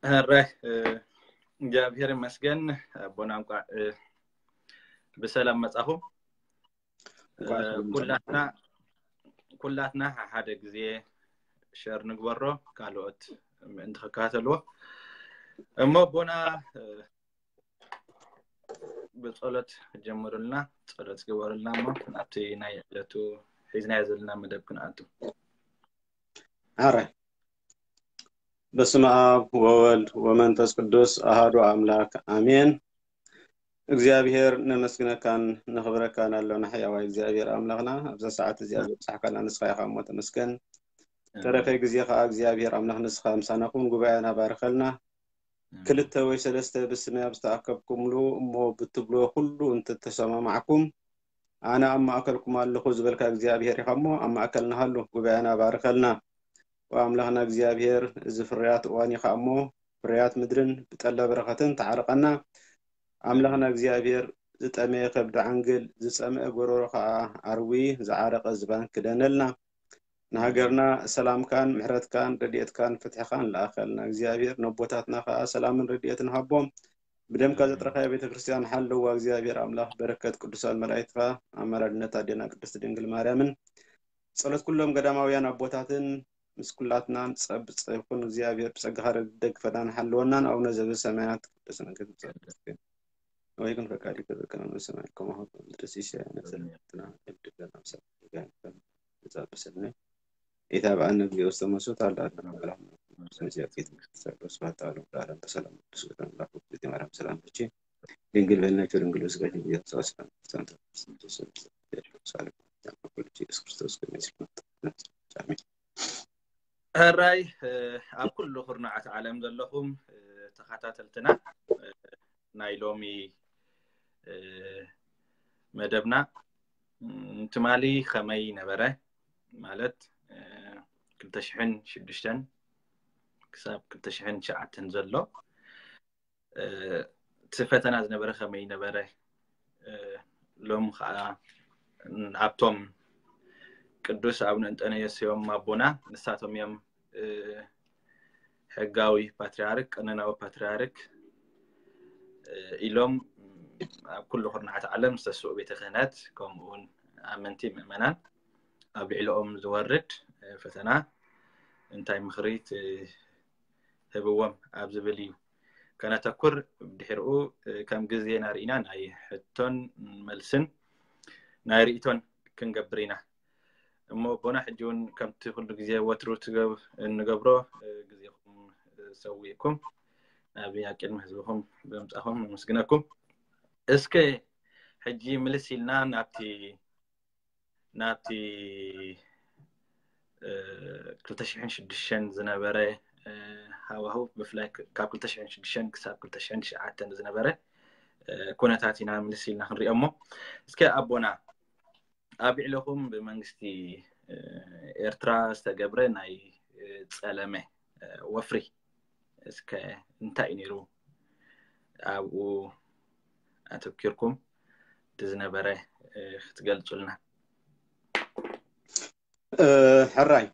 ሕራይ፣ እ፣ እግዚኣብሔር ይመስገን። ኣቦና እንቋዕ፣ እ፣ ብሰላም መጻኹም። እንቋዕ እ፣ ሰላም ኩላትና፣ ኩላትና ሓደ ግዜ ሸር ንግበሮ፣ ካልኦት ምእንቲ ክከታተልዎ። እሞ ኣቦና፣ እ፣ ብጸሎት ጀምሩልና፣ ጸሎት ግበሩልና፣ እሞ ናብቲ ናይ ዕለቱ ሒዝናዮ ዘለና መደብ ክንኣቱ። ሕራይ። በስመ ኣብ ወወልድ ወመንፈስ ቅዱስ ኣሃዱ ኣምላክ ኣሜን። እግዚኣብሔር ነመስግነካን ነኽብረካን ኣሎና። ሕያዋይ እግዚኣብሔር ኣምላኽና፣ ኣብዛ ሰዓት እዚኣ ዘብጽሕካና ንስኻ ኢኻ እሞ ተመስገን። ተረፈ ግዜ ከዓ እግዚኣብሔር ኣምላኽ ንስኻ ምሳና ኩን፣ ጉባኤና ባርኸልና። ክልተ ወይ ሰለስተ ብስመይ ኣብ ዝተኣከብኩምሉ እሞ ብትብሎ ኩሉ እንትተሰማማዕኩም፣ ኣነ ኣብ ማእከልኩም ኣለኹ ዝበልካ እግዚኣብሔር ኢኻ እሞ ኣብ ማእከልና ሃሉ፣ ጉባኤና ባርከልና። ወኣምላኽና እግዚኣብሔር፣ እዚ ፍርያት እዋን ኢኻ እሞ፣ ፍርያት ምድርን ብጠለ በረኸትን ተዓርቐና። ኣምላኽና እግዚኣብሔር፣ ዝጠመየ ከብዲ ዓንግል፣ ዝጸምአ ጎረሮ ኸኣ ኣርዊ፣ ዝዓረቐ ዝባን ክደነልና። ንሃገርና ሰላምካን ምሕረትካን ረድኤትካን ፍትሕኻን ለኣኸልና። እግዚኣብሔር፣ ነቦታትና ኸኣ ሰላምን ረድኤትን ሃቦም። ብደምካ ዘጥረኻያ ቤተ ክርስቲያን ሓለዋ። እግዚኣብሔር ኣምላኽ፣ በረከት ቅዱሳን መላእክትኻ፣ ኣማላድነት ኣዴና ቅድስት ድንግል ማርያምን ጸሎት ኩሎም ገዳማውያን ኣቦታትን ምስ ኩላትናን ጸብጸብ ይኹን። እግዚኣብሔር ብጸጋኻ ደግፈናን ሓልወናን። ኣቡነ ዘበሰማያት ቅዱስ ስምከ ትምጻእ መንግስትከ፣ ወይኩን ፈቃድከ በከመ በሰማይ ከማሁ በምድሪ። ሲሳየነ ዘለለትና ሀበነ ዮም ህድግ ለነ አበሳነ ወጌጋየነ ከመ ንሕነኒ ለዘአበሰለነ ኢታብአነ እግዚኦ ውስተ መንሱት አላ አድነነ አምላክ መንሱት መዚያ ፊት መንግስት ሰሎ ስብሐት ለዓለም ለዓለም በሰላም ቅዱስ ገብረ መልአክ ውእቱ ማርያም ሰላም ለኪ ድንግል በልነኪ ድንግል ስጋኪ ብየሱስ ሰላም ሰላም ኢየሱስ ክርስቶስ ከመ ይስልመት አሜን። ሕራይ፣ እ፣ ኣብ ኩሉ ኩርናዓት ዓለም ዘለኹም፣ እ፣ ተኸታተልትና፣ እ፣ ናይ ሎሚ፣ እ፣ መደብና፣ እም፣ ትማሊ ከመይ ነበረ? ማለት፣ እ፣ ክልተ ሽሕን ሽዱሽተን ክሳብ ክልተ ሽሕን ትሽዓተን ዘሎ፣ እ፣ እቲ ፈተና ዝነበረ ከመይ ነበረ? እ፣ ሎም ኸዓ ኣብቶም ቅዱስ ኣቡነ እንጠንዮስ እዮም ኣቦና። ንሳቶም እዮም፣ እ፣ ሕጋዊ ፓትርያርክ፣ ቀኖናዊ ፓትርያርክ፣ እ፣ ኢሎም ኣብ ኩሉ ኩርናዓት ዓለም ዝተስኡ ቤተ ክህነት፣ ከምኡ እውን ኣመንቲ ምእመናን ኣብ ልዕሊኦም ዝወርድ፣ እ፣ ፈተና እንታይ ምኽሪ ትህብዎም ኣብ ዝብል እዩ ከነተኩር። ድሕሪኡ፣ እ፣ ከም ግዜና ርኢና ናይ ሕቶን መልስን ናይ ርእይቶን ክንገብር ኢና። እሞ ኣቦና፣ ሕጂ እውን ከምቲ ኩሉ ግዜ ወትሩ ትገብ-፣ እንገብሮ፣ እ፣ ግዜኹም፣ እ፣ ሰዊእኩም ናብ ኣብ ቅድሚ ህዝብኹም ብምጻኹም ነመስግነኩም። እስከ ሕጂ ምልስ ኢልና ናብቲ፣ ናብቲ፣ እ፣ ክልተ ሽሕን ሽዱሽተን ዝነበረ፣ እ፣ ሃዋህው፣ ብፍላይ ክ-፣ ካብ ክልተ ሽሕን ሽዱሽተን ክሳብ ክልተ ሽሕን ትሽዓተን ዝነበረ፣ እ፣ ኩነታት ኢና ምልስ ኢልና ክንሪኦ እሞ፣ እስከ ኣቦና፣ ኣብ ልዕለኹም ብመንግስቲ፣ እ፣ ኤርትራ ዝተገብረ ናይ፣ እ፣ ጸለመ፣ እ፣ ወፍሪ እስከ እንታይ እዩ ነይሩ? ኣብኡ ኣተኪርኩም እቲ ዝነበረ፣ እ፣ ክትገልጹልና። እ፣ ሕራይ፣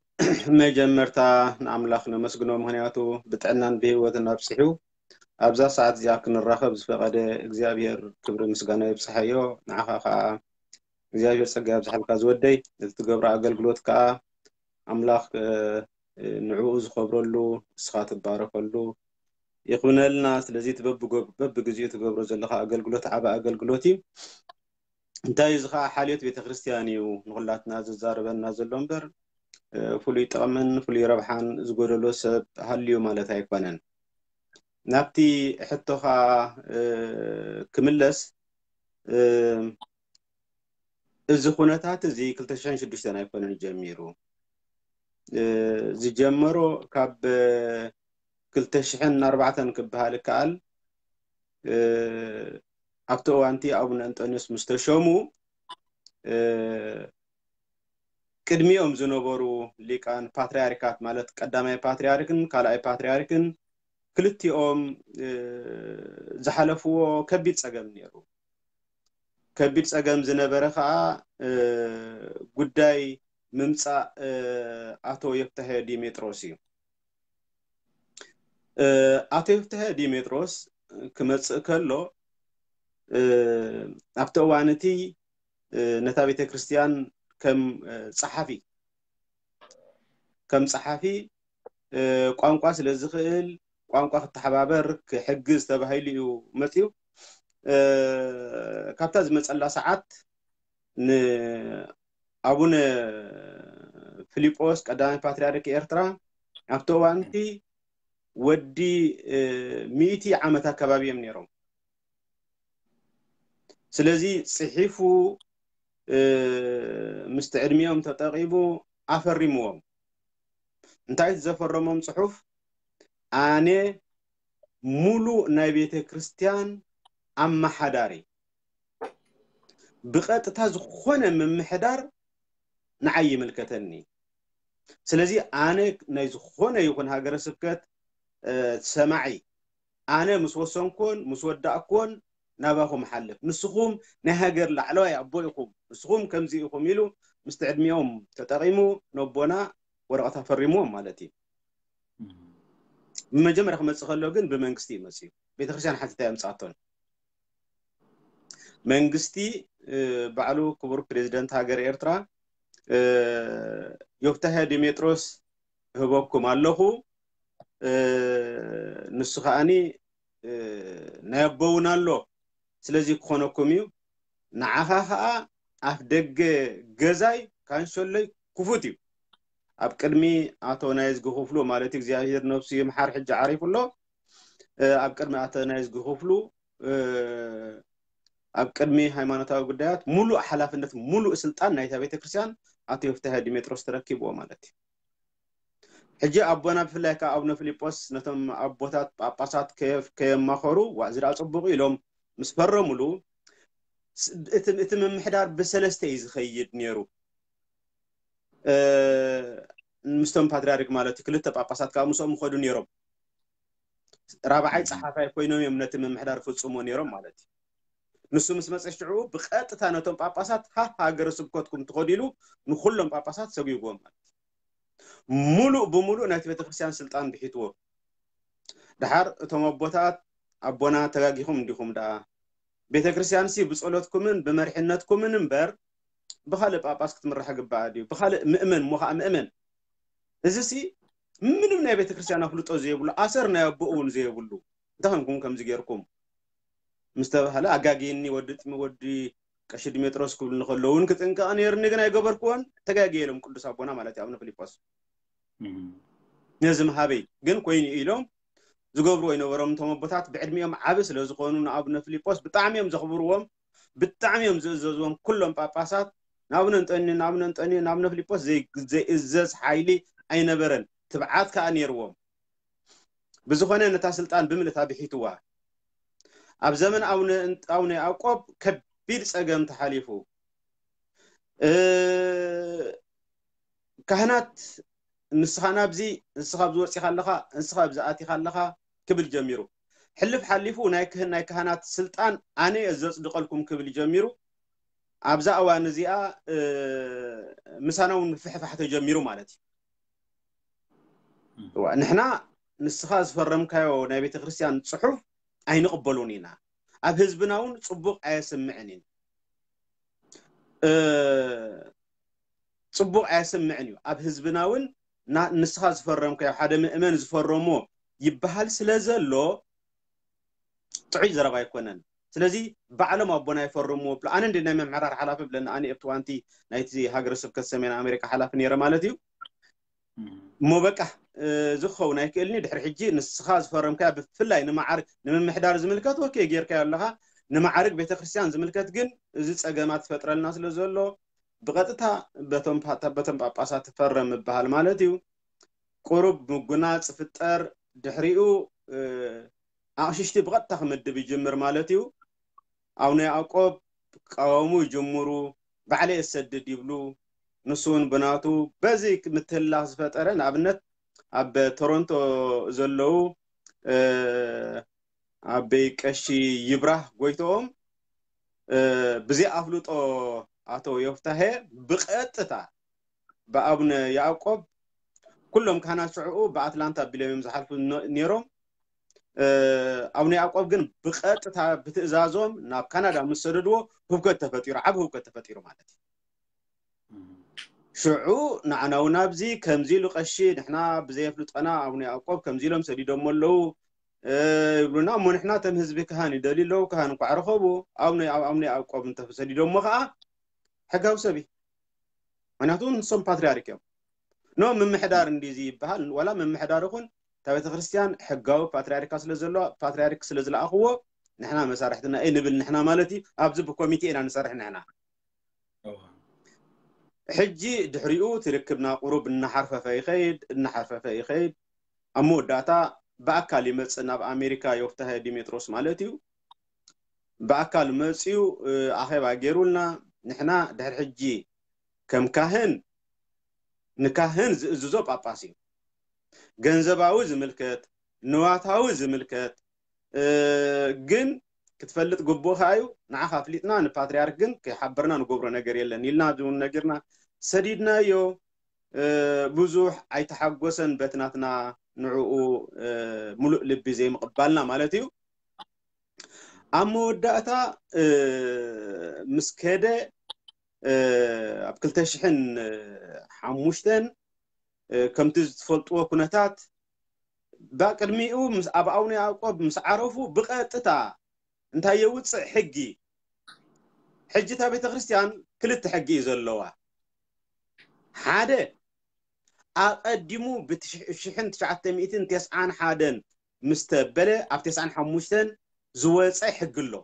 መጀመርታ ንኣምላኽ ነመስግኖ፣ ምኽንያቱ ብጥዕናን ብህይወትን ኣብጽሑ ኣብዛ ሰዓት እዚኣ ክንራኸብ ዝፈቐደ እግዚኣብሔር ክብሪ ምስጋና ይብጽሓዮ። ንዓኻ ከኣ እግዚኣብሔር ጸጋ ያብዝሓልካ ዝወደይ። እቲ ትገብሮ ኣገልግሎት ከኣ ኣምላኽ፣ እ፣ ንዕኡ ዝኸብረሉ፣ ንስኻ ትባረከሉ ይኹነልና። ስለዚ እቲ በብጎ-፣ በብግዜኡ ትገብሮ ዘለኻ ኣገልግሎት ዓቢ ኣገልግሎት እዩ። እንታይ እዚ ኸዓ ሓልዮት ቤተ ክርስቲያን እዩ ንኹላትና ዝዛረበና ዘሎ እምበር፣ እ፣ ፍሉይ ጥቕምን ፍሉይ ረብሓን ዝጎደሎ ሰብ ሃልዩ ማለት ኣይኮነን። ናብቲ ሕቶኻ፣ እ፣ ክምለስ፣ እ፣ እዚ ኩነታት እዚ ክልተ ሽሕን ሽዱሽተን ኣይኮነን ጀሚሩ። እ፣ ዝጀመሮ ካብ ክልተ ሽሕን ኣርባዕተን ክበሃል ይከኣል። እ፣ ኣብቲ እዋንቲ ኣቡነ እንጠንዮስ ምስ ተሾሙ፣ እ፣ ቅድሚኦም ዝነበሩ ሊቃን ፓትርያርካት፣ ማለት ቀዳማይ ፓትርያርክን ካልኣይ ፓትርያርክን፣ ክልቲኦም፣ እ፣ ዝሓለፍዎ ከቢድ ጸገም ነይሩ። ከቢድ ጸገም ዝነበረ ከዓ ጉዳይ ምምጻእ ኣቶ ዮፍታሄ ዲሜጥሮስ እዩ። ኣቶ ዮፍታሄ ዲሜጥሮስ ክመጽእ ከሎ ኣብቲ እዋን እቲ ነታ ቤተ ክርስቲያን ከም ጸሓፊ ከም ጸሓፊ ቋንቋ ስለ ዝኽእል ቋንቋ ክተሓባበር ክሕግዝ ተባሂሉ እዩ መፅዩ። ካብታ ዝመፀላ ሰዓት ንኣቡነ ፊሊጶስ ቀዳማይ ፓትርያርክ ኤርትራ ኣብቲ እዋንቲ ወዲ ሚእቲ ዓመት ኣካባቢ እዮም ነይሮም። ስለዚ ፅሒፉ ምስቲ ዕድሚኦም ተጠቂሙ ኣፈሪምዎም። እንታይ እቲ ዘፈረሞም ፅሑፍ? ኣነ ሙሉእ ናይ ቤተ ክርስቲያን ኣመሓዳሪ፣ ብቐጥታ ዝኾነ ምምሕዳር ንዓይ ይምልከተኒ። ስለዚ ኣነ ናይ ዝኾነ ይኹን ሃገረ ስብከት ሰማዒ፣ ኣነ ምስ ወሰንኩን ምስ ወዳእኩን ናባኹም ሓልፍ፣ ንስኹም ናይ ሃገር ላዕለዋይ ኣቦ ኢኹም፣ ንስኹም ከምዚ ኢኹም ኢሉ ምስቲ ዕድሚኦም ተጠቒሙ ነቦና ወረቐት ኣፈሪምዎም ማለት እዩ። ብመጀመርያ ክመፅእ ከሎ ግን ብመንግስቲ እዩ መፅዩ። ቤተክርስትያን ሓቲታ የምፅኣቶን መንግስቲ ባዕሉ ክቡር ፕሬዚደንት ሃገር ኤርትራ ዮፍታሄ ዲሜጥሮስ እህበኩም ኣለኹ፣ ንሱ ከዓኒ ናይ ኣቦውን ኣሎ፣ ስለዚ ክኾነኩም እዩ። ንዓኻ ከዓ ኣፍ ደገ ገዛይ ካንሸሎይ ክፉት እዩ። ኣብ ቅድሚ ኣቶ ናይዝጊ ክፍሉ ማለት እግዚኣብሔር ነብሱ ይምሓር ሕጂ ዓሪፉ ኣሎ። ኣብ ቅድሚ ኣቶ ናይዝጊ ክፍሉ ኣብ ቅድሚ ሃይማኖታዊ ጉዳያት ሙሉእ ሓላፍነት ሙሉእ ስልጣን ናይታ ቤተክርስትያን ኣቶ ዮፍታሄ ዲሜጥሮስ ተረኪብዎ ማለት እዩ። ሕጂ ኣቦና ብፍላይ ከዓ ኣቡነ ፊልጶስ ነቶም ኣቦታት ጳጳሳት ከየማኸሩ ዋእዚ ደኣ ፅቡቅ ኢሎም ምስ ፈረሙሉ እቲ ምምሕዳር ብሰለስተ እዩ ዝኸይድ ነይሩ። ምስቶም ፓትርያርክ ማለት ክልተ ጳጳሳት ከዓ ምስኦም ይኸዱ ነይሮም። ራብዓይ ፀሓፋይ ኮይኖም እዮም ነቲ ምምሕዳር ፍፁሞ ነይሮም ማለት እዩ። ንሱ ምስ መፀ ሽዑ ብቐጥታ ነቶም ጳጳሳት ሃ ሃገረ ስብከትኩም ትኸዱ ኢሉ ንኩሎም ጳጳሳት ሰጒግዎም ማለት እዩ። ሙሉእ ብሙሉእ ናይቲ ቤተክርስትያን ስልጣን ብሒትዎ። ድሓር እቶም ኣቦታት ኣቦና ተጋጊኹም እንዲኹም ደኣ ቤተክርስትያንሲ ብጸሎትኩምን ብመሪሕነትኩምን እምበር ብኻልእ ጳጳስ ክትምራሕ ግባኣ ድዩ? ብኻልእ ምእመን እሞ ኸዓ ምእመን። እዚሲ ምንም ናይ ቤተክርስትያን ኣፍልጦ ዘይብሉ ኣሰር ናይ ኣቦኡ እውን ዘይብሉ እንታይ ኾንኩም ከምዚ ጌርኩም ምስ ተባህለ ኣጋጊኒ ወዲ ጥሚ ወዲ ቀሺ ድሜጥሮስ ክብሉ እንከለዉ እውን ክጥንቀቕ ነይርኒ ግን ኣይገበርክዎን። ተጋጊየ ኢሎም ቅዱስ ኣቦና ማለት እዩ ኣቡነ ፊልጶስ። ነዚ ምሃበይ ግን ኮይኑ ኢሎም ዝገብርዎ ኣይነበሮም። እቶም ኣቦታት ብዕድሚኦም ዓቢ ስለ ዝኾኑ ንኣቡነ ፊልጶስ ብጣዕሚ እዮም ዘኽብርዎም፣ ብጣዕሚ እዮም ዝእዘዝዎም። ኩሎም ጳጳሳት ንኣቡነ እንጠንዮ ንኣቡነ እንጠንዮ ንኣቡነ ፊልጶስ ዘይእዘዝ ሓይሊ ኣይነበረን። ትብዓት ከኣ ነይርዎም። ብዝኾነ ነታ ስልጣን ብምልእታ ብሒትዋ። ኣብ ዘመን ኣቡነ ኣቡነ ያዕቆብ ከቢድ ጸገም ተሓሊፉ። ካህናት ንስኻ ናብዚ ንስኻ ኣብዚ ወፂኻ ኣለኻ ንስኻ ኣብዚ ኣቲኻ ኣለኻ ክብል ጀሚሩ። ሕልፍ ሓሊፉ ናይ ክህን ናይ ካህናት ስልጣን ኣነ እየ ዘፅድቐልኩም ክብል ጀሚሩ። ኣብዛ እዋን እዚኣ ምሳና እውን ምፍሕፋሕ ተጀሚሩ ማለት እዩ። ንሕና ንስኻ ዝፈረምካዮ ናይ ቤተ ክርስቲያን ፅሑፍ ኣይንቕበሉን ኢና። ኣብ ህዝብና እውን ፅቡቕ ኣየስምዕን እዩ። ፅቡቕ ኣየስምዕን እዩ። ኣብ ህዝብና እውን ንስኻ ዝፈረምካዮ ሓደ ምእመን ዝፈረሞ ይበሃል ስለ ዘሎ ጥዑይ ዘረባ ኣይኮነን። ስለዚ ባዕሎም ኣቦና ይፈርምዎ ብሎ ኣነ እንደ ናይ ምምሕዳር ሓላፊ ብለኒ ኣነ ኣብቲ ዋንቲ ናይቲ ሃገረ ስብከት ሰሜን ኣሜሪካ ሓላፊ ነይረ ማለት እዩ። እሞ በቃ ዝኸውን ኣይክእልኒ ድሕሪ ሕጂ ንስኻ ዝፈረምካያ ብፍላይ ንመዓርግ ንምምሕዳር ዝምልከት ወኬ ጌርካዮ ኣለኻ። ንመዓርግ ቤተክርስትያን ዝምልከት ግን እዚ ፀገማት ዝፈጥረልና ስለ ዘሎ ብቐጥታ በቶም ፓ- በቶም ጳጳሳት ትፈረም ምበሃል ማለት እዩ። ቁሩብ ምጉናፅ ፍጠር ድሕሪኡ ኣቕሽሽቲ ብቐጥታ ክምድብ ይጅምር ማለት እዩ። ኣቡነ ያዕቆብ ክቃወሙ ይጅምሩ። ባዕለይ እሰድድ ይብሉ። ንሱ እውን ብናቱ በዚ ምትህልላኽ ዝፈጠረ ንኣብነት ኣብ ቶሮንቶ ዘለዉ ኣበይ ቀሺ ይብራህ ጎይትኦም ብዘይ ኣፍልጦ ኣቶ ዮፍታሄ ብቐጥታ ብኣቡነ ያዕቆብ፣ ኩሎም ካህናት ሽዕኡ ብኣትላንታ ኣቢሎም እዮም ዝሓልፉ ነይሮም። ኣቡነ ያዕቆብ ግን ብቐጥታ ብትእዛዞም ናብ ካናዳ ምስ ሰደድዎ ህውከት ተፈጢሩ፣ ዓብ ህውከት ተፈጢሩ ማለት እዩ። ሽዑ ንዓና እውን ኣብዚ ከምዚ ኢሉ ቀሺ ንሕና ብዘየፍልጠና ኣቡነ ያዕቆብ ከምዚ ኢሎም ሰዲዶሞ ኣለዉ ይብሉና እሞ፣ ንሕና ተም ህዝቢ ካህን ይደልዩ ኣለዉ፣ ካህን እንኳዕ ረኸቡ፣ ኣቡነ ያዕቆብ እንተሰዲዶሞ ከዓ ሕጋዊ ሰብ እዩ። ምክንያቱ ንሶም ፓትሪያርክ እዮም። ኖ ምምሕዳር እንዲዚ ይበሃል፣ ዋላ ምምሕዳር ይኹን እታ ቤተክርስትያን ሕጋዊ ፓትሪያርካ ስለ ዘሎ፣ ፓትሪያርክ ስለ ዝለኣኽዎ ንሕና መሳርሕትና እየ ንብል ንሕና ማለት እዩ። ኣብዚ ብኮሚቴ ኢና ንሰርሕ ንሕና። ሕጂ ድሕሪኡ ትርክብና ቁሩብ እናሓርፈፈ ይኸይድ እናሓርፈፈ ይኸይድ። ኣብ መወዳእታ ብኣካል ይመጽእ ናብ ኣሜሪካ ዮፍታሄ ዲሜጥሮስ ማለት እዩ። ብኣካል መጽዩ ኣኼባ ገይሩልና። ንሕና ድሕሪ ሕጂ ከም ካህን ንካህን ዝእዝዞ ጳጳስ እዩ። ገንዘባዊ ዝምልከት፣ ንዋታዊ ዝምልከት ግን ክትፈልጥ ግቡእካ እዩ። ንዓኻ ኣፍሊጥና ንፓትሪያርክ ግን ከይሓበርና ንገብሮ ነገር የለን ኢልና እውን ነጊርና ሰዲድናዮ። ብዙሕ ኣይተሓጎሰን በቲ ናትና ንዕኡ ምሉእ ልቢ ዘይምቕባልና ማለት እዩ። ኣብ መወዳእታ ምስ ከደ ኣብ ክልተ ሽሕን ሓሙሽተን ከምቲ ዝትፈልጥዎ ኩነታት ብቅድሚኡ ኣብ ኣቡነ ያዕቆብ ምስ ዓረፉ ብቐጥታ እንታይ የውፅእ ሕጊ? ሕጂ እታ ቤተ ክርስቲያን ክልተ ሕጊ እዩ ዘለዋ። ሓደ ኣቐዲሙ ብሽሕን ትሽዓተ ሚእትን ተስዓን ሓደን ምስ ተበለ ኣብ ተስዓን ሓሙሽተን ዝወፀ ሕጊ ኣሎ።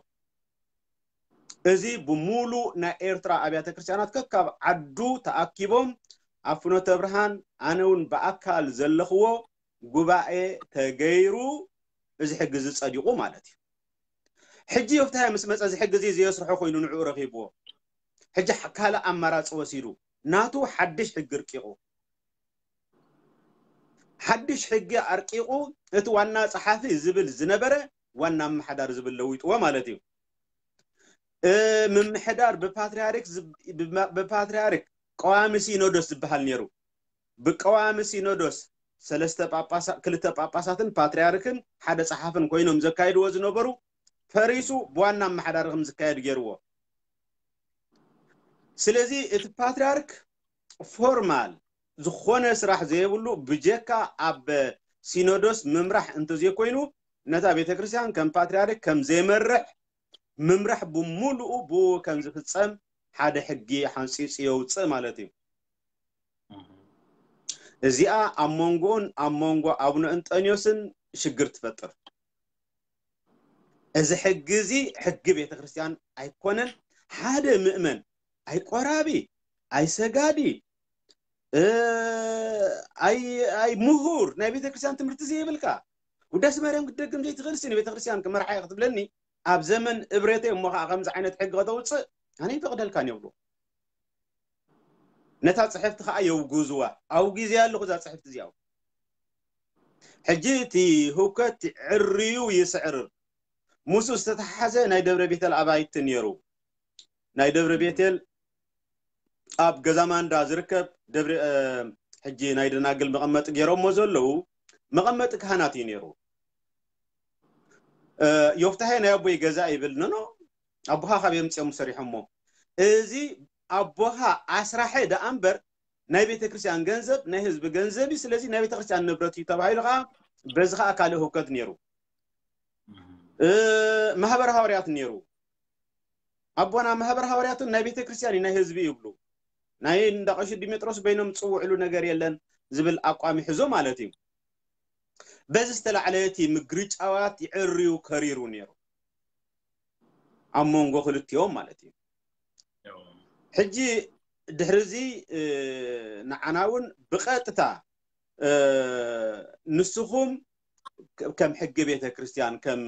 እዚ ብሙሉእ ናይ ኤርትራ ኣብያተ ክርስቲያናት ከካብ ዓዱ ተኣኪቦም ኣብ ፍኖተ ብርሃን ኣነ እውን ብኣካል ዘለኽዎ ጉባኤ ተገይሩ እዚ ሕጊ እዚ ጸዲቑ ማለት እዩ። ሕጂ ዮፍታሄ ምስ መጸ እዚ ሕጊ እዚ ዘየስርሖ ኮይኑ ንዕኡ ረኺብዎ። ሕጂ ካልእ ኣማራጺ ወሲዱ ናቱ ሓድሽ ሕጊ ኣርቂቑ ሓድሽ ሕጊ ኣርቂቑ እቲ ዋና ጸሓፊ ዝብል ዝነበረ ዋና ኣመሓዳሪ ዝብል ለዊጥዎ ማለት እዩ። ምምሕዳር ብፓትርያርክ ብፓትርያርክ ቀዋሚ ሲኖዶስ ዝበሃል ነይሩ። ብቀዋሚ ሲኖዶስ ሰለስተ ጳጳሳ ክልተ ጳጳሳትን ፓትርያርክን ሓደ ጸሓፍን ኮይኖም ዘካይድዎ ዝነበሩ ፈሪሱ ብዋና ኣመሓዳሪ ከም ዝካየድ ገይርዎ። ስለዚ እቲ ፓትርያርክ ፎርማል ዝኾነ ስራሕ ዘይብሉ ብጀካ ኣብ ሲኖዶስ ምምራሕ እንተዘይኮይኑ ነታ ቤተክርስትያን ከም ፓትርያርክ ከም ዘይመርሕ ምምራሕ ብምሉኡ ብኡ ከም ዝፍጸም ሓደ ሕጊ ሓንጺጹ የውጽእ ማለት እዩ። እዚኣ ኣብ መንጎኡን ኣብ መንጎ ኣቡነ እንጠንዮስን ሽግር ትፈጥር። እዚ ሕጊ እዚ ሕጊ ቤተክርስትያን ኣይኮነን። ሓደ ምእመን ኣይቆራቢ ኣይሰጋዲ ኣይ ኣይ ምሁር ናይ ቤተክርስትያን ትምህርቲ ዘይብልካ ውዳሴ ማርያም ክትደግም ዘይትኽእል ሲ ንቤተክርስትያን ክመርሓ ክትብለኒ ኣብ ዘመን እብረተይ እሞ ከዓ ከምዚ ዓይነት ሕጊ ከተውፅእ ኣነ ይፈቅደልካን ይብሉ። ነታ ፅሕፍቲ ከዓ የውግዝዋ። ኣውጊዘያ ኣለኹ እዛ ፅሕፍቲ እዚኣ። ሕጂ እቲ ህውከት ዕርዩ ይስዕርር። ምስኡ ዝተተሓሓዘ ናይ ደብረ ቤተል ኣባይቲ ነይሩ። ናይ ደብረ ቤተል ኣብ ገዛ ማንዳ ዝርከብ ደብረ ሕጂ ናይ ደናግል መቐመጢ ገይሮሞ ዘለዉ መቐመጢ ካህናት እዩ ነይሩ። ዮፍታሄ ናይ ኣቦይ ገዛ ይብል። ኖኖ ኣቦኻ ካብ የምፅኦም ሰሪሖሞ። እዚ ኣቦኻ ኣስራሐ ደኣ እምበር ናይ ቤተክርስትያን ገንዘብ ናይ ህዝቢ ገንዘብ እዩ። ስለዚ ናይ ቤተክርስትያን ንብረት እዩ ተባሂሉ ከዓ በዚ ከዓ ካልእ ህውከት ነይሩ። ማህበር ሃዋርያት ነይሩ። ኣቦና ማህበር ሃዋርያትን ናይ ቤተክርስትያን እዩ ናይ ህዝቢ ይብሉ። ናይ እንዳ ቀሺ ዲሜጥሮስ በይኖም ዝፅውዕሉ ነገር የለን ዝብል ኣቋም ይሕዞ ማለት እዩ። በዚ ዝተላዕለ እቲ ምግርጫዋት ይዕርዩ ከሪሩ ነይሩ ኣብ መንጎ ክልቲኦም ማለት እዩ። ሕጂ ድሕሪ እዚ ንዓና እውን ብቐጥታ ንስኹም ከም ሕጊ ቤተ ክርስቲያን ከም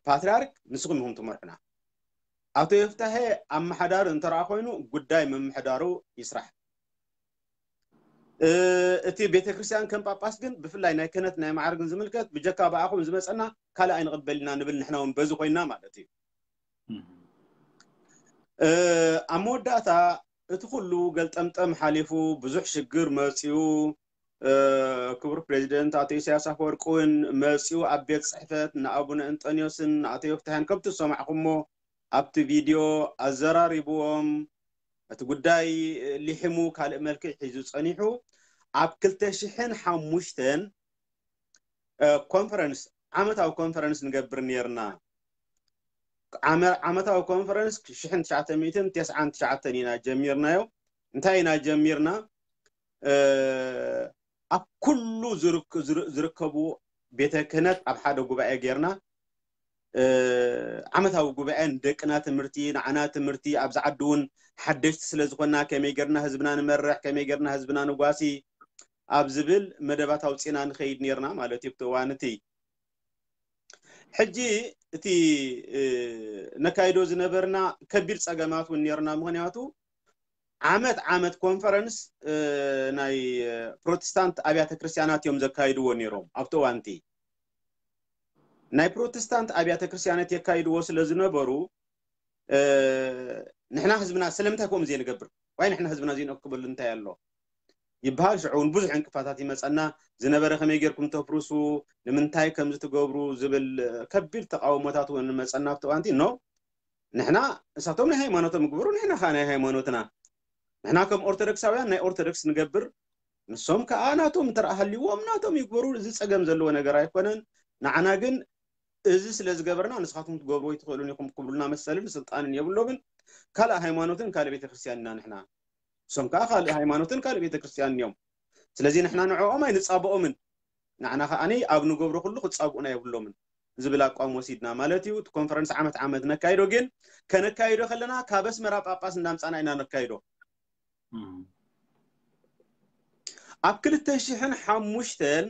ፓትርያርክ ንስኹም ኢኹም ትመርሑና። ኣቶ ዮፍታሄ ኣመሓዳሪ እንተረኣ ኮይኑ ጉዳይ ምምሕዳሩ ይስራሕ። እቲ ቤተ ክርስቲያን ከም ጳጳስ ግን ብፍላይ ናይ ክህነት ናይ ማዕርግን ዝምልከት ብጀካ ብኣኹም ዝመፀና ካልእ ኣይንቕበል ኢና ንብል ንሕና እውን በዚ ኮይና ማለት እዩ። ኣብ መወዳእታ እቲ ኩሉ ገልጠምጠም ሓሊፉ ብዙሕ ሽግር መፂኡ። ክቡር ፕሬዚደንት ኣቶ ኢሳያስ ኣፈወርቂ እውን መፂኡ ኣብ ቤት ፅሕፈት ንኣቡነ እንጠንዮስን ንኣቶ ዮፍታህያን ከምቲ ዝሰማዕኩሞ ኣብቲ ቪድዮ ኣዘራሪብዎም፣ እቲ ጉዳይ ሊሒሙ ካልእ መልክዕ ሒዙ ፀኒሑ። ኣብ ክልተ ሽሕን ሓሙሽተን ኮንፈረንስ፣ ዓመታዊ ኮንፈረንስ ንገብር ነርና። ዓመታዊ ኮንፈረንስ ሽሕን ትሽዓተ ሚእትን ተስዓን ትሽዓተን ኢና ጀሚርናዮ። እንታይ ኢና ጀሚርና? ኣብ ኩሉ ዝርከቡ ቤተ ክህነት ኣብ ሓደ ጉባኤ ጌርና። ዓመታዊ ጉባኤ ንደቅና ትምህርቲ፣ ንዓና ትምህርቲ፣ ኣብዚ ዓዲ እውን ሓደሽቲ ስለ ዝኾንና ከመይ ጌርና ህዝብና ንመርሕ፣ ከመይ ጌርና ህዝብና ንጓሲ ኣብ ዝብል መደባት ኣውፂና ንኸይድ ኔርና ማለት እዩ። ኣብቲ እዋን እቲ ሕጂ እቲ ነካይዶ ዝነበርና ከቢድ ፀገማት እውን ኔርና። ምኽንያቱ ዓመት ዓመት ኮንፈረንስ ናይ ፕሮቴስታንት ኣብያተ ክርስቲያናት እዮም ዘካይድዎ ነይሮም ኣብቲ እዋንቲ። ናይ ፕሮቴስታንት ኣብያተ ክርስቲያናት የካይድዎ ስለ ዝነበሩ ንሕና ህዝብና ስለምንታይ ከምኡ ዘይንገብር? ዋይ ንሕና ህዝብና ዘይንእክበሉ እንታይ ኣሎ ይበሃል። ሽዑ እውን ብዙሕ ዕንቅፋታት ይመፀና ዝነበረ፣ ከመይ ጌርኩም ተፍርሱ፣ ንምንታይ ከምዚ ትገብሩ ዝብል ከቢድ ተቃውሞታት እውን መፀና ኣብቲ እዋንቲ። ኖ ንሕና እሳቶም ናይ ሃይማኖቶም ይግበሩ፣ ንሕና ከዓ ናይ ሃይማኖትና። ንሕና ከም ኦርቶዶክሳውያን ናይ ኦርቶዶክስ ንገብር፣ ንሶም ከዓ ናቶም እንተ ሃልይዎም ናቶም ይግበሩ። እዚ ፀገም ዘለዎ ነገር ኣይኮነን። ንዓና ግን እዚ ስለ ዝገበርና ንስኻትኩም ትገብርዎ ኣይትኽእሉን ኢኹም ክብሉና መሰልን ስልጣንን የብሎምን። ካልእ ሃይማኖትን ካልእ ቤተክርስትያን ኢና ንሕና። እሶም ከዓ ካልእ ሃይማኖትን ካልእ ቤተክርስትያንን እዮም። ስለዚ ንሕና ንዕኦም ኣይንፃብኦምን፣ ንዓና ከዓኒ ኣብ ንገብሮ ኩሉ ክፃብኡና የብሎምን ዝብል ኣቋም ወሲድና ማለት እዩ። እቲ ኮንፈረንስ ዓመት ዓመት ነካይዶ፣ ግን ከነካይዶ ከለና ካብ ኣስመራ ጳጳስ እንዳምፃና ኢና ነካይዶ። ኣብ ክልተ ሽሕን ሓሙሽተን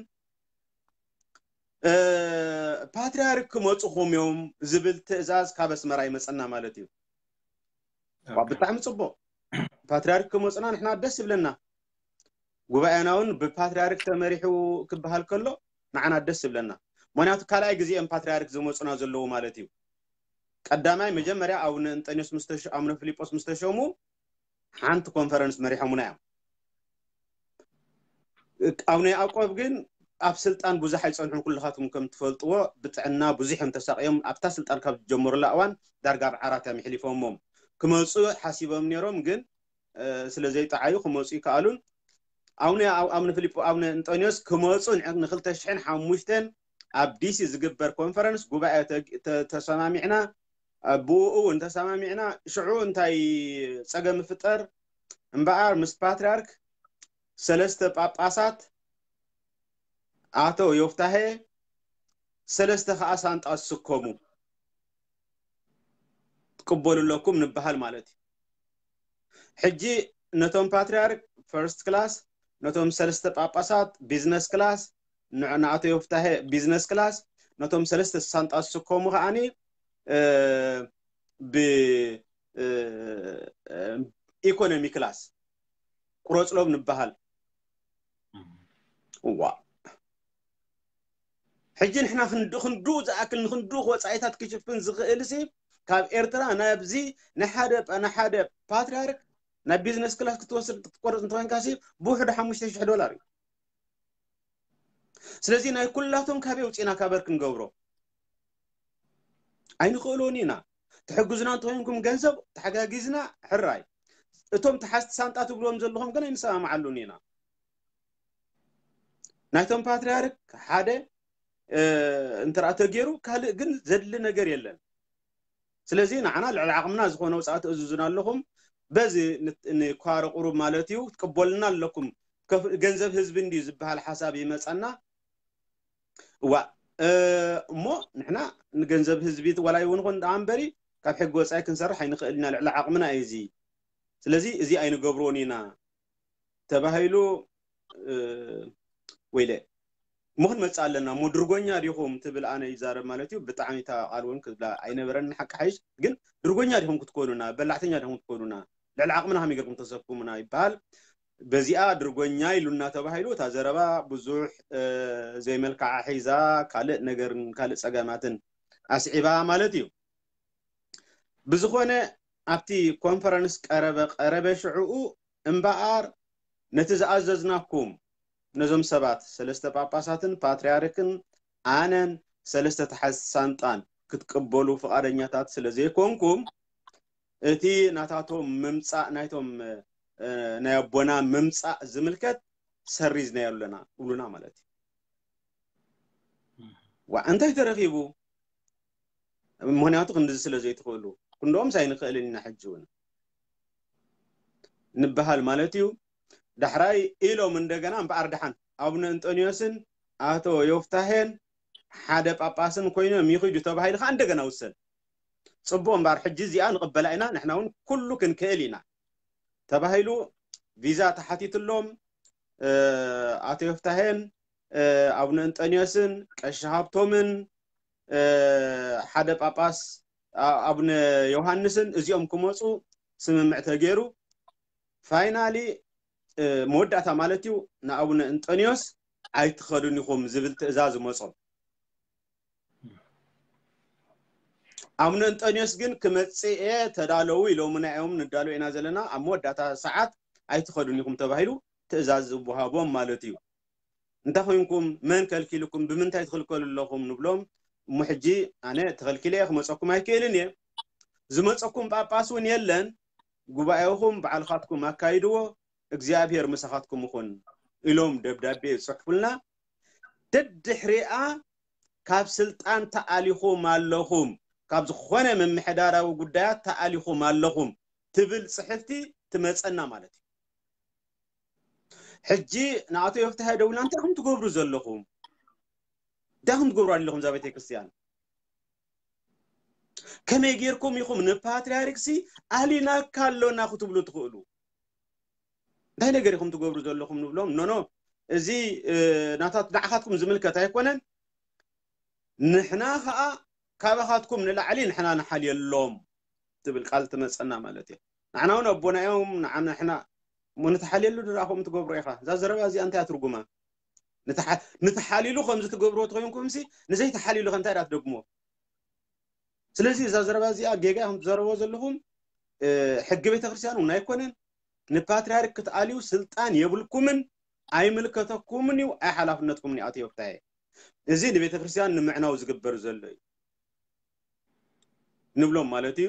ፓትርያርክ ክመፁኹም እዮም ዝብል ትእዛዝ ካብ ኣስመራ ይመፀና ማለት እዩ። ብጣዕሚ ፅቡቅ። ፓትርያርክ ክመፁና ንሕና ደስ ይብለና። ጉባኤና እውን ብፓትርያርክ ተመሪሑ ክበሃል ከሎ ንዓና ደስ ይብለና። ምክንያቱ ካልኣይ ግዜ እዮም ፓትርያርክ ዝመፁና ዘለዉ ማለት እዩ። ቀዳማይ መጀመርያ ኣቡነ እንጠንዮስ ኣቡነ ፊልጶስ ምስ ተሸሙ ሓንቲ ኮንፈረንስ መሪሖምና እዮም። ኣቡነ ያዕቆብ ግን ኣብ ስልጣን ብዙሕ ኣይፀንሑን። ኩልኻትኩም ከም ትፈልጥዎ ብጥዕና ብዙሕ እዮም ተሳቅዮም። ኣብታ ስልጣን ካብ ዝጀመሩላ እዋን ዳርጋ ኣብ ዓራት እዮም ኣሕሊፎሞም። ክመፁ ሓሲቦም ነይሮም፣ ግን ስለ ዘይጠዓዩ ክመፁ ይከኣሉን። ኣቡነ ኣቡነ ፊልጶ ኣቡነ እንጠንዮስ ክመፁ ንክልተ ሽሕን ሓሙሽተን ኣብ ዲሲ ዝግበር ኮንፈረንስ ጉባኤ ተሰማሚዕና፣ ብኡ እውን ተሰማሚዕና። ሽዑ እንታይ ፀገም ይፍጠር እምበኣር ምስ ፓትርያርክ ሰለስተ ጳጳሳት ኣቶ ዮፍታሄ ሰለስተ ከዓ ሳንጣ ዝስከሙ ትቅበሉ ኣለኩም ንበሃል ማለት እዩ። ሕጂ ነቶም ፓትርያርክ ፈርስት ክላስ፣ ነቶም ሰለስተ ጳጳሳት ቢዝነስ ክላስ፣ ንኣቶ ዮፍታሄ ቢዝነስ ክላስ፣ ነቶም ሰለስተ ሳንጣ ዝስከሙ ከዓኒ ብ ኢኮኖሚ ክላስ ቁረፅሎም ንበሃል። ዋ ሕጂ ንሕና ክንዱ ዝኣክል ንክንዱ ወፃኢታት ክሽፍን ዝኽእል ሲ ካብ ኤርትራ ናብዚ ንሓደ ንሓደ ፓትርያርክ ናብ ቢዝነስ ክላስ ክትወስድ ክትቆርፅ እንተኮንካ ሲ ብውሕዱ ሓሙሽተ ሽሕ ዶላር እዩ። ስለዚ ናይ ኩላቶም ካበይ ውፅእና ካበር ክንገብሮ ኣይንኽእሎን ኢና። ትሕግዙና እንተኮይንኩም ገንዘብ ተሓጋጊዝና ሕራይ። እቶም ተሓዝቲ ሳንጣ ትብልዎም ዘለኹም ግን ኣይንሰማማዓሉን ኢና። ናይቶም ፓትርያርክ ሓደ እንተ ተገይሩ ካልእ ግን ዘድሊ ነገር የለን። ስለዚ ንዓና ልዕሊ ዓቕምና ዝኾነ ውፅኣት እዝዙና ኣለኹም። በዚ ንኳረ ቁሩብ ማለት እዩ ትቅበሉና ኣለኩም። ገንዘብ ህዝቢ እንድዩ ዝበሃል ሓሳብ ይመፀና። እዋ እሞ ንሕና ንገንዘብ ህዝቢ ዋላ ይኹን ደኣ እምበሪ ካብ ሕጊ ወፃኢ ክንሰርሕ ኣይንኽእል ኢና፣ ልዕሊ ዓቕምና እዩ እዚ። ስለዚ እዚ ኣይንገብሮን ኢና ተባሂሉ። ወይለ እሞ ክንመፅእ ኣለና እሞ ድርጎኛ ዲኹም ትብል ኣነ ይዛረብ ማለት እዩ። ብጣዕሚ እታ ቃል እውን ክብላ ኣይነበረን ንሓቂ ሓይሽ፣ ግን ድርጎኛ ዲኹም ክትኮኑና፣ በላዕተኛ ዲኹም ክትኮኑና፣ ልዕሊ ዓቕምና ከመይ ገርኩም ተሰክሙና ይበሃል። በዚኣ ድርጎኛ ኢሉና ተባሂሉ እታ ዘረባ ብዙሕ ዘይመልክዓ ሒዛ ካልእ ነገርን ካልእ ፀገማትን ኣስዒባ ማለት እዩ። ብዝኾነ ኣብቲ ኮንፈረንስ ቀረበ ቀረበ ሽዕኡ እምበኣር ነቲ ዝኣዘዝናኩም ነዞም ሰባት ሰለስተ ጳጳሳትን ፓትርያርክን ኣነን ሰለስተ ተሓዝቲ ሳንጣን ክትቅበሉ ፍቓደኛታት ስለ ዘይኮንኩም እቲ ናታቶም ምምጻእ ናይቶም ናይ ኣቦና ምምጻእ ዝምልከት ሰሪዝናዮ ኣለና እብሉና ማለት እዩ። ዋ እንታይ ተረኺቡ? ምክንያቱ ክንድዚ ስለ ዘይትኽእሉ ክንድኦምስ ኣይንኽእልን ኢና ሕጂ እውን ንበሃል ማለት እዩ። ዳሕራይ ኢሎም እንደገና እምበኣር ደሓን ኣቡነ እንጠንዮስን ኣቶ ዮፍታሄን ሓደ ጳጳስን ኮይኖም ይኽዱ ተባሂሉ ከዓ እንደገና ውሰን። ጽቡቕ እምበኣር ሕጂ እዚኣ ንቕበላ ኢና ንሕና እውን ኩሉ ክንክእል ኢና ተባሂሉ ቪዛ ተሓቲትሎም። ኣቶ ዮፍታሄን ኣቡነ እንጠንዮስን ቀሺ ሃብቶምን ሓደ ጳጳስ ኣቡነ ዮሃንስን እዚኦም ክመፁ ስምምዕ ተገይሩ ፋይናሊ መወዳእታ ማለት እዩ ንኣቡነ እንጠንዮስ ኣይትኸዱን ኢኹም ዝብል ትእዛዝ መፆም። ኣቡነ እንጠንዮስ ግን ክመፅእ እየ ተዳለዉ ኢሎምና እዮም ንዳሎ ኢና ዘለና ኣብ መወዳእታ ሰዓት ኣይትኸዱን ኢኹም ተባሂሉ ትእዛዝ ዝወሃቦም ማለት እዩ። እንታይ ኮይንኩም መን ከልኪልኩም ብምንታይ ትኽልከሉ ኣለኹም ንብሎም። እሞ ሕጂ ኣነ ተኸልኪለ እየ ክመፀኩም ኣይክእልን እየ። ዝመፀኩም ጳጳስ እውን የለን። ጉባኤኹም ባዕልኻትኩም ኣካይድዎ እግዚኣብሔር ምሳኻትኩም ይኹን ኢሎም ደብዳቤ ይፅሕፉልና። ደድሕሪኣ ካብ ስልጣን ተኣሊኹም ኣለኹም ካብ ዝኾነ ምምሕዳራዊ ጉዳያት ተኣሊኹም ኣለኹም ትብል ፅሕፍቲ ትመፀና ማለት እዩ። ሕጂ ንኣቶ ዮፍታሄ ደውልና እንታይ ኹም ትገብሩ ዘለኹም እንታይ ኹም ትገብሩ ኣለኹም እዛ ቤተክርስትያን ከመይ ጌርኩም ኢኹም ንፓትርያርክሲ ኣሊናካ ኣሎና ክትብሉ ትኽእሉ እንታይ ነገር ኢኹም ትገብሩ ዘለኹም ንብሎም ኖኖ እዚ ናታት ንዓኻትኩም ዝምልከት ኣይኮነን ንሕና ከዓ ካባኻትኩም ንላዕሊ ንሕና ንሓልየሎም ትብል ቃል ትመፀና ማለት እዩ ንሕና እውን ኣቦና እዮም ንዓና ንሕና እሞ ንተሓልየሉ ድኣ ከምኡ ትገብሮ ኢኻ እዛ ዘረባ እዚኣ እንታይ ትርጉማ ንተሓሊሉ ከምዚ ትገብርዎ ተኮይንኩም ሲ ንዘይተሓሊሉ ከ እንታይ ዳ ትደግሞ ስለዚ እዛ ዘረባ እዚኣ ጌጋ ኢኹም ትዘረብዎ ዘለኹም ሕጊ ቤተክርስትያን እውን ኣይኮነን ንፓትርያርክ ክትኣልዩ ስልጣን የብልኩምን ኣይምልከተኩምን እዩ ኣይሓላፍነትኩምን ይኣትዮ ፍታየ እዚ ንቤተክርስትያን ንምዕናው ዝግበር ዘሎ እዩ ንብሎም ማለት እዩ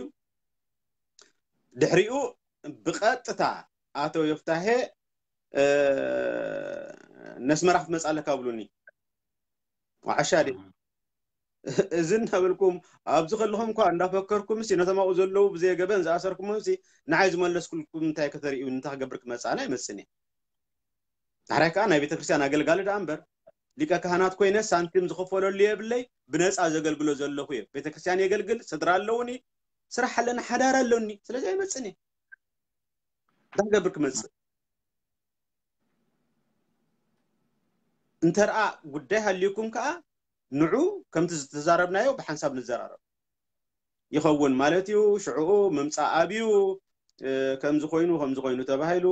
ድሕሪኡ ብቐጥታ ኣቶ ዮፍታሄ ነስመራ ክትመፅእ ኣለካ ብሉኒ ዋዓሻ ዲ እዚ እናበልኩም ኣብዚ ከለኹም እኳ እንዳፈከርኩም ሲ ነቶም ኣብኡ ዘለዉ ብዘየገበን ዝኣሰርኩሞም ሲ ንዓይ ዝመለስኩልኩም እንታይ ከተርእዩ እንታይ ክገብር ክመፅእ ኣነ ኣይመፅን እየ ዳሕራይ ከዓ ናይ ቤተክርስትያን ኣገልጋሊ ደኣ እምበር ሊቀ ካህናት ኮይነ ሳንቲም ዝኸፈለሉ የብለይ ብነፃ ዘገልግሎ ዘለኹ እየ ቤተክርስትያን የገልግል ስድራ ኣለውኒ ስራሕ ኣለኒ ሓዳር ኣለኒ ስለዚ ኣይመፅን እየ እንታይ ክገብር ክመፅእ እንተ ደኣ ጉዳይ ሃልዩኩም ከዓ ንዑ ከምቲ ዝተዛረብናዮ ብሓንሳብ ንዘራረብ ይኸውን ማለት እዩ ሽዕኡ ምምፃእ ኣብዩ ከምዚ ኮይኑ ከምዚ ኮይኑ ተባሂሉ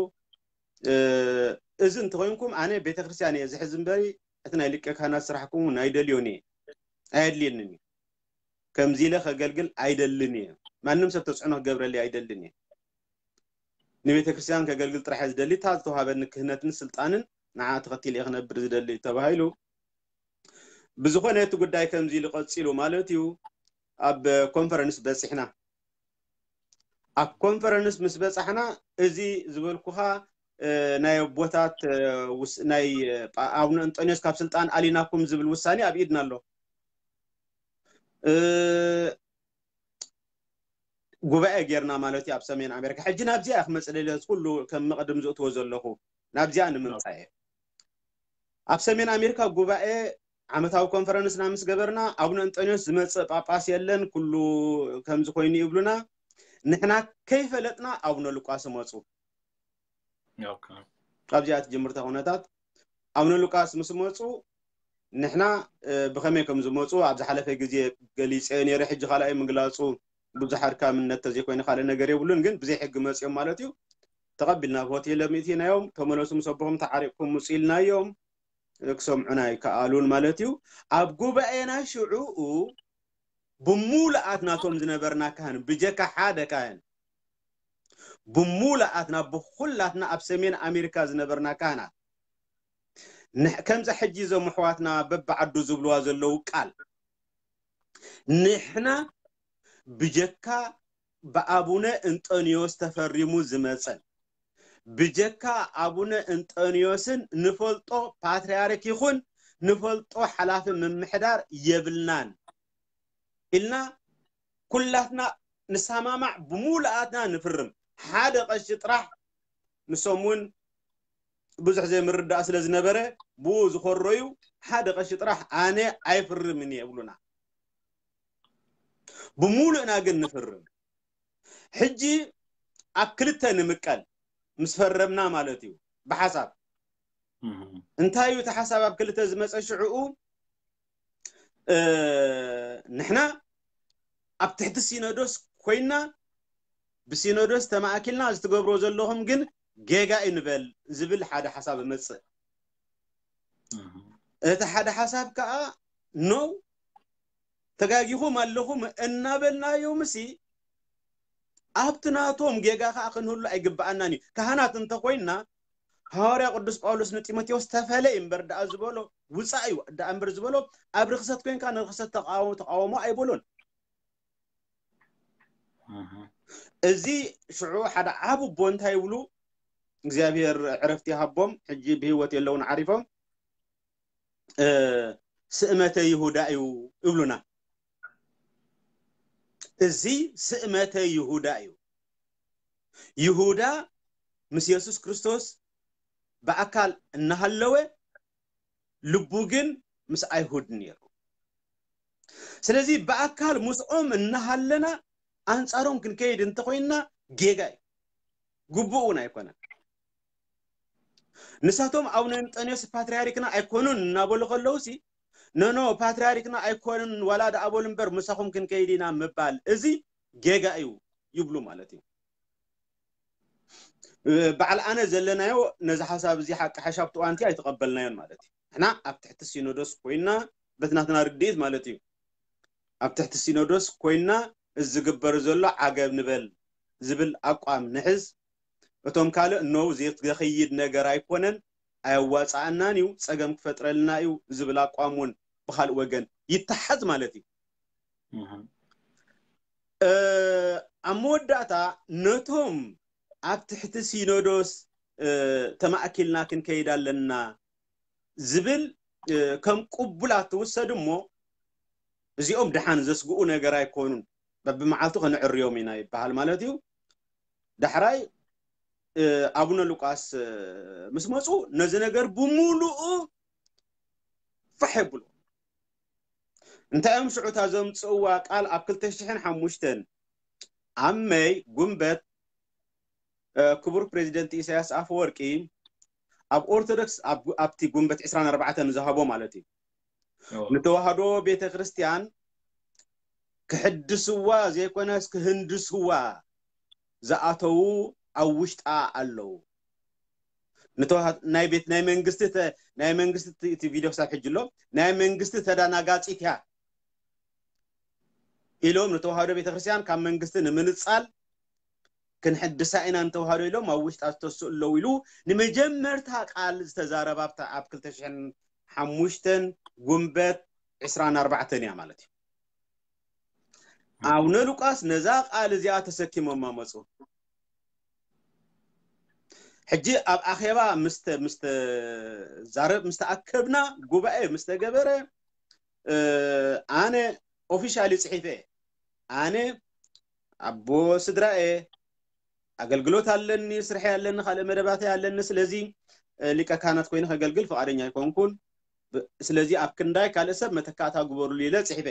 እዚ እንተኮይንኩም ኣነ ቤተክርስትያን እየ ዝሕዝ እምበሪ እቲ ናይ ሊቀ ካህናት ስራሕኩም እውን ኣይደልዮን እየ ኣየድልየንን እዩ ከምዚ ኢለ ከገልግል ኣይደልን እየ ማንም ሰብ ተፅዕኖ ክገብረሊ ኣይደልን እየ ንቤተ ክርስቲያን ከገልግል ጥራሕ እየ ዝደሊ እታ ዝተውሃበኒ ክህነትን ስልጣንን ንዓ ተኸቲለ እየ ክነብር ዝደሊ ተባሂሉ ብዝኾነ እቲ ጉዳይ ከምዚ ኢሉ ቀፂሉ ማለት እዩ ኣብ ኮንፈረንስ በፂሕና ኣብ ኮንፈረንስ ምስ በፃሕና እዚ ዝበልኩኻ ናይ ኣቦታት ናይ ኣቡነ እንጦንዮስ ካብ ስልጣን ኣሊናኩም ዝብል ውሳኔ ኣብ ኢድና ኣሎ ጉባኤ ጌርና ማለት እዩ ኣብ ሰሜን ኣሜሪካ ሕጂ ናብዚኣ ክመፅእ ደለ ኩሉ ከም መቕድም ዝእትዎ ዘለኹ ናብዚኣ ንምምፃእ እየ ኣብ ሰሜን ኣሜሪካ ጉባኤ ዓመታዊ ኮንፈረንስና ምስ ገበርና ኣቡነ እንጠንዮስ ዝመፅእ ጳጳስ የለን ኩሉ ከምዚ ኮይኑ ይብሉና ንሕና ከይፈለጥና ኣቡነ ሉቃስ መፁ ኣብዚኣ ትጅምርታ ኩነታት ኣቡነ ሉቃስ ምስ መፁ ንሕና ብኸመይ ከም ዝመፁ ኣብ ዝሓለፈ ግዜ ገሊፀ ነይረ ሕጂ ካልኣይ ምግላፁ ብዙሕ ኣድካምነት ተዘይኮይነ ካልእ ነገር የብሉን ግን ብዘይ ሕጊ መፅኦም ማለት እዩ ተቐቢልና ኣብ ሆቴል ኣሚእቲናዮም ተመለሱ ምስ ኣቦኹም ተዓሪቕኩም ምፁ ኢልናዮም ክሰምዑና ኣይከኣሉን ማለት እዩ ኣብ ጉባኤና ሽዑኡ ብምሉኣት ናቶም ዝነበርና ካህን ብጀካ ሓደ ካህን ብሙሉኣትና ብኹላትና ኣብ ሰሜን ኣሜሪካ ዝነበርና ካህናት ንሕ- ከምዛ ሕጂ እዞም ኣሕዋትና በብዓዱ ዝብልዋ ዘለዉ ቃል ንሕና ብጀካ ብኣቡነ እንጠንዮስ ተፈሪሙ ዝመጸን ብጀካ ኣቡነ እንጠንዮስን ንፈልጦ ፓትርያርክ ይኹን ንፈልጦ ሓላፊ ምምሕዳር የብልናን ኢልና ኩላትና ንሰማማዕ ብሙሉኣትና ንፍርም። ሓደ ቀሺ ጥራሕ ንሶም እውን ብዙሕ ዘይምርዳእ ስለ ዝነበረ ብኡ ዝኾረዩ ሓደ ቀሺ ጥራሕ ኣነ ኣይፍርምን እየ ይብሉና። ብሙሉእና ግን ንፍርም። ሕጂ ኣብ ክልተ ንምቀል ምስ ፈረምና ማለት እዩ ብሓሳብ እንታይ እዩ እቲ ሓሳብ ኣብ ክልተ ዝመፀ ሽዕኡ ንሕና ኣብ ትሕቲ ሲኖዶስ ኮይና ብሲኖዶስ ተማእኪልና እዚ ትገብሮ ዘለኹም ግን ጌጋ እዩ ንበል ዝብል ሓደ ሓሳብ እመፅእ። እቲ ሓደ ሓሳብ ከዓ ነው ተጋጊኹም ኣለኹም እናበልናዮም ሲ ኣብቲ ናቶም ጌጋ ከዓ ክንህሉ ኣይግብኣናን እዩ። ካህናት እንተኮይንና ሃዋርያ ቅዱስ ጳውሎስ ንጢሞቴዎስ ተፈለይ እምበር ደኣ ዝበሎ ውፃእ እዩ ደኣ እምበር ዝበሎ ኣብ ርክሰት ኮይንካ ንርክሰት ተቃወሞ ተቃወሞ ኣይበሎን። እዚ ሽዑ ሓደ ዓብ ቦ እንታይ ይብሉ እግዚኣብሔር ዕረፍቲ ይሃቦም ሕጂ ብህይወት የለውን ዓሪፎም ስእመተ ይሁዳ እዩ ይብሉና። እዚ ስእመተ ይሁዳ እዩ። ይሁዳ ምስ የሱስ ክርስቶስ ብኣካል እናሃለወ ልቡ ግን ምስ ኣይሁድ ነይሩ። ስለዚ ብኣካል ምስኦም እናሃለና ኣንጻሮም ክንከይድ እንተኮይንና ጌጋ እዩ፣ ግቡእ እውን ኣይኮነን። ንሳቶም ኣቡነ እንጠንዮስ ፓትርያርክና ኣይኮኑን እናበሉ ከለውሲ ነኖ ፓትርያርክና ኣይኮኑን ዋላ ደኣ በሉ እምበር ምሳኹም ክንከይድ ኢና ምባል እዚ ጌጋ እዩ ይብሉ ማለት እዩ። በዓል ኣነ ዘለናዮ ነዚ ሓሳብ እዚ ሓቂ ሓሻብ ትዋንቲ ኣይተቐበልናዮን ማለት እዩ። ንሕና ኣብ ትሕቲ ሲኖዶስ ኮይና በቲ ናትና ርድኢት ማለት እዩ ኣብ ትሕቲ ሲኖዶስ ኮይና እዚ ዝግበር ዘሎ ዓገብ ንበል ዝብል ኣቋም ንሕዝ። እቶም ካልእ ነው ዘኽይድ ነገር ኣይኮነን ኣየዋፃኣናን እዩ ፀገም ክፈጥረልና እዩ ዝብል ኣቋም እውን ብካልእ ወገን ይተሓዝ ማለት እዩ። ኣብ መወዳእታ ነቶም ኣብ ትሕቲ ሲኖዶስ ተማእኪልና ክንከይድ ኣለና ዝብል ከም ቅቡላት ትውሰድ እሞ እዚኦም ደሓን ዘስግኡ ነገር ኣይኮኑን። በብመዓልቱ ከነዕርዮም ኢና ይበሃል ማለት እዩ። ዳሕራይ ኣቡነ ሉቃስ ምስ መፁ ነዚ ነገር ብሙሉኡ ፋሕ የብሉ። እንታይ እዮም ሽዑታ ዘምፅእዋ ቃል ኣብ ክልተ ሽሕን ሓሙሽተን ኣብ መይ ጉንበት ክቡር ፕሬዚደንት ኢሳያስ ኣፈወርቂ ኣብ ኦርቶዶክስ ኣብቲ ጉንበት ዕስራን ኣርባዕተን ዝሃቦ ማለት እዩ ንተዋህዶ ቤተ ክርስቲያን ክሕድስዋ ዘይኮነስ ክህንድስዋ ዝኣተዉ ኣብ ውሽጣ ኣለዉ። ናይ ቤት ናይ መንግስቲ ናይ መንግስቲ እቲ ቪድዮ ክሳብ ሕጂ ኣሎ ናይ መንግስቲ ተዳናጋፂት እያ ኢሎም ንተዋህዶ ቤተክርስትያን ካብ መንግስቲ ንምንፃል ክንሕድሳ ኢና ንተዋህዶ ኢሎም ኣብ ውሽጣ ዝተስኡ ኣለዉ ኢሉ ንመጀመርታ ቃል ዝተዛረባ ኣብ ክልተ ሽሕን ሓሙሽተን ጉንበት ዕስራን ኣርባዕተን እያ ማለት እዩ። ኣቡነ ሉቃስ ነዛ ቃል እዚኣ ተሰኪሞማ መፁ። ሕጂ ኣብ ኣኼባ ምስ ዛረብ ምስ ተኣከብና ጉባኤ ምስ ተገበረ ኣነ ኦፊሻሊ ፅሒፈ ኣነ ኣቦ ስድራኤ ኣገልግሎት ኣለኒ፣ ስርሐይ ኣለኒ፣ ካልእ መደባተይ ኣለኒ። ስለዚ ሊቀ ካህናት ኮይነ ከገልግል ፍቓደኛ ኣይኮንኩን። ስለዚ ኣብ ክንዳይ ካልእ ሰብ መተካእታ ግበሩሉ ኢለ ፅሒፈ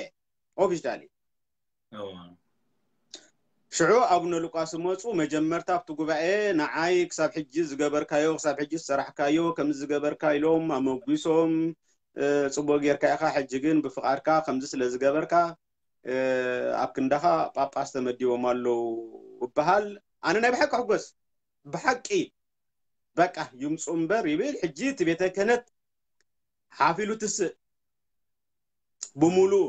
ኦፊሻሊ። ሽዑ ኣቡነ ሉቃስ መፁ። መጀመርታ ኣብቲ ጉባኤ ንዓይ ክሳብ ሕጂ ዝገበርካዮ ክሳብ ሕጂ ዝሰራሕካዮ ከምዚ ዝገበርካ ኢሎም ኣመጒሶም። ፅቡቅ ጌርካ ኢኻ፣ ሕጂ ግን ብፍቓድካ ከምዚ ስለ ዝገበርካ ኣብ ክንዳኻ ጳጳስ ተመዲቦም ኣለዉ እበሃል። ኣነ ናይ ብሓቂ ሕጎስ ብሓቂ በቃ ይምፁ እምበር ይብል። ሕጂ እቲ ቤተ ክህነት ሓፍ ኢሉ ትስእ ብሙሉኡ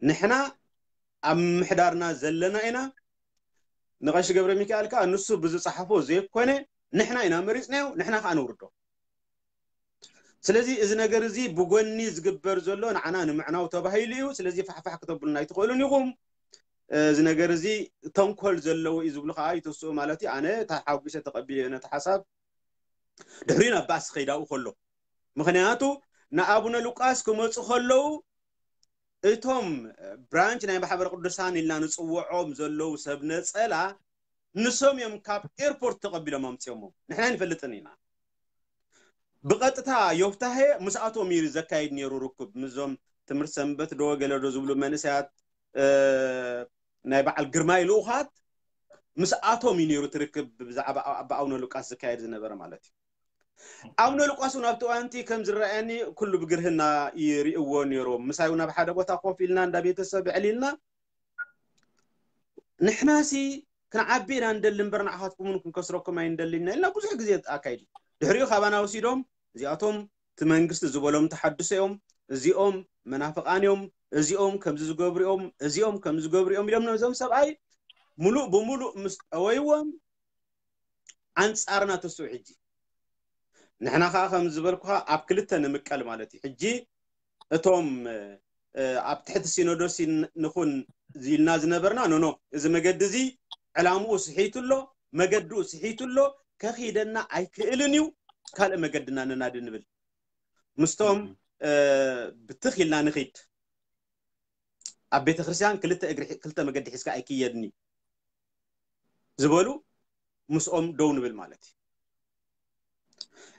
ንሕና ኣብ ምምሕዳርና ዘለና ኢና። ንቐሺ ገብረ ሚካኤል ከዓ ንሱ ብዝፀሓፎ ዘይኮነ ንሕና ኢና መሪፅናዮ፣ ንሕና ከዓ ነውርዶ። ስለዚ እዚ ነገር እዚ ብጎኒ ዝግበር ዘሎ ንዓና ንምዕናው ተባሂሉ እዩ። ስለዚ ፋሕፋሕ ክተብሉና ኣይትኽእሉን ኢኹም። እዚ ነገር እዚ ተንኮል ዘለዎ እዩ ዝብሉ ከዓ ይተስኡ ማለት እዩ። ኣነ ተሓጒሰ ተቐቢለ ነቲ ሓሳብ ድሕሪኡ ናብ ባእሲ ከይዳኡ ከሎ፣ ምኽንያቱ ንኣቡነ ሉቃስ ክመፁ ከለዉ እቶም ብራንች ናይ ማሕበረ ቅዱሳን ኢልና ንፅውዖም ዘለዉ ሰብ ነፀላ ንሶም እዮም ካብ ኤርፖርት ተቐቢሎም ኣምፅኦሞ። ንሕና ንፈልጥን ኢና። ብቐጥታ ዮፍታሄ ምስኣቶም እዩ ዘካይድ ነይሩ ርክብ፣ ምዞም ትምህርቲ ሰንበት ዶ ገለ ዶ ዝብሉ መንእሰያት ናይ በዓል ግርማይ ልኡኻት ምስኣቶም እዩ ነይሩ ትርክብ ብዛዕባ ኣባ ኣቡነ ሉቃስ ዝካየድ ዝነበረ ማለት እዩ። ኣቡነ ሉቃስ እውን ኣብቲ እዋንቲ ከም ዝረኣየኒ ኩሉ ብግርህና ይርእዎ ነይሮም። ምሳይ እውን ኣብ ሓደ ቦታ ኮፍ ኢልና እንዳ ቤተሰብ ዕሊልና ንሕናሲ ክንዓቢ ኢና እንደሊ እምበር ንዓኻትኩም እውን ክንከስረኩም ኣይንደልን ኢና ኢልና ብዙሕ ግዜ ኣካይድ። ድሕሪኡ ካባና ወሲዶም እዚኣቶም እቲ መንግስቲ ዝበሎም ተሓድሶ እዮም፣ እዚኦም መናፍቃን እዮም፣ እዚኦም ከምዚ ዝገብሩ እዮም፣ እዚኦም ከምዚ ዝገብሩ እዮም ኢሎም ነዞም ሰብኣይ ሙሉእ ብሙሉእ ምስ ጠወይዎም ኣንጻርና ተስኡ። ሕጂ ንሕና ከዓ ከም ዝበልኩኻ ኣብ ክልተ ንምቀል ማለት እዩ። ሕጂ እቶም ኣብ ትሕቲ ሲኖዶስ ንኹን ኢልና ዝነበርና ኖኖ፣ እዚ መገዲ እዚ ዕላምኡ ስሒቱ ኣሎ፣ መገድኡ ስሒቱ ኣሎ፣ ከኺደና ኣይክእልን እዩ፣ ካልእ መገድና ነናዲ ንብል ምስቶም ብትኽ ኢልና ንኺድ። ኣብ ቤተ ክርስቲያን ክልተ እግሪ ክልተ መገዲ ሒዝካ ኣይክየድን እዩ ዝበሉ ምስኦም ደው ንብል ማለት እዩ።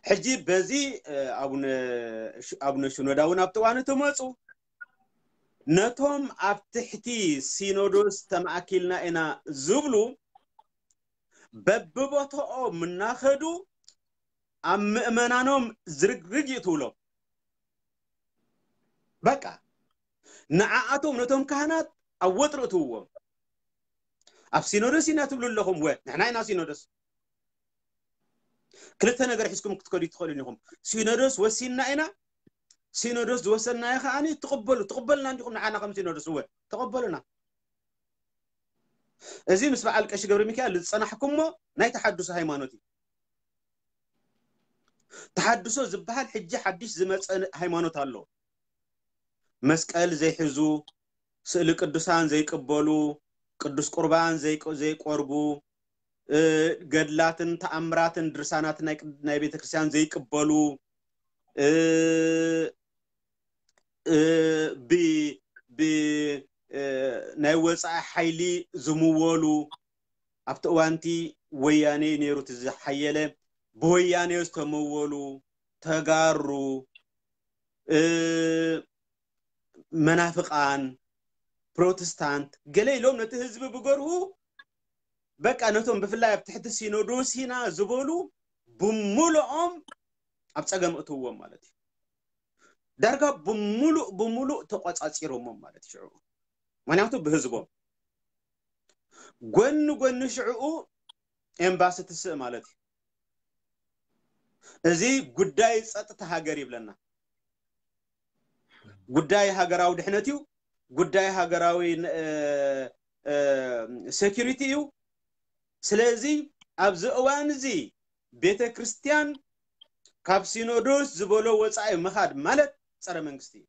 ሕጂ በዚ ኣቡነ ሽኖዳ እውን ኣብቲ እዋን እቲ መፁ ነቶም ኣብ ትሕቲ ሲኖዶስ ተማእኪልና ኢና ዝብሉ በብቦታኦም እናኸዱ ኣብ ምእመናኖም ዝርግርግ ይእትውሎም። በቃ ንዓኣቶም ነቶም ካህናት ኣብ ወጥሪ እትውዎም። ኣብ ሲኖዶስ ኢና ትብሉ ኣለኹም ወ ንሕና ኢና ሲኖዶስ። ክልተ ነገር ሒዝኩም ክትከዱ ትኽእሉ ኢኹም። ሲኖዶስ ወሲንና ኢና። ሲኖዶስ ዝወሰንናዮ ከዓኒ ትቕበሉ ትቕበልና እንዲኹም ንዓና ከም ሲኖዶስ እወ ተቐበሉና። እዚ ምስ በዓል ቀሺ ገብረ ሚካኤል ዝፀናሕኩሞ ናይ ተሓድሶ ሃይማኖት እዩ። ተሓድሶ ዝበሃል ሕጂ ሓድሽ ዝመፀ ሃይማኖት ኣሎ። መስቀል ዘይሕዙ፣ ስእሊ ቅዱሳን ዘይቅበሉ፣ ቅዱስ ቁርባን ዘይቆርቡ፣ ገድላትን ተኣምራትን ድርሳናትን ናይ ቤተ ክርስቲያን ዘይቅበሉ፣ ብ ናይ ወፃኢ ሓይሊ ዝምወሉ፣ ኣብቲ እዋንቲ ወያኔ ነይሩ እቲ ዝሓየለ፣ ብወያኔ ዝተመወሉ ተጋሩ፣ መናፍቃን፣ ፕሮቴስታንት ገለ ኢሎም ነቲ ህዝቢ ብገርሁ በቃ ነቶም ብፍላይ ኣብ ትሕቲ ሲኖዶስ ኢና ዝበሉ ብሙሉኦም ኣብ ፀገም እትውዎም ማለት እዩ። ዳርጋ ብሙሉእ ብሙሉእ ተቆፃፂሮሞም ማለት እዩ። ሽዑ ምክንያቱ ብህዝቦም ጎኒ ጎኒ ሽዕኡ ኤምባሲ ትስእ ማለት እዩ። እዚ ጉዳይ ፀጥታ ሃገር ይብለና። ጉዳይ ሃገራዊ ድሕነት እዩ። ጉዳይ ሃገራዊ ሴኪሪቲ እዩ። ስለዚ ኣብዚ እዋን እዚ ቤተ ክርስቲያን ካብ ሲኖዶስ ዝበሎ ወፃኢ ምኻድ ማለት ፀረ መንግስቲ እዩ፣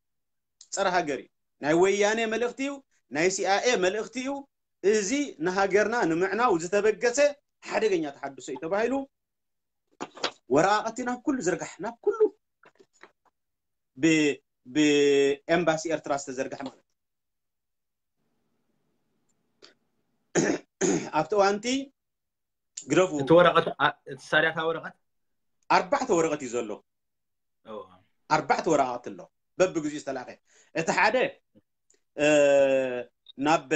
ፀረ ሃገር እዩ። ናይ ወያኔ መልእኽቲ እዩ፣ ናይ ሲኣይኤ መልእኽቲ እዩ። እዚ ንሃገርና ንምዕናው ዝተበገሰ ሓደገኛ ተሓድሶ እዩ ተባሂሉ ወረቓቕቲ ናብ ኩሉ ዝርጋሕ፣ ናብ ኩሉ ብኤምባሲ ኤርትራ ዝተዘርግሐ ማለት ኣብቲ እዋንቲ ግደፉ። እቲ ወረቐት እቲ ሳዳታ ወረቐት ኣርባዕተ ወረቐት እዩ ዘሎ። ኣርባዕተ ወረቓቕቲ ኣሎ በብግዚኡ ዝተላኸ። እቲ ሓደ ናብ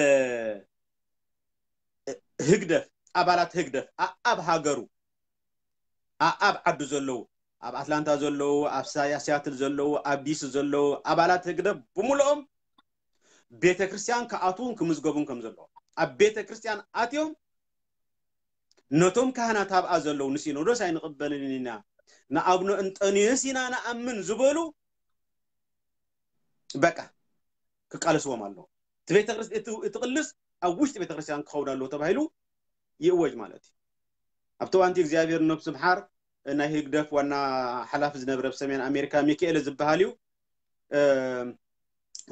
ህግደፍ፣ ኣባላት ህግደፍ ኣኣብ ሃገሩ ኣኣብ ዓዱ ዘለዉ፣ ኣብ ኣትላንታ ዘለዉ፣ ኣብ ሲያትል ዘለዉ፣ ኣብ ዲሲ ዘለዉ ኣባላት ህግደፍ ብምልኦም ቤተ ክርስቲያን ክኣትዉን ክምዝገቡን ከም ዘለዎም፣ ኣብ ቤተ ክርስቲያን ኣትዮም ነቶም ካህናት ኣብኣ ዘለዉ ንሲኖዶስ ኣይንቕበልን ኢና፣ ንኣብነ እንጠንዮስ ኢና ንኣምን ዝበሉ በቃ ክቃለስዎም ኣለዎ። እቲ ቤተክርስ እቲ እቲ ቅልስ ኣብ ውሽጢ ቤተክርስትያን ክኸውን ኣለዎ ተባሂሉ ይእወጅ ማለት እዩ። ኣብቲ እዋንቲ እግዚኣብሔር ነብሱ ምሓር ናይ ህግደፍ ዋና ሓላፊ ዝነበረ ኣብ ሰሜን ኣሜሪካ ሚካኤል ዝበሃል እዩ።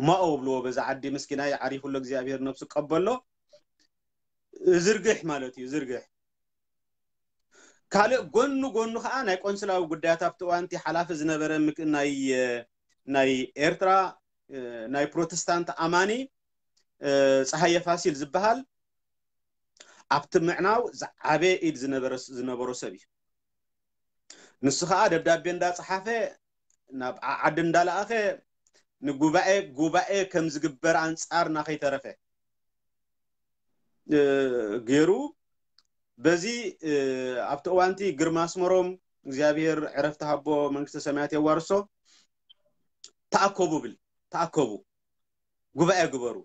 ማኦ ብልዎ በዛ ዓዲ ምስኪናይ ዓሪፉሎ እግዚኣብሔር ነብሱ ቀበሎ። ዝርግሕ ማለት እዩ ዝርግሕ። ካልእ ጎኑ ጎኑ ከዓ ናይ ቆንስላዊ ጉዳያት ኣብቲ እዋንቲ ሓላፊ ዝነበረ ናይ ኤርትራ ናይ ፕሮቴስታንት ኣማኒ ፀሃየ ፋሲል ዝበሃል ኣብቲ ምዕናው ዝዓበየ ኢድ ዝነበሮ ሰብ እዩ። ንሱ ከዓ ደብዳቤ እንዳፀሓፈ ናብ ዓዲ እንዳለኣኸ ንጉባኤ ጉባኤ ከም ዝግበር ኣንፃር ናኸይተረፈ ገይሩ። በዚ ኣብቲ እዋንቲ ግርማ ኣስመሮም እግዚኣብሔር ዕረፍቲ ሃቦ መንግስተ ሰማያት የዋርሶ ተኣከቡ ብል ተኣከቡ ጉባኤ ግበሩ፣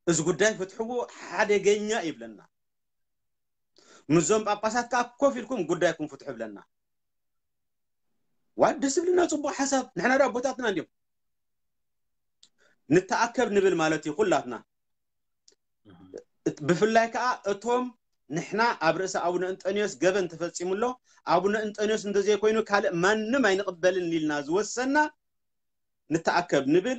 እዚ ጉዳይ ፍትሕዎ ሓደገኛ ይብለና። ምስዞም ጳጳሳት ከዓ ኮፍ ኢልኩም ጉዳይኩም ፍትሑ ብለና። ዋ ደስ ዝብልና ፅቡቅ ሓሳብ። ንሕና ዳ ኣቦታትና እንዲም ንተኣከብ ንብል ማለት እዩ ኩላትና። ብፍላይ ከዓ እቶም ንሕና ኣብ ርእሲ ኣቡነ እንጠንዮስ ገበን ተፈፂሙ ኣሎ፣ ኣቡነ እንጠንዮስ እንተዘይኮይኑ ካልእ ማንም ኣይንቕበልን ኢልና ዝወሰና ንተኣከብ ንብል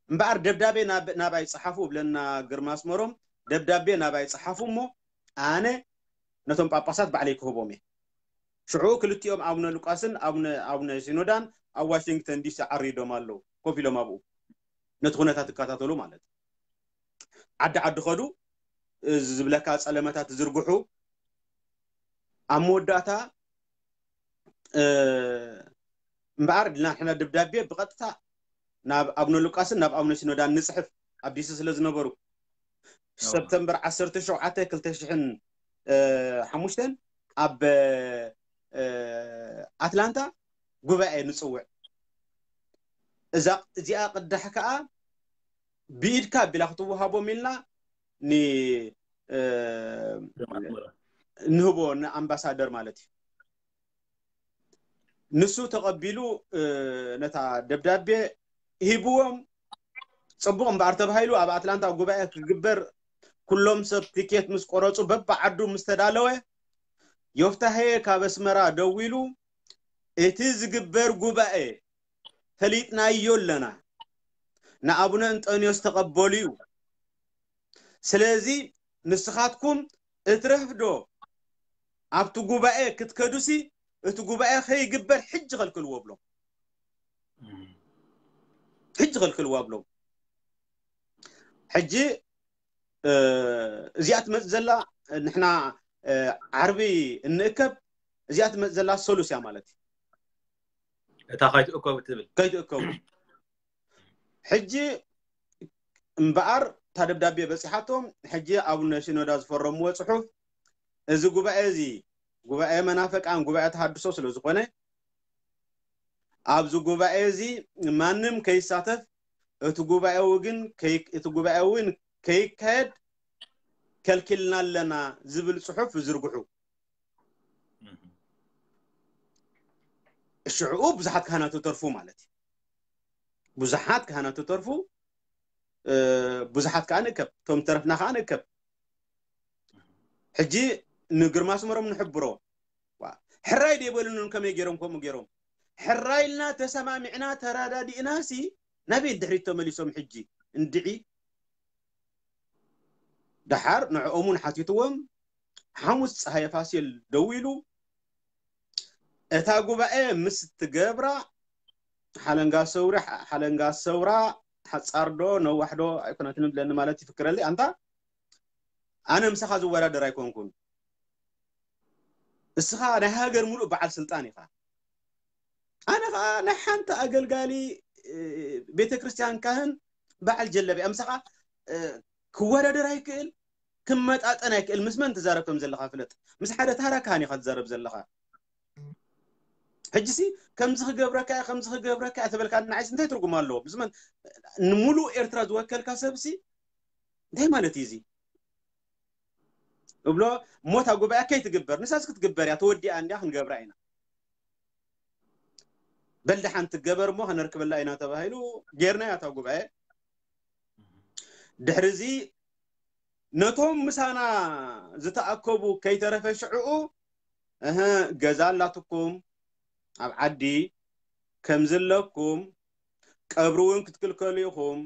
እምበኣር ደብዳቤ ናባይ ፀሓፉ ብለና ግርማ ኣስመሮም። ደብዳቤ ናባይ ፀሓፉ እሞ ኣነ ነቶም ጳጳሳት ባዕለይ ክህቦም እየ። ሽዑ ክልቲኦም ኣቡነ ሉቃስን ኣቡነ ሲኖዳን ኣብ ዋሽንግተን ዲሲ ዓሪዶም ኣለዉ። ኮፍ ኢሎም ኣብኡ ነቲ ኩነታት ይከታተሉ ማለት እዩ። ዓዲ ዓዲ ከዱ፣ እዚ ዝብለካ ፀለመታት ዝርግሑ። ኣብ መወዳእታ እምበኣር ድልና ንሕና ደብዳቤ ብቐጥታ ናብ ኣቡነ ሉቃስን ናብ ኣቡነ ሲኖዳን ንፅሕፍ ኣብ ዲሲ ስለ ዝነበሩ ሰፕተምበር ዓሰርተ ሸውዓተ ክልተ ሽሕን ሓሙሽተን ኣብ ኣትላንታ ጉባኤ ንፅውዕ። እዛ እዚኣ ቅዳሕ ከዓ ብኢድካ ኣቢላ ክትወሃቦም ኢልና ንህቦ ንኣምባሳደር ማለት እዩ። ንሱ ተቐቢሉ ነታ ደብዳቤ ሂብዎም። ፅቡቕ እምበኣር ተባሂሉ ኣብ ኣትላንታ ጉባኤ ክግበር ኩሎም ሰብ ቲኬት ምስ ቆረፁ በብዓዱ ምስ ተዳለወ ዮፍታሄ ካብ ኣስመራ ደዊሉ እቲ ዝግበር ጉባኤ ፈሊጥናዮ ኣለና፣ ንኣቡነ እንጠንዮስ ተቐበሉ እዩ። ስለዚ ንስኻትኩም እትረፍዶ ኣብቲ ጉባኤ ክትከዱሲ እቲ ጉባኤ ከይግበር ሕጂ ከልክልዎ ብሎም። ሕጂ ከልክልዎ ብሎም። ሕጂ እዚኣ ትመፅእ ዘላ ንሕና ዓርቢ እንእከብ እዚኣ ትመፅእ ዘላ ሰሉስ እያ ማለት እዩ። እታ ከይትእከቡ ትብል ከይትእከቡ ሕጂ እምበኣር እታ ደብዳቤ በፂሓቶም። ሕጂ ኣቡነ ሲኖዳ ዝፈረምዎ ፅሑፍ እዚ ጉባኤ እዚ ጉባኤ መናፍቃን ጉባኤ ተሃድሶ ስለ ዝኾነ ኣብዚ ጉባኤ እዚ ማንም ከይሳተፍ እቲ ጉባኤ ግን እቲ ጉባኤ እውን ከይካየድ ከልኪልና ኣለና ዝብል ፅሑፍ ዝርግሑ። ሽዕኡ ብዙሓት ካህናት ተርፉ ማለት እዩ። ብዙሓት ካህናት ተርፉ፣ ብዙሓት ከዓ ንእከብ፣ እቶም ተረፍና ከዓ ንእከብ። ሕጂ ንግርማ ኣስመሮም ንሕብሮ። ሕራይ ደይበሉንን ከመይ ገይሮም ከምኡ ገይሮም? ሕራይ ኢልና ተሰማሚዕና ተራዳዲእና ሲ ናበይ ድሕሪት ተመሊሶም? ሕጂ እንድዒ ደሓር ንዕኦም እውን ሓቲትዎም። ሓሙስ ፀሃየ ፋሲል ደዊሉ እታ ጉባኤ ምስ ትገብራ ሓለንጋ ሰውሪ ሓለንጋ ሰውራ ሓፃር ዶ ነዋሕ ዶ ኣይኮነትን ብለኒ ማለት ይፍክረለይ ኣንታ ኣነ ምሳኻ ዝወዳደር ኣይኮንኩን። እስኻ ናይ ሃገር ሙሉእ በዓል ስልጣን ኢኻ። ኣነ ከዓ ናይ ሓንቲ ኣገልጋሊ ቤተ ክርስቲያን ካህን በዓል ጀለቢያ ምሳኻ ክወዳደር ኣይክእል ክመጣጠን ኣይክእል። ምስ መን ትዛረብ ከም ዘለኻ ፍለጥ። ምስ ሓደ ታራ ካህን ኢኻ ትዛረብ ዘለኻ። ሕጂሲ ከምዚ ክገብረካ ከምዚ ክገብረካ ተበልካ ንዓይስ እንታይ ትርጉም ኣለዎ? ምስ መን ንሙሉእ ኤርትራ ዝወከልካ ሰብሲ እንታይ ማለት እዩ እዚ? እብሎ ሞታ ጉባኤ ከይትግበር ንሳስ ክትግበር እያ ተወዲኣ እንዲያ ክንገብራ ኢና። በል ደሓን ትገበር እሞ ከነርክበላ ኢና ተባሂሉ ጌርና እያ እታ ጉባኤ። ድሕሪ እዚ ነቶም ምሳና ዝተኣከቡ ከይተረፈ ሽዕኡ፣ እህ፣ ገዛ ኣላትኩም ኣብ ዓዲ፣ ከምዚ ኣለኩም፣ ቀብሪ እውን ክትክልከሉ ኢኹም፣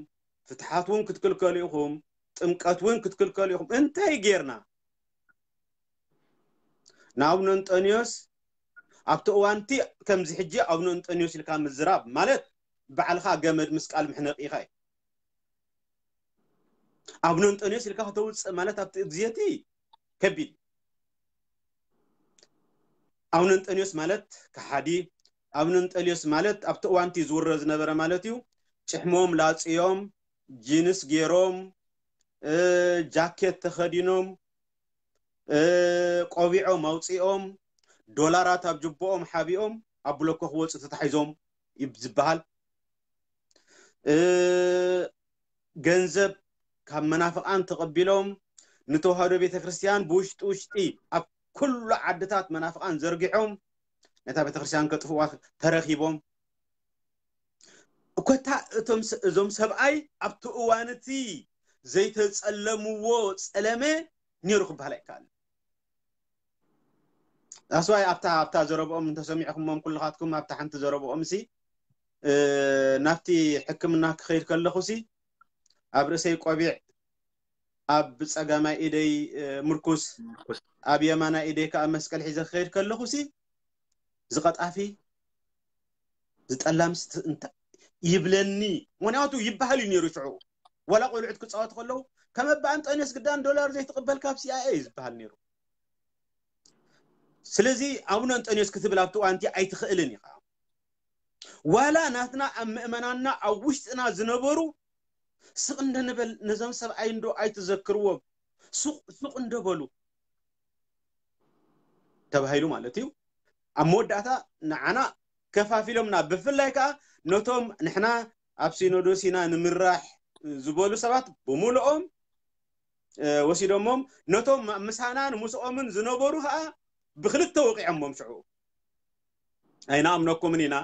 ፍትሓት እውን ክትክልከሉ ኢኹም፣ ጥምቀት እውን ክትክልከሉ ኢኹም። እንታይ ጌርና? ንኣቡነ እንጠንዮስ ኣብቲ እዋንቲ ከምዚ ሕጂ ኣቡነ እንጠንዮስ ኢልካ ምዝራብ ማለት ባዕልኻ ገመድ ምስቃል ምሕነቂ ኢኻ እዩ። ኣቡነ እንጠንዮስ ኢልካ ከተውፅእ ማለት ኣብቲ ግዜቲ ከቢድ እዩ። ኣቡነ እንጠንዮስ ማለት ከሓዲ፣ ኣቡነ እንጠንዮስ ማለት ኣብቲ እዋንቲ ዝውረ ዝነበረ ማለት እዩ። ጭሕሞም ላፅዮም፣ ጂንስ ገይሮም፣ እ፣ ጃኬት ተኸዲኖም፣ እ፣ ቆቢዖም ኣውፂኦም፣ ዶላራት ኣብ ጅቦኦም ሓቢኦም ኣብ ብሎኮ ክወፁ ተታሒዞም ይብ-፣ ዝበሃል። እ፣ ገንዘብ ካብ መናፍቃን ተቐቢሎም ንተዋህዶ ቤተክርስትያን ብውሽጢ ውሽጢ ኣብ ኩሉ ዓድታት መናፍቃን ዘርጊሖም ነታ ቤተክርስትያን ከጥፍዋ ተረኺቦም። እኮታ እቶም ስ-፣ እዞም ሰብኣይ ኣብቲ እዋን እቲ ዘይተጸለምዎ ጸለመ ነይሩ ክበሃል ኣይከኣልን። ኣስዋይ ኣብታ፣ ኣብታ ዘረብኦም እንተሰሚዕኩሞም ኩልኻትኩም ኣብታ ሓንቲ ዘረብኦም ሲ፣ እ፣ ናብቲ ሕክምና ክኸይድ ከለኹ ሲ ኣብ ርእሰይ ቆቢዕ፣ ኣብ ጸጋማይ ኢደይ፣ እ፣ ምርኩስ፣ ምርኩስ። ኣብ የማናይ ኢደይ ከኣ መስቀል ሒዘ ክኸይድ ከለኹ ሲ ዝቐጣፊ ዝጠላምስ ት-፣ እንተ-፣ ይብለኒ። ምኽንያቱ ይበሃል እዩ ነይሩ ሽዑ። ዋላ ቆልዑት ክጻወቱ ከለዉ፣ "ከም ኣባ ኣንጠንዮስ ግዳን ዶላር ዘይትቕበል ካብ ሲ ኣይ ኤ" እዩ ዝበሃል ነይሩ። ስለዚ ኣቡነ ኣንጠንዮስ ክትብል ኣብቲ እዋንቲ ኣይትኽእልን ኢኻ። ዋላ ናትና ኣብ ምእመናንና ኣብ ውሽጥና ዝነበሩ ስቕ እንደንበል ነዞም ሰብኣይ እንዶ ኣይትዘክርዎም፣ ሱቕ፣ ሱቕ እንደበሉ ተባሂሉ ማለት እዩ። ኣብ መወዳእታ ንዓና ከፋፊሎምና፣ ብፍላይ ከኣ ነቶም ንሕና ኣብ ሲኖዶስ ኢና ንምራሕ ዝበሉ ሰባት ብምሉኦም፣ እ፣ ወሲዶሞም፣ ነቶም ምሳናን ምስኦምን ዝነበሩ ከኣ ብክልተ ወቂዖሞም ሽዑ። ኣይንኣምነኩምን ኢና፣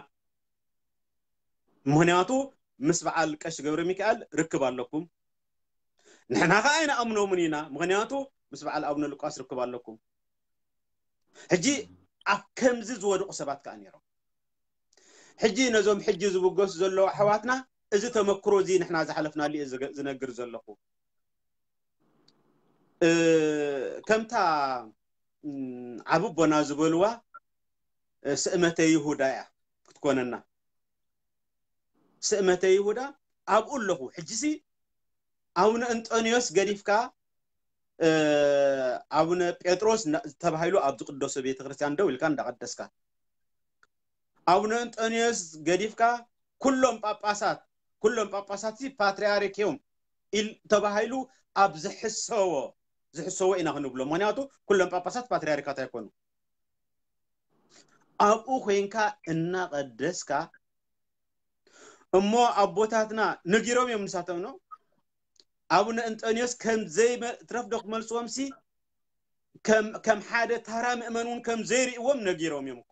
ምኽንያቱ ምስ በዓል ቀሺ ገብረ ሚካኤል ርክብ ኣለኩም። ንሕና ከኣ ኣይንኣምኖምን ኢና፣ ምኽንያቱ ምስ በዓል ኣቡነ ሉቃስ ርክብ ኣለኩም። ሕጂ ኣብ ከምዚ ዝወደቑ ሰባት ከኣ ነይሮም። ሕጂ ነዞም ሕጂ ዝብገሱ ዘለዉ ኣሕዋትና እዚ ተመክሮ እዚ ንሕና ዝሓለፍናሉ እየ ዝገ-፣ ዝነግር ዘለኹ። እ፣ ከምታ፣ እም፣ ዓቢ ኣቦና ዝበልዋ፣ እ፣ ስእመተ ይሁዳ እያ ክትኮነና። ስእመተ ይሁዳ ኣብኡ ኣለኹ። ሕጂሲ ኣቡነ እንጠንዮስ ገዲፍካ፣ እ፣ ኣቡነ ጴጥሮስ እና-፣ ተባሂሉ ኣብ ዝቅደሶ ቤተክርስትያን ደው ኢልካ እንዳቀደስካ፣ ኣቡነ እንጠንዮስ ገዲፍካ፣ ኩሎም ጳጳሳት፣ ኩሎም ጳጳሳት ሲ ፓትርያርክ እዮም ኢል-፣ ተባሂሉ ኣብ ዝሕሰዎ፣ ዝሕሰዎ ኢና ክንብሎ። ምኽንያቱ ኩሎም ጳጳሳት ፓትርያርካት ኣይኮኑ። ኣብኡ ኮይንካ እናቀደስካ፣ እሞ ኣቦታትና ነጊሮም እዮም ንሳቶም ነው። ኣቡነ እንጠንዮስ ከም ዘይመ-፣ ትረፍ ዶ ክመልስዎም ሲ ከም፣ ከም ሓደ ታራ ምእመን እውን ከም ዘይርእዎም ነጊሮም እዮም እኮ።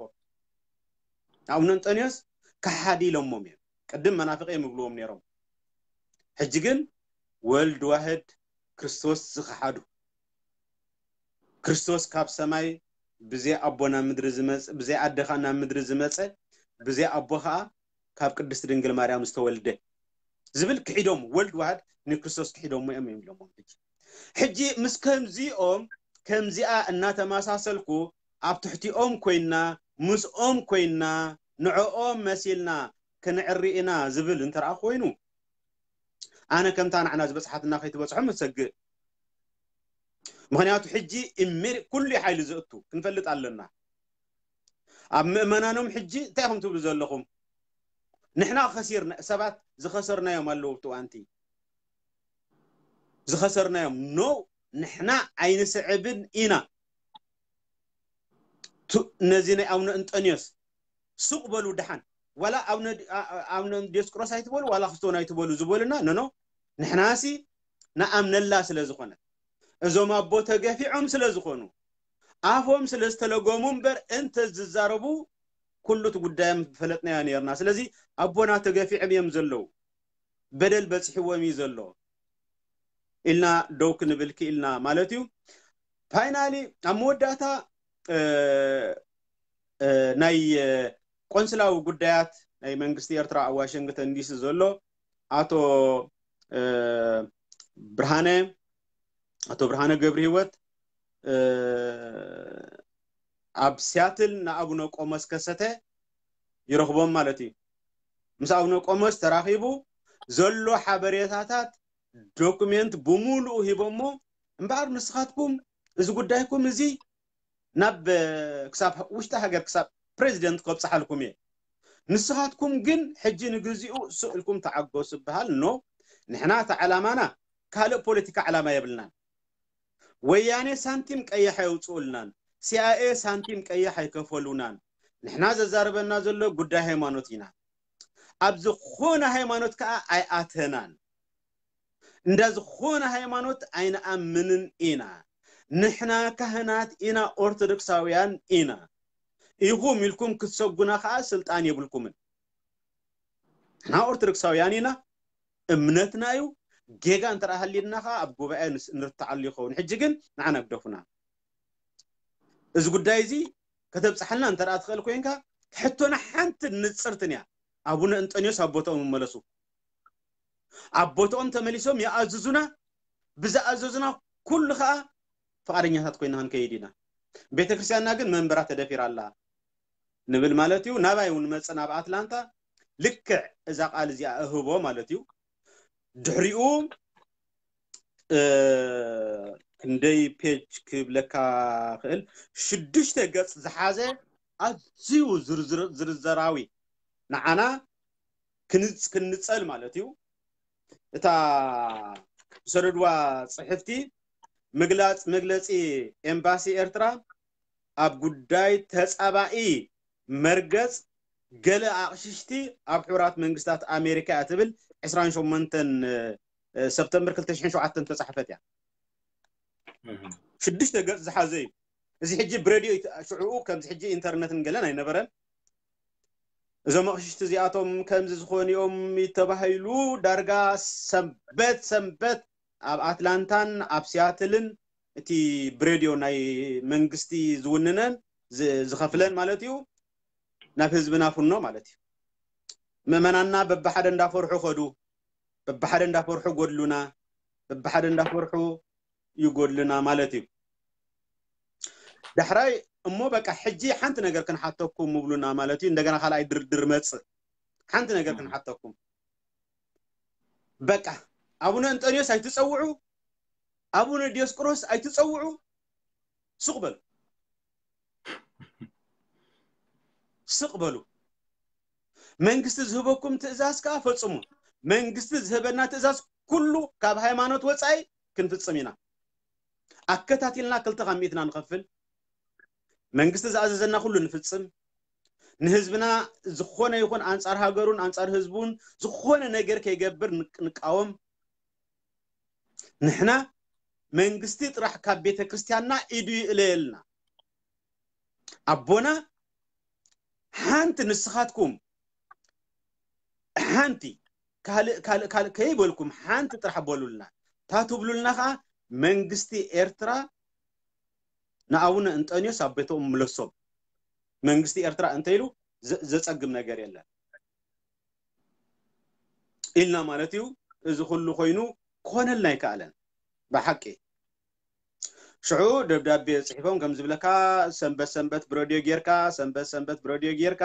ኣቡነ እንጠንዮስ ከሓዲ ኢሎሞም እዮም። ቅድም መናፍቅ እዮም ይብልዎም ነይሮም። ሕጂ ግን ወልድ ዋህድ ክርስቶስ ዝኸሓዱ፣ ክርስቶስ ካብ ሰማይ ብዘይ ኣቦ ናብ ምድሪ ዝመጽ-፣ ብዘይ ኣደ ኸኣ ናብ ምድሪ ዝመጸ፣ ብዘይ ኣቦ ኸኣ ካብ ቅድስት ድንግል ማርያም ዝተወልደ ዝብል ክሒዶም፣ ወልድ ዋህድ ንክርስቶስ ክሒዶሞ እዮም ይብሎሞም። ሕጂ፣ ሕጂ ምስ ከምዚኦም፣ ከምዚኣ እናተመሳሰልኩ ኣብ ትሕቲኦም ኮይንና፣ ምስኦም ኮይንና፣ ንዕኦም መሲልና ክንዕሪ ኢና ዝብል እንተ ደኣ ኮይኑ፣ ኣነ ከምታ ንዓና ዝበጽሓትና ከይትበጽሖም እሰግእ። ምኽንያቱ ሕጂ ኢሜድ-፣ ኩሉ ሓይሊ ዘእቱ ክንፈልጥ ኣለና። ኣብ ምእመናኖም ሕጂ እንታይ ኢኹም ትብሉ ዘለኹም? ንሕና ከሲርና፣ ሰባት ዝኸሰርናዮም ኣለዉ ኣብቲ እዋንቲ። ዝኸሰርናዮም። ኖ፣ ንሕና ኣይንስዕብን ኢና። ቱ-፣ ነዚ ናይ ኣቡነ እንጠንዮስ ሱቕ በሉ ደሓን። ዋላ ኣቡነ ዲ-፣ ኣ-፣ ኣ-፣ ኣቡነ ዲዮስቆሮስ ኣይትበሉ፣ ዋላ ክስቶን ኣይትበሉ ዝበሉና፣ ኖ፣ ኖ። ንሕናሲ ንኣምነላ ስለ ዝኾነ፣ እዞም ኣቦ ተገፊዖም ስለ ዝኾኑ፣ ኣፎም ስለ ዝተለጎሙ እምበር እንተ ዝዛረቡ ኩሉ እቲ ጉዳዮም ፈለጥናዮ ነይርና። ስለዚ ኣቦና ተገፊዖም እዮም ዘለዉ። በደል በጺሕዎም እዩ ዘሎ። ኢልና ደው ክንብል ክኢልና ማለት እዩ። ፋይናሊ ኣብ መወዳእታ ናይ ቆንስላዊ ጉዳያት ናይ መንግስቲ ኤርትራ ኣብ ዋሽንግተን ዲሲ ዘሎ ኣቶ ብርሃነ ኣቶ ብርሃነ ገብረ ህይወት ኣብ ሲያትል ንኣቡነ ቆሞስ ከሰተ ይረኽቦም ማለት እዩ። ምስ ኣቡነ ቆሞስ ተራኺቡ ዘሎ ሓበሬታታት ዶኩሜንት ብምሉኡ ሂቦሞ። እምበኣር ንስኻትኩም እዚ ጉዳይኩም እዚ ናብ ክሳብ ውሽጢ ሃገር ክሳብ ፕሬዚደንት ከብፅሓልኩም እየ። ንስኻትኩም ግን ሕጂ ንግዚኡ ስቕ ኢልኩም ተዓገሱ ይበሃል። ኖ፣ ንሕና እቲ ዓላማና ካልእ ፖለቲካ ዓላማ የብልናን። ወያኔ ሳንቲም ቀይሕ ኣየውፅኡልናን፣ ሲኣይኤ ሳንቲም ቀይሕ ኣይከፈሉናን። ንሕና ዘዛርበና ዘሎ ጉዳይ ሃይማኖት ኢና። ኣብ ዝኾነ ሃይማኖት ከዓ ኣይኣተናን። እንዳ ዝኾነ ሃይማኖት ኣይንኣምንን ኢና። ንሕና ካህናት ኢና፣ ኦርቶዶክሳውያን ኢና። ኢኹም ኢልኩም ክትሰጉና ከዓ ስልጣን የብልኩምን። ንሕና ኦርቶዶክሳውያን ኢና፣ እምነትና እዩ። ጌጋ እንተ ደኣ ሃልዩና ከዓ ኣብ ጉባኤ ንስ- ንርትዓሉ ይኸውን። ሕጂ ግን ንዓና ግደፉና። እዚ ጉዳይ እዚ ከተብፅሓልና እንተ ደኣ ትኽእል ኮይንካ፣ ሕቶና ሓንቲ ንፅርትን እያ። ኣቡነ እንጠንዮስ ኣብ ቦታኦም ይመለሱ። ኣብ ቦታኦም ተመሊሶም ይኣዝዙና። ብዝኣዘዙና ኩሉ ከዓ ፍቓደኛታት ኮይና ክንከይድ ኢና። ቤተ ክርስቲያንና ግን መንበራ ተደፊራ ኣላ ንብል ማለት እዩ። ናባይ እውን መፅእ ናብ ኣትላንታ ልክዕ እዛ ቃል እዚኣ እህቦ ማለት እዩ። ድሕሪኡ ክንደይ ፔጅ ክብለካ ክእል፣ ሽዱሽተ ገፅ ዝሓዘ ኣዝዩ ዝርዝራዊ ንዓና ክንፀል ማለት እዩ። እታ ዝሰደድዋ ፅሕፍቲ ምግላፅ መግለፂ ኤምባሲ ኤርትራ ኣብ ጉዳይ ተፃባኢ መርገፅ ገለ ኣቕሽሽቲ ኣብ ሕቡራት መንግስታት ኣሜሪካ እያ ትብል ዕስራን ሸሞንተን ሰብተምበር ክልተ ሽሕን ሸውዓተን ተፃሕፈት እያ። ሽዱሽተ ገፅ ዝሓዘ እዩ። እዚ ሕጂ ብሬድዮ ሽዕኡ ከምዚ ሕጂ ኢንተርነትን ገለን ኣይነበረን። እዞም ኣቕሽሽቲ እዚኣቶም ከምዚ ዝኾኑ እዮም ተባሂሉ ዳርጋ ሰንበት ሰንበት ኣብ ኣትላንታን ኣብ ሲያትልን እቲ ብሬድዮ ናይ መንግስቲ ዝውንነን ዝኸፍለን ማለት እዩ ናብ ህዝብና ፍኖ ማለት እዩ። ምእመናንና በብሓደ እንዳፈርሑ ከዱ፣ በብሓደ እንዳፈርሑ ጎድሉና፣ በብሓደ እንዳፈርሑ ይጎድልና ማለት እዩ። ዳሕራይ እሞ በቃ ሕጂ ሓንቲ ነገር ክንሓተኩም ምብሉና ማለት እዩ። እንደገና ካልኣይ ድርድር መጽእ ሓንቲ ነገር ክንሓተኩም። በቃ ኣቡነ እንጠንዮስ ኣይትጸውዑ፣ ኣቡነ ዲዮስቆሮስ ኣይትጸውዑ። ስቕ በሉ፣ ስቕ በሉ። መንግስቲ ዝህበኩም ትእዛዝ ከዓ ፈጽሙ። መንግስቲ ዝህበና ትእዛዝ ኩሉ ካብ ሃይማኖት ወፃኢ ክንፍጽም ኢና። ኣከታቲልና ክልተ ካብ ሚእትና ንኸፍል። መንግስቲ ዝኣዘዘና ኩሉ ንፍጽም። ንህዝብና ዝኾነ ይኹን ኣንጻር ሃገሩን ኣንጻር ህዝቡን ዝኾነ ነገር ከይገብር ንቃወም። ንሕና መንግስቲ ጥራሕ ካብ ቤተ ክርስቲያንና ኢዱ ይእለየልና። ኣቦና ሓንቲ ንስኻትኩም ሓንቲ ካልእ ካልእ ካልእ ከይበልኩም ሓንቲ ጥራሕ በሉልና። እታ ትብሉልና ከዓ መንግስቲ ኤርትራ ንኣቡነ እንጠንዮስ ኣብ ቤቶም ምለሶም። መንግስቲ ኤርትራ እንተኢሉ ዘ- ዘጸግም ነገር የለን ኢልና ማለት እዩ። እዚ ኩሉ ኮይኑ ክኾነልና ኣይከኣለን ብሓቂ። ሽዑ ደብዳቤ ጽሒፎም ከም ዝብለካ ሰንበት ሰንበት ብረድዮ ጌርካ ሰንበት ሰንበት ብረድዮ ጌርካ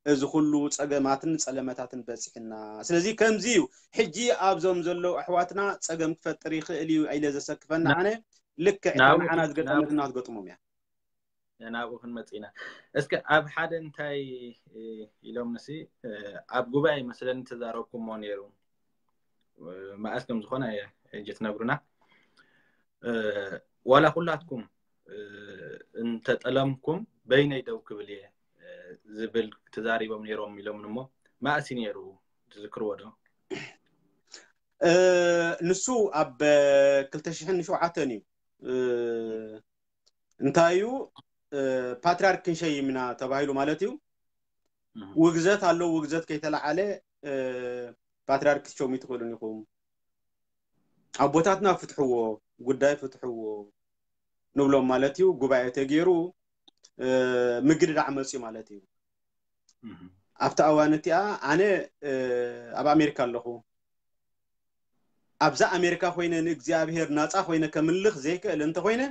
እዚ ኩሉ ጸገማትን ጸለመታትን በጺሕና። ስለዚ ከምዚ እዩ ሕጂ ኣብዞም ዘለዉ ኣሕዋትና ጸገም ክፈጥር ይኽእል እዩ ኢለ ዘሰክፈና ኣነ ልክዕ እታ ንዓና ዝገጠመትና ክትገጥሞም እያ። ናብኡ ክንመጽእ ኢና። እስከ ኣብ ሓደ እንታይ ኢሎም ንሲ ኣብ ጉባኤ መስለኒ ተዛረብኩሞ ነይሩ። መኣስ ከም ዝኾነ ሕጂ ትነግሩና። ዋላ ኩላትኩም እንተጠለምኩም በይነይ ደው ክብል እየ ዝብል ተዛሪቦም ነይሮም ኢሎም እሞ መኣስ ነይሩ ትዝክርዎ ዶ? ንሱ ኣብ ክልተ ሽሕን ሸውዓተን እዩ። እንታይ እዩ ፓትሪያርክ ክንሸይም ኢና ተባሂሉ ማለት እዩ። ውግዘት ኣለዉ። ውግዘት ከይተለዓለ ፓትሪያርክ ክትሸሙ ኣይትኽእሉን ኢኹም። ኣቦታትና ፍትሕዎ፣ ጉዳይ ፍትሕዎ ንብሎም ማለት እዩ። ጉባኤ ተገይሩ ምግድዳዕ መፅዩ ማለት እዩ። ኣብቲ ኣዋን እቲኣ ኣነ ኣብ ኣሜሪካ ኣለኹ። ኣብዛ ኣሜሪካ ኮይነ ንእግዚኣብሔር ናፃ ኮይነ ከምልኽ ዘይክእል እንተኮይነ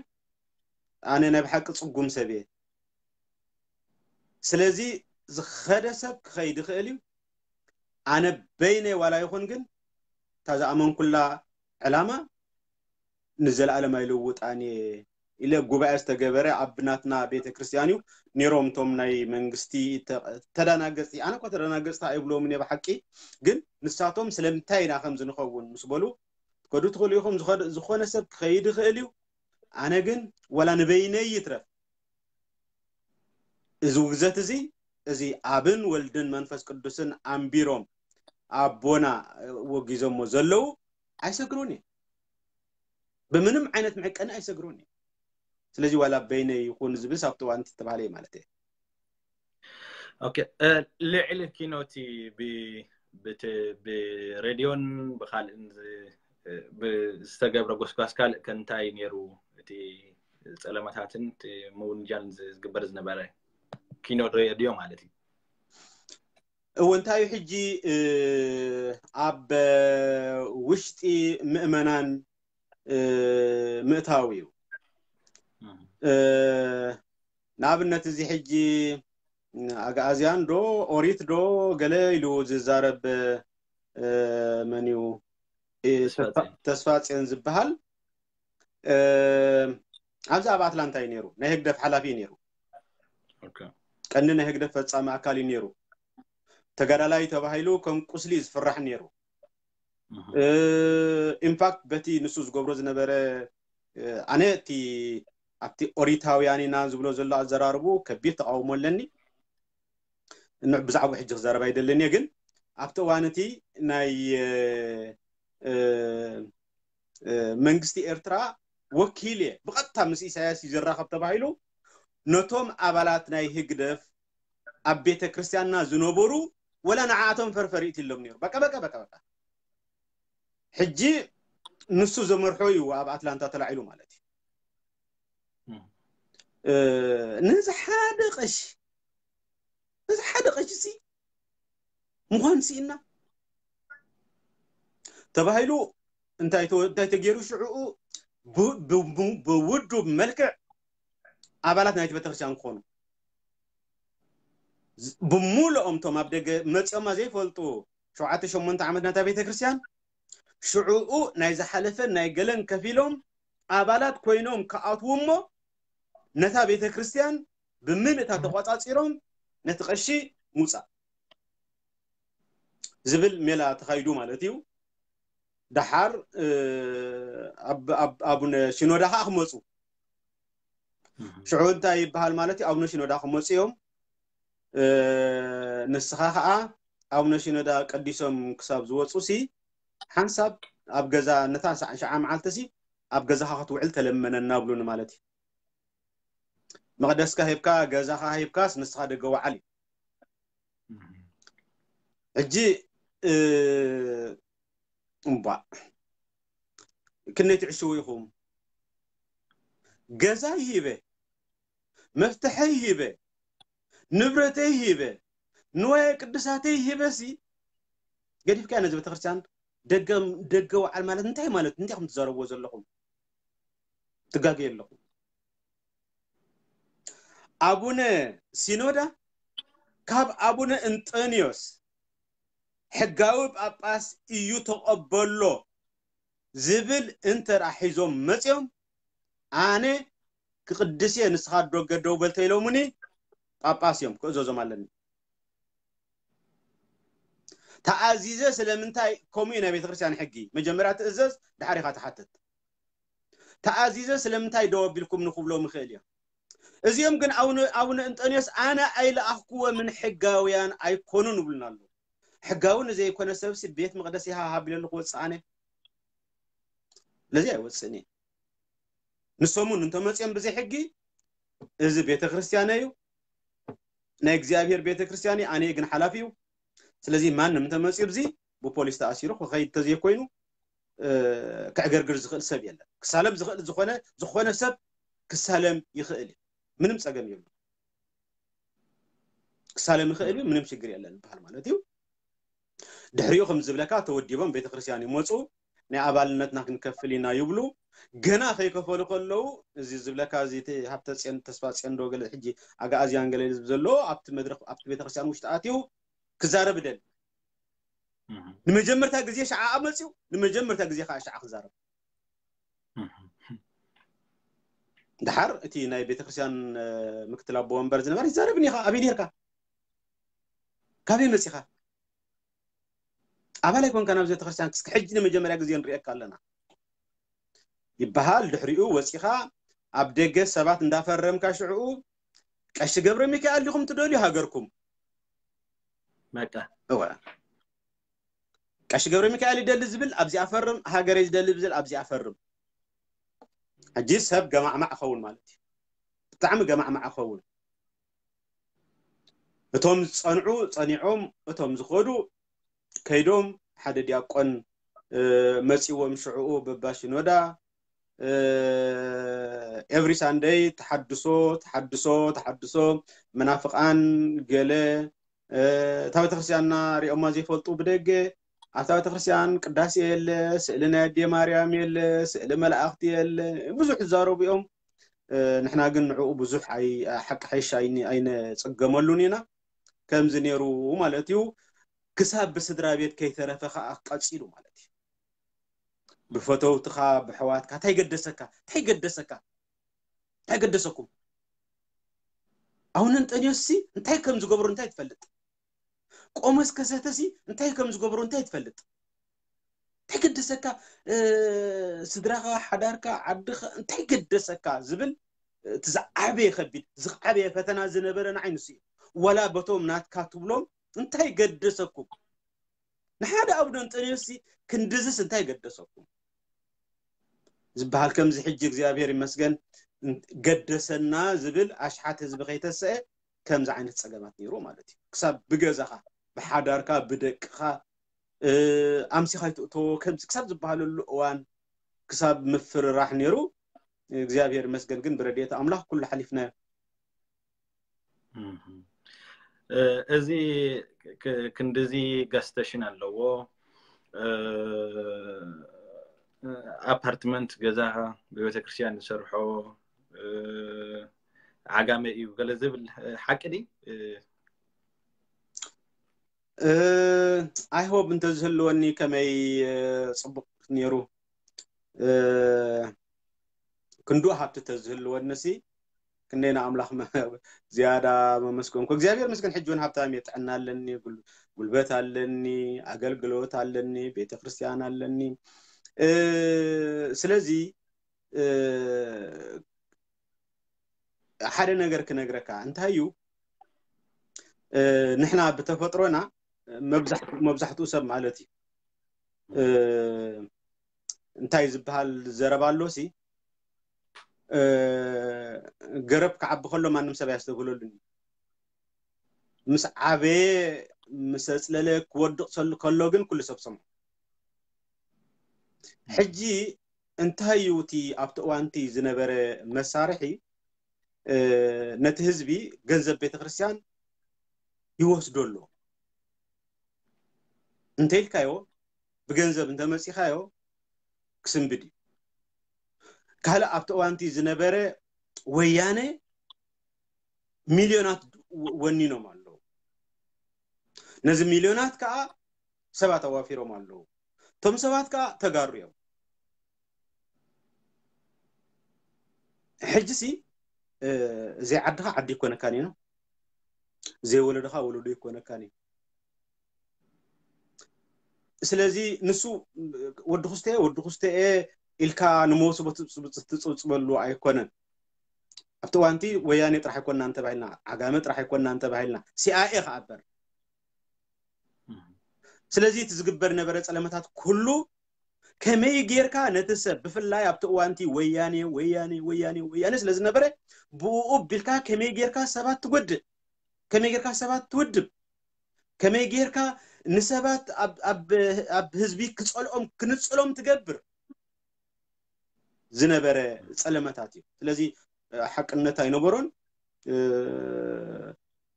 ኣነ ናይ ብሓቂ ፅጉም ሰብ እየ። ስለዚ ዝኸደ ሰብ ክኸይድ ይኽእል እዩ። ኣነ በይነይ ዋላ ይኹን ግን እታ ዝኣመንኩላ ዕላማ ንዘለኣለም ኣይልውጣን እየ ኢለ ጉባኤ ዝተገበረ ኣብ ናትና ቤተ ክርስቲያን እዩ ነይሮም። እቶም ናይ መንግስቲ ተዳናገፅቲ፣ ኣነ እኮ ተዳናገፅቲ ኣይብሎምን እየ ብሓቂ፣ ግን ንሳቶም ስለምንታይ ኢና ከምዚ ንኸውን ምስ በሉ ትከዱ ትኽእሉ ኢኹም። ዝኾነ ሰብ ክኸይድ ይኽእል እዩ። ኣነ ግን ወላ ንበይነይ ይትረፍ እዚ ውግዘት እዚ እዚ ኣብን ወልድን መንፈስ ቅዱስን ኣንቢሮም ኣቦና ወጊዞሞ ዘለዉ ኣይሰግሩን እየ። ብምንም ዓይነት መዕቀኒ ኣይሰግሩን እየ። ስለዚ ዋላ በይነይ ይኹን ዝብስ ኣብቲ እዋን ተባሃለ ማለት እየ። ኦኬ፣ ልዕሊ ኪኖቲ ብሬድዮን ብካልእን ዝተገብረ ጎስጓስ ካልእ ከንታይ ነይሩ? እቲ ፀለመታትን ምውንጃልን ዝግበር ዝነበረ ኪኖ ሬድዮ ማለት እዩ። እወ እንታይ እዩ ሕጂ ኣብ ውሽጢ ምእመናን ምእታው እዩ። ንኣብነት እዚ ሕጂ ኣግኣዝያን ዶ ኦሪት ዶ ገለ ኢሉ ዝዛረብ መን እዩ? ተስፋፅዮን ዝበሃል ኣብዚ ኣብ ኣትላንታ እዩ ነይሩ። ናይ ህግደፍ ሓላፊ እዩ ነይሩ። ቀንዲ ናይ ህግደፍ ፈፃሚ ኣካል እዩ ነይሩ። ተጋዳላይ ተባሂሉ ከም ቁስሊ እዩ ዝፍራሕ ነይሩ። ኢንፋክት በቲ ንሱ ዝገብሮ ዝነበረ ኣነ እቲ ኣብቲ ኦሪታውያን ኢና ዝብሎ ዘሎ ኣዘራርቡ ከቢድ ተቃውሞ ኣለኒ። ብዛዕባ ሕጂ ክዛረብ ኣይደልን እየ፣ ግን ኣብቲ እዋን እቲ ናይ መንግስቲ ኤርትራ ወኪል እየ ብቐጥታ ምስ ኢሳያስ እዩ ዝራኸብ ተባሂሉ ነቶም ኣባላት ናይ ህግደፍ ኣብ ቤተ ክርስቲያንና ዝነበሩ ወላ ንዓኣቶም ፈርፈር ይእትሎም ነይሩ። በቃ በቃ በቃ በቃ ሕጂ ንሱ ዘመርሖ እዩ ኣብ ኣትላንታ ተላዒሉ ማለት እዩ። ነዚ ሓደ ቀሺ ነዚ ሓደ ቀሺ ሲ ምዃን ስኢና ተባሂሉ እንታይ እንታይ ተገይሩ ሽዕኡ ብውዱብ መልክዕ ኣባላት ናይቲ ቤተክርስትያን ክኾኑ ብሙሉኦም ቶም ኣብ ደገ መፂኦማ ዘይፈልጡ ሸውዓተ ሸሞንተ ዓመት ናታ ቤተክርስትያን ሽዕኡ ናይ ዝሓለፈን ናይ ገለን ከፊሎም ኣባላት ኮይኖም ክኣትዉ እሞ ነታ ቤተክርስትያን ብምልእታ ተቋፃፂሮም ነቲ ቀሺ ምውፃእ ዝብል ሜላ ተኻይዱ ማለት እዩ። ደሓር ኣቡነ ሽኖዳ ከዓ ክመፁ ሽዑ እንታይ ይበሃል ማለት እዩ? ኣቡነ ሽኖዳ ክመፁ እዮም። ንስኻ ከዓ ኣቡነ ሽኖዳ ቀዲሶም ክሳብ ዝወፁ ሲ ሓንሳብ ኣብ ገዛ ነታ ሸዓ መዓልቲ ሲ ኣብ ገዛኻ ክትውዕል ተለመነና ብሉኒ ማለት እዩ። መቕደስካ ሂብካ ገዛኻ ሂብካስ ንስኻ ደገ ወዓል እዩ። ሕጂ እምቧ ክንደይ ትዕሽዉ ኢኹም? ገዛይ ሂበ፣ መፍትሐይ ሂበ፣ ንብረተይ ሂበ፣ ንዋየ ቅድሳተይ ሂበ ሲ ገዲፍካ ነዚ ቤተክርስትያን ደገ ደገ ወዓል ማለት እንታይ ማለት እንታይ ከም ትዛረብዎ ዘለኹም ትጋገ ኣለኹም። ኣቡነ ሲኖዳ ካብ ኣቡነ እንጠንዮስ ሕጋዊ ጳጳስ እዩ ተቐበሎ ዝብል እንተ ሒዞም መፅዮም ኣነ ክቕድስ እየ ንስኻ ዶ ገደው በል ተኢሎሙኒ ጳጳስ እዮም ክእዘዞም ኣለኒ። ተኣዚዘ ስለምንታይ ከምኡ እዩ ናይ ቤተክርስትያን ሕጊ መጀመርያ ትእዘዝ ድሓር ኢኻ ትሓትት። ተኣዚዘ ስለምንታይ ደው ኣቢልኩም ንክብሎም ይኽእል እዮም። እዚኦም ግን ኣቡነ እንጠንዮስ ኣነ ኣይለኣኽኩዎምን ሕጋውያን ኣይኮኑን ይብሉና ኣለዉ። ሕጋዊ ንዘይኮነ ሰብሲ ቤት መቕደስ ኢኻ ሃቢለሉ ክወፅእ ኣነ ለዚ ኣይወፅእን እየ። ንሶም እውን እንተመፅኦም ብዘይ ሕጊ እዚ ቤተክርስትያን እዩ ናይ እግዚኣብሔር ቤተክርስትያን እዩ ኣነ ግን ሓላፊ እዩ። ስለዚ ማንም እንተመፅኡ ብዚ ብፖሊስ ተኣሲሩ ክኸይድ ተዘይኮይኑ እ፣ ክዕገርግር ዝኽእል ሰብ የለን። ክሳለም ዝኽእል ዝኾነ፣ ዝኾነ ሰብ ክሳለም ይኽእል እዩ። ምንም ጸገም የብሉ። ክሳለም ይኽእል እዩ፣ ምንም ሽግር የለን ዝበሃል ማለት እዩ። ድሕሪኡ ከም ዝብለካ ተወዲቦም ቤተክርስትያን ይመፁ፣ ናይ ኣባልነትና ክንከፍል ኢና ይብሉ። ገና ከይከፈሉ ከለዉ፣ እዚ ዝብለካ፣ እዚ እቲ ሃብተ ፅዮን፣ ተስፋ ፅዮን ዶ ገለ፣ ሕጂ ኣግኣዝያን ገለ ዝብ ዘሎ፣ ኣብቲ መድረክ፣ ኣብቲ ቤተክርስትያን ውሽጢ ኣትዩ ክዛረብ ደል። እህ፣ ንመጀመርታ ግዜ ሸዓ መፅዩ፣ ንመጀመርታ ግዜ ከዓ ሸዓ ክዛረብ። እህ። ድሓር እቲ ናይ ቤተክርስትያን፣ እ፣ ምክትል ኣቦ ወንበር ዝነበረ፣ ይዛረብኒ ኢኻ፣ ኣበይ ነርካ? ካበይ መፂኻ? ኣባል ኣይኮንካን ኣብዚ ቤተክርስትያን፣ ክስክ ሕጂ ንመጀመርያ ግዜ ንሪኤካ ኣለና ይበሃል። ድሕሪኡ ወፂኻ ኣብ ደገ ሰባት እንዳፈረምካ፣ ሽዕኡ ቀሺ ገብረ ሚካኤል ዲኹም ትደልዩ ሃገርኩም? በቃ። እወ። ቀሺ ገብረ ሚካኤል ይደሊ ዝብል ኣብዚኣ ፈርም፣ ሃገረይ ዝደሊ ዝብል ኣብዚኣ ፈርም። ሕጂ ሰብ ገማዕማዕ ኸውን ማለት እዩ። ብጣዕሚ ገማዕማዕ ኸውን። እቶም ዝጸንዑ ጸኒዖም፣ እቶም ዝኸዱ ከይዶም፣ ሓደ ዲያቆን፣ እ፣ መጺዎም ሽዕኡ በባ ሽኖዳ፣ እ፣ every Sunday ተሓድሶ፣ ተሓድሶ፣ ተሓድሶ፣ መናፍቓን ገለ፣ እ፣ እታ ቤተክርስትያንና ሪኦማ ዘይፈልጡ ብደገ፣ ኣብታ ቤተክርስትያን ቅዳሴ የለ፣ ስእሊ ናይ ኣዴ ማርያም የለ፣ ስእሊ መላእኽቲ የለ፣ ብዙሕ ዝዛረቡ እዮም። እ፣ ንሕና ግን ንዕኡ ብዙሕ ኣይ-፣ ሓቂ ሓይሽ ኣይን-፣ ኣይነጸገመሉን ኢና። ከምዚ ነይሩ ማለት እዩ። ክሳብ ብስድራ ቤት ከይተረፈ ከኣ ቀጺሉ ማለት እዩ። ብፈተውትኻ፣ ብሕዋትካ፣ እንታይ ገደሰካ? እንታይ ገደሰካ? እንታይ ገደሰኩም? ኣቡነ እንጠንዮስሲ እንታይ ከም ዝገብሩ እንታይ ትፈልጥ? ቆሞስ ከሰተሲ እንታይ ከም ዝገብሩ እንታይ ትፈልጥ? እንታይ ገደሰካ? እ፣ ስድራኻ፣ ሓዳርካ፣ ዓድኻ እንታይ ገደሰካ ዝብል፣ እቲ ዝዓበየ ከቢድ፣ ዝዓበየ ፈተና ዝነበረ ንዓይ ንሱ እዩ። ዋላ በቶም ናትካ ትብሎም እንታይ ገደሰኩም? ንሓደ ኣቡነ እንጠንዮስሲ ክንድዝስ እንታይ ገደሰኩም ዝበሃል፣ ከምዚ ሕጂ እግዚኣብሔር ይመስገን ገደሰና ዝብል ኣሽሓት ህዝቢ ከይተሰአ ከምዚ ዓይነት ጸገማት ነይሩ ማለት እዩ። ክሳብ ብገዛኻ፣ ብሓዳርካ፣ ብደቅኻ፣ እ፣ ኣምሲኻ ይትእተዎ ከምዚ ክሳብ ዝበሃለሉ እዋን፣ ክሳብ ምፍርራሕ ነይሩ። እግዚኣብሔር ይመስገን ግን ብረድኤት ኣምላኽ ኩሉ ሓሊፍናዮ። እህ። እ፣ እዚ ክ-፣ ክንድዚ gas station ኣለዎ። እ፣ ኣፓርትመንት ገዛ ብቤተክርስትያን ዝሰርሖ፣ እ፣ ዓጋመ እዩ ገለ ዝብል፣ እ፣ ሓቂ ድዩ? እ፣ እ፣ I hope እንተዝህልወኒ ከመይ፣ እ፣ ጽቡቕ ነይሩ። እ፣ ክንዱ ሃብቲ ተዝህልወንሲ ክንደይ ንኣምላኽ መ-፣ ዝያዳ መመስገንኩ። እግዚኣብሔር ይመስገን ሕጂ እውን ሃብታም እየ፣ ጥዕና ኣለኒ፣ ጉል-፣ ጉልበት ኣለኒ፣ ኣገልግሎት ኣለኒ፣ ቤተክርስትያን ኣለኒ። እ፣ ስለዚ፣ እ፣ ሓደ ነገር ክነግረካ፣ እንታይ እዩ፣ እ፣ ንሕና ብተፈጥሮና መብዛሕትኡ፣ መብዛሕትኡ ሰብ ማለት እዩ፣ እ፣ እንታይ ዝበሃል ዘረባ ኣሎሲ፣ እ፣ ገረብ ክዓቢ ከሎ ማንም ሰብ ኣየስተብህለሉን እዩ። ምስ ዓበየ፣ ምስ ኣጽለለ፣ ክወድቕ ሰሉ-፣ ከሎ ግን ኩሉ ሰብ ሰምዖ። ሕጂ እንታይ እዩ እቲ ኣብቲ እዋንቲ ዝነበረ መሳርሒ፣ እ፣ ነቲ ህዝቢ ገንዘብ ቤተክርስትያን ይወስዶ ኣሎ። እንተ ኢልካዮ፣ ብገንዘብ እንተ መጺኻዮ ክስንብድ እዩ። ካልእ ኣብቲ እዋንቲ ዝነበረ ወያነ ሚልዮናት ወ-፣ ወኒኖም ኣለዉ። ነዚ ሚልዮናት ከኣ ሰባት ኣዋፊሮም ኣለዉ። እቶም ሰባት ከኣ ተጋሩ እዮም። ሕጂሲ፣ እ፣ ዘይዓድኻ ዓዲ ይኮነካን እዩ፣ ዘይወለድኻ ወለዶ ይኮነካን እዩ። ስለዚ ንሱ ወዲ ኩስተ፣ ወዲ ኩስተ ኢልካ ንመወስቦ ትጽብጽ-፣ ትጽብጽበሉ ኣይኮነን። ኣብቲ እዋንቲ ወያኔ ጥራሕ ኣይኮንና እንተባሂልና፣ ዓጋመ ጥራሕ ኣይኮንና እንተባሂልና፣ ሲኣይኤ ከኣ እበር። ስለዚ እቲ ዝግበር ነበረ ጸለመታት ኩሉ ከመይ ጌርካ ነቲ ሰብ፣ ብፍላይ ኣብቲ እዋንቲ ወያኔ፣ ወያኔ፣ ወያኔ፣ ወያኔ ስለ ዝነበረ፣ ብኡ ቢልካ ከመይ ጌርካ ሰባት ትጎድእ፣ ከመይ ጌርካ ሰባት ትውድብ፣ ከመይ ጌርካ ንሰባት ኣብ ህዝቢ ክፀልኦም ክንፅሎም ትገብር ዝነበረ ፀለመታት እዩ። ስለዚ ሓቅነት ኣይነበሮን።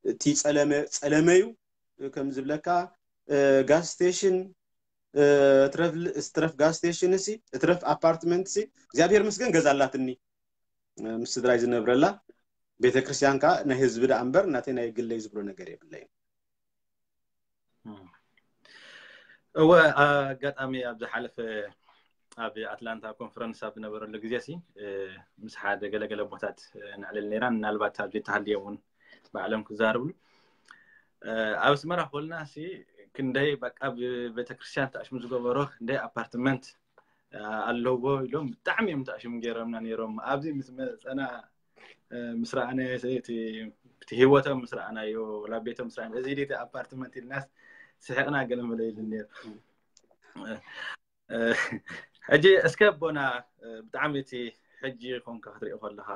እቲ ፀለመ ፀለመ እዩ። ከም ዝብለካ ጋስ ስቴሽን፣ እትረፍ ጋስ ስቴሽን፣ ሲ እትረፍ ኣፓርትመንት፣ ሲ እግዚኣብሔር ምስገን ገዛ ኣላትኒ፣ ምስ ስድራይ ዝነብረላ። ቤተክርስትያን ከዓ ናይ ህዝቢ ደኣ እምበር ናተይ ናይ ግለይ ዝብሎ ነገር የብለይን። እወ፣ ኣጋጣሚ ኣብ ዝሓለፈ ኣብ ኣትላንታ ኮንፈረንስ ኣብ ዝነበረሉ ግዜ ሲ ምስ ሓደ ገለገለ ቦታት ንዕልል ነይራ። ምናልባት ኣብዚ ተሃልዮም እውን ባዕሎም ክዛርብሉ። ኣብ ኣስመራ ኮልና ሲ ክንደይ በቃ ብቤተክርስትያን ተኣሽሙ ዝገበሮ ክንደይ ኣፓርትመንት ኣለዎ ኢሎም ብጣዕሚ እዮም ተኣሽሙ ገይሮምና ነይሮም። ኣብዚ ምስ መፀና ምስ ረኣናዮ እቲ ህይወቶም ምስ ረኣናዮ፣ ላቤቶም ምስ ረኣናዮ፣ እዚ ድቲ ኣፓርትመንት ኢልናስ ስሕቕና ገለ መለ ኢሉ ነይሩ። ሕጂ እስከ ኣቦና፣ ብጣዕሚ እቲ ሕጂ ኮንካ ክትሪኦ ከለኻ፣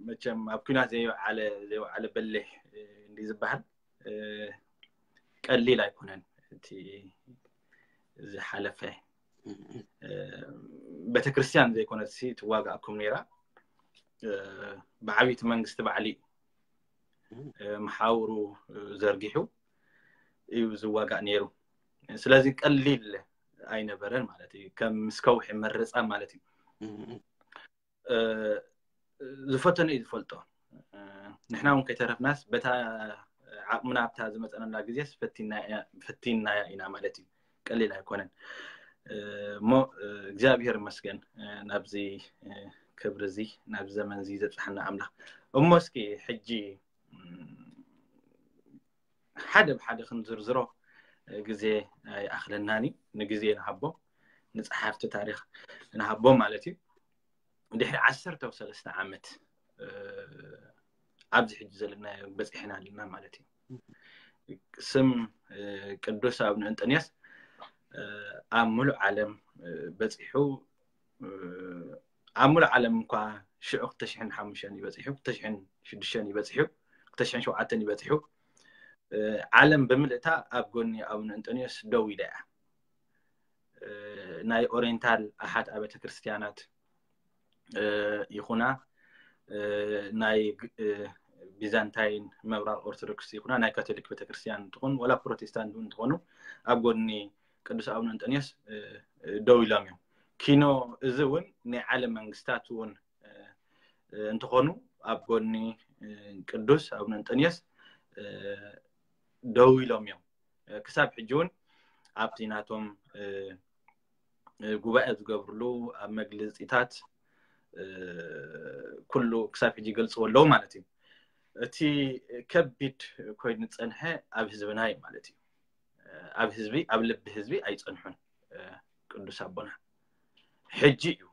መቸም ኣብ ኲናት ዘይወዓለ ዘይወዓለ በሊሕ እንዲ ዝበሃል ቀሊል ኣይኮነን እቲ ዝሓለፈ። ቤተክርስትያን ዘይኮነት ሲ ትዋጋእኩም ነይራ። ብዓብይቲ መንግስቲ ባዕሊ መሓውሩ ዘርጊሑ እዩ ዝዋጋእ ነይሩ። ስለዚ ቀሊል ኣይነበረን ማለት እዩ። ከም ምስ ከውሒ መረፃ ማለት እዩ። ዝፈተነ እዩ ዝፈልጦ። ንሕና እውን ከይተረፍናስ በታ ዓቕምና ኣብታ ዝመፀነላ ግዜስ ፈቲናያ ኢና ማለት እዩ። ቀሊል ኣይኮነን እሞ እግዚኣብሔር ይመስገን ናብዚ ክብሪ እዚ ናብዚ ዘመን እዚ ዘብፅሓና ኣምላኽ። እሞ እስኪ ሕጂ ሓደ ብሓደ ክንዝርዝሮ ግዜ ኣይኣኽለናን እዩ። ንግዜ ንሃቦ፣ ንፀሓፍቲ ታሪክ ንሃቦ ማለት እዩ። ድሕሪ ዓሰርተ ሰለስተ ዓመት ኣብዚ ሕጂ ዘለናዮ በፂሕና ኣለና ማለት እዩ። ስም ቅዱስ ኣቡነ እንጠንዮስ ኣብ ሙሉእ ዓለም በፂሑ ኣብ ሙሉእ ዓለም እንኳ ሽዑ ክልተ ሽሕን ሓሙሽተን እዩ በፂሑ፣ ክልተ ሽሕን ሽዱሽተን እዩ በፂሑ፣ ክልተ ሽሕን ሸውዓተን እዩ በፂሑ። ዓለም ብምልእታ ኣብ ጎኒ ኣቡነ እንጠንዮስ ደው ኢላ እያ። ናይ ኦሪየንታል ኣሓት ኣብያተ ክርስትያናት ይኹና፣ ናይ ቢዛንታይን ምብራቕ ኦርቶዶክስ ይኹና፣ ናይ ካቶሊክ ቤተክርስትያን እንትኾኑ ወላ ፕሮቴስታንት እውን እንትኾኑ ኣብ ጎኒ ቅዱስ ኣቡነ እንጠንዮስ ደው ኢሎም እዮም። ኪኖ እዚ እውን ናይ ዓለም መንግስታት እውን እንትኾኑ ኣብ ጎኒ ቅዱስ ኣቡነ እንጠንዮስ ደው ኢሎም እዮም። ክሳብ ሕጂ እውን ኣብቲ ናቶም ጉባኤ ዝገብርሉ ኣብ መግለፂታት ኩሉ ክሳብ ሕጂ ይገልፅዎ ኣለዉ ማለት እዩ። እቲ ከቢድ ኮይኑ ዝፀንሐ ኣብ ህዝብና እዩ ማለት እዩ። ኣብ ህዝቢ ኣብ ልቢ ህዝቢ ኣይፀንሑን ቅዱስ ኣቦና። ሕጂ እዩ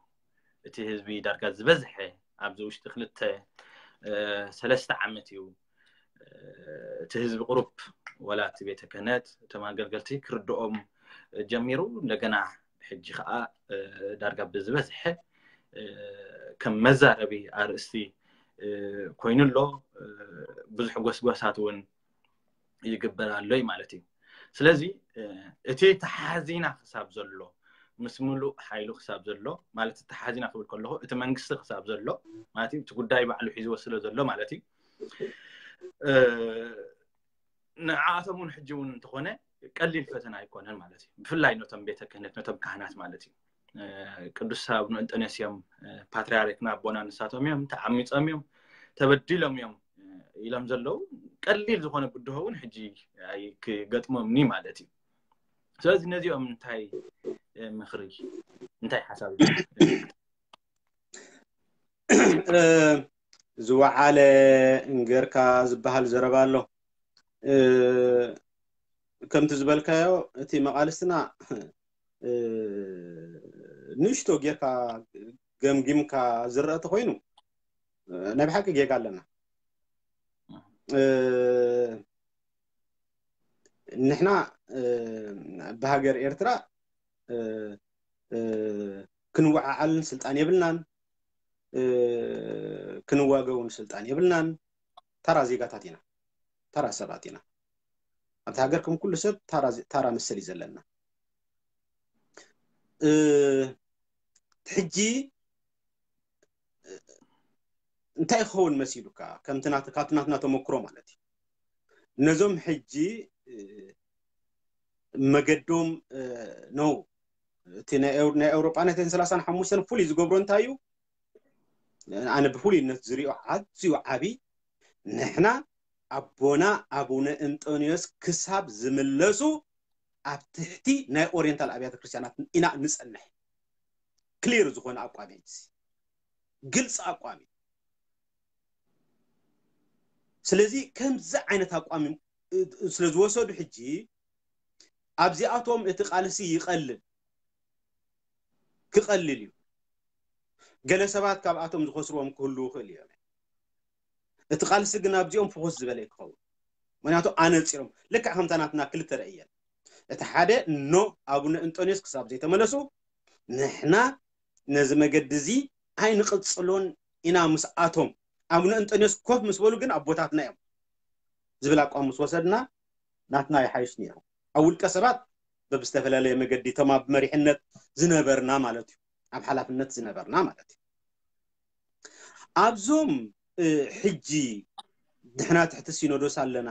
እቲ ህዝቢ ዳርጋ ዝበዝሐ ኣብዚ ውሽጢ ክልተ ሰለስተ ዓመት እዩ እቲ ህዝቢ ቁሩብ ወላ እቲ ቤተ ክህነት እቶም ኣገልገልቲ ክርድኦም ጀሚሩ። እንደገና ሕጂ ከዓ ዳርጋ ብዝበዝሐ ከም መዛረቢ ኣርእስቲ ኮይኑ ኣሎ። ብዙሕ ጎስጓሳት እውን ይግበር ኣሎ ማለት እዩ። ስለዚ እቲ ተሓዚና ክሳብ ዘሎ ምስ ምሉእ ሓይሉ ክሳብ ዘሎ ማለት ተሓዚና ክብል ከለኹ እቲ መንግስቲ ክሳብ ዘሎ ማለት እቲ ጉዳይ ባዕሉ ሒዝዎ ስለ ዘሎ ማለት እዩ። ንዓኣቶም እውን ሕጂ እውን እንተኾነ ቀሊል ፈተና ኣይኮነን ማለት እዩ። ብፍላይ ነቶም ቤተ ክህነት ነቶም ካህናት ማለት እዩ። ቅዱስ ኣቡነ እንጠንዮስ እዮም ፓትርያርክና ኣቦና፣ ንሳቶም እዮም ተዓሚፆም እዮም ተበዲሎም እዮም ኢሎም ዘለዉ። ቀሊል ዝኾነ ብድሆ እውን ሕጂ ኣይክገጥሞምኒ ማለት እዩ። ስለዚ ነዚኦም እንታይ ምኽሪ እንታይ ሓሳብ ዝወዓለ እንገርካ ዝበሃል ዘረባ ኣሎ። ከምቲ ዝበልካዮ እቲ መቃልስትና ንእሽቶ ጌርካ ገምጊምካ ዝረአ ተኮይኑ ናይ ብሓቂ ጌጋ ኣለና። ንሕና ብሃገር ኤርትራ ክንወዓዓልን ስልጣን የብልናን፣ ክንዋገውን ስልጣን የብልናን። ተራ ዜጋታት ኢና፣ ተራ ሰባት ኢና። ኣብቲ ሃገር ከም ኩሉ ሰብ ታራ ታራ መሰል እዩ ዘለና። እ፣ ሕጂ እንታይ ክኸውን መሲሉካ? ከምቲ ናት- ካብቲ ናትና ተመክሮ ማለት እዩ። ነዞም ሕጂ እ፣ መገዶም እ፣ ነው እቲ ናይ ኤው- ናይ ኤውሮጳ ናይ ሰላሳን ሓሙሽተን ፍሉይ ዝገብሮ እንታይ እዩ? ኣነ ብፍሉይነት ዝሪኦ ኣዝዩ ዓቢ፣ ንሕና ኣቦና ኣቡነ እንጦንዮስ ክሳብ ዝምለሱ ኣብ ትሕቲ ናይ ኦሪየንታል ኣብያተ ክርስቲያናት ኢና ንጸንሕ። ክሊር ዝኾነ ኣቋም እዩ፣ ግልፂ ኣቋም እዩ። ስለዚ ከምዚ ዓይነት ኣቋም እ- ስለ ዝወሰዱ ሕጂ ኣብዚኣቶም እቲ ቃልሲ ይቐልል ክቐልል እዩ። ገለ ሰባት ካብኣቶም ዝኸስርዎም ክህልዉ ይኽእል እዮም። እቲ ቃልሲ ግን ኣብዚኦም ፍኹስ ዝበለ እዩ ክኸውን። ምክንያቱ ኣነፂሮም ልክዕ ከምታ ናትና ክልተ ረእየን። እቲ ሓደ ኖ ኣቡነ እንጦንዮስ ክሳብ ዘይተመለሱ ንሕና ነዚ መገዲ እዚ ኣይንቕፅሎን ኢና ምስኣቶም። ኣቡነ እንጦንዮስ ኮፍ ምስ በሉ ግን ኣቦታትና እዮም ዝብል ኣቋም ምስ ወሰድና ናትና ይሓይሽ ነይሩ። ኣብ ውልቀ ሰባት በብዝተፈላለየ መገዲ እቶም ኣብ መሪሕነት ዝነበርና ማለት እዩ፣ ኣብ ሓላፍነት ዝነበርና ማለት እዩ። ኣብዞም እ፣ ሕጂ ንሕና ትሕቲ ሲኖዶስ ኣለና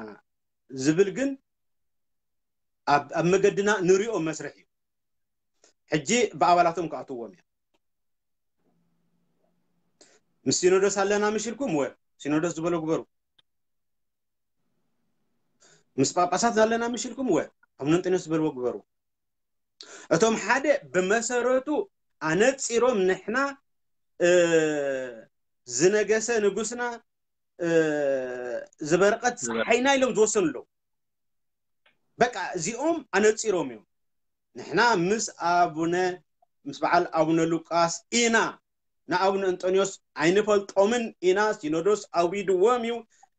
ዝብል ግን ኣብ ኣብ መገድና ንሪኦ መስርሕ እዩ። ሕጂ ብኣባላቶም ክኣትዎም እዮም። ምስ ሲኖዶስ ኣለና ምሽ ኢልኩም ወ ሲኖዶስ ዝበሎ ግበሩ። ምስ ጳጳሳት ኣለና ምሽ ኢልኩም ወ ኣቡነ እንጦንዮስ ዝበልዎ ግበሩ። እቶም ሓደ ብመሰረቱ ኣነፂሮም ንሕና እ፣ ዝነገሰ ንጉስና እ፣ ዝበረቐት ፀሓይና ኢሎም ዝወሰኑ ኣለዉ። በቃ እዚኦም ኣነፂሮም እዮም። ንሕና ምስ ኣቡነ ምስ በዓል ኣቡነ ሉቃስ ኢና፣ ንኣቡነ እንጦንዮስ ኣይንፈልጦምን ኢና፣ ሲኖዶስ ኣውሪድዎም እዩ፣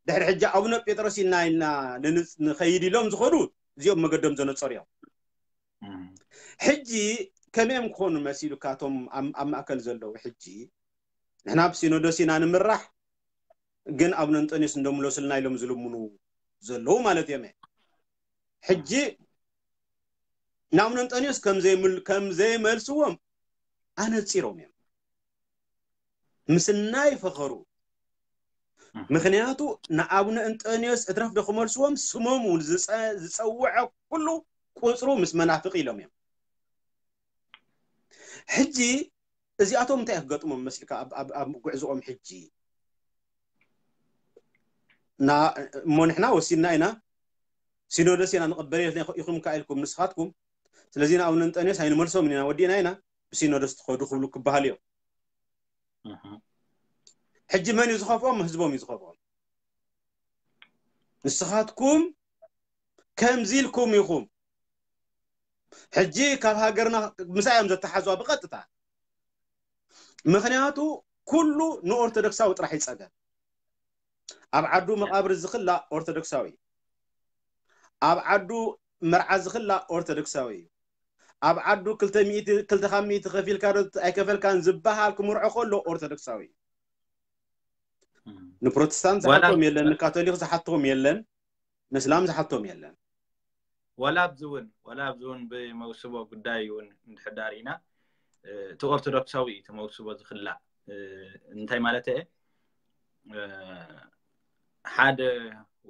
ድሕሪ ሕጂ ኣቡነ ጴጥሮስ ኢና ኢልና ንንፅ- ንኸይድ ኢሎም ዝኸዱ እዚኦም መገዶም ዘነፀሩ እዮም። ሕጂ ከመኦም ክኾኑ መሲሉካ እቶም ኣብ ኣብ ማእከል ዘለዉ? ሕጂ ንሕና ብሲኖዶስ ኢና ንምራሕ፣ ግን ኣቡነ እንጦንዮስ እንደምለሱልና ኢሎም ዝልምኑ ዘለዉ ማለት እዮም። ሕጂ ንኣቡነ እንጦንዮስ ከም ዘይምል- ከም ዘይመልስዎም ኣነፂሮም እዮም። ምስናይ ፈኸሩ። ምክንያቱ ንኣቡነ እንጦንዮስ እትረፍ ዶ ክመልስዎም ስሞም እውን ዝፀ- ዝፀውዐ ኩሉ ቁፅሩ ምስ መናፍቅ ኢሎም እዮም። ሕጂ እዚኣቶም እንታይ ክገጥሞም መስልካ ኣብ- ኣብ ኣብ ጉዕዝኦም? ሕጂ ና- እሞ ንሕና ወሲድና ኢና፣ ሲኖዶስ ኢና ንቕበል ኢኹም ከኣ ኢልኩም ንስኻትኩም። ስለዚ ንኣቡነ እንጠንዮስ ኣይንመልሶምን ኢና፣ ወዲእና ኢና፣ ብሲኖዶስ ትኸዱ ክብሉ ክበሃል እዮም። ሕጂ መን እዩ ዝኸፍኦም? ህዝቦም እዩ ዝኸፍኦም። ንስኻትኩም ከምዚ ኢልኩም ኢኹም። ሕጂ ካብ ሃገርና ምሳይ እዮም ዘተሓሕዝዋ ብቐጥታ። ምኽንያቱ ኩሉ ንኦርቶዶክሳዊ ጥራሕ ይጸገም። ኣብ ዓዱ መቓብር ዝኽላእ ኦርቶዶክሳዊ እዩ። ኣብ ዓዱ መርዓ ዝኽላእ ኦርቶዶክሳዊ እዩ። ኣብ ዓዱ ክልተ ሚእቲ ክልተ ካብ ሚእቲ ከፊልካ ዶ ኣይከፈልካን ዝበሃል ክምርዖ ከሎ ኦርቶዶክሳዊ እዩ። ንፕሮቴስታንት ዝሓቶም የለን፣ ንካቶሊክ ዝሓቶም የለን፣ ንእስላም ዝሓቶም የለን። ዋላ ኣብዚ እውን ዋላ ኣብዚ እውን ብመውስቦ ጉዳይ እውን እንድሕዳር ኢና እቲ ኦርቶዶክሳዊ እዩ እቲ መውስቦ ዝኽላእ። እንታይ ማለት እየ? ሓደ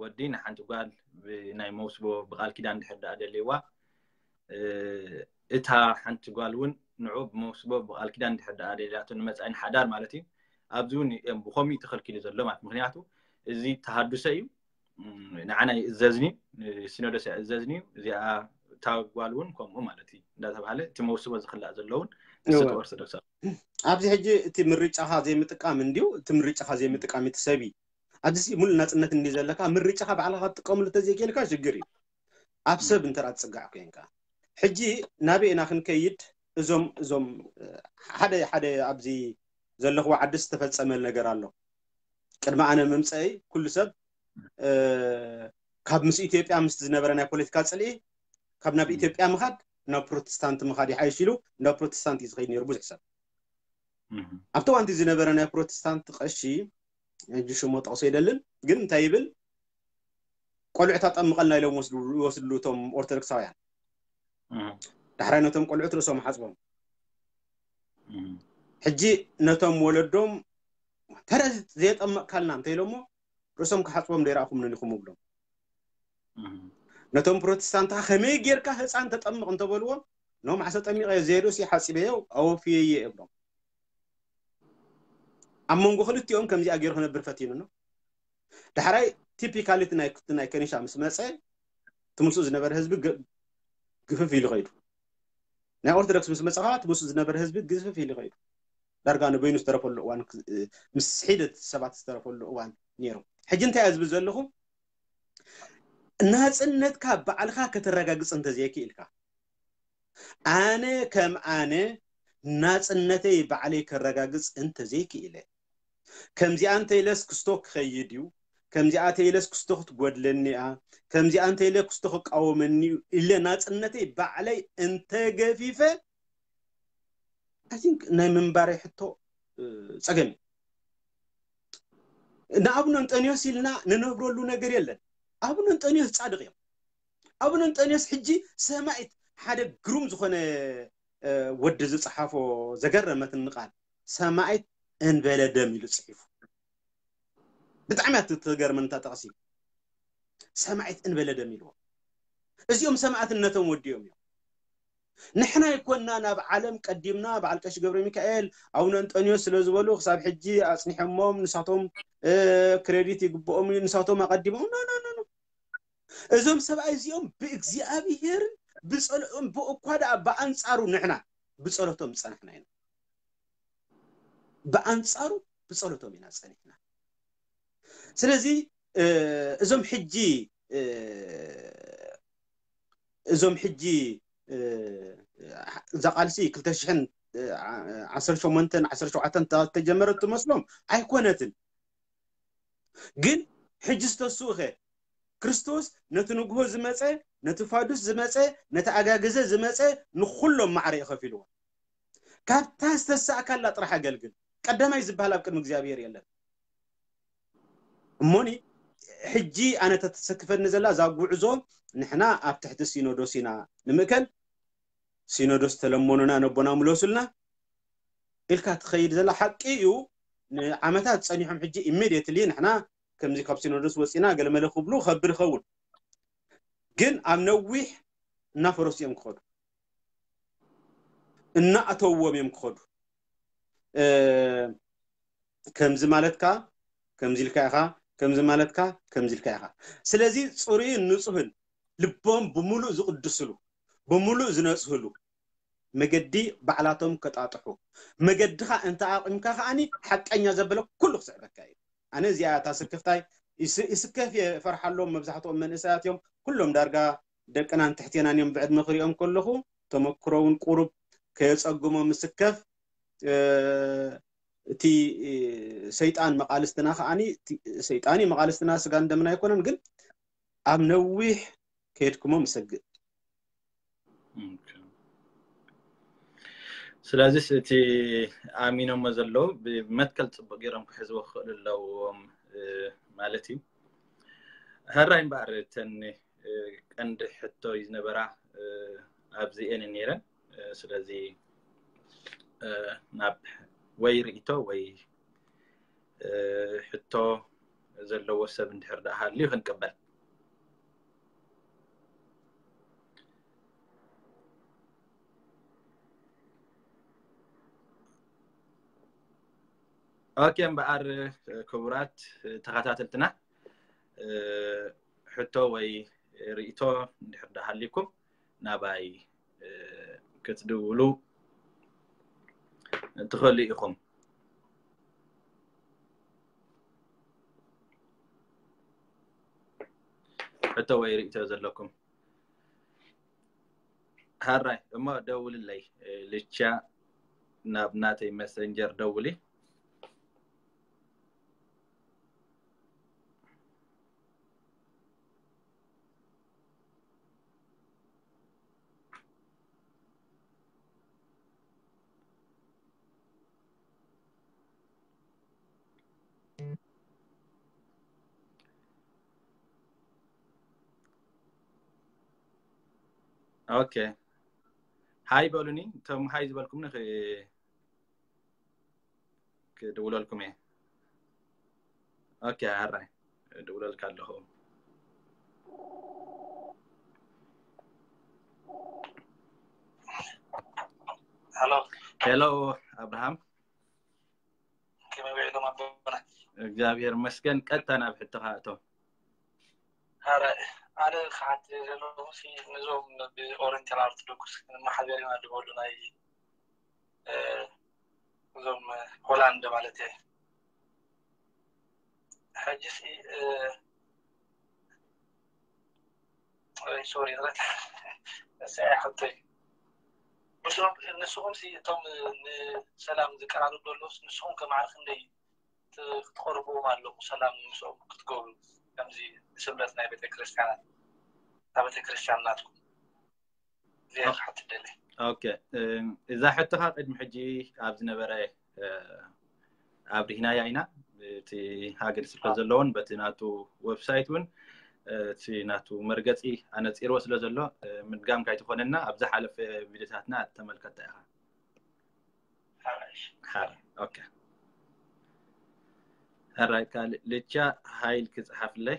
ወዲ ንሓንቲ ጓል ብናይ መውስቦ ብቃል ኪዳን እንድሕር ደኣ ደልይዋ እታ ሓንቲ ጓል እውን ንዑ ብመውስቦ ብቃል ኪዳን እንድሕር ደኣ ደልያቶ ንመፃኢ ንሓዳር ማለት እዩ። ኣብዚ እውን እዮም ብኸምኡ ተኸልኪሉ ዘሎ ማለት ምክንያቱ እዚ ተሃዱሰ እዩ። ንዓና ይእዘዝኒ ሲኖዶስ ይእዘዝኒ እዚኣ እታ ጓል እውን ከምኡ ማለት እዩ እንዳተባሃለ እቲ መውስቦ ዝኽላእ ዘለውን እሱ ኦርቶዶክሳዊ ኣብዚ ሕጂ እቲ ምርጫኻ ዘይምጥቃም እንዲዩ እቲ ምርጫኻ ዘይምጥቃም እቲ ሰብ ኣብዚ ሙሉእ ናፅነት እንዲ ዘለካ ምርጫኻ ባዕልኻ ክትጥቀምሉ ተዘይክእልካ ሽግር እዩ። ኣብ ሰብ እንተ ትፅጋዕ ኮይንካ ሕጂ ናበይ ኢና ክንከይድ? እዞም እዞም ሓደ ሓደ ኣብዚ ዘለኽዎ ዓዲ ዝተፈፀመ ነገር ኣሎ። ቅድሚ ኣነ ምምፀኢ ኩሉ ሰብ ካብ ምስ ኢትዮጵያ ምስ ዝነበረ ናይ ፖለቲካ ፅልኢ ካብ ናብ ኢትዮጵያ ምኻድ ናብ ፕሮቴስታንት ምኻድ ይሓይሽ ኢሉ ናብ ፕሮቴስታንት እዩ ዝኸይድ ነይሩ ብዙሕ ሰብ። ኣብቲ እዋንቲ ዝነበረ ናይ ፕሮቴስታንት ቀሺ ሕጂ ሽሞ ጠቕሶ ይደልን ግን እንታይ ይብል ቆልዑት ኣጠምቐልና ኢሎም ወስድሉ እቶም ኦርቶዶክሳውያን። ዳሕራይ ነቶም ቆልዑት ርእሶም ሓፅቦም። ሕጂ ነቶም ወለዶም ተረ ዘየጠመቕካልና እንተኢሎሞ ርእሶም ክሓፅቦም ዘይረኣኹም ነኒኹም እብሎም። ነቶም ፕሮቴስታንት ከመይ ጌርካ ህፃን ተጠምቕ እንተበልዎም ኖ ማዕሰ ጠሚቐ ዘይርእሲ ሓፂበዮ ኣወፍየየ እብሎም። ኣብ መንጎ ክልቲኦም ከምዚኣ ገይሩ ክነብር ፈቲኑ ነው። ዳሕራይ ቲፒካሊቲ ናይ ከኒሻ ምስ መፀ ትምስኡ ዝነበረ ህዝቢ ግፍፍ ኢሉ ኸይዱ። ናይ ኦርቶዶክስ ምስ መፀ ከዓ ትምስኡ ዝነበረ ህዝቢ ግፍፍ ኢሉ ኸይዱ። ዳርጋ ንበይኑ ዝተረፈሉ እዋን ምስ ሒደት ሰባት ዝተረፈሉ እዋን ነይሩ። ሕጂ እንታይ እያ ዝብል ዘለኹ? ናፅነትካ ባዕልኻ ከተረጋግፅ እንተዘይክኢልካ፣ ኣነ ከም ኣነ ናፅነተይ ባዕለይ ከረጋግፅ እንተዘይክኢለ፣ ከምዚኣ እንተኢለስ ክስቶ ክኸይድ እዩ፣ ከምዚኣ ተኢለስ ክስቶ ክትጎድለኒ እያ፣ ከምዚኣ እንተኢለ ክስቶ ክቃወመኒ እዩ ኢለ ናፅነተይ ባዕለይ እንተገፊፈ፣ I think ናይ ምንባረይ ሕቶ ፀገም እዩ። ንኣቡነ እንጠንዮስ ኢልና ንነብረሉ ነገር የለን። ኣቡነ እንጠንዮስ ፃድቕ እዮም። ኣቡነ እንጠንዮስ ሕጂ ሰማይት ሓደ ግሩም ዝኾነ ወዲ ዝፀሓፎ ዘገረመትኒ ቃል ሰማይት እንበለ ደም ኢሉ ፅሒፉ። ብጣዕሚ እያ ትገርመን እታ ጠቕሲ። ሰማይት እንበለ ደም ኢልዎ። እዚኦም ሰማእትነቶም ወዲኦም እዮም። ንሕና ይኮና ናብ ዓለም ቀዲምና በዓል ቀሺ ገብረ ሚካኤል ኣቡነ እንጠንዮስ ስለ ዝበሉ ክሳብ ሕጂ ኣፅኒሖሞም ንሳቶም ክሬዲት ይግብኦም እዩ ንሳቶም ኣቀዲሞም ኖ ኖ ኖ እዞም ሰብኣይ እዚኦም ብእግዚኣብሄርን ብፀልኦም ብእኳ ደኣ ብኣንፃሩ ንሕና ብፀሎቶም ዝፀናሕና ኢና። ብኣንፃሩ ብፀሎቶም ኢና ፀኒሕና። ስለዚ እዞም ሕጂ እዞም ሕጂ እዛ ቃልሲ ክልተ ሽሕን ዓሰርተ ሸሞንተን ዓሰርተ ሸውዓተን ተጀመረ ትመስሎም ኣይኮነትን። ግን ሕጂ ዝተስኡ ኸ ክርስቶስ ነቲ ንግሆ ዝመፀ ነቲ ፋዱስ ዝመፀ ነቲ ኣጋግዘ ዝመፀ ንኩሎም ማዕረ እዩ ከፊልዎ። ካብታ ዝተሳእካላ ጥራሕ ኣገልግል። ቀዳማይ ዝበሃል ኣብ ቅድሚ እግዚኣብሔር የለን። እሞኒ ሕጂ ኣነ ተተሰክፈኒ ዘላ እዛ ጉዕዞ ንሕና ኣብ ትሕቲ ሲኖዶስ ኢና ንምእከል። ሲኖዶስ ተለመኑና ነቦና ምለሱልና ኢልካ ትኸይድ ዘላ ሓቂ እዩ። ንዓመታት ፀኒሖም ሕጂ ኢሜድየትሊ ንሕና ከምዚ ካብ ሲኖዶስ ወፂና ገለመለ ክብሉ ከብድ ይኸውን። ግን ኣብ ነዊሕ እናፈረሱ እዮም ክኸዱ። እናእተውዎም እዮም ክኸዱ። ከምዚ ማለትካ ከምዚ ኢልካ ኢኻ፣ ከምዚ ማለትካ ከምዚ ኢልካ ኢኻ። ስለዚ ፅሩይን ንፁህን ልቦም ብምሉእ ዝቕድስሉ ብምሉእ ዝነፅህሉ መገዲ ባዕላቶም ከጣጥሑ መገድኻ እንተ ኣቒምካ ከዓኒ ሓቀኛ ዘበለ ኩሉ ክስዕበካ እዩ። ኣነ እዚኣ እታ ስክፍታይ ይስከፍ እየ፣ እፈርሓሎም። መብዛሕትኦም መንእሰያት እዮም፣ ኩሎም ዳርጋ ደቅናን ትሕቴናን እዮም ብዕድመ ክሪኦም ከለኹ። ተመክሮ እውን ቁሩብ ከየፀግሞም እስከፍ። እቲ ሰይጣን መቃልስትና ከዓኒ ሰይጣን እዩ መቃልስትና፣ ስጋን ደምና ኣይኮነን። ግን ኣብ ነዊሕ ከየድክሞም እሰግእ። ስለዚስ እቲ ኣሚኖሞ ዘለዉ ብመትከል ፅቡቅ ገይሮም ክሕዝዎ ክኽእሉ ኣለዎም ማለት እዩ። ሕራይ እምበኣር እተን ቀንዲ ሕቶ እዩ ዝነበራ ኣብዚኤን ነይረን። ስለዚ ናብ ወይ ርእይቶ ወይ ሕቶ ዘለዎ ሰብ እንድሕር ደኣ ሃልዩ ክንቅበል። ኦኬ እምበኣር ክቡራት ተኸታተልትና ሕቶ ወይ ርእይቶ እንድሕር ደኣ ሃልዩኩም ናባይ ክትድውሉ ትኽእሉ ኢኹም። ሕቶ ወይ ርእይቶ ዘለኩም ሃራይ እሞ ደውልለይ። ልቻ ናብ ናተይ መሰንጀር ደውሊ። ኦኬ፣ ሃይ በሉኒ። እቶም ሃይ ዝበልኩምኒ ክ- ክድውለልኩም እየ። ኦኬ፣ ኣራይ ድውለልካ ኣለኹ። ሄሎ፣ ሄሎ ኣብርሃም። ከመይ ውዒልኩም ኣቦና? እግዚኣብሔር መስገን። ቀጥታ ናብ ሕቶኻ እቶም ኣረ፣ ኣነ ክሓት ዘለኹ ሲ ነዞም ብኦሪንታል ኦርቶዶክስ መሓበር ኢና ዝበሉ ናይ እ፣ እዞም ሆላንድ ማለት እየ። ሕጂ ሲ እ፣ ሶሪ ረሳዒ ሕቶይ ምስኦም ንስኹም ሲ እቶም ንሰላም ዝቀራረቡ ዘለውስ ንስኹም ከማዕረ ክንደይ ት- ክትቀርብዎም ኣለኹ ሰላም ምስኦም ክትገብሩ ከምዚ ንስምረት ናይ ቤተክርስትያናት ኣብ ቤተክርስትያን ናትኩም እዚኣ ክሓትት ደለ ኦኬ። እዛ ሕቶኻ ቅድሚ ሕጂ ኣብ ዝነበረ ኣብሪህናያ ኢና። እቲ ሃገር ስብከት ዘለዎን በቲ ናቱ ዌብሳይት እውን እቲ ናቱ መርገፂ ኣነፂርዎ ስለ ዘሎ ምድጋም ካይትኾነና ኣብ ዝሓለፈ ቪዲዮታትና ተመልከታ ኢኻ። ሓራይ ኦኬ። ሕራይ ካልእ ልቻ ሃይል ክፅሓፍለይ።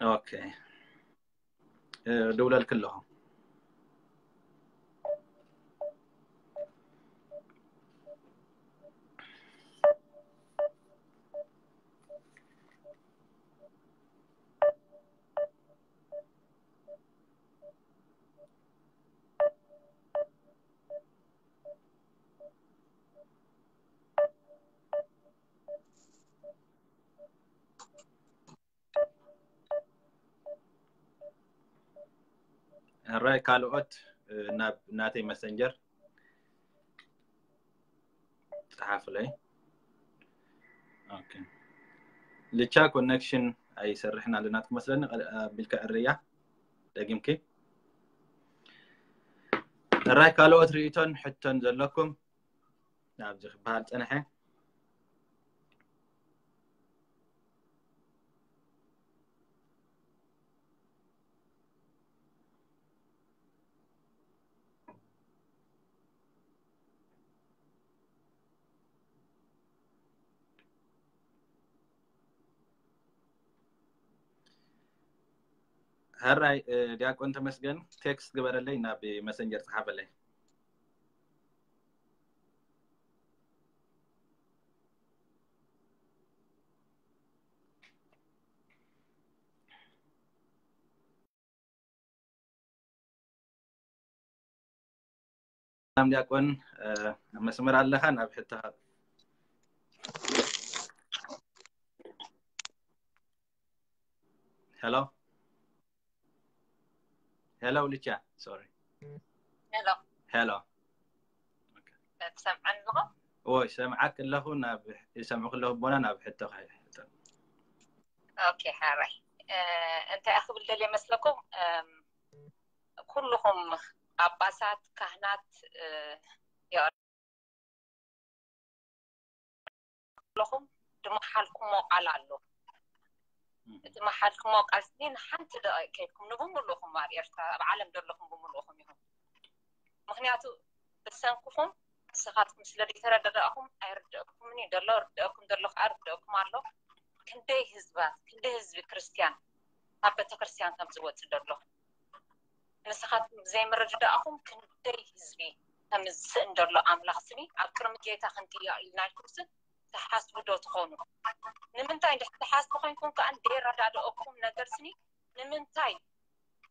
ኦኬ። ድውለልክ ኣለኹ። ሕራይ ካልኦት ናብ ናተይ መሰንጀር ፀሓፍለይ። ኦኬ። ልቻ ኮኔክሽን ኣይሰርሕን ኣለና ትመስለኒ። ኣቢልካ ዕርያ ደጊምኪ። ሕራይ ካልኦት ርእይቶን ሕቶን ዘለኩም ናብዚ ክበሃል ፀንሐ። ሕራይ ዲያቆን ተመስገን ቴክስት ግበረለይ ናብ መሰንጀር ፀሓፈለይ። ሰላም ዲያቆን ኣብ መስመር ኣለኻ ናብ ሕቶ ሄሎ ሄሎ ልቻ ሶሪ ሄሎ ሄሎ ትሰምዐን ኣለኹ? ወይ ሰምዓክ ኣለኹ ናብ ይሰምዑ ከለኹ ቦና ናብ ሕቶ ኦኬ ሓራይ እንታይ ክብል ደልየ መስለኩም ኩልኹም ጳጳሳት ካህናት ኣለኹም ድመሓልኩሞ ቃል ኣሎ እቲ መሓልኩሞ ቃል ስኒ ንሓንቲ ደቂቅ ከይድኩም ንብምሉእኹም ኣብ ኤርትራ ኣብ ዓለም ዘለኹም ብምሉእኹም ኢኹም ምክንያቱ ብሰንክኹም ንስኻትኩም ስለ ዘይተረዳዳእኹም ኣይርድአኩምን እዩ ዘሎ ርድአኩም ዘሎ ከዓ ርድአኩም ኣሎ ክንደይ ህዝባት ክንደይ ህዝቢ ክርስትያን ካብ ቤተክርስትያን ከም ዝወፅእ ዘሎ ንስኻትኩም ብዘይምርድዳእኹም ክንደይ ህዝቢ ከም ዝስእን ዘሎ ኣምላኽ ስኒ ኣብ ቅድሚ ጌታ ክንጥየቕ ኢልና ኢልኩም ስ ትሓስቡ ዶ ትኾኑ ንምንታይ እንድሕር ትሓስቡ ኮይንኩም ከዓ ዘይረዳድኦኩም ነገር ስኒ ንምንታይ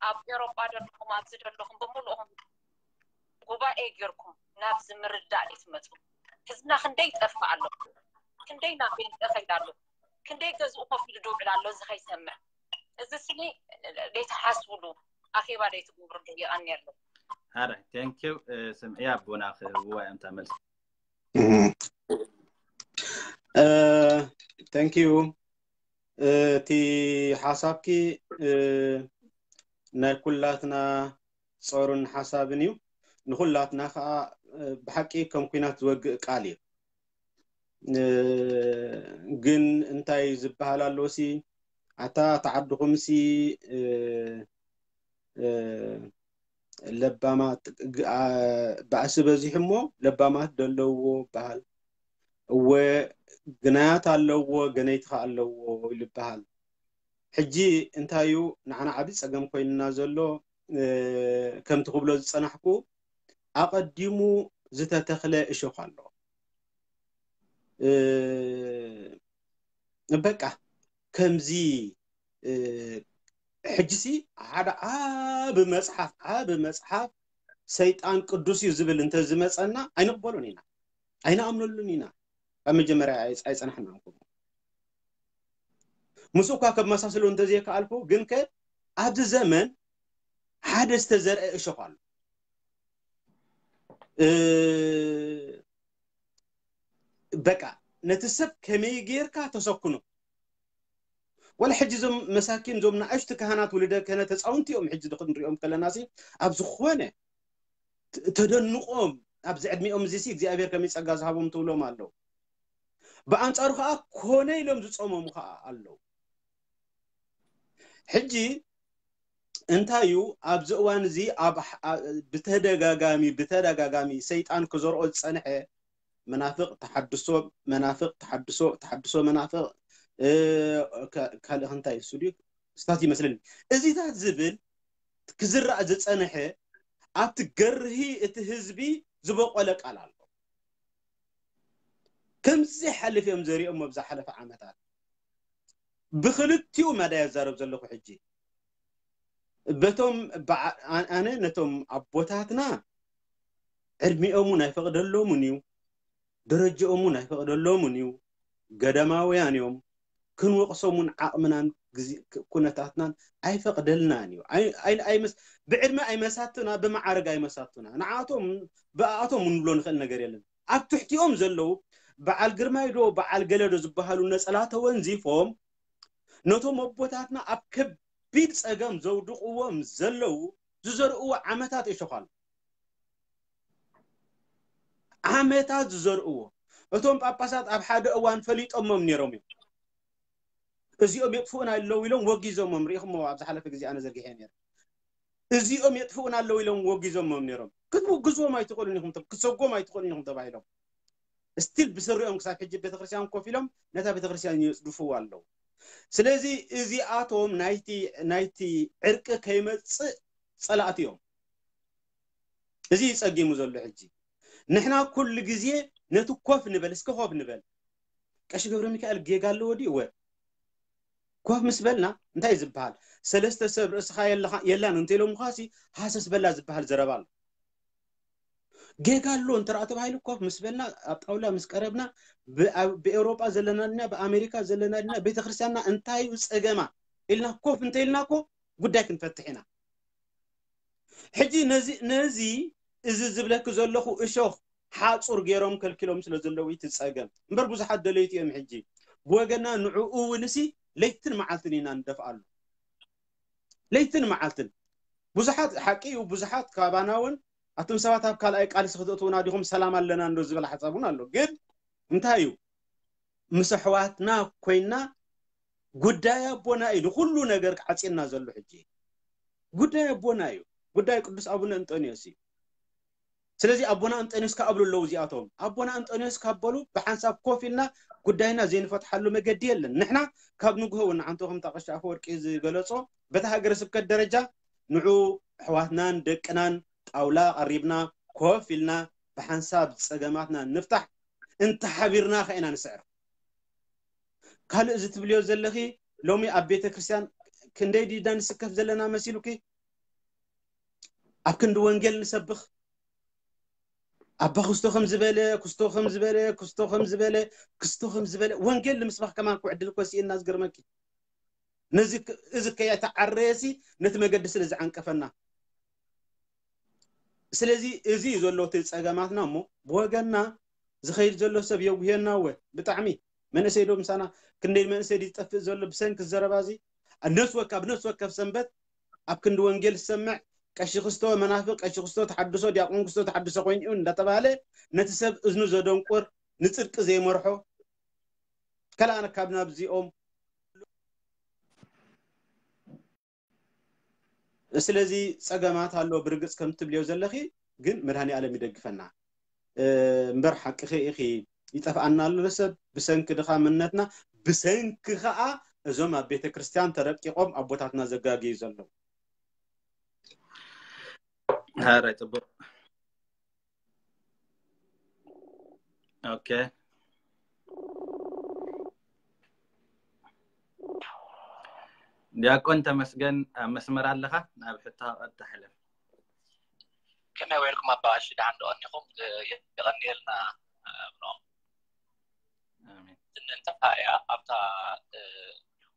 ኣብ ኤሮጳ ዘለኹም ኣብዚ ዘለኹም ብምልእኹም ጉባኤ ጌርኩም ናብዚ ምርዳእ ዘይትመፁ ህዝብና ክንደይ ይጠፍእ ኣሎ ክንደይ ናብ ቤንጠ ከይድ ኣሎ ክንደይ ገዝኡ ኮፍ ኢሉ ድውዕል ኣሎ እዚ ከይሰምዕ እዚ ስኒ ዘይትሓስብሉ ኣኼባ ዘይትገብርሉ የቐንየለይ ኣረ thank you። ስምዒ ኣቦና ክህብዋ እዮም እታ መልሲ። Thank you። እቲ ሓሳብኪ ናይ ኩላትና ጾርን ሓሳብን እዩ። ንኩላትና ከዓ ብሓቂ ከም ኩናት ዝወግእ ቃል እዩ። ግን እንታይ ዝበሃል ኣሎ ሲ፣ ኣታ ተዓድኹምሲ ለባማት፣ ባእሲ በዚሑ እሞ ለባማት ደለዎ ይበሃል። እወ፣ ግናያት ኣለዎ፣ ገነይቲ ከ ኣለዎ ይበሃል። ሕጂ እንታይ እዩ ንዓና ዓቢ ጸገም ኮይንና ዘሎ? ከምቲ ክብሎ ዝጸናሕኩ፣ ኣቐዲሙ ዝተተኽለ እሾኽ ኣሎ። በቃ ከምዚ ሕጂሲ ሓደ ዓቢ መጽሓፍ፣ ዓቢ መጽሓፍ ሰይጣን ቅዱስ እዩ ዝብል እንተ ዝመጸና ኣይንቕበሎን ኢና፣ ኣይንኣምነሉን ኢና። ኣብ መጀመርያ ኣይጸናሕናን። ከምኡ ምስ እኳ ከመሳስሎ እንተዘይከኣልኩ፣ ግን ከ ኣብዚ ዘመን ሓደ ዝተዘርአ እሾኽ ኣሎ። በቃ ነቲ ሰብ ከመይ ጌርካ ተሰክኖ። ወላ ሕጂ እዞም መሳኪን፣ እዞም ንኣሽቱ ካህናት፣ ውልደ ክህነት፣ ህፃውንቲ እዮም። ሕጂ ክንሪኦም ከለና ሲ ኣብ ዝኾነ ተደንቆም ኣብዚ ዕድሚኦም እዚ ሲ እግዚኣብሔር ከመይ ጸጋ ዝሃቦም ትብሎም ኣለዉ። ብኣንጻሩ ከዓ ኮነ ኢሎም ዝጾሞም ከዓ ኣለዉ። ሕጂ እንታይ እዩ ኣብዚ እዋን እዚ ኣብ ብተደጋጋሚ ብተደጋጋሚ ሰይጣን ክዘርኦ ዝጸንሐ መናፍቕ ተሓድሶ፣ መናፍቕ ተሓድሶ፣ ተሓድሶ መናፍቕ፣ ካልእ እንታይ እሱ ድዩ? ስታት ይመስለኒ። እዚታት ዝብል ክዝራእ ዝጸንሐ ኣብቲ ገርሂ እቲ ህዝቢ ዝበቆለ ቃል ኣሎ። ከምዚ ሓልፍ እዮም ዘሪኦም ኣብ ዝሓለፈ ዓመታት። ብክልቲኡ መዳ እዛረብ ዘለኹ ሕጂ። በቶም ኣነ ነቶም ኣቦታትና ዕድሚኦም እውን ኣይፈቕደሎምን እዩ፣ ደረጃኦም እውን ኣይፈቕደሎምን እዩ። ገዳማውያን እዮም። ክንወቕሶም እውን ዓቕምናን ኩነታትናን ኣይፈቕደልናን እዩ። ብዕድመ ኣይመሳቱና፣ ብመዓርግ ኣይመሳቱና። ንዓቶም ብኣቶም እውን ንብሎ ንኽእል ነገር የለን። ኣብ ትሕቲኦም ዘለዉ በዓል ግርማይ ዶ በዓል ገለ ዶ ዝበሃሉ ነጸላ ተወንዚፎም ነቶም ኣቦታትና ኣብ ከቢድ ጸገም ዘውድቕዎም ዘለዉ ዝዘርእዎ ዓመታት እሾኽ ኣሎ። ዓመታት ዝዘርእዎ። እቶም ጳጳሳት ኣብ ሓደ እዋን ፈሊጦሞም ነይሮም እዮም። እዚኦም የጥፍኡና ኣለዉ ኢሎም ወጊዞሞም። ርኢኹሞ ኣብ ዝሓለፈ ግዜ ኣነ ዘርጊሐ ነይረ። እዚኦም የጥፍኡና ኣለዉ ኢሎም ወጊዞሞም ነይሮም። ክትውግዝዎም ኣይትኽእሉን ኢኹም፣ ክትሰጎም ኣይትኽእሉን ኢኹም ተባሂሎም። ስቲል ብስሪኦም ክሳብ ሕጂ ቤተክርስትያን ኮፍ ኢሎም ነታ ቤተክርስትያን የጽድፍዋ ኣለዉ። ስለዚ እዚኣቶም ናይቲ ናይቲ ዕርቂ ከይመጽእ ጸላእቲ እዮም። እዚ እዩ ጸጊሙ ዘሎ ሕጂ። ንሕና ኩሉ ግዜ ነቲ ኮፍ ንበል፣ እስከ ኮፍ ንበል። ቀሺ ገብረ ሚካኤል ጌጋ ኣለዎ ድዩ? እወ። ኮፍ ምስ በልና እንታይ ዝበሃል? ሰለስተ ሰብ ርእስኻ የላን እንተኢሎምኻሲ ሃሰስ በላ ዝበሃል ዘረባ ኣሎ። ጌጋ ኣሎ እንተ ተባሂሉ ኮፍ ምስ በልና ኣብ ጣውላ ምስ ቀረብና ብኤውሮጳ ዘለና ድና ብኣሜሪካ ዘለና ድና ቤተክርስትያንና እንታይ እዩ ጸገማ ኢልና ኮፍ እንተ ኢልና እኮ ጉዳይ ክንፈትሕ ኢና። ሕጂ ነዚ ነዚ እዚ ዝብለኪ ዘለኹ እሾኽ ሓጹር ገይሮም ከልኪሎም ስለ ዘለዉ እቲ ጸገም እምበር ብዙሓት ደለይቲ እዮም። ሕጂ ብወገና ንዕኡ እውንሲ ለይትን መዓልትን ኢና ንደፍኣሉ። ለይትን መዓልትን ብዙሓት ሓቂ እዩ። ብዙሓት ካባና እውን ኣቱም ሰባት ኣብ ካልኣይ ቃልሲ ክተእትውና ዲኹም ሰላም ኣለና እንዶ ዝበል ሓሳብ እውን ኣሎ። ግን እንታይ እዩ ምስ ኣሕዋትና ኮይና ጉዳይ ኣቦና እዩ ንኩሉ ነገር ዓፂና ዘሎ ሕጂ ጉዳይ ኣቦና እዩ። ጉዳይ ቅዱስ ኣቡነ እንጠንዮስ እዩ። ስለዚ ኣቦና እንጠንዮስ ካኣብሉ ኣለዉ እዚኣቶም ኣቦና እንጠንዮስ ካበሉ ብሓንሳብ ኮፍ ኢልና ጉዳይና ዘይንፈትሓሉ መገዲ የለን። ንሕና ካብ ንግሆ እውን ንዓንቶ ከምታ ቀሺ ኣፈወርቂ ዝገለጾ በቲ ሃገረ ስብከት ደረጃ ንዑ ኣሕዋትናን ደቅናን ጣውላ ቀሪብና ኮፍ ኢልና ብሓንሳብ ጸገማትና ንፍታሕ እንተሓቢርና ከ ኢና ንስዕር። ካልእ እዚ ትብልዮ ዘለኺ ሎሚ ኣብ ቤተ ክርስቲያን ክንደይ ዲዳ ንስከፍ ዘለና መሲሉኪ? ኣብ ክንዲ ወንጌል ንሰብኽ ኣባ ክስቶ ከም ዝበለ ክስቶ ከም ዝበለ ክስቶ ከም ዝበለ ክስቶ ከም ዝበለ ወንጌል ንምስባኽ ከማን ክዕድል እኮ ስኢና ዝገርመኪ ነዚ እዚ ከየተዓረየሲ ነቲ መገዲ ስለ ዝዓንቀፈና ስለዚ እዚ እዩ ዘሎ እቲ ጸገማትና። እሞ ብወገንና ዝኸይድ ዘሎ ሰብ የጉህየና። እወ፣ ብጣዕሚ መንእሰይ ዶ ምሳና፣ ክንደይ መንእሰይ ድዩ ዝጠፍእ ዘሎ ብሰንኪ ዘረባ እዚ? ነፍሲ ወከፍ፣ ኣብ ነፍሲ ወከፍ ሰንበት ኣብ ክንዲ ወንጌል ዝሰምዕ፣ ቀሺ ክስቶ መናፍቅ፣ ቀሺ ክስቶ ተሓድሶ፣ ዲያቆን ክስቶ ተሓድሶ ኮይኑ እዩ እንዳተባሃለ ነቲ ሰብ እዝኑ ዘደንቁር፣ ንጽድቂ ዘይመርሖ፣ ከላእነ ካብ ናብዚኦም። ስለዚ ጸገማት ኣሎ ብርግጽ ከም ትብልዮ ዘለኺ፣ ግን መድሃኔ ኣለም ይደግፈና። እምበር ሓቅኺ ኢኺ። ይጠፍኣና ኣሎ ሰብ ብሰንኪ ድኻ መንነትና፣ ብሰንኪ ኸኣ እዞም ኣብ ቤተ ክርስቲያን ተረቂቖም ኣቦታትና ዘጋግዩ ዘለዉ። ሐራይ ጽቡቅ። ኦኬ፣ ዲያቆን ተመስገን ኣብ መስመር ኣለኻ? ናብ ሕቶ ቀጥታ ሕለፍ። ከመይ ውዒልኩም ኣባ ቀሺ? ደሓን ዶ ቀኒኹም? የቐንየልና። ኣሜን። እንታይ እያ ኣብታ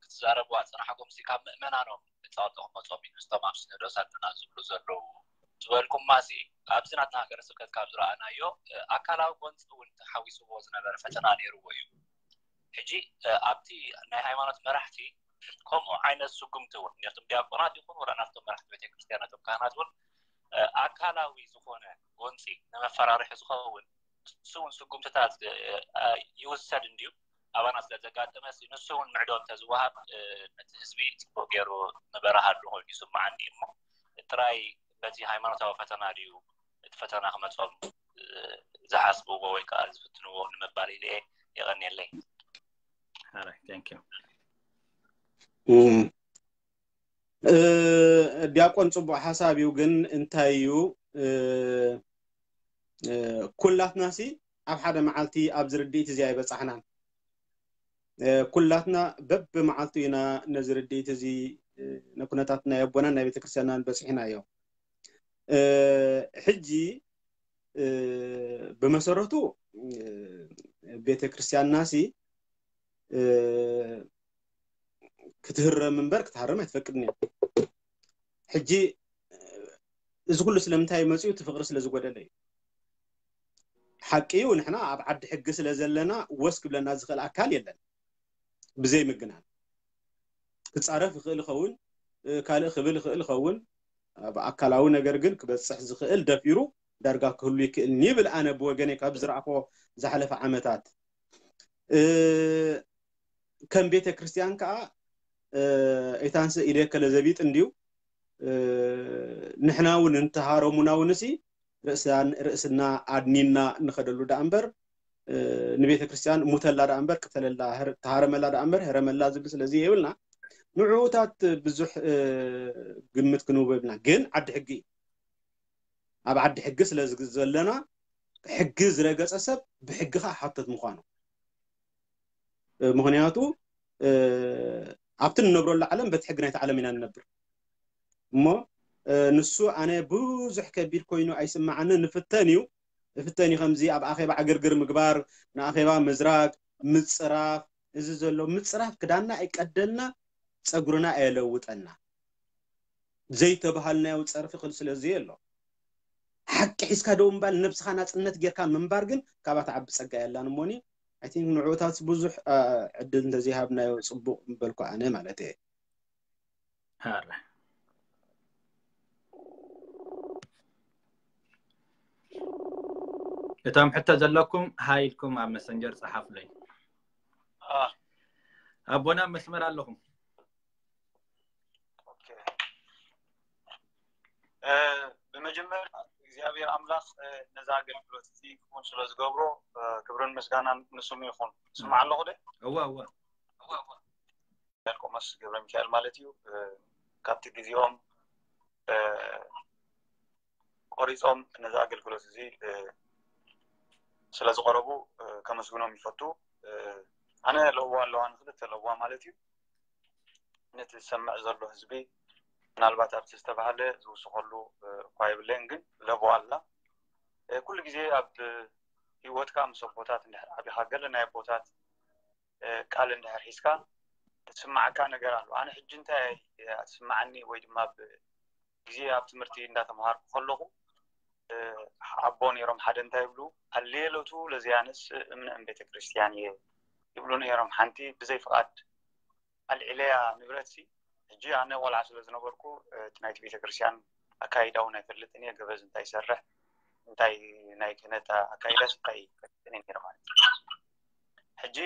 ክትዛረብዋ ዝጸናሕኩም ሲ ካብ ምእመናኖም ብጸቕጢ ክመጾም እዩ፣ ምስቶም ኣብ ሲኖዶስ ኣለና ዝብሉ ዘለዉ ዝበልኩማ ሲ ኣብዚ ናትና ሃገረ ስብከት ካብ ዝረኣናዮ ኣካላዊ ጎንፂ እውን ተሓዊስዎ ዝነበረ ፈተና ነይርዎ እዩ። ሕጂ ኣብቲ ናይ ሃይማኖት መራሕቲ ከምኡ ዓይነት ስጉምቲ እውን ነቶም ዲያቆናት ይኹን ወላ ናብቶም መራሕቲ ቤተክርስትያን ነቶም ካህናት እውን ኣካላዊ ዝኾነ ጎንፂ ንመፈራርሒ ዝኸውን ንሱ እውን ስጉምትታት ይውሰድ እንድዩ ኣባና ስለ ዘጋጠመ ንሱ እውን ምዕዶ እንተዝወሃብ ነቲ ህዝቢ ፅቡቅ ገይሩ ንበረሃሉ ኮይኑ ይስማዓኒ እሞ ጥራይ በቲ ሃይማኖታዊ ፈተና ድዩ እቲ ፈተና ክመፆም ዝሓስብዎ ወይ ከዓ ዝፍትንዎ ንምባል ኢለ የቐንየለይ። All right, thank you. ዲያቆን ፅቡቅ ሓሳብ እዩ። ግን እንታይ እዩ ኩላትና ሲ ኣብ ሓደ መዓልቲ ኣብዚ ርድኢት እዚ ኣይበፃሕናን። ኩላትና በብመዓልቱ ኢና ነዚ ርድኢት እዚ ንኩነታት ናይ ኣቦናን ናይ ቤተክርስትያናን በፂሕናዮ። ሕጂ ብመሰረቱ ቤተክርስትያንና ሲ ክትህረም እምበር ክትሃረም ኣይትፈቅድን እያ። ሕጂ እዚ ኩሉ ስለምንታይ መፅኡ? እቲ ፍቅሪ ስለ ዝጎደለ እዩ። ሓቂ እዩ፣ ንሕና ኣብ ዓዲ ሕጊ ስለ ዘለና ወስ ክብለና ዝኽእል ኣካል የለን። ብዘይ ምግናን ክፃረፍ ይኽእል ይኸውን፣ ካልእ ክብል ይኽእል ይኸውን። ኣብ ኣካላዊ ነገር ግን ክበፅሕ ዝኽእል ደፊሩ ዳርጋ ክህሉ ይክእል ይብል ኣነ ብወገነይ ካብ ዝረኣኽዎ ዝሓለፈ ዓመታት ከም ቤተ ክርስቲያን ከዓ እታንስ ኢደ ከለዘቢጥ እንድዩ ንሕና እውን እንተሃረሙና እውን ሲ ርእስና ኣድኒና ንኸደሉ ደኣ እምበር ንቤተ ክርስቲያን ሙተላ ደኣ እምበር ቅተለላ ተሃረመላ ደኣ እምበር ህረመላ ዝብል ስለዚ የብልና። ንዕኡታት ብዙሕ ግምት ክንህቦ የብልና። ግን ዓዲ ሕጊ እዩ። ኣብ ዓዲ ሕጊ ስለ ዘለና ሕጊ ዝረገፀ ሰብ ብሕጊ ከዓ ሓተት ምዃኑ ምክንያቱ ኣብቲ ንነብረሉ ዓለም በቲ ሕጊ ናይቲ ዓለም ኢና ንነብር እሞ ንሱ ኣነ ብዙሕ ከቢድ ኮይኑ ኣይስማዓኒ ንፍተን እዩ እፍተን እዩ ከምዚ ኣብ ኣኼባ ዕግርግር ምግባር ንኣኼባ ምዝራግ ምፅራፍ እዚ ዘሎ ምፅራፍ ክዳና ኣይቀደልና ፀጉርና ኣየለውጠና ዘይተባሃልናዮ ፀርፊ ክል ስለዚ ኣሎ ሓቂ ሒዝካ ደው ምባል ነብስኻ ናፅነት ጌርካ ምንባር ግን ካባታ ዓቢ ፀጋ የላን እሞኒ ኣይ ቲንክ ንዕኡታት ብዙሕ ዕድል እንተዘይሃብናዮ ፅቡቅ ምበልኩ ኣነ ማለት እየ ሀረ እቶም ሕቶ ዘለኩም ሃይ ኢልኩም ኣብ መሰንጀር ፀሓፉለይ ኣቦና መስመር ኣለኹም ብመጀመርያ እግዚኣብሔር ኣምላኽ ነዛ ኣገልግሎት እዚ ክውን ስለ ዝገብሮ ክብርን ምስጋናን ንስሙ ይኹን ስማዕ ኣለኹ ደ እዋ እዋ ቆሞስ ገብረ ሚካኤል ማለት እዩ ካብቲ ግዜኦም ቆሪፆም ነዚ ኣገልግሎት እዚ ስለ ዝቀረቡ ከመስግኖም ይፈቱ ኣነ ለእዋ ኣለዋ ንክልተ ለእዋ ማለት እዩ ነቲ ዝሰምዕ ዘሎ ህዝቢ ምናልባት ኣብቲ ዝተባሃለ ዝውስኸሉ እኳ የብለይን ግን ለቦ ኣላ ኩሉ ግዜ ኣብ ህይወትካ ምስ ኣቦታት እንድሕር ዓቢኻ ገለ ናይ ኣቦታት ቃል እንድሕር ሒዝካ ትስማዓካ ነገር ኣሎ ኣነ ሕጂ እንታይ ትስማዓኒ ወይ ድማ ግዜ ኣብ ትምህርቲ እንዳተምሃርኩ ከለኹ ኣቦ ነይሮም ሓደ እንታይ ይብሉ፣ ኣሌሎቱ ለዚያንስ እምነ እም ቤተክርስትያን እየ ይብሉ ነይሮም። ሓንቲ ብዘይ ፍቓድ ኣልዒለያ ንብረት ሲ ሕጂ ኣነ ቆልዓ ስለ ዝነበርኩ እቲ ናይቲ ቤተክርስትያን ኣካይዳ እውን ኣይፈልጥን እየ። ገበዝ እንታይ ይሰርሕ እንታይ ናይ ክህነት ኣካይዳስ እንታይ ይፈልጥን እየ ነይረ ማለት እዩ። ሕጂ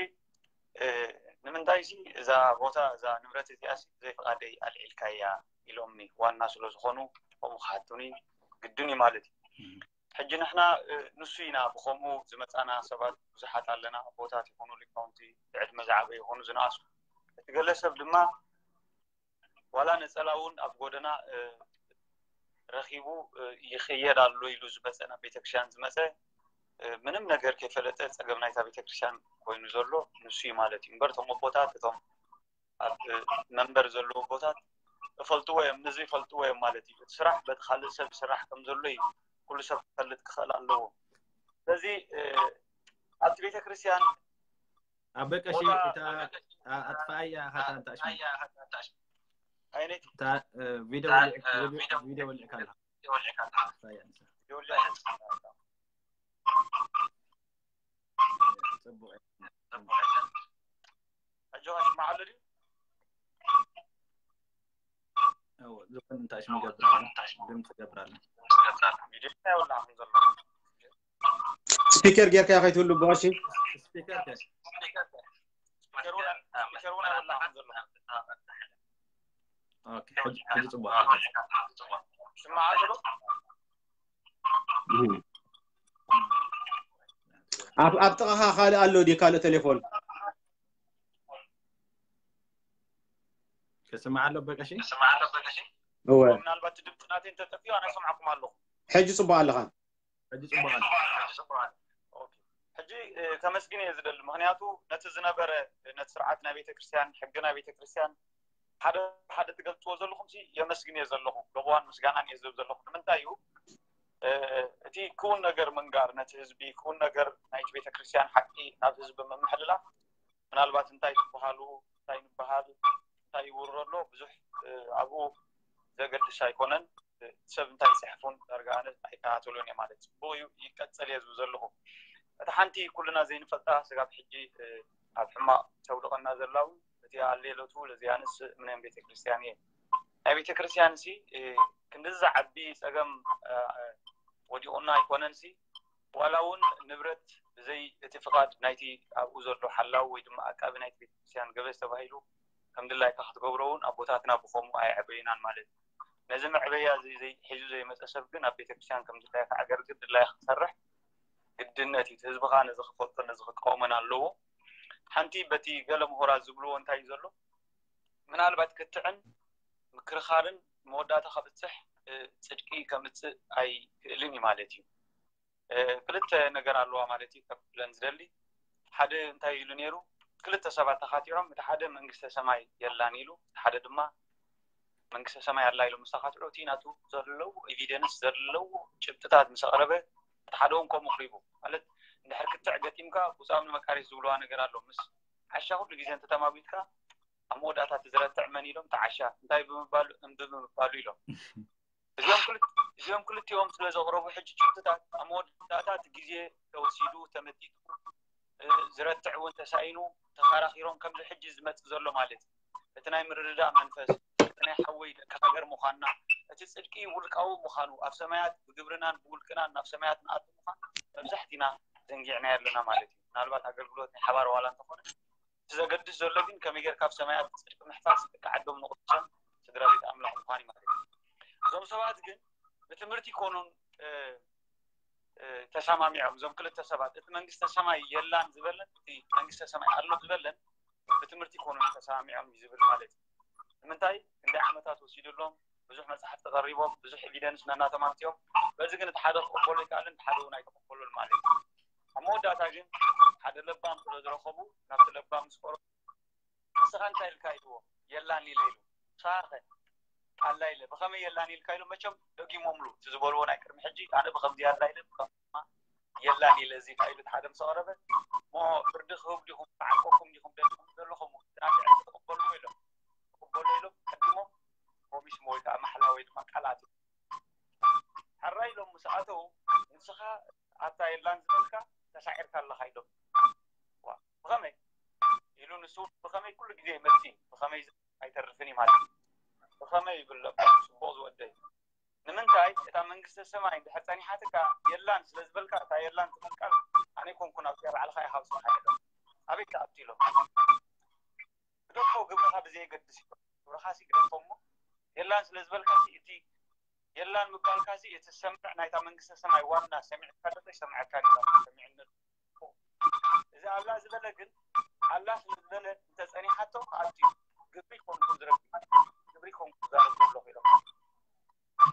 ንምንታይ ሲ እዛ ቦታ እዛ ንብረት እዚኣ ሲ ብዘይ ፍቓደይ ኣልዒልካያ ኢሎምኒ ዋና ስለ ዝኾኑ ከምኡ ክሓቱኒ ግድን እዩ ማለት እዩ። ሕጂ ንሕና ንሱ ኢና ብኸምኡ ዝመፃና ሰባት ብዙሓት ኣለና። ኣቦታት ይኹኑ ሊቃውንቲ ብዕድመ ዝዓበ ይኹኑ ዝነኣሱ እቲ ገለ ሰብ ድማ ዋላ ነፀላ እውን ኣብ ጎደና ረኺቡ ይኸየድ ኣሎ ኢሉ ዝመፀ ናብ ቤተክርስትያን ዝመፀ ምንም ነገር ከይፈለጠ ፀገም ናይታ ቤተክርስትያን ኮይኑ ዘሎ ንሱ እዩ ማለት እዩ። እምበር እቶም ኣቦታት እቶም ኣብ መንበር ዘለዉ ኣቦታት እፈልጥዎ እዮም፣ ነዚ ይፈልጥዎ እዮም ማለት እዩ። እቲ ስራሕ በቲ ካልእ ሰብ ይስራሕ ከም ዘሎ እዩ ኩሉ ሰብ ክፈልጥ ክኽእል ኣለዎ። ስለዚ ኣብቲ ቤተክርስትያን ኣበቀሺ እታ ኣጥፋኣያ ሃታ እንታሽ ኣይነት እታ ቪዲዮ ቪዲዮ ወልዕካ ኣላ ኣጥፋኣያ ንሳ። ሕጂ ከስማዓሉ ድዩ? ዝኾነ እንታይ ሽም ገብራለን ድምፂ ገብራለን ቪዲዮ ይወላዕኹም ዘሎ ስፒከር ጌርካ ከይትህሉ ብቐሺ ስፒከር ከ ኦኬ ሕጂ ሕጂ ፅቡቅ ኣሎ። ስማዕ ኣሎ ኣብ ኣብ ጥቓኻ ካልእ ኣሎ ድዩ ካልእ ቴሌፎን ክስማዕ ኣሎ በቀሺ እወ ምናልባት ድምፂ ናተይ እንተጠፊኡ ኣነ ይሰምዓኩም ኣለኹ። ሕጂ ፅቡቅ ኣለኻ ሕጂ ፅቡቅ ኣሎ። ሕጂ ከመስግን እየ ዝደሊ። ምክንያቱ ነቲ ዝነበረ ነቲ ስርዓት ናይ ቤተክርስትያን ሕጊ ናይ ቤተክርስትያን ሓደ ሓደ ትገልፅዎ ዘለኹም ሲ የመስግን እየ ዘለኹ። ለቦዋን ምስጋናን እየ ዝህብ ዘለኹ። ንምንታይ እዩ እቲ ክውን ነገር ምንጋር ነቲ ህዝቢ ክውን ነገር ናይቲ ቤተክርስትያን ሓቂ ናብ ህዝቢ ምምሕልላፍ ምናልባት እንታይ ትበሃሉ እንታይ ንበሃል እንታይ ይውሮ ኣሎ ብዙሕ ኣብኡ ዘገድስ ኣይኮነን። ሰብ እንታይ ይፅሕፉን ዳርጋ ኣነ ኣይከታተሉን እየ ማለት ፅቡቅ እዩ ይቀፀል እየ ዝብል ዘለኹ። እቲ ሓንቲ ኩልና ዘይንፈልጣ ስጋብ ሕጂ ኣብ ሕማቅ ተውድቀና ዘላ እውን እቲ ኣሌሎቱ ለዚያንስ እምነን ቤተክርስትያን እየ። ናይ ቤተክርስትያን ሲ ክንድዚ ዝዓቢ ፀገም ወዲቁና ኣይኮነን ሲ ዋላ እውን ንብረት ብዘይ እቲ ፍቃድ ናይቲ ኣብኡ ዘሎ ሓላው ወይ ድማ ኣቃቢ ናይቲ ቤተክርስትያን ገበዝ ተባሂሉ ከም ድላይካ ክትገብሮ እውን ኣቦታትና ብኸምኡ ኣየዕበዩናን ማለት እዩ። ነዚ መዕበያ እዚ ዘይ- ሒዙ ዘይመፀ ሰብ ግን ኣብ ቤተክርስትያን ከም ድላይካ ኣገልግል ድላይካ ክሰርሕ ግድነት እዩ። እቲ ህዝብኻ ነዚ ክፈልጦ ነዚ ክቃወመን ኣለዎ። ሓንቲ በቲ ገለ ምሁራት ዝብልዎ እንታይ እዩ ዘሎ ምናልባት ክትዕን ምክርኻርን መወዳእታ ከብፅሕ እ፣ ፅድቂ ከምፅእ ኣይክእልን እዩ ማለት እዩ። እ፣ ክልተ ነገር ኣለዋ ማለት እዩ ከብለን ዝደሊ ሓደ እንታይ ኢሉ ነይሩ ክልተ ሰባት ተኻቲዖም እቲ ሓደ መንግስተ ሰማይ የላን ኢሉ እቲ ሓደ ድማ መንግስተ ሰማይ ኣላ ኢሎም ምስ ተኻትዑ እቲ ናቱ ዘለዎ ኤቪደንስ ዘለዎ ጭብጥታት ምስ ኣቕረበ እቲ ሓደ እውን ከምኡ ክሪቡ ማለት እንድሕር ክትዕ ገጢምካ ብፃም ንመቃሪት ዝብልዋ ነገር ኣሎ ምስ ዓሻ ኩሉ ግዜ እንተተማጒትካ ኣብ መወዳእታ እቲ ዝረትዕ መን ኢሎም ተዓሻ እንታይ ብምባሉ እምቢ ብምባሉ ኢሎም እዚኦም ክልት- እዚኦም ክልቲኦም ስለ ዘቕረቡ ሕጂ ጭብጥታት ኣብ መወዳእታ እቲ ግዜ ተወሲዱ ተመጢጡ እ፣ ዝረትዕ እውን ተሳኢኑ ተኻራኺሮም ከምዚ ሕጂ ዝመፅእ ዘሎ ማለት እዩ። እቲ ናይ ምርድዳእ መንፈስ እቲ ናይ ሓወይ ደቂ ሃገር ምዃንና እቲ ፅድቂ ውልቃዊ ምዃኑ ኣብ ሰማያት ብግብርናን ብውልቅናን ናብ ሰማያት ንኣቱ ምዃን መብዛሕቲና ዘንጊዕና ኣለና ማለት እዩ። ምናልባት ኣገልግሎት ናይ ሓባር ዋላ እንተኾነ እቲ ዘገድስ ዘሎ ግን ከመይ ጌርካ ኣብ ሰማያት ፅድቂ ምሕፋስ ደቂ ዓዶም ንቕዱሳን ስድራ ቤት ኣምላኽ ምዃን እዩ ማለት እዩ። እዞም ሰባት ግን ብትምህርቲ ይኮኑን እ፣ እ፣ ተሰማሚዖም እዞም ክልተ ሰባት እቲ መንግስተ ሰማይ የላን ዝበለን እቲ መንግስተ ሰማይ ኣሎ ዝበለን ብትምህርቲ ይኮኑን ተሰማሚዖም እዩ ዝብል ማለት እዩ። ንምንታይ ክንደይ ዓመታት ወሲዱሎም ብዙሕ መፅሓፍቲ ቀሪቦም ብዙሕ ኤቪደንስ ነናቶም ኣምፅኦም በዚ ግን እቲ ሓደ ክቕበሎ ይከኣልን እቲ ሓደ እውን ኣይተቐበሉን ማለት እዩ። ኣብ መወዳእታ ግን ሓደ ለባም ስለ ዝረኸቡ ናብቲ ለባም ምስ ቀረቡ ንስኻ እንታይ ኢልካ ኢልዎ የላን ኢለ ኢሉ ንስኻ ኸ ኣላ ኢለ ብኸመይ የላን ኢልካ ኢሉ መቸም ደጊሞምሉ እቲ ዝበልዎ ናይ ቅድሚ ሕጂ ኣነ ብኸምዚ ኣላ ኢለ ብኸማ የላን ኢለ እዚ ኢሉ ሓደ ምስ ኣቕረበ ሞ ፍርዲ ክህብ ዲኹም ተዓቆኩም ዲኹም ደሊኹም ዘለኹም ናትዕን ትቕበልዎ ኢሎም ትቕበሉ ኢሎም ቀዲሞም ፕሮሚስ ወይ ከዓ ማሕላ ወይ ድማ ቃላት ሓራ እንታይ ኢሎም ምስ ኣተው፣ ንስኻ ኣብታ የላን ዝበልካ ተሳዒርካ ኣለኻ ኢሎም። ዋ፣ ብኸመይ ኢሉ ንሱ፣ ብኸመይ ኩሉ ግዜ ይመጽእ፣ ብኸመይ ኣይተርፍን እዩ ማለት እዩ። ብኸመይ ይብል እባ ጽቡቕ ዝወደይ። ንምንታይ እታ መንግስተ ሰማይ እንድሕር ጸኒሓትካ የላን ስለ ዝበልካ፣ እታ የላን ትብል ቃል ኣነ ኮንኩን ኣብዚኣ ባዕልኻ ኢኻ ኣውጺእኻ ኢሎም። ኣበይ ትኣቱ ኢሎም። ግደፎ፣ ግብርኻ ብዘየገድስ እዩ። ግብርኻሲ ግደፎ እሞ የላን ስለ ዝበልካሲ እቲ የላን ምባልካሲ እቲ ሰምዕ ናይታ መንግስተ ሰማይ ዋና ሰሚዕካ ዶ ሰሚዕካ ዶ ሰሚዕነት እዚ ኣላ ዝበለ ግን ኣላ ስለ ዝበለ እንተጸኒሓቶ ክኣቱ እዩ። ግብሪ ኮንኩ ዝረክብ ግብሪ ኮንኩ ዛረብ ዘለኹ ኢሎም።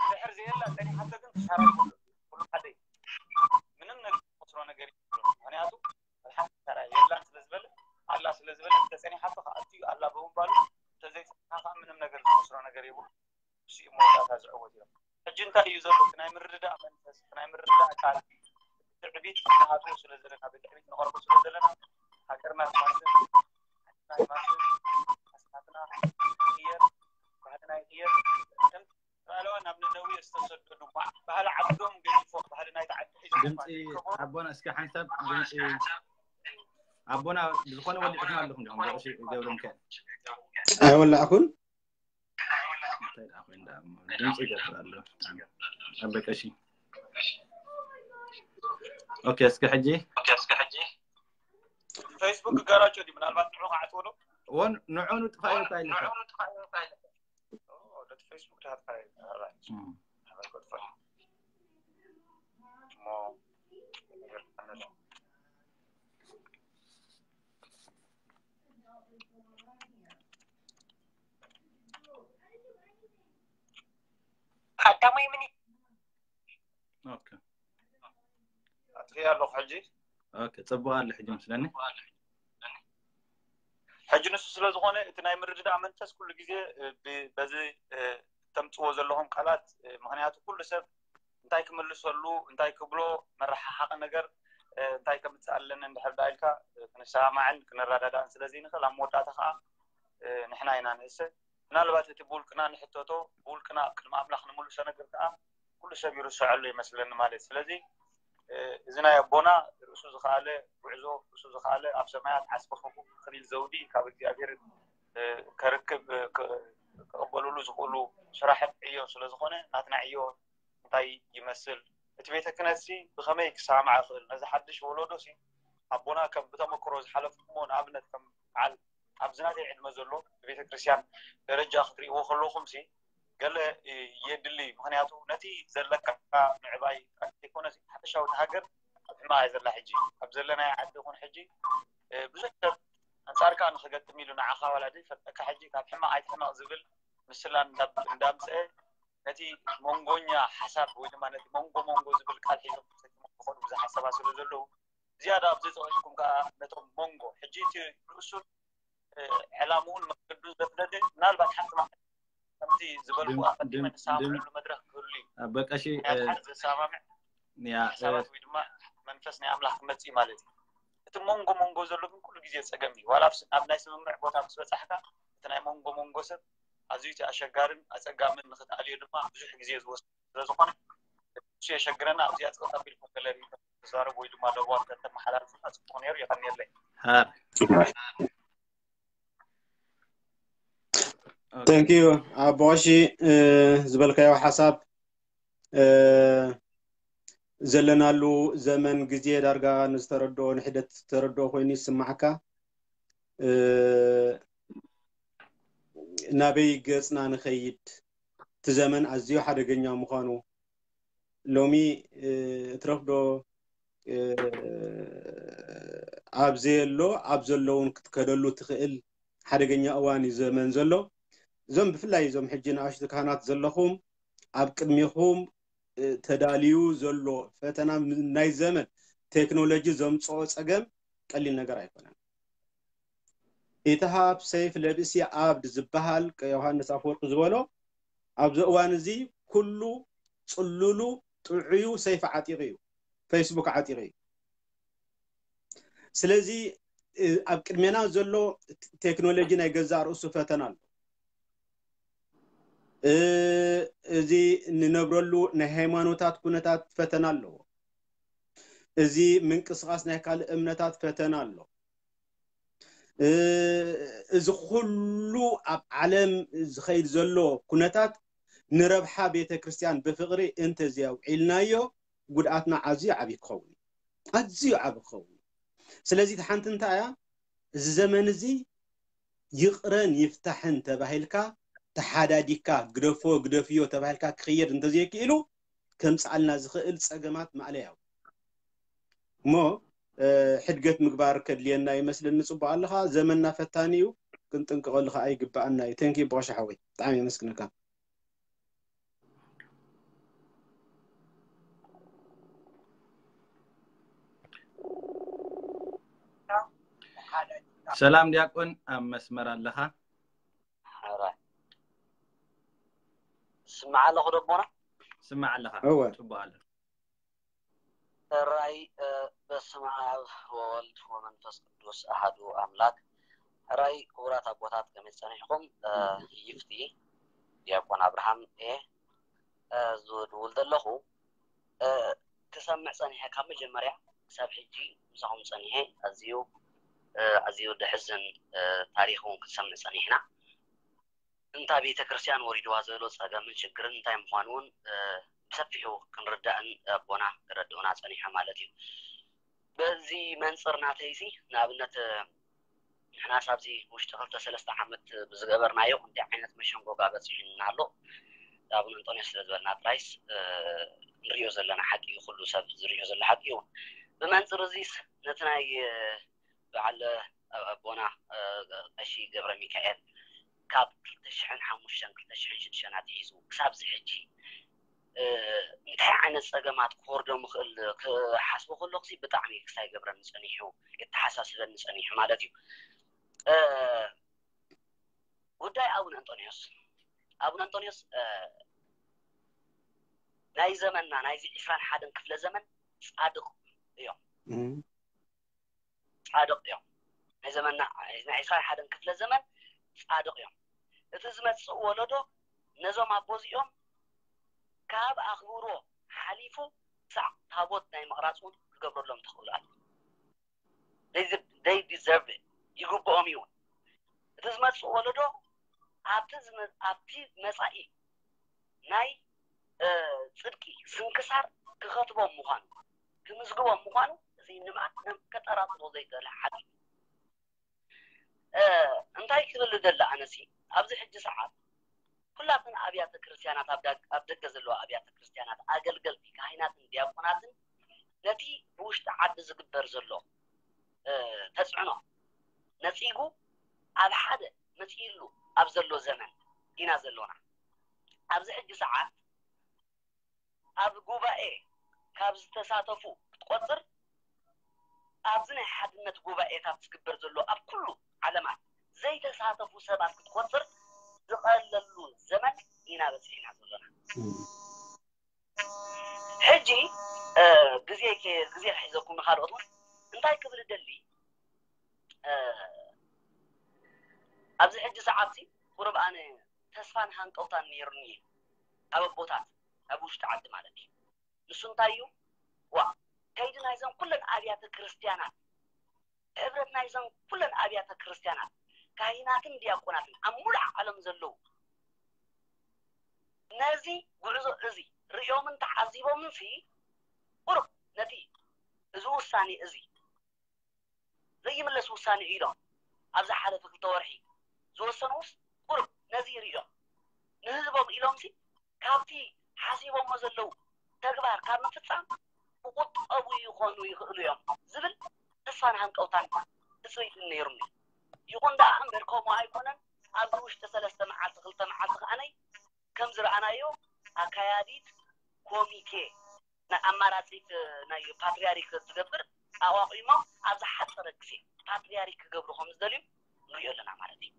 ድሕር ዘየላ ጸኒሓቶ ግን ክሳራ ይብሉ። ኩሉ ሓደ እዩ። ምንም ነገር ዝኸስሮ ነገር የብሉን። ምኽንያቱ ኣልሓምዱሊላህ የላን ስለ ዝበለ ኣላ ስለ ዝበለ እንተጸኒሓቶ ክኣቱ እዩ። ኣላ ብምባሉ እንተዘይጸኒሓ ከዓ ምንም ነገር ዝኸስሮ ነገር የብሉ። እሱ እዩ መወዳእታ ዝዕወት እዮም። ሕጂ እንታይ እዩ ዘሎ? እቲ ናይ ምርድዳእ መንፈስ፣ እቲ ናይ ምርድዳእ ቃል፣ ትዕቢት ንኣትዎ ስለ ዘለና፣ ብትዕቢት ንቐርቦ ስለ ዘለና፣ ሃገርና ትማስን፣ ዓድና ትማስን፣ ኣስማትና ይቕየር፣ ባህልና ይቕየር። ከም ባዕላዋ ናብ ነነዌ ዝተሰደዱ፣ ባ-፣ ባህሊ ዓዶም ገዲፎም፣ ባህሊ ናይቲ ዓዲ ሒዞም ድምፂ እኳ ዝርከቡ ኣቦና እስከ ሓንሳብ ድምፂ ኣቦና ብዝኾነ ወሊዕኹም ኣለኹም ዲኹም? ቀሺ ገብረ ሚካኤል። ኣይወላዕኩን። እንታይ ደኣ ኮይኑ ደኣ እሞ ድምፂ ይገብር ኣሎ። ኣቦ ቀሺ። ኦኬ፣ እስከ ሕጂ። ፌስቡክ ጋራጆ ድዩ? ምናልባት ንዑ ክዓጽዎ ዶ? ወን ንዑ ንጥፋ እዩ እንታይ ኢልካ? ኦ፣ ነቲ ፌስቡክ ድኣ ጥፋ እዩ። ኣራይት። እም። ኣበል ክጥፋ። እሞ፣ ነገር ኣነለ። ቀዳማይ ሚኒ-፣ ኦኬ። ኣጥፊኣ ኣለኹ ሕጂ። ኦኬ፣ ጽቡቕ ኣሎ ሕጂ መስለኒ። ሕጂ ንሱ ስለ ዝኾነ እቲ ናይ ምርድዳእ መንፈስ ኩሉ ግዜ፣ እ፣ ብ-፣ በዚ፣ እ፣ ተምጽዎ ዘለኹም ቃላት፣ እ፣ ምኽንያቱ ኩሉ ሰብ እንታይ ክምልሰሉ፣ እንታይ ክብሎ፣ መረሓሓቒ ነገር፣ እ፣ እንታይ ከምጽእ ኣለኒ እንድሕር ደኣ ኢልካ፣ እ፣ ክንሰማማዕን ክንረዳዳእን ስለ ዘይንኽእል ኣብ መወዳእታ ኸኣ፣ እ፣ ንሕና ኢና ንእሰ። ምናልባት እቲ ብውልቅና ንሕተቶ፣ ብውልቅና ኣብ ቅድሚ ኣምላኽ ንምልሶ ነገር ከኣ ኩሉ ሰብ ይርስዐሉ ይመስለኒ ማለት እዩ። ስለዚ፣ እ፣ እዚ ናይ ኣቦና ርእሱ ዝኸኣለ ጉዕዞ፣ ርእሱ ዝኸኣለ ኣብ ሰማያት ዓስቢ ከፍ ክብል ዘውዲ ካብ እግዚኣብሔር፣ እ፣ ከርክብ፣ እ፣ ክ-፣ ክቕበልሉ ዝኽእሉ ስራሕን ዕዮን ስለ ዝኾነ፣ ናትና ዕዮ እንታይ ይመስል? እቲ ቤተ ክህነትሲ ብኸመይ ክሰማማዕ ይኽእል? ነዚ ሓድሽ ወለዶሲ ኣቦና ከም ብተመክሮ ዝሓለፍኩሞ ንኣብነት ከም በዓል ኣብዚ ናተይ ዕድመ ዘሎ ብቤተ ክርስቲያን ደረጃ ክትርእይዎ ከለኹምሲ ገለ የድሊ። ምኽንያቱ ነቲ ዘለካ ምዕባይ ጥራሕ ዘይኮነሲ ሓፈሻዊ እታ ሃገር ኣብ ሕማቕ እያ ዘላ ሕጂ። ኣብ ዘለናዮ ዓዲ ይኹን ሕጂ፣ እ፣ ብዙሕ ሰብ ኣንጻርካ ንኽገጥም ኢሉ ንዓኻ ዋላ ዘይፈልጠካ ሕጂ ካብ ሕማቕ ኣይትሕመቕ ዝብል ምስላ እንዳ-፣ እንዳምጽአ ነቲ መንጎኛ ሓሳብ ወይ ድማ ነቲ መንጎ መንጎ ዝብል ቃል ሒዞም ዝኸዱ ብዙሓት ሰባት ስለ ዘለዉ ዝያዳ ኣብ ዘጽቕጥኩም ከኣ ነቶም መንጎ ሕጂ እቲ ርእሱን፣ እ፣ ዕላምኡን መንገዱን ዘፍለጠ ምናልባት ሓንቲ መዓልቲ ከምቲ ዝበልኩ ድም-፣ ኣቐዲመ ድም-፣ ንሰማምዐሉ ድም-፣ መድረኽ ክህሉ እዩ። ኣቦ ቀሺ፣ ምኽንያቱ እ፣ ሓደ ዘሰማምዕ ያ፣ እ፣ ሓሳባት ወይ ድማ መንፈስ ናይ ኣምላኽ ክመጽእ እዩ ማለት እዩ። እቲ መንጎ መንጎ ዘሎ ግን ኩሉ ግዜ ጸገም እዩ። ዋላ ኣብ ስ-፣ ኣብ ናይ ስምምዕ ቦታ ምስ በጻሕካ እቲ ናይ መንጎ መንጎ ሰብ ኣዝዩ እቲ ኣሸጋርን ኣጸጋምን ንኽትኣልዮ ድማ ብዙሕ ግዜ ዝወስድ ስለ ዝኾነ እሱ የሸግረና። ኣብዚኣ ጽቕጥ ኣቢልኩም ገለ ርእይቶ ተዛረቡ ወይ ድማ ለበዋት ከተመሓላልፉና ጽቡቕ ነይሩ። የቐንየለይ። ሃር። Thank you ኣቦ ቀሺ፣ እ፣ ዝበልካዮ ሓሳብ፣ እ፣ ዘለናሉ ዘመን ግዜ ዳርጋ ንዝተረድኦ ንሕደት ዝተረድኦ ኮይኑ ይስማዓካ። እ፣ ናበይ ገጽና ንኸይድ? እቲ ዘመን ኣዝዩ ሓደገኛ ምዃኑ ሎሚ፣ እ፣ እትረፍዶ፣ እ፣ ኣብ ዘየሎ ኣብ ዘሎ እውን ክትከደሉ ትኽእል ሓደገኛ እዋን እዩ ዘመን ዘሎ። እዞም ብፍላይ እዞም ሕጂ ንኣሽቱ ካህናት ዘለኹም ኣብ ቅድሚኹም፣ እ፣ ተዳልዩ ዘሎ ፈተና ም-፣ ናይ ዘመን ቴክኖሎጂ ዘምጽኦ ጸገም ቀሊል ነገር ኣይኮነን። ኢትሃብ ሰይፍ ለብሲ ዓብድ ዝበሃል ቀ-፣ ዮሃንስ ኣፈወርቂ ዝበሎ ኣብዚ እዋን እዚ ኩሉ ጽሉሉ ጥዑዩ ሰይፍ ዓጢቑ እዩ፣ ፌስቡክ ዓጢቑ እዩ። ስለዚ፣ እ፣ ኣብ ቅድሜና ዘሎ ቴክኖሎጂ ናይ ገዛእ ርእሱ ፈተና ኣሎ። እ፣ እ፣ እዚ እንነብረሉ ናይ ሃይማኖታት ኩነታት ፈተና ኣለዎ። እዚ ምንቅስቃስ ናይ ካልእ እምነታት ፈተና ኣሎ። እዚ ኩሉ ኣብ ዓለም ዝኸይድ ዘሎ ኩነታት ንረብሓ ቤተ ክርስቲያን ብፍቕሪ እንተዘየውዒልናዮ ጉድኣትና ኣዝዩ ዓብዪ ክኸውን እዩ። ኣዝዩ ዓብዪ ክኸውን እዩ። ስለዚ እቲ ሓንቲ እንታይ እያ? እዚ ዘመን እዚ ይቕረን ይፍታሕን ተባሂልካ ተሓዳዲካ ግደፎ ግደፍዮ ተባሂልካ ክኽየድ እንተዘይክኢሉ ከምፅኣልና ዝኽእል ፀገማት ማእለያው እሞ ሕድገት ምግባር ከድልየና ይመስለኒ። ፅቡቅ ኣለኻ። ዘመንና ፈታኒ እዩ፣ ክንጥንቀቀሉ ከዓ ይግበኣና እዩ። ተንኪ በቆሻ ሓወይ ብጣዕሚ የመስግነካ። ሰላም ዲያቆን፣ ኣብ መስመር ኣለኻ። ሕራይ ስማዕ ኣለኹ ደቦና። ስማዕ ኣለኻ። እወ። ጽቡቕ ኣሎ። ሕራይ በስመ ኣብ ወወልድ ወመንፈስ ቅዱስ ኣሃዱ ኣምላክ። ሕራይ ክቡራት ኣቦታት ከመይ ጸኒሕኩም? ይፍቲ ዲያቆን ኣብርሃም እየ ዝድውል ዘለኹ። ክሰምዕ ጸኒሐ ካብ መጀመርያ ክሳብ ሕጂ ምሳኹም ጸኒሐ። ኣዝዩ ኣዝዩ ደሕዝን ታሪኽ እውን ክንሰምዕ ጸኒሕና። እንታ ቤተ ክርስቲያን ወሪድዋ ዘሎ ጸገምን ሽግርን እንታይ ምዃኑ እውን ብሰፊሑ ክንርዳእን ኣቦና ክረድኡና ጸኒሖም ማለት እዩ። በዚ መንጽር ናተይሲ ንኣብነት ንሕናስ ኣብዚ ውሽጢ ክልተ ሰለስተ ዓመት ብዝገበርናዮ ክንደይ ዓይነት መሸንጎጋ በጺሑና ኣሎ። ኣቡነ እንጦንዮስ ስለ ዝበልና ጥራይስ ንሪኦ ዘለና ሓቂ እዩ፣ ኩሉ ሰብ ዝሪኦ ዘሎ ሓቂ እዩ። ብመንጽር እዚስ ነቲ ናይ በዓል ኣቦና ቀሺ ገብረ ሚካኤል ካብ ክልተ ሽሕን ሓሙሽተን ክልተ ሽሕን ሽዱሽተን ኣትሒዙ ክሳብ እዚ ሕጂ እንታይ ዓይነት ፀገማት ክወርዶ ምኽእል ክሓስቦ ከለኹ ብጣዕሚ ክሳይ ገብረኒ ፀኒሑ፣ የተሓሳስበኒ ፀኒሑ ማለት እዩ። ጉዳይ ኣቡነ እንጦንዮስ ኣቡነ እንጦንዮስ ናይ ዘመንና ናይዚ ዕስራን ሓደን ክፍለ ዘመን ፃድቕ እዮም። ፃድቕ እዮም። ናይ ዘመንና ናይ ዕስራን ሓደን ክፍለ ዘመን ፃድቕ እዮም። እቲ ዝመፅእ ወለዶ ነዞም ኣቦዚኦም ካብ ኣኽብሮ ሓሊፉ ክሳዕ ታቦት ናይ ምቕራፅ እውን ክገብረሎም ትኽእሉ ኣለ። They deserve it፣ ይግብኦም እዩ። እቲ ዝመፅእ ወለዶ ኣብቲ መፃኢ ናይ ፅድቂ ስንክሳር ክኸትቦም ምዃኑ ክምዝግቦም ምዃኑ እዚ ንማንም ከጠራጥሮ ዘይክእል ሓቂ። እንታይ ክብል ደለ ኣነሲ ኣብዚ ሕጂ ሰዓት ኩላተን ኣብያተ ክርስቲያናት ኣብ ደገ ዘለዋ ኣብያተ ክርስቲያናት ኣገልገልቲ ካህናትን ዲያቆናትን ነቲ ብውሽጢ ዓዲ ዝግበር ዘሎ ተፅዕኖ ነፂጉ ኣብ ሓደ መፂእሉ ኣብ ዘሎ ዘመን ኢና ዘሎና። ኣብዚ ሕጂ ሰዓት ኣብ ጉባኤ ካብ ዝተሳተፉ ክትቆፅር ኣብዚ ናይ ሓድነት ጉባኤታት ዝግበር ዘሎ ኣብ ኩሉ ዓለማት ዘይተሳተፉ ሰባት ክትቆፅር ዝቐለሉ ዘመን ኢና በፂሕና ዘሎና። ሕጂ ግዜ ግዜ ሒዘኩም ንካልኦት እውን እንታይ ክብል ደሊ ኣብዚ ሕጂ ሰዓት ቁሩብ ኣነ ተስፋን ሃንቀውታን ነይሩኒ ካብ ኣቦታት ኣብ ውሽጢ ዓዲ ማለት እዩ። ንሱ እንታይ እዩ ዋ ከይዲ ናይዘን ኩለን ኣብያተ ክርስትያናት ሕብረት ናይዘን ኩለን ኣብያተ ክርስትያናት ካሂናትን ዲያቆናትን ኣብ ሙሉእ ዓለም ዘለዉ ነዚ ጉዕዞ እዚ ርእዮምን ተዓዚቦምን ሲ ቁሩብ ነቲ እዚ ውሳኔ እዚ ዘይምለስ ውሳኔ ኢሎም ኣብ ዝሓለፈ ክልተ ወርሒ ዝወሰኑስ ቁሩብ ነዚ ርእዮም ንህዝቦም ኢሎም ሲ ካብቲ ሓሲቦሞ ዘለዉ ተግባር ካብ ምፍፃም ክቁጠቡ ይኾኑ ይኽእሉ እዮም ዝብል ተስፋን ሃንቀውታን ትፅቢትን ነይሩኒ። ይኹን ደኣ እምበር ከምኡ ኣይኮነን። ኣብዚ ውሽጢ ሰለስተ መዓልቲ ክልተ መዓልቲ ከዓነይ ከም ዝረኣናዮ ኣካያዲት ኮሚቴ ናይ ኣማራፂት ናይ ፓትሪያሪክ ዝገብር ኣቋቒሞም ኣብ ዝሓፀረ ግዜ ፓትሪያሪክ ክገብሩ ከም ዝደልዩ ንሪኦ ኣለና ማለት እዩ።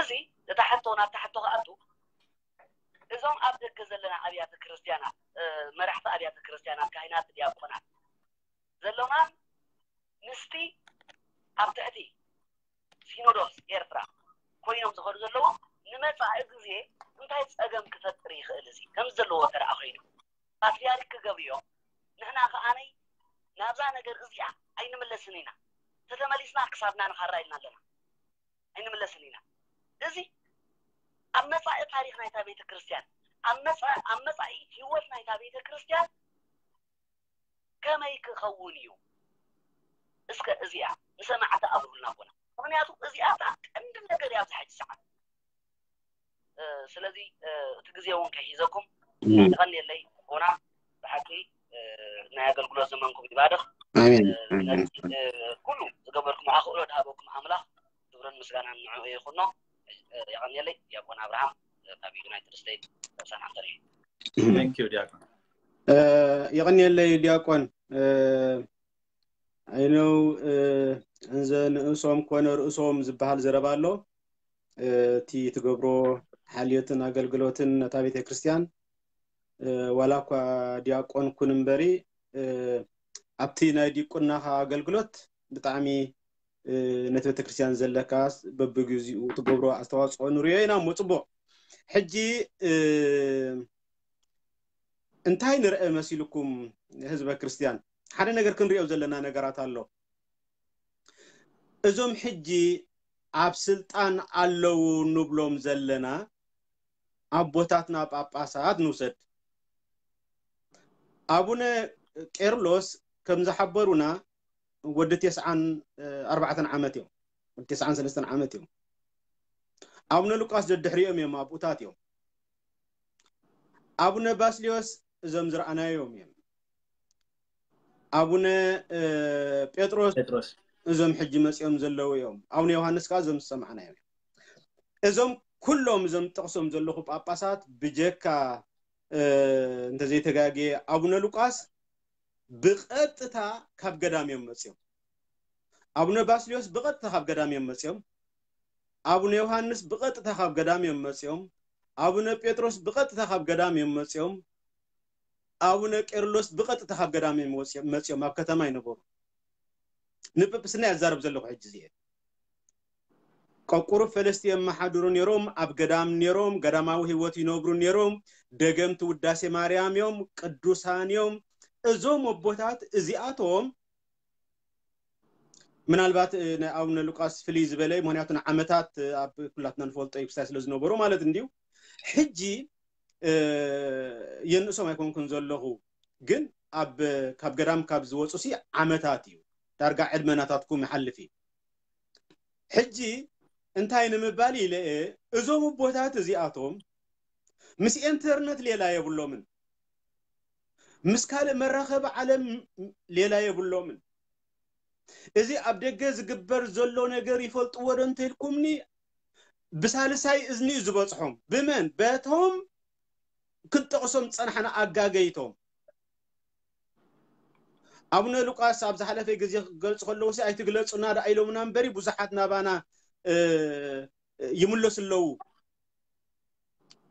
እዚ እታ ሕቶ ናብታ ሕቶ ክኣቱ እዞም ኣብ ደገ ዘለና ኣብያተ ክርስትያናት መራሕቲ ኣብያተ ክርስትያናት ካህናት ዲያቆናት ዘሎና ምስቲ ኣብ ትሕቲ ሲኖዶስ ኤርትራ ኮይኖም ዝኸዱ ዘለዉ ንመፃኢ ግዜ እንታ እንታይ ጸገም ክፈጥር ይኽእል? እዚ ከም ዘለዎ ተረኣ ኮይኑ ፓትሪያርክ ክገብርዮ፣ ንሕና ከዓነይ ናብዛ ነገር እዚኣ ኣይንምለስን ኢና። ተተመሊስና ክሳብና ንኻራ ኢልና ኣለና። ኣይንምለስን ኢና። እዚ ኣብ መጻኢ ታሪኽ ናይታ ቤተ ክርስቲያን፣ ኣብ መጻ- ኣብ መጻኢ ህይወት ናይታ ቤተ ክርስቲያን ከመይ ክኸውን እዩ? እስከ እዚኣ ንሰማዕቲ ኣብሩልና ኣቦና። ምኽንያቱ እዚኣ እታ ቀንዲ ነገር እያ ኣብዚ ሕጂ ሰዓት። ስለዚ እቲ ግዜ እውን ከይሒዘኩም የቐንየለይ ኣቦና። ብሓቂ ናይ ኣገልግሎት ዘመንኩም ይባርኽ። ኣሜን። ነቲ ኩሉ ዝገበርኩም ኣኽእሎ ድሃበኩም ኣምላኽ ክብርን ምስጋናን ንዕኡ ይኹኖ። የቐንየለይ። ዲያቆን ኣብርሃም ካብ ዩናይትድ ስቴትስ ሳን ኣንቶኒዮ። Thank you ዲያቆን። የቐንየለይ ዲያቆን። I know እንዘ ንእሶም ኮነ ርእሶም ዝበሃል ዘረባ ኣሎ። እቲ ትገብሮ ሓልዮትን ኣገልግሎትን ነታ ቤተ ክርስቲያን ዋላ እኳ ዲያቆን ኩን እምበሪ ኣብቲ ናይ ዲቁናኻ ኣገልግሎት ብጣዕሚ ነቲ ቤተክርስትያን ዘለካ በብግዚኡ ትገብሮ ኣስተዋፅኦ ንሪኦ ኢና እሞ ፅቡቕ። ሕጂ እንታይ ንርአ መሲልኩም ህዝበ ክርስትያን? ሓደ ነገር ክንሪኦ ዘለና ነገራት ኣሎ። እዞም ሕጂ ኣብ ስልጣን ኣለዉ ንብሎም ዘለና ኣቦታትና ጳጳሳት ንውሰድ። ኣቡነ ቄርሎስ ከም ዝሓበሩና ወዲ ተስዓን ኣርባዕተን ዓመት እዮም። ወዲ ተስዓን ሰለስተን ዓመት እዮም። ኣቡነ ሉቃስ ደድሕሪኦም እዮም፣ ኣብኡታት እዮም። ኣቡነ ባስልዮስ እዞም ዝረኣናዮም እዮም። ኣቡነ ጴጥሮስ ጴጥሮስ እዞም ሕጂ መፂኦም ዘለዉ እዮም። ኣቡነ ዮሃንስ ከዓ እዞም ዝሰማዕናዮም እዮም። እዞም ኩሎም እዞም ጠቕሶም ዘለኹ ጳጳሳት ብጀካ እንተዘይተጋግየ ኣቡነ ሉቃስ ብቐጥታ ካብ ገዳም እዮም መፂኦም። ኣቡነ ባስልዮስ ብቐጥታ ካብ ገዳም እዮም መፂኦም። ኣቡነ ዮሃንስ ብቐጥታ ካብ ገዳም እዮም መፂኦም። ኣቡነ ጴጥሮስ ብቐጥታ ካብ ገዳም እዮም መፂኦም። ኣቡነ ቄርሎስ ብቐጥታ ካብ ገዳም እዮም መፂኦም፣ ኣብ ከተማ ይነበሩ። ንጵጵስና ያዛረብ ዘለኹ ሕጂ እዚኤ። ቀቁሩ ፈለስቲ የመሓድሩ ነይሮም፣ ኣብ ገዳም ነይሮም፣ ገዳማዊ ህይወት ይነብሩ ነይሮም። ደገምቲ ውዳሴ ማርያም እዮም፣ ቅዱሳን እዮም። እዞም ኣቦታት እዚኣቶም ምናልባት ናይ ኣቡነ ሉቃስ ፍልይ ዝበለ እዩ፣ ምክንያቱ ንዓመታት ኣብ ኩላትና ንፈልጦ እዩ ክሳይ ስለ ዝነበሩ ማለት እንድዩ። ሕጂ የንእሶም ኣይኮንኩን ዘለኹ፣ ግን ኣብ ካብ ገዳም ካብ ዝወፁ ሲ ዓመታት እዩ፣ ዳርጋ ዕድመ ናታትኩም ይሓልፍ እዩ። ሕጂ እንታይ ንምባል ኢለ እየ፣ እዞም ኣቦታት እዚኣቶም ምስ ኢንተርነት ሌላ የብሎምን፣ ምስ ካልእ መራኸቢ ዓለም ሌላ የብሎምን። እዚ ኣብ ደገ ዝግበር ዘሎ ነገር ይፈልጥዎ ዶ እንተኢልኩምኒ፣ ብሳልሳይ እዝኒ እዩ ዝበፅሖም። ብመን? በቶም ክንጠቕሶም ዝፀናሕና ኣጋገይቶም። ኣቡነ ሉቃስ ኣብ ዝሓለፈ ግዜ ክገልፁ ከለዉ ሲ ኣይትግለፁና ደኣ ኢሎምና እምበሪ ብዙሓት ናባና ይምለሱ ኣለዉ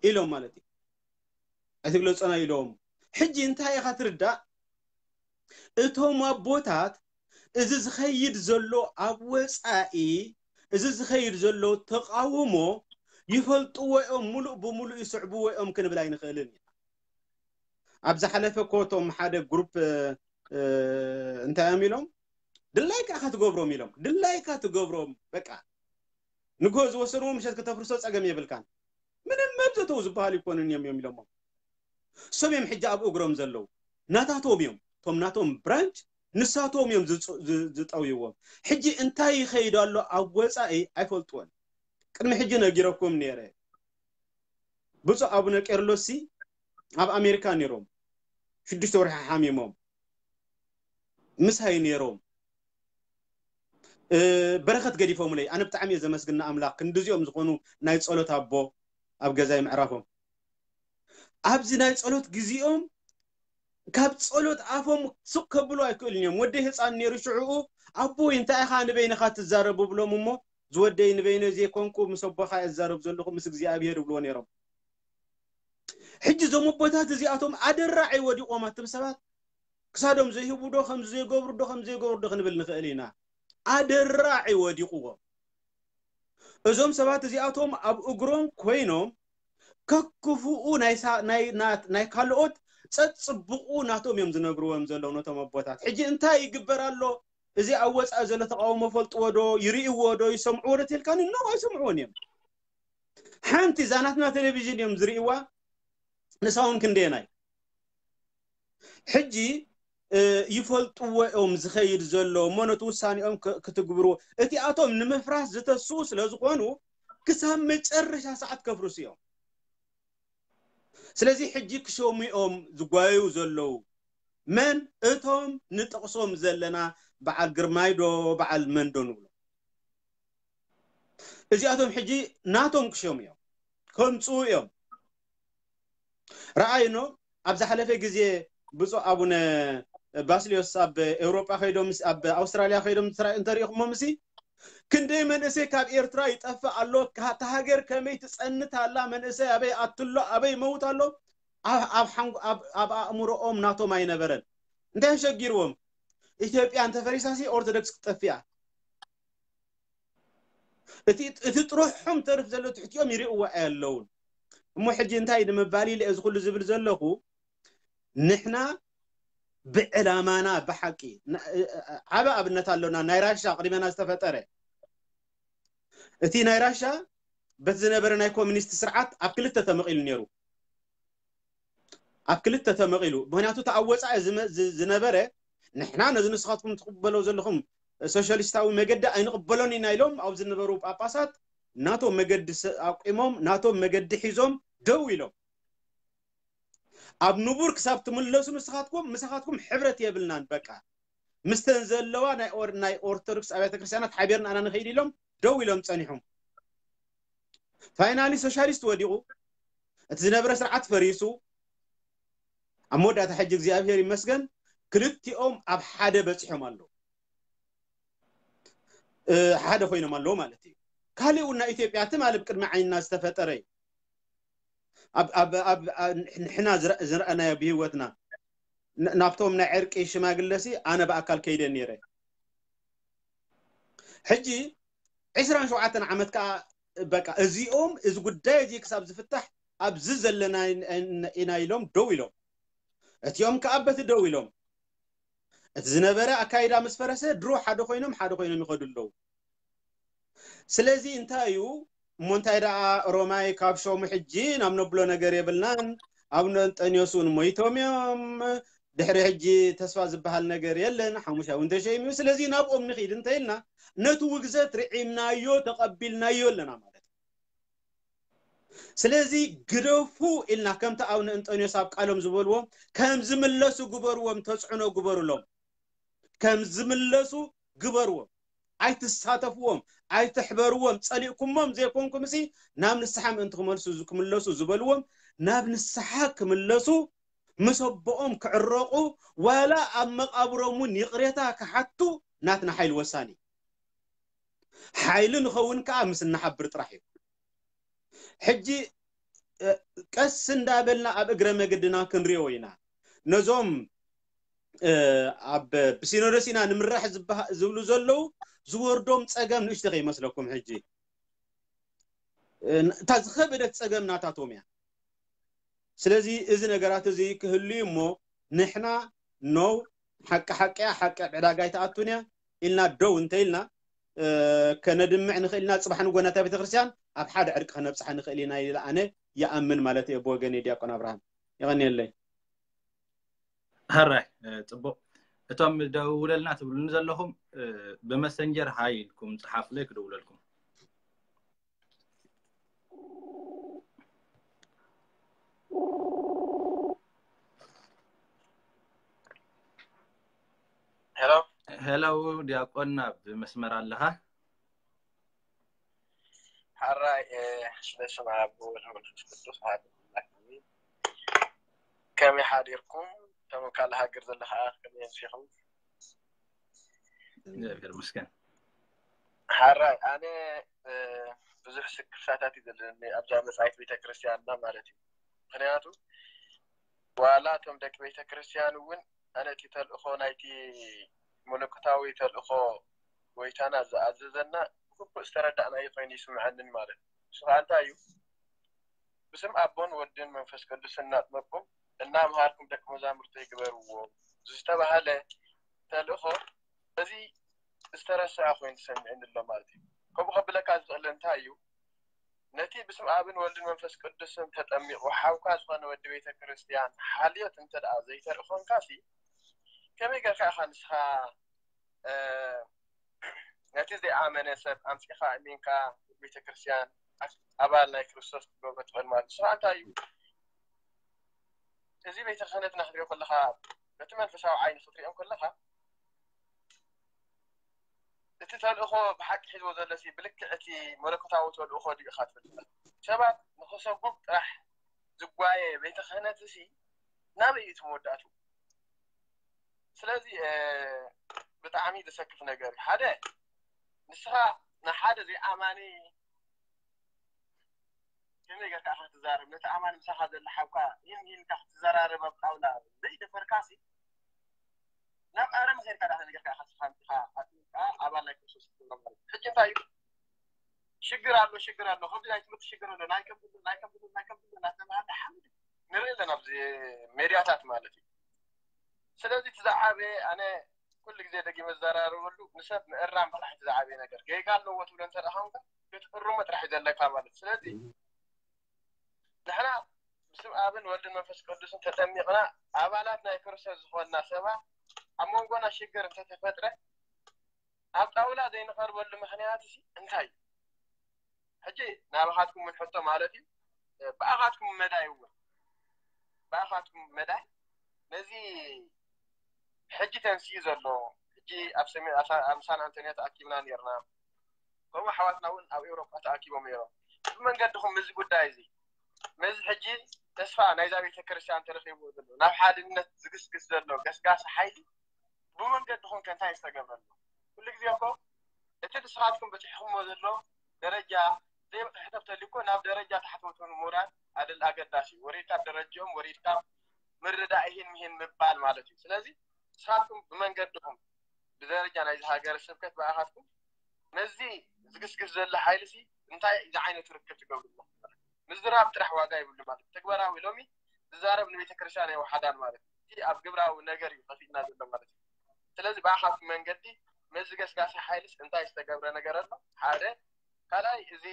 ኢሎም ማለት እዩ። ኣይትግለፁና ኢሎም። ሕጂ እንታይ ኢኻ ትርዳእ? እቶም ኣቦታት እዚ ዝኸይድ ዘሎ ኣብ ወፃኢ፣ እዚ ዝኸይድ ዘሎ ተቃውሞ ይፈልጥዎ እዮም፣ ሙሉእ ብሙሉእ ይስዕብዎ እዮም ክንብል ኣይንኽእልን ኢና። ኣብ ዝሓለፈ እኮ እቶም ሓደ ግሩፕ እንታይ እዮም ኢሎም? ድላይካ ኢኻ ትገብሮም ኢሎም። ድላይካ ትገብሮም በቃ። ንግሆ ዝወሰንዎ ምሸት ከተፍርሶ ፀገም የብልካን። ምንም መብዘተው ዝበሃል ይኮኑን እዮም እዮም ኢሎሞ። እሶም እዮም ሕጂ ኣብ እግሮም ዘለዉ። ናታቶም እዮም። እቶም ናቶም ብራንች ንሳቶም እዮም ዝጠውይዎም። ሕጂ እንታይ ይኸይድ ኣሎ ኣብ ወፃኢ ኣይፈልጥዎን። ቅድሚ ሕጂ ነጊረኩም ነይረ። ብፁዕ ኣቡነ ቄርሎስ ሲ ኣብ ኣሜሪካ ነይሮም። ሽዱሽተ ወርሒ ሓሚሞም ምሳይ ነይሮም። በረከት ገዲፎምለይ። ኣነ ብጣዕሚ እየ ዘመስግን ንኣምላኽ ክንድዚኦም ዝኾኑ ናይ ጸሎት ኣቦ ኣብ ገዛይ ምዕራፎም። ኣብዚ ናይ ጸሎት ግዜኦም ካብ ጸሎት ኣፎም ስቕ ከብሉ ኣይክእሉን እዮም። ወደይ ህፃን ነይሩ ሽዕኡ ኣቦይ እንታይ ኢኻ ንበይንኻ ትዛረብ እብሎም እሞ ዝወደይ ንበይነይ ዘይኮንኩ ምስ ኣቦኻ እየ ዝዛረብ ዘለኹ ምስ እግዚኣብሄር ይብልዎ ነይሮም። ሕጂ እዞም ኣቦታት እዚኣቶም ኣደራዒ ወዲቖም ኣትም ሰባት ክሳዶም ዘይህቡ ዶ ከም ዘይገብሩ ዶ ከም ዘይገብሩ ዶ ክንብል ንኽእል ኢና። ኣደራዒ ወዲቑዎም። እዞም ሰባት እዚኣቶም ኣብ እግሮም ኮይኖም ከክፉኡ ናይ ሳ- ናይ ናት- ናይ ካልኦት ጸጽብቑ ናቶም እዮም ዝነግርዎም ዘለዉ ነቶም ኣቦታት። ሕጂ እንታይ ይግበር ኣሎ? እዚ ኣብ ወጻኢ ዘሎ ተቃውሞ ፈልጥዎ ዶ ይርእይዎ ዶ ይሰምዕዎ ዶ ተልካኒ? ኖ ኣይሰምዕዎን እዮም። ሓንቲ እዛ ናትና ቴሌቪዥን እዮም ዝርእይዋ። ንሳ እውን ክንደየናይ ሕጂ ይፈልጥዎ እዮም ዝኸይድ ዘሎ እሞ ነቲ ውሳኔኦም ክትግብርዎ። እቲኣቶም ንምፍራስ ዝተስኡ ስለ ዝኾኑ ክሳብ መጨረሻ ሰዓት ከፍርሱ እዮም። ስለዚ ሕጂ ክሸሙ እዮም ዝጓየዩ ዘለዉ። መን እቶም ንጠቕሶም ዘለና በዓል ግርማይ ዶ በዓል መን ዶ ንብሎ? እዚኣቶም ሕጂ ናቶም ክሸሙ እዮም ከምፅኡ እዮም። ረኣይኖ ኣብ ዝሓለፈ ግዜ ብፁዕ ኣቡነ ባስልዮስ ኣብ ኤውሮጳ ከይዶም ኣብ ኣውስትራልያ ከይዶም እንተሪእኹሞ ምሲ ክንደይ መንእሰይ ካብ ኤርትራ ይጠፍእ ኣሎ። እታ ሃገር ከመይ ትጸንት ኣላ? መንእሰይ ኣበይ ኣትሎ? ኣበይ መውት ኣሎ? ኣብ ኣእምሮኦም ናቶም ኣይነበረን። እንታይ ሸጊርዎም? ኢትዮጵያ እንተፈሪሳሲ ኦርቶዶክስ ክትጠፍያ። እቲ ጥሩሖም ተርፍ ዘሎ ትሕቲኦም ይርእዎ ኣየለውን። እሞ ሕጂ እንታይ ንምባል ኢለ እዚ ኩሉ ዝብል ዘለኹ? ንሕና ብዕላማና ብሓቂ ዓበ ኣብነት ኣሎና። ናይ ራሻ ቅድመና ዝተፈጠረ እቲ ናይ ራሻ በቲ ዝነበረ ናይ ኮሚኒስት ስርዓት ኣብ ክልተ ተመቒሉ ነይሩ። ኣብ ክልተ ተመቒሉ። ምክንያቱ እቲ ኣብ ወፃኢ ዝነበረ ንሕና ነዚ ንስኻትኩም ትቕበለው ዘለኹም ሶሻሊስታዊ መገዲ ኣይንቕበሎን ኢና ኢሎም ኣብ ዝነበሩ ጳጳሳት ናቶም መገዲ ኣቂሞም ናቶም መገዲ ሒዞም ደው ኢሎም። ኣብ ንቡር ክሳብ ትምለሱ ንስኻትኩም ምሳኻትኩም ሕብረት የብልናን በቃ ምስተን ዘለዋ ናይ ኦርቶዶክስ ኣብያተ ክርስቲያናት ሓቢርና ኣና ንኸይድ ኢሎም ደው ኢሎም ፀኒሖም። ፋይናሊ ሶሻሊስት ወዲቑ፣ እቲ ዝነበረ ስርዓት ፈሪሱ። ኣብ መወዳእታ ሕጂ እግዚኣብሔር ይመስገን ክልቲኦም ኣብ ሓደ በፂሖም ኣለዉ። ሓደ ኮይኖም ኣለዉ ማለት እዩ። ካሊእ እውን ናይ ኢትዮጵያ ትማሊ ብቅድሚ ዓይንና ዝተፈጠረ እዩ። ንሕና ዝረኣናዮ ብህይወትና ናብቶም ናይ ዕርቂ ሽማግለሲ ኣነ ብኣካል ከይደ ነይረ። ሕጂ ዕስራን ሸውዓተን ዓመት ከዓ በቃ እዚኦም እዚ ጉዳይ እዚ ክሳብ ዝፍታሕ ኣብዚ ዘለና ኢና ኢሎም ደው ኢሎም። እቲኦም ከዓ በቲ ደው ኢሎም። እቲ ዝነበረ ኣካይዳ ምስ ፈረሰ ድሮ ሓደ ኮይኖም ሓደ ኮይኖም ይኸዱ ኣለዉ። ስለዚ እንታይ እዩ እሞ እንታይ ደኣ ሮማይ ካብ ሸሙ ሕጂ ናብ ነብሎ ነገር የብልናን። ኣቡነ እንጠንዮስ እውን ሞይቶም እዮም። ድሕሪ ሕጂ ተስፋ ዝበሃል ነገር የለን። ሓሙሻይ እውን ተሸይሙ እዩ። ስለዚ ናብኦም ንኺድ እንተኢልና ነቲ ውግዘት ርዒምናዮ ተቐቢልናዮ ኣለና ማለት እዩ። ስለዚ ግደፉ ኢልና ከምቲ ኣቡነ እንጠንዮስ ኣብ ቃሎም ዝበልዎም ከም ዝምለሱ ግበርዎም፣ ተፅዕኖ ግበሩሎም። ከም ዝምለሱ ግበርዎም። ኣይትሳተፍዎም፣ ኣይትሕበርዎም። ፀሊእኩሞም ዘይኮንኩም ሲ ናብ ንስሓ ምእንቲ ክመልሱ ክምለሱ ዝበልዎም ናብ ንስሓ ክምለሱ ምስ ኣቦኦም ክዕረቑ ዋላ ኣብ መቓብሮም እውን ይቕሬታ ክሓቱ ናትና ሓይሊ ወሳኒ። ሓይሊ ንኸውን ከዓ ምስ እናሓብር ጥራሕ እዩ። ሕጂ ቀስ እንዳበልና ኣብ እግረ መገድና ክንሪኦ ኢና። ነዞም ኣብ ብሲኖዶስ ኢና ንምራሕ ዝብሉ ዘለዉ ዝወርዶም ፀገም ንእሽቶ ከይመስለኩም። ሕጂ እታ ዝኸበደት ፀገም ናታቶም እያ። ስለዚ እዚ ነገራት እዚ ክህሉ እዩ እሞ ንሕና ኖው ሓቂ ሓቂ እያ፣ ሓቂ ኣብ ዕዳጋ ኣይትኣቱን እያ ኢልና ደው እንተኢልና ከነድምዕ ንኽእል ኢና። ፅባሕ ንጎ ናታ ቤተክርስትያን ኣብ ሓደ ዕርቂ ከነብፅሓ ንኽእል ኢና ኢለ ኣነ ይኣምን ማለት እየ ብወገን ዲያቆን ኣብርሃም። የቐንየለይ። ሕራይ። ፅቡቕ። እቶም ደውለልና ትብሉኒ ዘለኹም ብመሰንጀር ሃይ ኢልኩም ፀሓፉለይ ክደውለልኩም። ሄሎ ሄሎ ዲያቆን ኣብ መስመር ኣለኻ? ሓራይ ስለ ስም ኣብ ወልድ መንፈስ ቅዱስ ሓደ ኣምላክ ኣሜን። ከመይ ሓዲርኩም? ከም ካልእ ሃገር ዘለኻ ከመይ ኣምሲኹም? እግዚኣብሔር ይመስገን። ሓራይ ኣነ ብዙሕ ስክፍታታት እዩ ዘለኒ ኣብዛ መጻኢት ቤተክርስትያንና ማለት እዩ። ምክንያቱ ዋላ እቶም ደቂ ቤተክርስትያን እውን ኣነ እቲ ተልእኾ ናይቲ መለኮታዊ ተልእኾ ጎይታና ዝኣዘዘና ብግቡእ ዝተረዳእናዮ ኮይኑ ይስምዐንን ማለት እዩ። ንሱ ከዓ እንታይ እዩ? ብስም ኣቦን ወድን መንፈስ ቅዱስን እናጥመቅኩም እናምሃርኩም ደቂ መዛሙርተይ ግበርዎም ዝተባሃለ ተልእኾ በዚ ዝተረስዐ ኮይኑ ተሰሚዑኒ ኣሎ ማለት እዩ። ከምኡ ከብለካ ዝኽእል እንታይ እዩ? ነቲ ብስም ኣብን ወልድን መንፈስ ቅዱስን ተጠሚቑ ሓውካ ዝኾነ ወዲ ቤተ ክርስቲያን ሓልዮት እንተ ደኣ ዘይተርኢ ኮንካሲ ከመይ ጌርካ ኢኻ ንስኻ ነቲ ዘይኣመነ ሰብ ኣምፂኻ እሚንካ ቤተ ክርስቲያን ኣባል ናይ ክርስቶስ ክትገብሮ ትኽእል ማለት ንስኻ እንታይ እዩ? እዚ ቤተ ክህነትና ክትሪኦ ከለኻ በቲ መንፈሳዊ ዓይኒ ክትሪኦ ከለኻ እቲ ተልእኾ ብሓቂ ሒዝዎ ዘሎ ሲ ብልክዕ እቲ መለኮታዊ ተልእኾ ድዩ ኢኻ ትብል? ሰባት ንኽሰጉም ጥራሕ ዝጓየ ቤተ ክህነት ሲ ናበይ እዩ እቲ መወዳእቱ? ስለዚ ብጣዕሚ ዘሰክፍ ነገር እዩ። ሓደ ንስኻ ንሓደ ዘይኣማኒ ከመይ ጌርካ ኢኻ ክትዛረብ? ነቲ ኣማኒ ምሳኻ ዘሎ ሓውካ ይህን ይህን ኢልካ ክትዘራረብ ኣብ ጣውላ ዘይደፈርካሲ ናብ ኣረም ኸይድካ ዳ ነገር ኢኻ ስኻ ኣጥሚቕካ ኣባል ናይ ክርስቶስ ክትገብሮ ማለት እዩ። ሕጂ እንታይ እዩ ሽግር ኣሎ ሽግር ኣሎ ከምዚ ናይ ትምህርቲ ሽግር ኣሎ ናይ ከምዚ ናይ ከምዚ ናይ ከምዚ እናተባሃለ ሓምድ ንርኢ ኣለና ኣብዚ ሜድያታት ማለት እዩ። ስለዚ እቲ ዝዓበየ ኣነ ኩሉ ግዜ ደጊመ ዝዘራረበሉ ንሰብ ምእራም ጥራሕ እቲ ዝዓበየ ነገር ጌጋ ኣለዎ ትብሎ እንተ ደኣ ኮንካ ክትእርሞ ጥራሕ እዩ ዘለካ ማለት ስለዚ ንሕና ብስም ኣብን ወልድን መንፈስ ቅዱስን ተጠሚቕና ኣባላት ናይ ክርስቶስ ዝኾንና ሰባት ኣብ መንጎና ሽግር እንተተፈጥረ ኣብ ጣውላ ዘይንቐርበሉ ምኽንያት እዚ እንታይ እዩ? ሕጂ ናባኻትኩም ምን ሕቶ ማለት እዩ ብኣኻትኩም መዳይ እውን ብኣኻትኩም መዳይ ነዚ ሕጂ ተንስኡ ዘሎ ሕጂ ኣብ ሳን ኣንቶኒዮ ተኣኪብና ነርና ከምኡ ኣሕዋትና እውን ኣብ ኤውሮጳ ተኣኪቦም ነይሮም ብመንገድኹም እዚ ጉዳይ እዚ ነዚ ሕጂ ተስፋ ናይዛ ቤተ ክርስቲያን ተረኺብዎ ዘሎ ናብ ሓድነት ዝግስግስ ዘሎ ገስጋሲ ሓይሊ ብመንገድኹም ከ እንታይ ዝተገብረ ኣሎ ኩሉ ግዜ እኮ እቲ ንስኻትኩም በፂሕኹምዎ ዘሎ ደረጃ ዘይበፅሐ ሰብ ተልዩ እኮ ናብ ደረጃ ታሕተዎት ምውራድ ኣገዳሲ እዩ ወሪድካ ደረጅኦም ወሪድካ ምርዳእ ይህን ምሂን ምባል ማለት እዩ ስለዚ ንስኻትኩም ብመንገድኹም ብደረጃ ናይዚ ሃገረ ስብከት ብኣኻትኩም ነዚ ዝግስግስ ዘሎ ሓይሊ ሲ እንታይ ዝዓይነቱ ርክብ ትገብሩ ኣለኹም ምዝራብ ጥራሕ ዋጋ ይብሉ ማለት ተግባራዊ ሎሚ ዝዛረብ ንቤተ ክርስቲያን ኣይወሓዳን ማለት እቲ ኣብ ግብራዊ ነገር እዩ ከፊትና ዘሎ ማለት እዩ ስለዚ ብኣኻትኩም መንገዲ ነዚ ገስጋሲ ሓይልስ እንታይ ዝተገብረ ነገር ኣሎ ሓደ ካልኣይ እዚ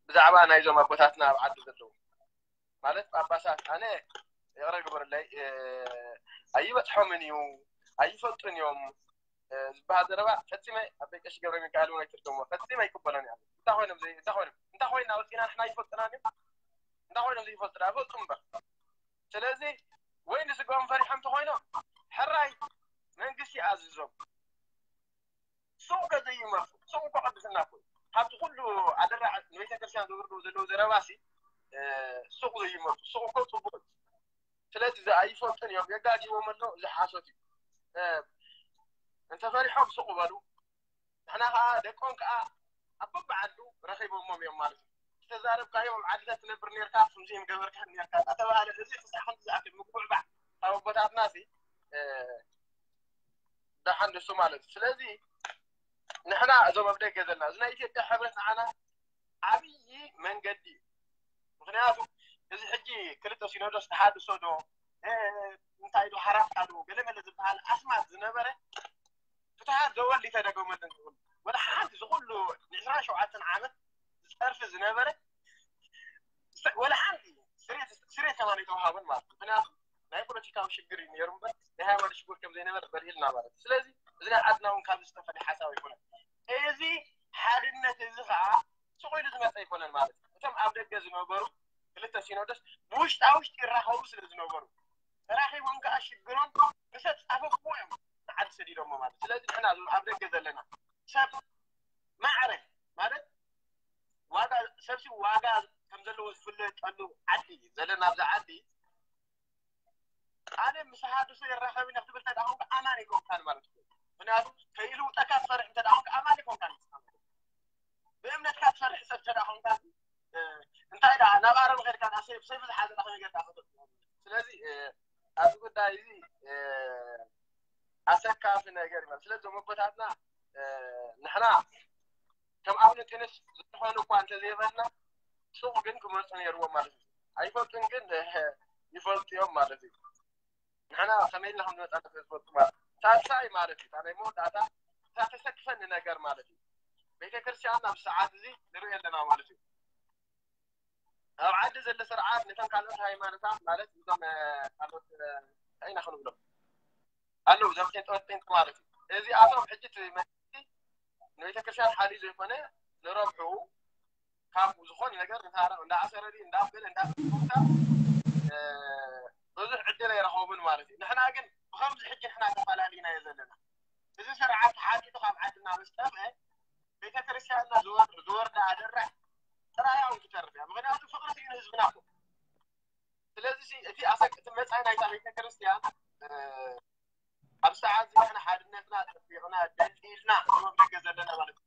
ብዛዕባ ናይዞም ኣቦታትና ኣብ ዓዲ ዘለዉ ማለት ጳጳሳት ኣነ ይቕረ ግበርለይ ኣይበፅሖምን እዩ ኣይፈልጡን እዮም ዝበሃል ዘረባ ፈፂመ ኣብ ደቂ ቀሺ ገብረ ሚካኤል እውን ኣይትርገምዎ ፈፂመ ኣይቅበሎን እያ እንታይ ኮይኖም እንታይ ኮይኖም እንታይ ኮይና ወፂና ንሕና ኣይፈልጥናን እዮም እንታይ ኮይኖም ዘይፈልጡ ኣይፈልጡ እምበር ስለዚ ወይ ንስጋኦም ፈሪሖም እንተኮይኖም ሕራይ መንግስቲ ኣዝዞም ሱቕ ከ ዘይመርፁ ሱቕ እኮ ቅድስና እኮ ካብቲ ኩሉ ኣደራዕ ንቤተክርስትያን ዝውርዱ ዘለዉ ዘረባሲ ሱቕ ዘይመርፁ ሱቕ እኮ ፅቡቅ ስለዚ ኣይፈልጡን እዮም የጋጊቦም ኣሎ ዝሓሶት እዩ እንተፈሪሖም ሱቕ በሉ ንሕና ከዓ ደቆም ከዓ ኣብ በብዓዱ ረኺቦሞም እዮም ማለት እዩ ዝተዛረብካዮም ኣብ ዓድታት ትነብር ነርካ ከምዚኦም ገበርካ ነርካ እናተባሃለ እዚ ክሳዕ ከምዚ ዝኣክል ምጉዕባዕ ካብ ኣቦታትና ሲ ደሓን ንሱ ማለት እዩ ስለዚ ንሕና እዞም ኣብ ደገ ዘለና እዚ ናይ ኢትዮጵያ ሕብረት ንዓና ዓብዪ መንገዲ እዩ ምክንያቱ እዚ ሕጂ ክልተ ሲኖዶስ ተሓድሶ ዶ እንታይ ዶ ሓራፍካ ዶ ገለመለ ዝበሃል ኣስማት ዝነበረ ፍትሃት ዘወል ተደገመለን ዝብሉ ወላ ሓንቲ ዝኩሉ ንዕስራን ሸውዓተን ዓመት ዝፀርፊ ዝነበረ ወላ ሓንቲ ስሬት ከማን የተዋሃበን ማለት ምክንያቱ ናይ ፖለቲካዊ ሽግር እዩ ነይሩ እምበር ናይ ሃይማኖት ሽግር ከም ዘይነበር በሪህልና ማለት እዩ ስለዚ እዚ ናይ ዓድና እውን ካብ ዝተፈለ ሓሳብ ኣይኮነን እዚ ሓድነት እዚ ከዓ ስቕ ኢሉ ዝመፀ ኣይኮነን ማለት እዩ እቶም ኣብ ደገ ዝነበሩ ክልተ ሲኖዶስ ብውሽጣ ውሽጢ ይራኸቡ ስለ ዝነበሩ ተራኺቦም ከዓ ሽግሮም ብሰብ ፃፈፍዎ እዮም ንዓዲ ሰዲዶሞ ማለት ስለዚ ንሕና እዞም ኣብ ደገ ዘለና ሰብ ማዕረ ማለት ዋጋ ሰብሲ ዋጋ ከም ዘለዎ ዝፍለጠሉ ዓዲ ዘለና ኣብዚ ዓዲ ኣነ ምስ ሃዱሱ የራኸብኒ ክትብል ተደኣ ኮንካ ኣማን ኣይኮንካን ማለት እዩ ምክንያቱ ከይልውጠካ ትፈርሕ እንተ ደኣ ኮንካ ኣማን ኣይኮንካን ብእምነትካ ትፈርሕ ሰብ ተደኣ ኮንካ እንታይ ደኣ ናብ ኣረም ኸድካ ደኣ ሰይፍ ሰይፍ ዝሓዘ ደኣ ከመይ ጌርካ ክትብል ስለዚ ኣብዚ ጉዳይ እዚ ኣሰካፊ ነገር እዩ ስለዚ እዞም ኣቦታትና ንሕና ከም ኣብነ ጢኖስ ዝኾነ እኳ እንተዘይበልና ሱቕ ግን ክመፁ ነይርዎም ማለት እዩ። ኣይፈልጡን ግን ይፈልጡ እዮም ማለት እዩ። ንሕና ከመይ ኢልና ከም ዝመፃና ስለ ዝፈልጡ ማለት ሳልሳይ ማለት እዩ። ናይ መወዳእታ እታ ተሰክፈኒ ነገር ማለት እዩ። ቤተክርስትያን ኣብ ሰዓት እዚ ንርኢ ኣለና ማለት እዩ። ኣብ ዓዲ ዘሎ ስርዓት ነተን ካልኦት ሃይማኖታት ማለት እዞም ካልኦት እንታይ ኢና ክንብሎም ኣለዉ እዞም ጴንጠወት ጴንጥ ማለት እዩ። እዚኣቶም ሕጂ እቲ መንግስቲ ንቤተክርስትያን ሓልዩ ዘይኮነ ንረብሑ ካብ ዝኾነ ነገር ንታረቕ እንዳኣሰረ ድዩ እንዳበለ እንዳታ ብዙሕ ዕድል ኣይረኸቡን ማለት እዩ። ንሕና ግን ብከምዚ ሕጂ ንሕና ተፈላሊና እየ ዘለና። እዚ ስርዓት ተሓጢጡ ካብ ዓድና ምስ ጠፍአ ቤተክርስትያንና ዝወርዳ ኣደራሕ ጥራይ እውን ክተርፍ እያ። ምክንያቱ ፍቅሪ ስኢኑ ህዝብና እኮ። ስለዚ እቲ ኣሰቅቲ መፃኢ ናይታ ቤተክርስትያን ኣብ ሰዓት እዚ ንሕና ሓድነትና ጠቢቕና ደልዲልና ኣብ ደገ ዘለና ማለት እዩ።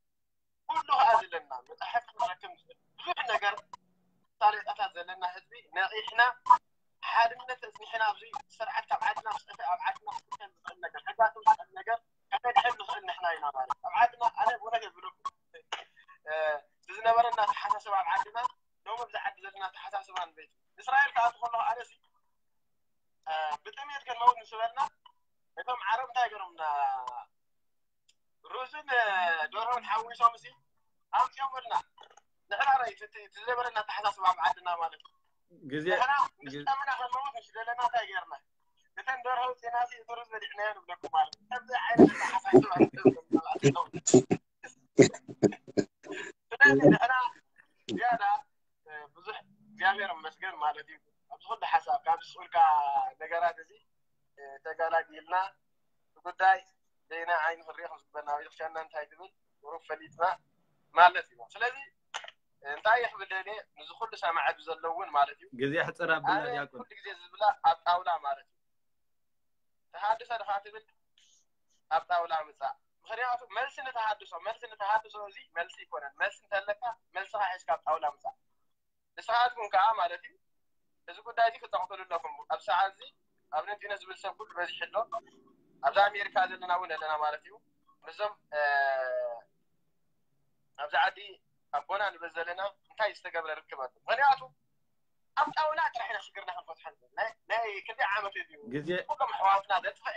ኩሉ ከዓ ዘለና መፅሓፍ ክንረክብ ንኽእል ብዙሕ ነገር ሳሌጣታት ዘለና ህዝቢ ነቂሕና ሓድነት ኣፅኒሕና ኣብዚ ስርዓት ካብ ዓድና ምስ ጠፍአ ኣብ ዓድና ክስከል ዝኽእል ነገር ሕጋት ዝኽእል ነገር ከነድሕን ንኽእል ንሕና ኢና ማለት ኣብ ዓድና ኣነ ብእውነት የብለኩም ብዝነበረና ተሓሳስብ ኣብ ዓድና ሎም ኣብዚ ዓዲ ዘለና ተሓሳስባ ንበይት እስራኤል ከዓ ትኸሎ ኣነሲ ብጥሜት ክንመውት ንስበልና እቶም ዓረብ እንታይ ገሮምና ሩዝን ደርሆን ሓዊሶም ሲ ኣምፅኦምልና ንሕና ራይ ዝነበረና ኣተሓሳስባ ኣብ ዓድና ማለት እዩ ግዜ ንሕና ምስ ጠምና ከለዎት ምስ ደለና እንታይ ገርና እተን ደርሆ ውፅና ሲ እቲ ሩዝ በሊዕናዮ ንብለኩም ማለት እዩ ከምዚ ዓይነት ኣተሓሳስባ ስለዚ ንሕና ዝያዳ ብዙሕ እግዚኣብሔር ይመስገን ማለት እዩ ኣብዚ ኩሉ ሓሳብ ካብ ዝስኡልካ ነገራት እዚ ተጋላጊልና እቲ ጉዳይ በየናይ ዓይኒ ክንሪኦ ከም ዝግበና ቤተክርስትያንና እንታይ ትብል ቁሩብ ፈሊጥና ማለት እዩ ስለዚ እንታይ ክብል ደልየ ንዚ ኩሉ ሰማዕቲ ዘለውን ማለት እዩ ግዜ ሕፅር ኣብልና ዲያቆን ኩሉ ግዜ ዝብላ ኣብ ጣውላ ማለት እዩ ተሃድሶ ድኻ ትብል ኣብ ጣውላ ምፃእ ምክንያቱ መልሲ ንተሃድሶ መልሲ ንተሃድሶ እዚ መልሲ ይኮነን መልሲ እንተለካ መልስኻ ሒዝካ ኣብ ጣውላ ምፃእ ንስኻትኩም ከዓ ማለት እዩ እዚ ጉዳይ እዚ ክጠቕጥሉ ኣለኩም ኣብ ሰዓት እዚ ኣብ ነንቲነ ዝብል ሰብ ኩሉ በዚሑ ኣሎ ኣብዚ ኣሜሪካ ዘለና እውን ኣለና ማለት እዩ ምስዞም ኣብዚ ዓዲ ኣቦና ንበል ዘለና እንታይ ዝተገብረ ርክብ ኣሎ ምክንያቱ ኣብ ጣውላ ጥራሕ ኢና ሽግርና ክንፈትሖ ናይ ክንደይ ዓመት እዩ ግዜ ኩሎም ኣሕዋትና ዘጥፍአ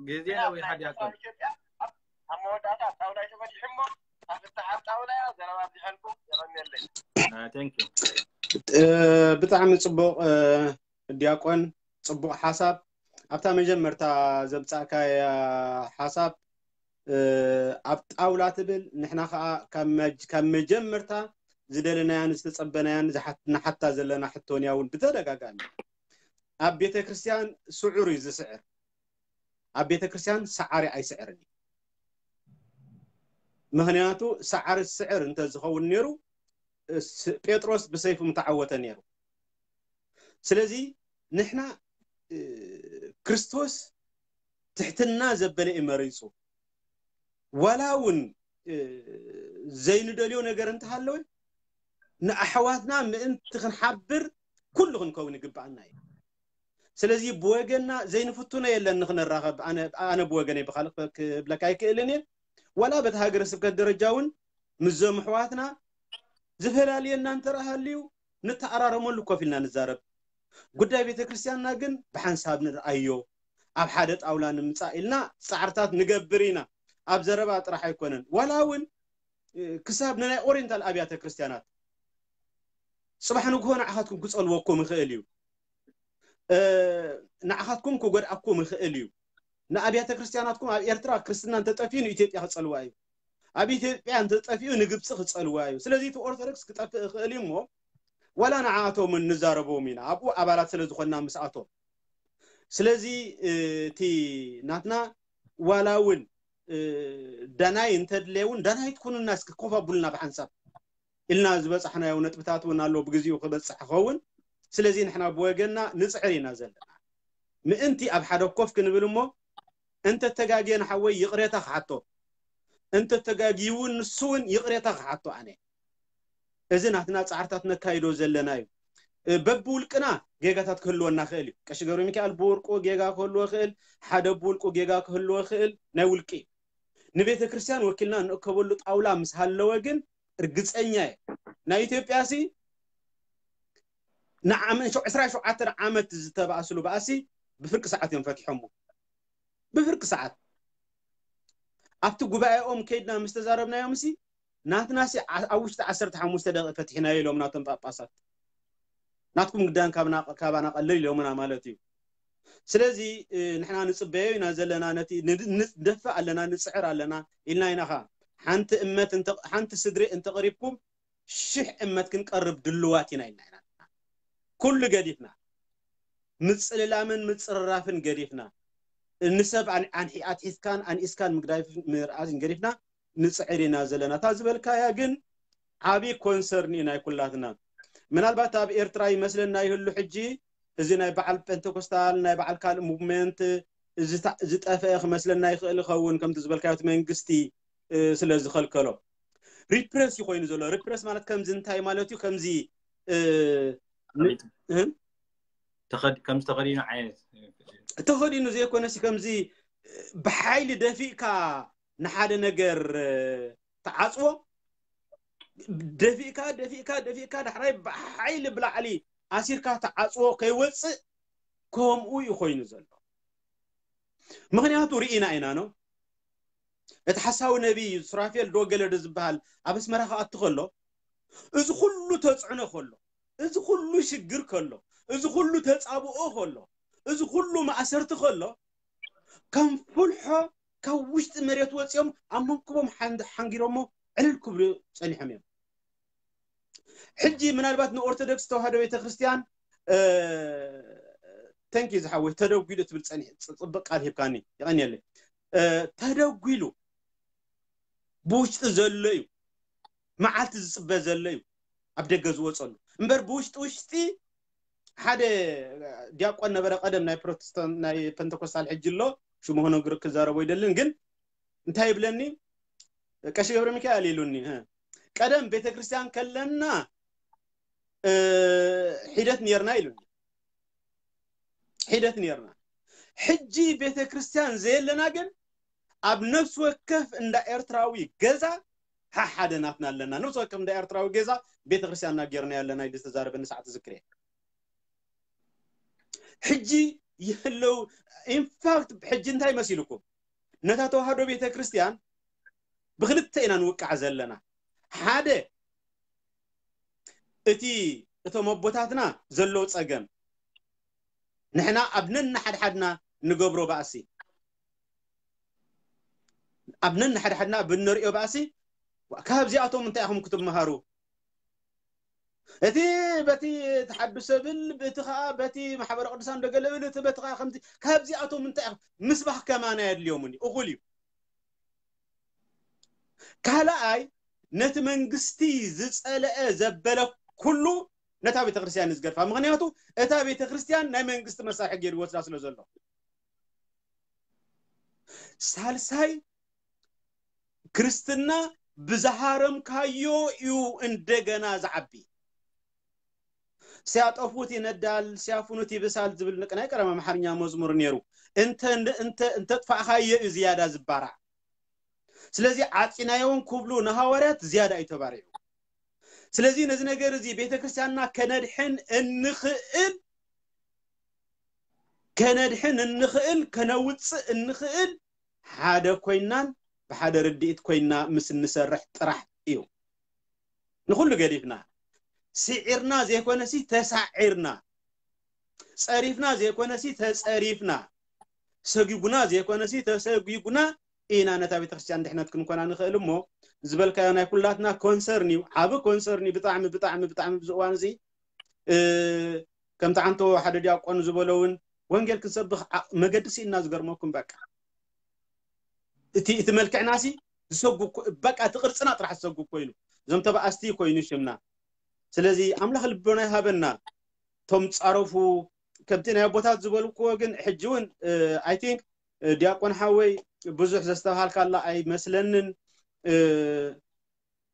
ግዜ ነዊሓ ዲያቆን ኢትዮጵያ ኣብ መወዳእታ ኣብ ጣውላ እዩ ተፈቲሑ እሞ ኣፍታሕ ኣብ ጣውላ እያ ዘረባ ኣብዚሐልኩም የቐንየለይ thank you ብጣዕሚ ፅቡቅ ዲያቆን ፅቡቅ ሓሳብ ኣብታ መጀመርታ ዘምፃእካያ ሓሳብ ኣብ ጣውላ ትብል ንሕና ከዓ ካብ መጀመርታ ዝደለናያን ዝተፀበናያን ንሓታ ዘለና ሕቶን እያ እውን ብተደጋጋሚ ኣብ ቤተ ክርስትያን ስዑር እዩ ዝስዕር ኣብ ቤተ ክርስትያን ሰዓሪ ኣይስዕርን እዩ ምክንያቱ ሰዓሪ ዝስዕር እንተዝኸውን ነይሩ ጴጥሮስ ብሰይፉ ምተዓወተ ነይሩ ስለዚ ንሕና ክርስቶስ ትሕትና ዘበለ እዩ መሪፁ ዋላ እውን ዘይንደልዮ ነገር እንተሃለወ ንኣሕዋትና ምእንቲ ክንሓብር ኩሉ ክንከውን ይግብኣና እዩ ስለዚ ብወገንና ዘይንፍትኖ የለን ንክንራኸብ ኣነ ብወገነይ ብካልእ ክብለካ ኣይክእልን እየ ዋላ በቲ ሃገረ ስብከት ደረጃ እውን ምስዞም ኣሕዋትና ዝፈላልየና እንተረሃልዩ ንተኣራረመሉ ኮፍ ኢልና ንዛረብ ጉዳይ ቤተክርስትያንና ግን ብሓንሳብ ንርኣዮ ኣብ ሓደ ጣውላ ንምፃእ ኢልና ፃዕርታት ንገብር ኢና ኣብ ዘረባ ጥራሕ ኣይኮነን ዋላ እውን ክሳብ ንናይ ኦሪንታል ኣብያተ ክርስትያናት ፅባሕ ንግሆ ንዓኻትኩም ክፀልወኩም ይኽእል እዩ ንዓኻትኩም ክጎድኣኩም ይኽእል እዩ ንኣብያተ ክርስትያናትኩም ኣብ ኤርትራ ክርስትና እንተጠፍዩ ንኢትዮጵያ ክፀልዋ እዩ ኣብ ኢትዮጵያ እንተጠፍኡ ንግብፂ ክፀልዋ እዩ ስለዚ እቲ ኦርቶዶክስ ክጠፍእ ይኽእል እዩ እሞ ዋላ ንዓኣቶም ንዛረቦም ኢና ኣብኡ ኣባላት ስለ ዝኾንና ምስኣቶም ስለዚ እቲ ናትና ዋላ እውን ዳናይ እንተድለ እውን ዳናይ ትኩኑና እስኪ ኮፍ ኣቡልና ብሓንሳብ ኢልና ዝበፃሕናዮ ነጥብታት እውን ኣሎ ብግዜኡ ክበፅሕ ክኸውን ስለዚ ንሕና ብወገንና ንፅዕር ኢና ዘለና ምእንቲ ኣብ ሓደ ኮፍ ክንብል እሞ እንተተጋግየ ንሓወይ ይቕሬታ ክሓቶ እንተተጋግዩ እውን ንሱ እውን ይቕሬታ ክሓቶ ኣነ እዚ ናትና ፃዕርታት ነካይዶ ዘለና እዩ በብውልቅና ጌጋታት ክህልወና ክእል እዩ ቀሺ ገብረ ሚካኤል ብውልቁ ጌጋ ክህልዎ ክእል ሓደ ብውልቁ ጌጋ ክህልዎ ክእል ናይ ውልቂ እዩ ንቤተ ክርስትያን ወኪልና እንእከበሉ ጣውላ ምስ ሃለወ ግን እርግፀኛ እየ ናይ ኢትዮጵያ ሲ ንዓመት ዕስራ ሸውዓተ ዓመት ዝተባእስሉ ባእሲ ብፍርቂ ሰዓት እዮም ፈትሖሞ። ብፍርቂ ሰዓት ኣብቲ ጉባኤኦም ከይድና ምስ ተዛረብናዮም ሲ ናትና ሲ ኣብ ውሽጢ ዓሰርተ ሓሙሽተ ደቂቕ ፈትሕናዮ ኢሎም ናቶም ጳጳሳት። ናትኩም ግዳን ካባና ቀልል ኢሎምና ማለት እዩ። ስለዚ ንሕና ንፅበዮ ኢና ዘለና፣ ነቲ ንደፍእ ኣለና፣ ንፅዕር ኣለና ኢልና ኢና። ሓንቲ እመት ሓንቲ ስድሪ እንተቕሪብኩም ሽሕ እመት ክንቀርብ ድልዋት ኢና ኢልና ኢና። ኩሉ ገዲፍና፣ ምፅልላምን ምፅርራፍን ገዲፍና፣ ንሰብ ኣትሒዝካን ኣንኢስካን ምግዳፍን ምርኣዝን ገዲፍና ንፅዕር ኢና ዘለና። እታ ዝበልካያ ግን ዓብዪ ኮንሰርን እዩ ናይ ኩላትና። ምናልባት ኣብ ኤርትራ ይመስለና ይህሉ ሕጂ እዚ ናይ በዓል ጴንቴኮስታል ናይ በዓል ካልእ ሙቭመንት ዝጠፍአ ክመስለና ይኽእል ይኸውን፣ ከምቲ ዝበልካዮ እቲ መንግስቲ ስለ ዝኸልከሎ። ሪፕረስ እዩ ኮይኑ ዘሎ። ሪፕረስ ማለት ከምዚ እንታይ ማለት እዩ? ከምዚ ከምዚ ተኸዲኑ ዓይነት ተኸዲኑ ዘይኮነሲ ከምዚ ብሓይሊ ደፊእካ ንሓደ ነገር ተዓፅዎ ደፊእካ ደፊእካ ደፊእካ ዳሕራይ ብሓይሊ ብላዕሊ ኣሲርካ ተዓፅዎ ከይወፅእ ከምኡ እዩ ኮይኑ ዘሎ። ምክንያቱ ርኢና ኢና ነው። እቲ ሓሳዊ ነቢይ ሱራፌል ዶ ገለ ዶ ዝበሃል ኣብ ኣስመራ ክኣቱ ከሎ እዚ ኩሉ ተፅዕኖ ከሎ፣ እዚ ኩሉ ሽግር ከሎ፣ እዚ ኩሉ ተፃብኦ ከሎ፣ እዚ ኩሉ ማእሰርቲ ከሎ ከም ፍልሖ ካብ ውሽጢ መሬት ወፂኦም ኣብ መንኩቦም ሓንጊሮሞ ዕልል ክብሉ ፀኒሖም እዮም። ሕጂ ምናልባት ንኦርቶዶክስ ተዋህዶ ቤተክርስትያን ተንኪ ዝሓወይ ተደጒሉ ትብል ፀኒሕ ፅብቅ ቃል ሂብካኒ ይቀኒየለይ። ተደጒሉ ብውሽጢ ዘሎ እዩ፣ መዓልቲ ዝፅበ ዘሎ እዩ ኣብ ደገ ዝወፀሉ እምበር ብውሽጢ ውሽጢ ሓደ ዲያቆን ነበረ ቀደም ናይ ፕሮቴስታንት ናይ ፔንተኮስታል ሕጂ ኣሎ ሽሙ ክነግር ክዛረቦ ይደልን ግን እንታይ ይብለኒ ቀሺ ገብረ ሚካኤል ኢሉኒ ቀደም ቤተክርስትያን ከለና ሒደት ነርና ኢሉኒ ሒደት ነርና ሕጂ ቤተክርስትያን ዘየለና ግን ኣብ ነፍሲ ወከፍ እንዳ ኤርትራዊ ገዛ ሓሓደ ናትና ኣለና ነፍሲ ወከፍ እንዳ ኤርትራዊ ገዛ ቤተክርስትያንና ጌርና ኣለና ኢሉ ዝተዛረበኒ ሰዓት ዝክር ሕጂ ይህለው ኢንፋክት ሕጂ እንታይ መሲልኩም ነታ ተዋህዶ ቤተክርስትያን ብክልተ ኢና ንውቃዕ ዘለና ሓደ እቲ እቶም ኣቦታትና ዘሎ ፀገም ንሕና ኣብ ነንሓድሓድና ንገብሮ ባእሲ ኣብ ነንሓድሓድና ብንሪኦ ባእሲ ካብዚኣቶም እንታይ ኢኹም ክትመሃሩ እቲ በቲ ተሓዱ ሰብል እቲ ከዓ በቲ ማሕበረ ቅዱሳን ደገለብል እቲ በቲ ከዓ ከምዚ ካብዚኣቶም እንታይ ምስባህ ከማና የድልዮምኒ እኹል እዩ ካልኣይ ነቲ መንግስቲ ዝፀለአ ዘበለ ኩሉ ነታ ቤተክርስትያን ዝገድፋ ምክንያቱ እታ ቤተክርስትያን ናይ መንግስቲ መሳርሒ ገይሩ ወስዳ ስለ ዘሎ ሳልሳይ ክርስትና ብዝሃረምካዮ እዩ እንደገና ዝዓቢ ሲያጠፉት ይነዳል ሲያፍኑት ይብሳል ዝብል ናይ ቀደም ኣምሓርኛ መዝሙር ነይሩ እንተጥፋእካዮ እዩ ዝያዳ ዝባራዕ ስለዚ ዓፂናዮን ክብሉ ንሃዋርያት ዝያዳ እዩ ተባሪዑ ስለዚ ነዚ ነገር እዚ ቤተክርስትያንና ከነድሕን እንኽእል ከነድሕን እንኽእል ከነውፅእ እንኽእል ሓደ ኮይናን ብሓደ ርድኢት ኮይና ምስ እንሰርሕ ጥራሕ እዩ ንኩሉ ገዲፍና ስዒርና ዘይኮነሲ ተሳዒርና ፀሪፍና ዘይኮነሲ ተፀሪፍና ሰጊጉና ዘይኮነሲ ተሰጊጉና ኢና ነታ ቤተክርስትያን ድሕነት ክንኮና ንኽእል እሞ ዝበልካዮ ናይ ኩላትና ኮንሰርን እዩ ዓብ ኮንሰርን እዩ ብጣዕሚ ብጣዕሚ ብጣዕሚ ብዚ እዋን እዚ ከምቲ ዓንቶ ሓደ ዲያቆን ዝበሎ እውን ወንጌል ክንሰብኽ መገዲ ስኢና ዝገርመኩም በቃ እቲ እቲ መልክዕና ሲ ዝሰጉ በቃ እቲ ቅርፅና ጥራሕ ዝሰጉ ኮይኑ እዞም ተባኣስቲ ኮይኑ ሽምና ስለዚ ኣምላኽ ልቦና ይሃበና ቶም ፃረፉ ከምቲ ናይ ኣቦታት ዝበልክዎ ግን ሕጂ እውን ኣይ ቲንክ ዲያቆን ሓወይ ብዙሕ ዘስተብሃልካላ ኣይመስለንን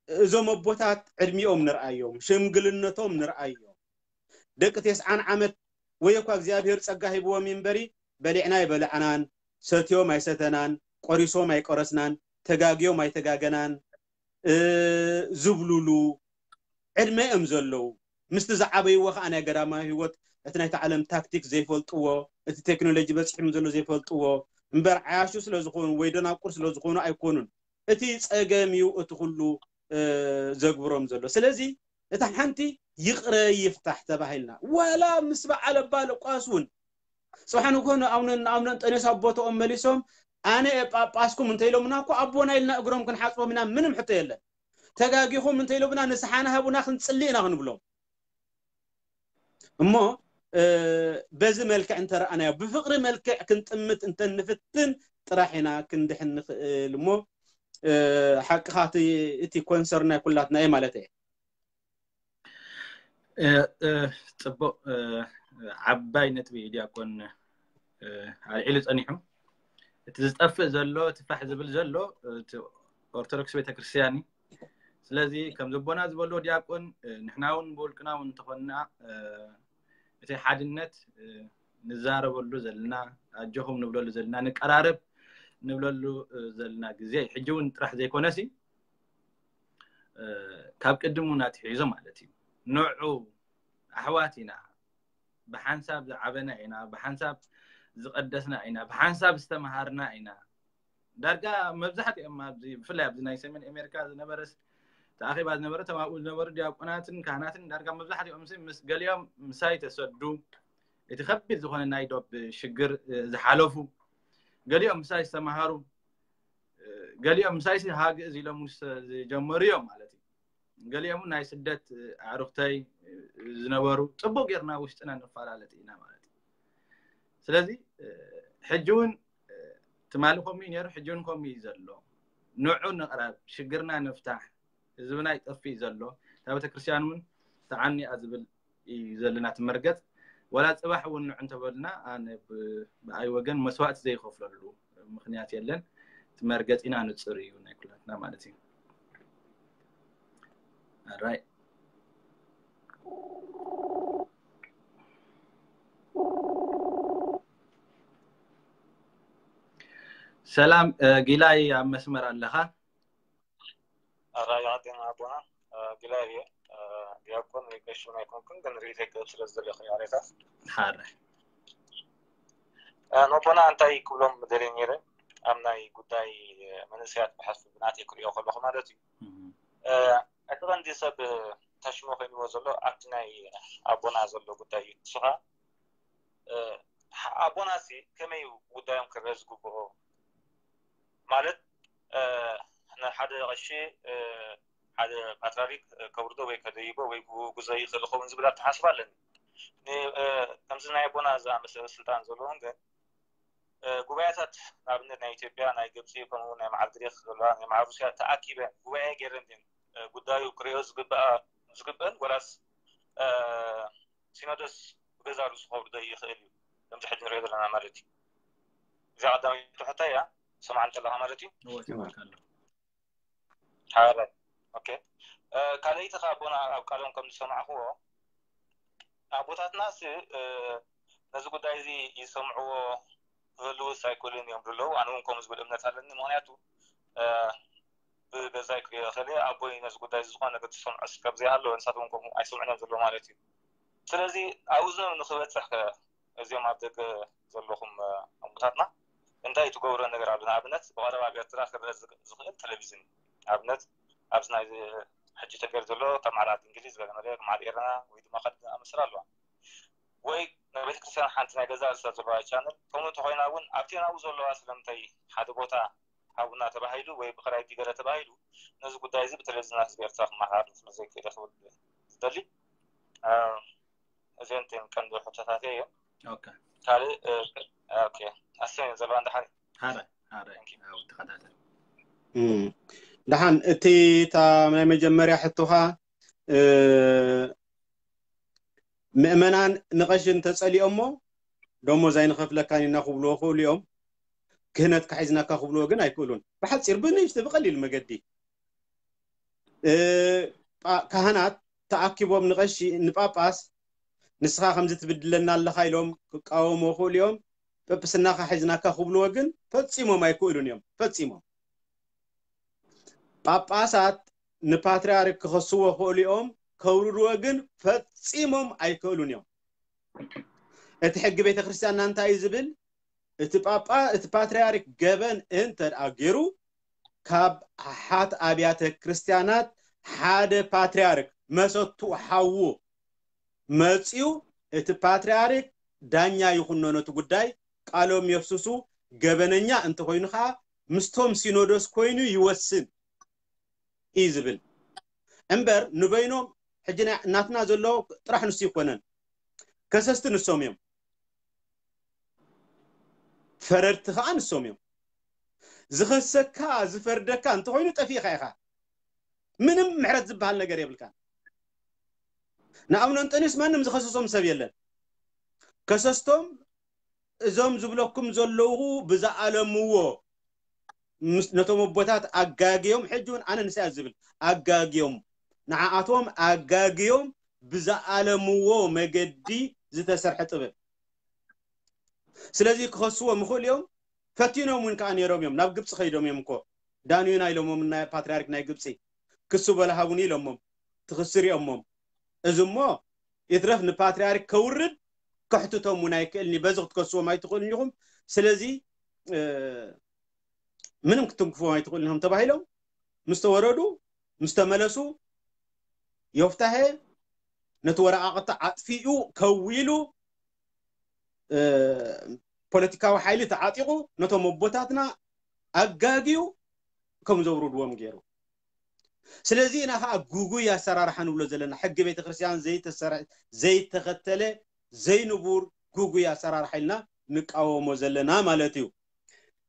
እዞም ኣቦታት ዕድሚኦም ንርኣዮም ሽምግልነቶም ንርኣዮም ደቂ ቴስዓን ዓመት ወይ እኳ እግዚኣብሔር ጸጋ ሂብዎም እምበሪ በሊዕና ኣይበላዕናን ሰትዮም ኣይሰተናን ቆሪሶም ኣይቆረስናን ተጋግዮም ኣይተጋገናን ዝብሉሉ ዕድመ እዮም ዘለዉ ምስቲ ዝዓበይዎ ከዓ ናይ ገዳማዊ ህይወት እቲ ናይቲ ዓለም ታክቲክ ዘይፈልጥዎ፣ እቲ ቴክኖሎጂ በፂሕም ዘሎ ዘይፈልጥዎ እምበር ዓያሹ ስለ ዝኾኑ ወይ ደናቁር ስለ ዝኾኑ ኣይኮኑን። እቲ ፀገም እዩ እቲ ኩሉ ዘግብሮም ዘሎ። ስለዚ እታ ሓንቲ ይቕረ ይፍታሕ ተባሂልና ዋላ ምስ በዓል ኣባ ለቋስ እውን ፅባሕ ንግሆ ንኣቡነ ንኣቡነ እንጠንዮስ ኣብ ቦታኦም መሊሶም ኣነ እየ ጳጳስኩም እንተኢሎምና እኮ ኣቦና ኢልና እግሮም ክንሓፅቦም ኢና፣ ምንም ሕቶ የለን። ተጋጊኹም እንተኢሎምና ንስሓና ሃቡና ክንፅሊ ኢና ክንብሎም። እሞ በዚ መልክዕ እንተረኣናዮ ብፍቕሪ መልክዕ ክንጥምት እንተንፍትን ጥራሕ ኢና ክንድሕን ንኽእል። እሞ ሓቅኻ እቲ ኮንሰርን ናይ ኩላትና እየ ማለት እየ። ጽቡቕ ዓባይ ነጥቢ እዩ ዲያቆን ኣልዒሉ ጸኒሑ። እቲ ዝጠፍእ ዘሎ እቲ ፋሕ ዝብል ዘሎ ኦርቶዶክስ ቤተክርስትያን እዩ። ስለዚ ከም ዘቦና ዝበልዎ ዲያቆን ንሕና እውን ብውልቅና እውን እንተኾንና እቲ ሓድነት ንዛረበሉ ዘለና ኣጆኹም ንብለሉ ዘለና ንቀራረብ ንብለሉ ዘለና ግዜ እዩ። ሕጂ እውን ጥራሕ ዘይኮነሲ ካብ ቅድም እውን ኣትሒዙ ማለት እዩ። ንዑ ኣሕዋት ኢና፣ ብሓንሳብ ዝዓበና ኢና፣ ብሓንሳብ ዝቐደስና ኢና፣ ብሓንሳብ ዝተምሃርና ኢና። ዳርጋ መብዛሕትኦም ኣብዚ ብፍላይ ኣብዚ ናይ ሰሜን ኣሜሪካ ዝነበረ ተኣኺባ ዝነበረ ተማኡ ዝነበሩ ዲያቆናትን ካህናትን ዳርጋ መብዛሕትኦም ምስ ገሊኦም ምሳይ ተሰዱ እቲ ከቢድ ዝኾነ ናይ ዶብ ሽግር ዝሓለፉ ገሊኦም ምሳይ ዝተምሃሩ ገሊኦም ምሳይ ሃግእዝ ኢሎም ዝጀመሩ እዮም ማለት እዩ። ገሊኦም ናይ ስደት ኣዕሩኽተይ ዝነበሩ ጽቡቅ ጌርና ውሽጥና ንፈላለጥ ኢና ማለት እዩ። ስለዚ ሕጂ እውን ትማሊ ከምኡ እዩ ነይሩ፣ ሕጂ እውን ከምኡ እዩ ዘሎ። ንዑ ንቕረብ፣ ሽግርና ንፍታሕ፣ ህዝብና ይጠፍእ እዩ ዘሎ። እታ ቤተክርስትያን እውን ተዓኒኣ ዝብል እዩ ዘለና ትመርገጽ። ወላ ጽባሕ እውን ንዑ እንተበልና ኣነ ብኣይ ወገን መስዋእቲ ዘይከፍለሉ ምክንያት የለን። ትመርገጽ ኢና ንጽር እዩ ናይ ኩላትና ማለት እዩ። ኣራይ ሰላም ጊላይ ኣብ መስመር ኣለኻ? ኣራይ ዓድና ኣቦና ጊላይ እየ። ዲያቆን ወይ ቀሺ እውን ኣይኮንኩን፣ ግን ርኢተይ ክህብ ስለ ዝደለኹ እዩ። ኣሬታት ሓደ ነቦና እንታይ ክብሎም ደልየ ነይረ ኣብ ናይ ጉዳይ መንእሰያት ብሓፍ ብናተይ ክሪኦ ከለኹ ማለት እዩ። እቲ ቀንዲ ሰብ ተሽሞ ኮይንዎ ዘሎ ኣብቲ ናይ ኣቦና ዘሎ ጉዳይ እዩ። ንሱ ከዓ ኣቦና ሲ ከመይ እዩ ጉዳዮም ክረአ ዝግብኦ? ማለት ንሓደ ቀሺ ሓደ ፓትራሪክ ከውርዶ ወይ ከደይቦ ወይ ክውግዞ ይኽእል ይኸውን ዝብል ኣተሓስባ ኣለኒ። ከምዚ ናይ ኣቦና ዝኣመሰለ ስልጣን ዘለዎም ግን ጉባኤታት ንኣብነት ናይ ኢትዮጵያ፣ ናይ ግብፂ፣ ከምኡ ናይ መዓል ግሪክ ዘለዋ ናይ መዓል ሩስያ ተኣኪበን ጉባኤ ገይረን ድን ጉዳዩ ክሪኦ ዝግበእን ወላስ ሲኖዶስ ብገዛ ርእሱ ከውርዶ ይኽእል እዩ? ከምዚ ሕጂ ንሪኦ ዘለና ማለት እዩ። እዚኣ ቀዳመይቲ ሕቶ እያ። ሰማዕን ከለኻ ማለት እዩ። እወ ይሰማዕካ ኣለኹ። ሓበራይ ኦኬ። ካልኣይቲ ከ ኣቦና ኣብ ቃሎም ከም ዝሰማዕክዎ ኣቦታትናስ ነዚ ጉዳይ እዚ ይሰምዕዎ ክህልውስ ኣይክእሉን እዮም ዝብለዉ። ኣነ እውን ከምኡ ዝብል እምነት ኣለኒ። ምክንያቱ ብገዛይ ክሪኦ ከለ ኣቦይ ነዚ ጉዳይ እዚ ዝኾነ ነገር ዝሰምዖ ሰብ ዘይሃለወ ንሳቶም እውን ከምኡ ኣይሰምዑን እዮም ዘለዉ ማለት እዩ። ስለዚ ኣብኡ ንክበፅሕ ከ እዚኦም ኣብ ደገ ዘለኹም ኣቦታትና እንታይ ትገብሮ ነገር ኣሎ? ንኣብነት ብቐረባ ኣብ ኤርትራ ክረአ ዝኽእል ቴሌቪዝን እዩ። ንኣብነት ኣብዚ ናይ ሕጂ ተገይሩ ዘሎ ከም ዓራት እንግሊዝ ገለ መለ ከም ዓዲ ኤረና ወይ ድማ ካልእ ዝኣመሰላ ኣለዋ። ወይ ናይ ቤተክርስትያን ሓንቲ ናይ ገዛ ርእሳ ዘለዋ ቻነል ከምኡ እንተኾይና እውን ኣብቲ ናብኡ ዘለዋ ስለምንታይ ሓደ ቦታ ሃቡና ተባሂሉ ወይ ብክራይ ዲገለ ተባሂሉ ነዚ ጉዳይ እዚ ብቴሌቪዝን ህዝቢ ኤርትራ ክመሓላለፍ ስለ ዘይክእል ክብል ዝደሊ። እዚአን እተን ቀንዲ ሕቶታተይ እዮም። ኦኬ ካልእ ኦኬ ኣሰን ዘለዋ እንድሓር ሓደ ሓደ ያው ተኸታተል ደሓን እቲ እታ ናይ መጀመርያ ሕቶኻ ምእመናን ንቐሺ እንተጸሊኦሞ ደሞዝ ኣይንኸፍለካን ኢና ክብልዎ ክእሉ እዮም። ክህነትካ ሒዝናካ ክብልዎ ግን ኣይክእሉን። ብሓጺር ብንእሽቲ ብቐሊል መገዲ ካህናት ተኣኪቦም ንቐሺ ንጳጳስ ንስኻ ከምዚ ትብድለና ኣለኻ ኢሎም ክቃወሞ ክእሉ እዮም። ጵጵስናኻ ሒዝናካ ክብልዎ ግን ፈጺሞም ኣይክእሉን እዮም። ፈጺሞም ጳጳሳት ንፓትርያርክ ክኸስዎ ክእሉ እዮም። ከውርድዎ ግን ፈጺሞም ኣይክእሉን እዮም። እቲ ሕጊ ቤተ ክርስቲያንና እንታይ እዩ ዝብል? እቲ ጳጳ፣ እቲ ፓትርያርክ ገበን እንተ ደኣ ገይሩ፣ ካብ ኣሓት ኣብያተ ክርስቲያናት ሓደ ፓትርያርክ መሰቱ ሓዉ መጺኡ፣ እቲ ፓትርያርክ ዳኛ ይኹኖ ነቲ ጉዳይ፣ ቃሎም የፍስሱ፣ ገበነኛ እንተኾይኑ ኸኣ ምስቶም ሲኖዶስ ኮይኑ ይወስን እዩ ዝብል እምበር፣ ንበይኖም ሕጂ ናይ ናትና ዘሎ ጥራሕ ንሱ ይኮነን። ከሰስቲ ንሶም እዮም፣ ፈረድቲ ኸኣ ንሶም እዮም። ዝኸሰካ ዝፈርደካ እንተኾይኑ ጠፊእኻ ኢኻ። ምንም ምሕረት ዝበሃል ነገር የብልካን። ንኣቡነ እንጠንዮስ ማንም ዝኸሰሶም ሰብ የለን። ከሰስቶም እዞም ዝብለኩም ዘለዉ ብዝኣለምዎ ምስ ነቶም ኣቦታት ኣጋግዮም፣ ሕጂ እውን ኣነ ንስያ ዝብል ኣጋግዮም፣ ንዓኣቶም ኣጋግዮም ብዝኣለምዎ መገዲ ዝተሰርሐ ጥበብ። ስለዚ ክኸስዎም ይኽእሉ እዮም። ፈቲኖም እውን ከዓ ነይሮም እዮም። ናብ ግብፂ ከይዶም እዮም እኮ። ዳንዩና ኢሎሞም፣ ናይ ፓትርያርክ ናይ ግብፂ ክሱ በል ሃቡኒ ኢሎሞም፣ ትኽሲ ሪኦሞም። እዚ እሞ ይትረፍ ንፓትርያርክ ከውርድ ከሕትቶም እውን ኣይክእልኒ። በዚ ክትከስዎም ኣይትኽእልን ኢኹም። ስለዚ እ፣ ምንም ክትንክፍዎም ኣይትኽእልን ኢኹም ተባሂሎም ምስ ተወረዱ፣ ምስ ተመለሱ፣ ዮፍታሄ ነቲ ወረቓቕቲ ኣጥፊኡ፣ ከዊሉ፣ እ፣ ፖለቲካዊ ሓይሊ ተዓጢቑ ነቶም ኣቦታትና ኣጋግዩ ከም ዘውርድዎም ገይሩ። ስለዚ ኢና ከዓ ጉጉይ ኣሰራርሓ ንብሎ ዘለና። ሕጊ ቤተክርስትያን ዘይተሰረ-፣ ዘይተኸተለ፣ ዘይንቡር ጉጉይ ኣሰራርሓ ኢልና ንቃወሞ ዘለና ማለት እዩ።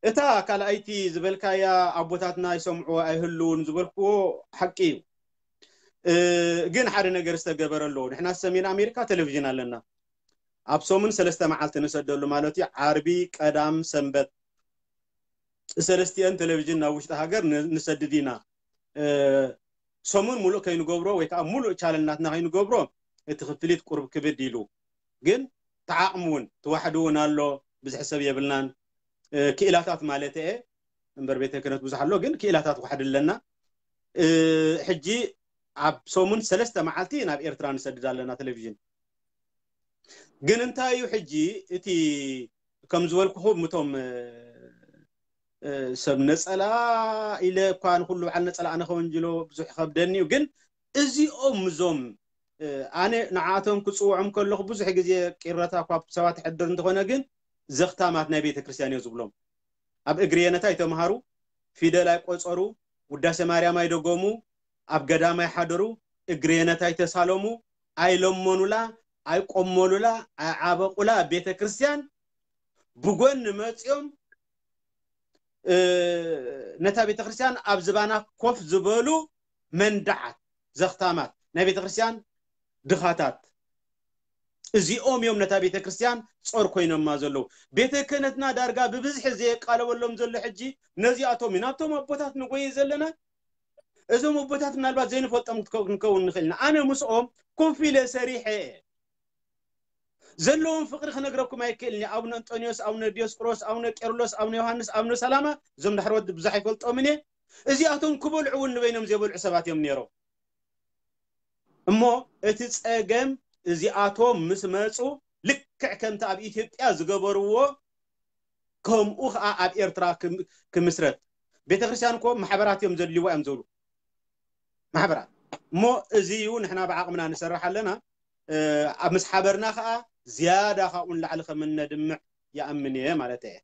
እታ ካልኣይቲ ዝበልካያ ኣቦታትና ይሰምዑ ኣይህልውን ዝበልክዎ ሓቂ እዩ። እ፣ ግን ሓደ ነገር ዝተገበረ ኣለዎ። ንሕና ሰሜን ኣሜሪካ ቴሌቪዥን ኣለና። ኣብ ሰሙን ሰለስተ መዓልቲ ንሰደሉ ማለት እዩ። ዓርቢ፣ ቀዳም፣ ሰንበት ሰለስቲአን ቴሌቪዥን ናብ ውሽጢ ሃገር ን-፣ ንሰድድ ኢና። እ፣ ሰሙን ሙሉእ ከይንገብሮ ወይ ከዓ ሙሉእ ቻነል ናትና ከይንገብሮ እቲ ክፍሊት ቁሩብ ክብድ ኢሉ፣ ግን ተዓቕሙ እውን ትዋሕዱ እውን ኣሎ። ብዙሕ ሰብ የብልናን፣ እ፣ ክኢላታት ማለት እየ እምበር ቤተ ክህነት ብዙሕ ኣሎ፣ ግን ክኢላታት ዋሕድ ኣለና። እ፣ ሕጂ ኣብ ሰሙን ሰለስተ መዓልቲ ናብ ኤርትራ ንሰድድ ኣለና ቴሌቪዥን። ግን እንታይ እዩ ሕጂ እቲ ከም ዝበልኩኹም እቶም፣ እ፣ እ፣ ሰብ ነጸላ ኢለ እኳ ንኹሉ በዓል ነጸላ ኣነ ከወንጅሎ ብዙሕ ይኸብደኒ እዩ። ግን እዚኦም እዞም፣ እ፣ ኣነ ንዓቶም ክጽውዖም ከለኹ ብዙሕ ግዜ ቅረታ እኳ ኣብ ሰባት ይሕድር እንተኾነ ግን ዘኽታማት ናይ ቤተ ክርስቲያን እዮ ዝብሎም። ኣብ እግሪ የነታ ኣይተምሃሩ፣ ፊደል ኣይቆጸሩ፣ ውዳሴ ማርያም ኣይደገሙ፣ ኣብ ገዳም ኣይሓደሩ፣ እግሪ የነታ ኣይተሳለሙ፣ ኣይለመኑላ፣ ኣይቆመሉላ፣ ኣይዓበቑላ ቤተ ክርስቲያን ብጎኒ መጺኦም፣ እ፣ ነታ ቤተ ክርስቲያን ኣብ ዝባና ኮፍ ዝበሉ መንደዓት፣ ዘኽታማት፣ ናይ ቤተ ክርስቲያን ድኻታት፣ እዚኦም እዮም ነታ ቤተ ክርስቲያን ጾር ኮይኖማ ዘለዉ። ቤተ ክህነትና ዳርጋ ብብዝሒ ዘየቃለበሎም ዘሎ ሕጂ ነዚኣቶም እዩ። ናብቶም ኣቦታት ንጎይ ዘለና። እዞም ኣቦታት ምናልባት ዘይንፈልጦም ክትከው-፣ ክንከውን ንኽእል ኢና። ኣነ ምስኦም ኮፍ ኢለ ሰሪሐ እየ። ዘለዎም ፍቕሪ ክነግረኩም ኣይክእልን እየ። ኣቡነ እንጦንዮስ፣ ኣቡነ ዲዮስቆሮስ፣ ኣቡነ ቄርሎስ፣ ኣቡነ ዮሃንስ፣ ኣቡነ ሰላማ፣ እዞም ዳሕረዎት ብዙሕ ኣይፈልጦምን እየ። እዚኣቶም ክበልዑ እውን ንበይኖም ዘይበልዑ ሰባት እዮም ነይሮም። እሞ እቲ ጸገም እዚኣቶም ምስ መጹ ልክዕ ከምቲ ኣብ ኢትዮጵያ ዝገበርዎ ከምኡ ኸኣ ኣብ ኤርትራ ክም-፣ ክምስረት። ቤተ ክርስቲያን እኮ ማሕበራት እዮም ዘድልይዋ እዮም ዝብሉ። ማሕበራት። እሞ እዚ እዩ ንሕና ብዓቕምና ንሰርሕ ኣለና። እ፣ ኣብ ምስ ሓበርና ኸኣ ዝያዳ ካብኡ ንላዕሊ ከም እነድምዕ ይኣምን እየ ማለት እየ።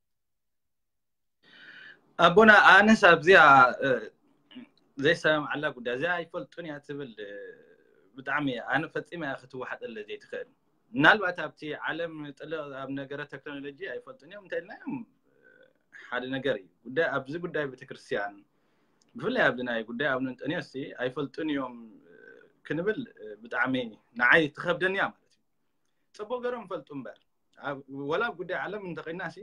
ኣቦና ኣነስ ኣብዚኣ፣ እ፣ ዘይሰማምዓላ ጉዳይ እዚኣ ኣይፈልጡን እያ ትብል፣ እ፣ ብጣዕሚ ኣነ ፈጺመ እያ ክትወሓጠለ ዘይትኽእል። ምናልባት ኣብቲ ዓለም ጥልቕ ኣብ ነገረ ቴክኖሎጂ ኣይፈልጡን እዮም እንተኢልናዮም፣ እ፣ ሓደ ነገር እዩ። ጉዳይ፣ ኣብዚ ጉዳይ ቤተክርስትያን፣ ብፍላይ ኣብዚ ናይ ጉዳይ ኣቡነ እንጠንዮስ ሲ ኣይፈልጡን እዮም፣ እ፣ ክንብል፣ እ፣ ብጣዕሚ ንዓይ ትኸብደኒ እያ ማለት እዩ። ጽቡቕ ገይሮም ይፈልጡ እምበር፣ ኣብ፣ ወላ ኣብ ጉዳይ ዓለም እንተኾይንና ሲ፣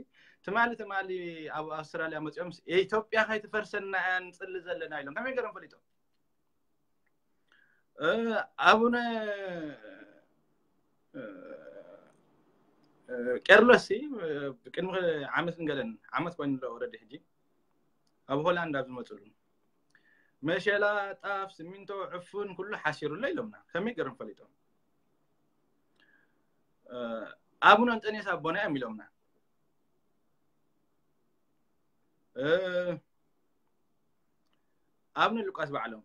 ትማሊ፣ ትማሊ ኣብ ኣውስትራልያ መጺኦም ሲ፣ "ኢትዮጵያ ከይትፈርሰና እያ ንጽሊ ዘለና" ኢሎም ከመይ ገይሮም ፈሊጦም? እ፣ ኣቡነ፣ እ፣ እ፣ ቄርሎስ ሲ፣ እ፣ ቅድሚ ዓመትን ገለን፣ ዓመት ኮይኑ ኣሎ ኦልሬዲ ሕጂ፣ ኣብ ሆላንድ ኣብ ዝመጽሉ፣ መሸላ፣ ጣፍ፣ ስሚንቶ፣ ዕፉን ኩሉ ሓሲሩሎ ኢሎምና። ከመይ ገይሮም ፈሊጦም? ኣቡነ እንጠንዮስ ኣቦና እዮም ኢሎምና። ኣቡነ ሉቃስ ባዕሎም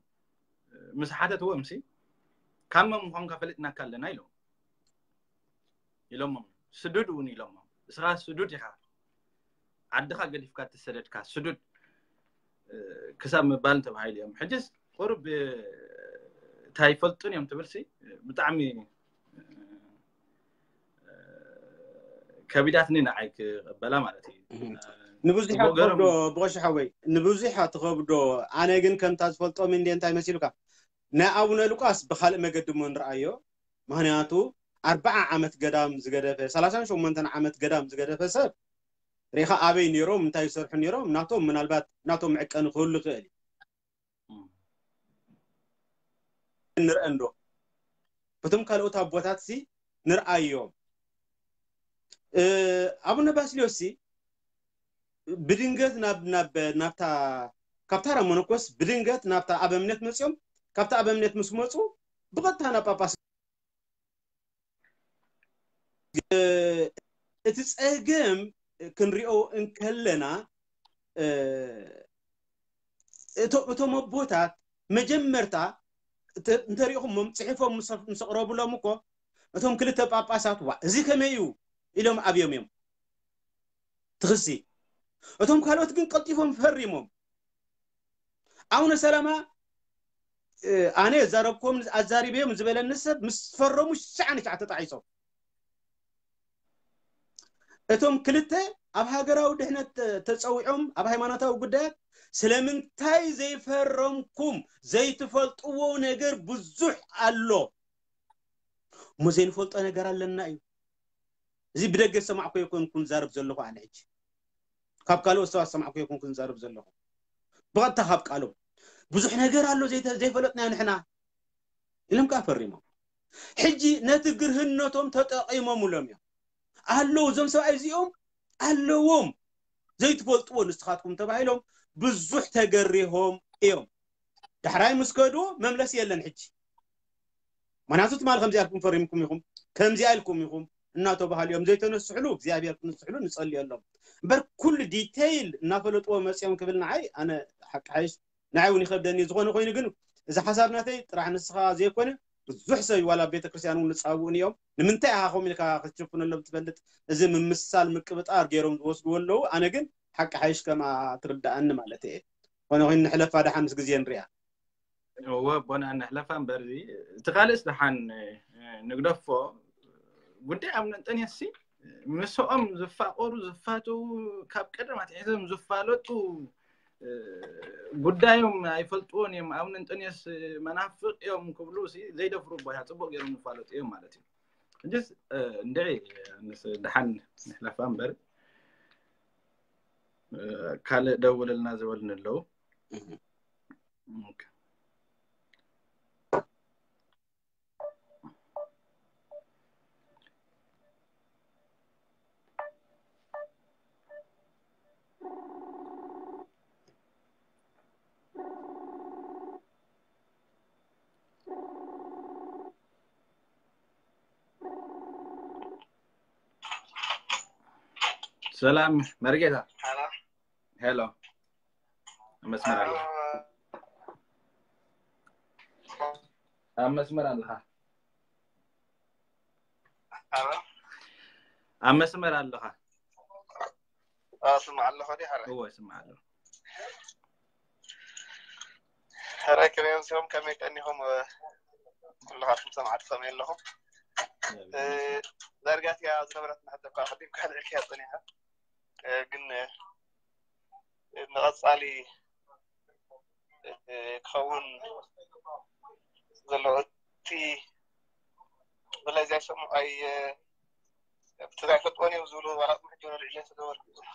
ምስ ሓተትዎም ሲ ካብ መን ምዃንካ ፈሊጥናካ ኣለና ኢሎም ኢሎሞም። ስዱድ እውን ኢሎሞም። እስኻ ስዱድ ኢኻ፣ ዓድኻ ገዲፍካ እተሰደድካ ስዱድ ክሳብ ምባል ተባሂሉ እዮም። ሕጅስ ቁሩብ እንታይ ይፈልጡን እዮም ትብል ሲ ብጣዕሚ ከቢዳትኒ ንዓይ ክቕበላ ማለት እዩ። ንብዙሕ ትኸብዶ ብቆሻ ሓወይ፣ ንብዙሕ ትኸብዶ። ኣነ ግን ከምታ ዝፈልጦም እንደ እንታይ መሲሉካ፣ ናይ ኣቡነ ሉቃስ ብካልእ መገዲ እሞ ንርኣዮ። ምክንያቱ ኣርባዓ ዓመት ገዳም ዝገደፈ፣ ሰላሳን ሸሞንተን ዓመት ገዳም ዝገደፈ ሰብ ሪኻ ኣበይ ነይሮም፣ እንታይ ይሰርሑ ነይሮም፣ ናቶም ምናልባት ናቶም መዕቀኒ ክህሉ ይኽእል እዩ። ንርአ እንዶ በቶም ካልኦት ኣቦታት ሲ ንርኣዮም። ኣቡነ ባስልዮስ ሲ ብድንገት ናብ ናብ ናብታ ካብ ታራ መነኮስ ብድንገት ናብታ ኣበምኔት መጽዮም። ካብታ ኣበምኔት ምስ መጹ ብቐጥታ ናብ ጳጳስ። እቲ ጸገም ክንሪኦ እንከለና እቶም ኣቦታት መጀመርታ እንተሪእኹሞም ጽሒፎም ምስ ኣቕረቡሎም እኮ እቶም ክልተ ጳጳሳት ዋ እዚ ከመይ እዩ ኢሎም ኣብዮም እዮም። ትኽሲ እቶም ካልኦት ግን ቀልጢፎም ፈሪሞም። ኣቡነ ሰላማ ኣነ ዘረብኩም ኣዛሪበዮም ዝበለኒ ሰብ ምስ ፈረሙ ሸዓን ሸዓ ተጣዒሶም። እቶም ክልተ ኣብ ሃገራዊ ድሕነት ተጸዊዖም ኣብ ሃይማኖታዊ ጉዳያት ስለምንታይ ዘይፈረምኩም? ዘይትፈልጥዎ ነገር ብዙሕ ኣሎ። እሞ ዘይንፈልጦ ነገር ኣለና እዩ። እዚ ብደገ ዝሰማዕኩ የኮንኩን ዛረብ ዘለኹ ኣነ ሕጂ ካብ ካልኦት ሰባት ዝሰማዕኩ የኮንኩን ዛረብ ዘለኹ ብቐጥታ ካብ ቃሎም ብዙሕ ነገር ኣሎ ዘይፈለጥናዮ ንሕና ኢሎም ከዓ ፈሪሞም። ሕጂ ነቲ ግርህነቶም ተጠቒሞምሎም እዮም። ኣለዉ እዞም ሰብኣይ እዚኦም ኣለዎም ዘይትፈልጥዎ ንስኻትኩም ተባሂሎም ብዙሕ ተገሪሆም እዮም። ዳሕራይ ምስ ከዱ መምለሲ የለን። ሕጂ ምክንያቱ ትማል ከምዚኣ ኢልኩም ፈሪምኩም ኢኹም ከምዚኣ ኢልኩም ኢኹም እናተባሃሉ እዮም ዘይተነስሕሉ እግዚኣብሔር ክንስሕሉ ንጸልየሎም እምበር ኩሉ ዲቴይል እናፈለጥዎ መፅኦም ክብል ንዓይ ኣነ ሓቂ ሓይሽ ንዓይ እውን ይኸብደኒ። ዝኾነ ኮይኑ ግን እዚ ሓሳብ ናተይ ጥራሕ ንስኻ ዘይኮነ ብዙሕ ሰብ ዋላ ቤተክርስትያን እውን ንፃብኡን እዮም ንምንታይ ኢኻ ከምኡ ኢልካ ክትሽፍነሎም ትፈልጥ? እዚ ምምስሳል ምቅብጣር ገይሮም ዝወስድዎ ኣለዉ። ኣነ ግን ሓቂ ሓይሽ ከምኣ ትርዳኣኒ ማለት እየ። ኮነ ኮይኑ ንሕለፋ ደሓን ምስ ግዜ ንሪኣ። እወ ኣቦና ንሕለፋ እምበር እዚ እቲ ካልእስ ደሓን ንግደፎ። ጉዳይ ኣቡነ እንጠንዮስ ሲ ምስኦም ዝፋቀሩ ዝፋተዉ ካብ ቀደም ኣትሒዞም ዝፋለጡ ጉዳዮም ኣይፈልጥዎን እዮም። ኣቡነ እንጠንዮስ መናፍቅ እዮም ክብሉ ሲ ዘይደፍሩ ኣቦ እያ ጽቡቅ ገይሮም ዝፋለጡ እዮም ማለት እዩ። ሕጅስ እንድዒ ኣነስ ደሓን ንሕለፋ እምበር ካልእ ደውልልና ዝበሉኒ ኣለዉ። ሰላም መርጌታ። ሄሎ፣ ኣብ መስመር ኣለኻ። ኣብ መስመር ኣለኻ። ኣብ መስመር ኣለኻ። ስማዕ ኣለኹ ዲ ሓረ? እወ፣ ስማዕ ኣለኹ። ሕራይ ከመይ ኣምሲኹም? ከመይ ቀኒኹም? ኩልኻትኩም ሰማዕቲ ከመይ ኣለኹም? ዳርጋ እቲኣ ዝነበረት ሕቶ እኳ ኣቐዲምካ ኣልዒልካያ ጸኒሕካ፣ ግን ንቐጻሊ ክኸውን ዘለዎ እቲ ብላይ ዘይሰምዑ ኣይ እቲ ዘይፈልጥዎን እዮም ዝብሉ ዋላ ሕጂ ወልዒ ስለ ዝበልኩ ብዙሕ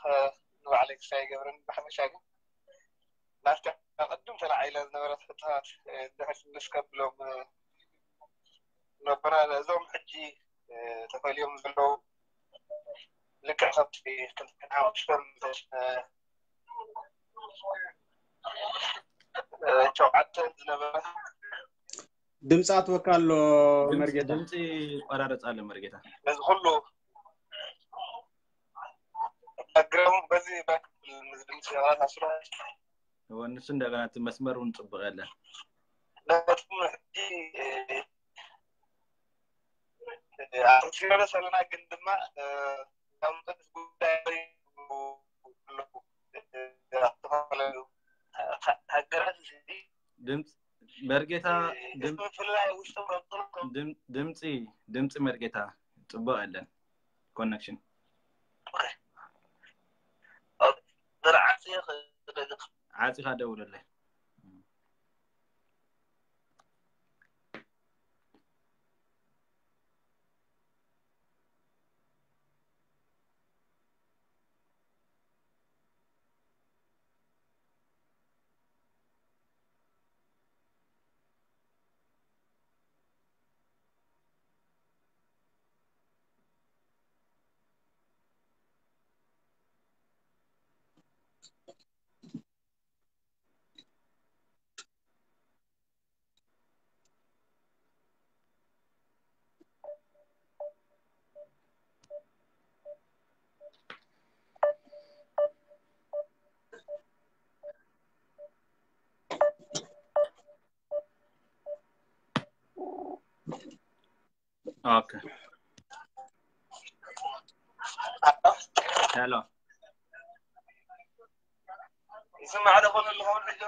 ንባዕለይ ክሳይ ይገብረኒ። ብሓፈሻ ግን ናብቲ ኣቐድም ተላዒላ ዝነበረት ሕቶታት ድሕር ትምልስ ከብሎም ነበረ። እዞም ሕጂ ተፈልዮም ዘለዉ ልክዕ ከምቲ ክልተ ሓሙሽተ ሸውዓተ ዝነበረ ድምፂ ኣትወካ ኣሎ ድምፂ- መርጌታ። ድምፂ ይቆራረፅ ኣሎ መርጌታ። ነዚ ኩሉ ባክግራውንድ በዚ ባክ- ድምፂ ኣስሎ እወ፣ ንሱ እንደገና እቲ መስመር እውን ፅቡቅ የለን። ነቶም ሕጂ ኣትሲረስ ኣለና ግን ድማ እ፣ ካብ መጠን ጉዳይ ኣለዉ። እ፣ ዝተፈላለዩ ሃገራት እዚ ድምፂ መርጌታ ድም- ምፍልላይ ውሽጦም ረብጥሉ ድም- ድምፂ ድምፂ መርጌታ ፅቡቅ የለን ኮኔክሽን። ዝረዓፅ ዓፂኻ ደውለለይ። ኦኬ። ሄሎ። ይስማዕ ዶ ኮነ ኣለኹ ሕጂ?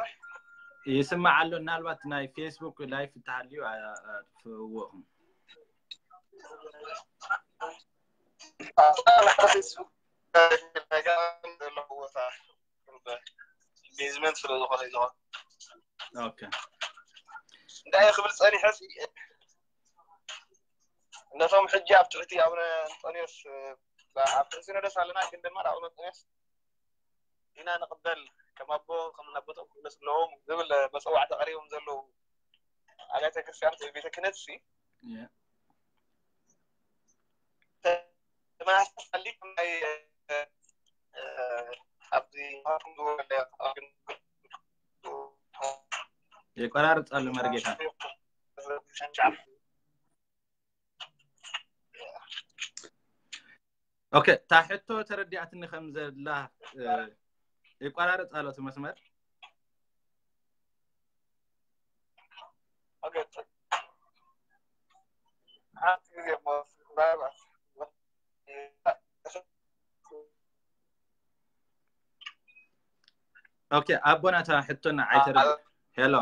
ይስማዕ ኣሎ። ምናልባት ናይ ፌስቡክ ላይፍ እተሃልዩ ኣጥፍእዎ ኢኹም። ፌስቡክ ዘለዎ ቦታ ቤዝመንት ስለ ዝኾነ እዩ ዝኸውን። ኦኬ። እንታይ ክብል ጸኒሐ ሲ ነቶም ሕጂ ኣብ ትሕቲ ኣቡነ እንጦንዮስ ኣብ ትሕቲ ሲኖዶስ ኣለና ግን ድማ ኣቡነ እንጦንዮስ ኢና ንቕበል ከም ኣቦ ከም ኣቦቶም ክምለስ ኣለዎም ዝብል መፀዋዕታ ቀሪቦም ዘለዉ ኣብያተ ክርስቲያን ወይ ቤተ ክህነት ሲ የ- ተመሳሳሊ ናይ ኣብዚ የቆራርፅ ኣሎ መርጌታ። ኦኬ፣ እታ ሕቶ ተረዲኣትኒ ከም ዘላ እ፣ ይቆራረፅ ኣሎ እቲ መስመር። ሓንቲ ግዜ እሞ ምናልባት ኦኬ፣ ኣቦና እታ ሕቶና ዓይተረ ሄሎ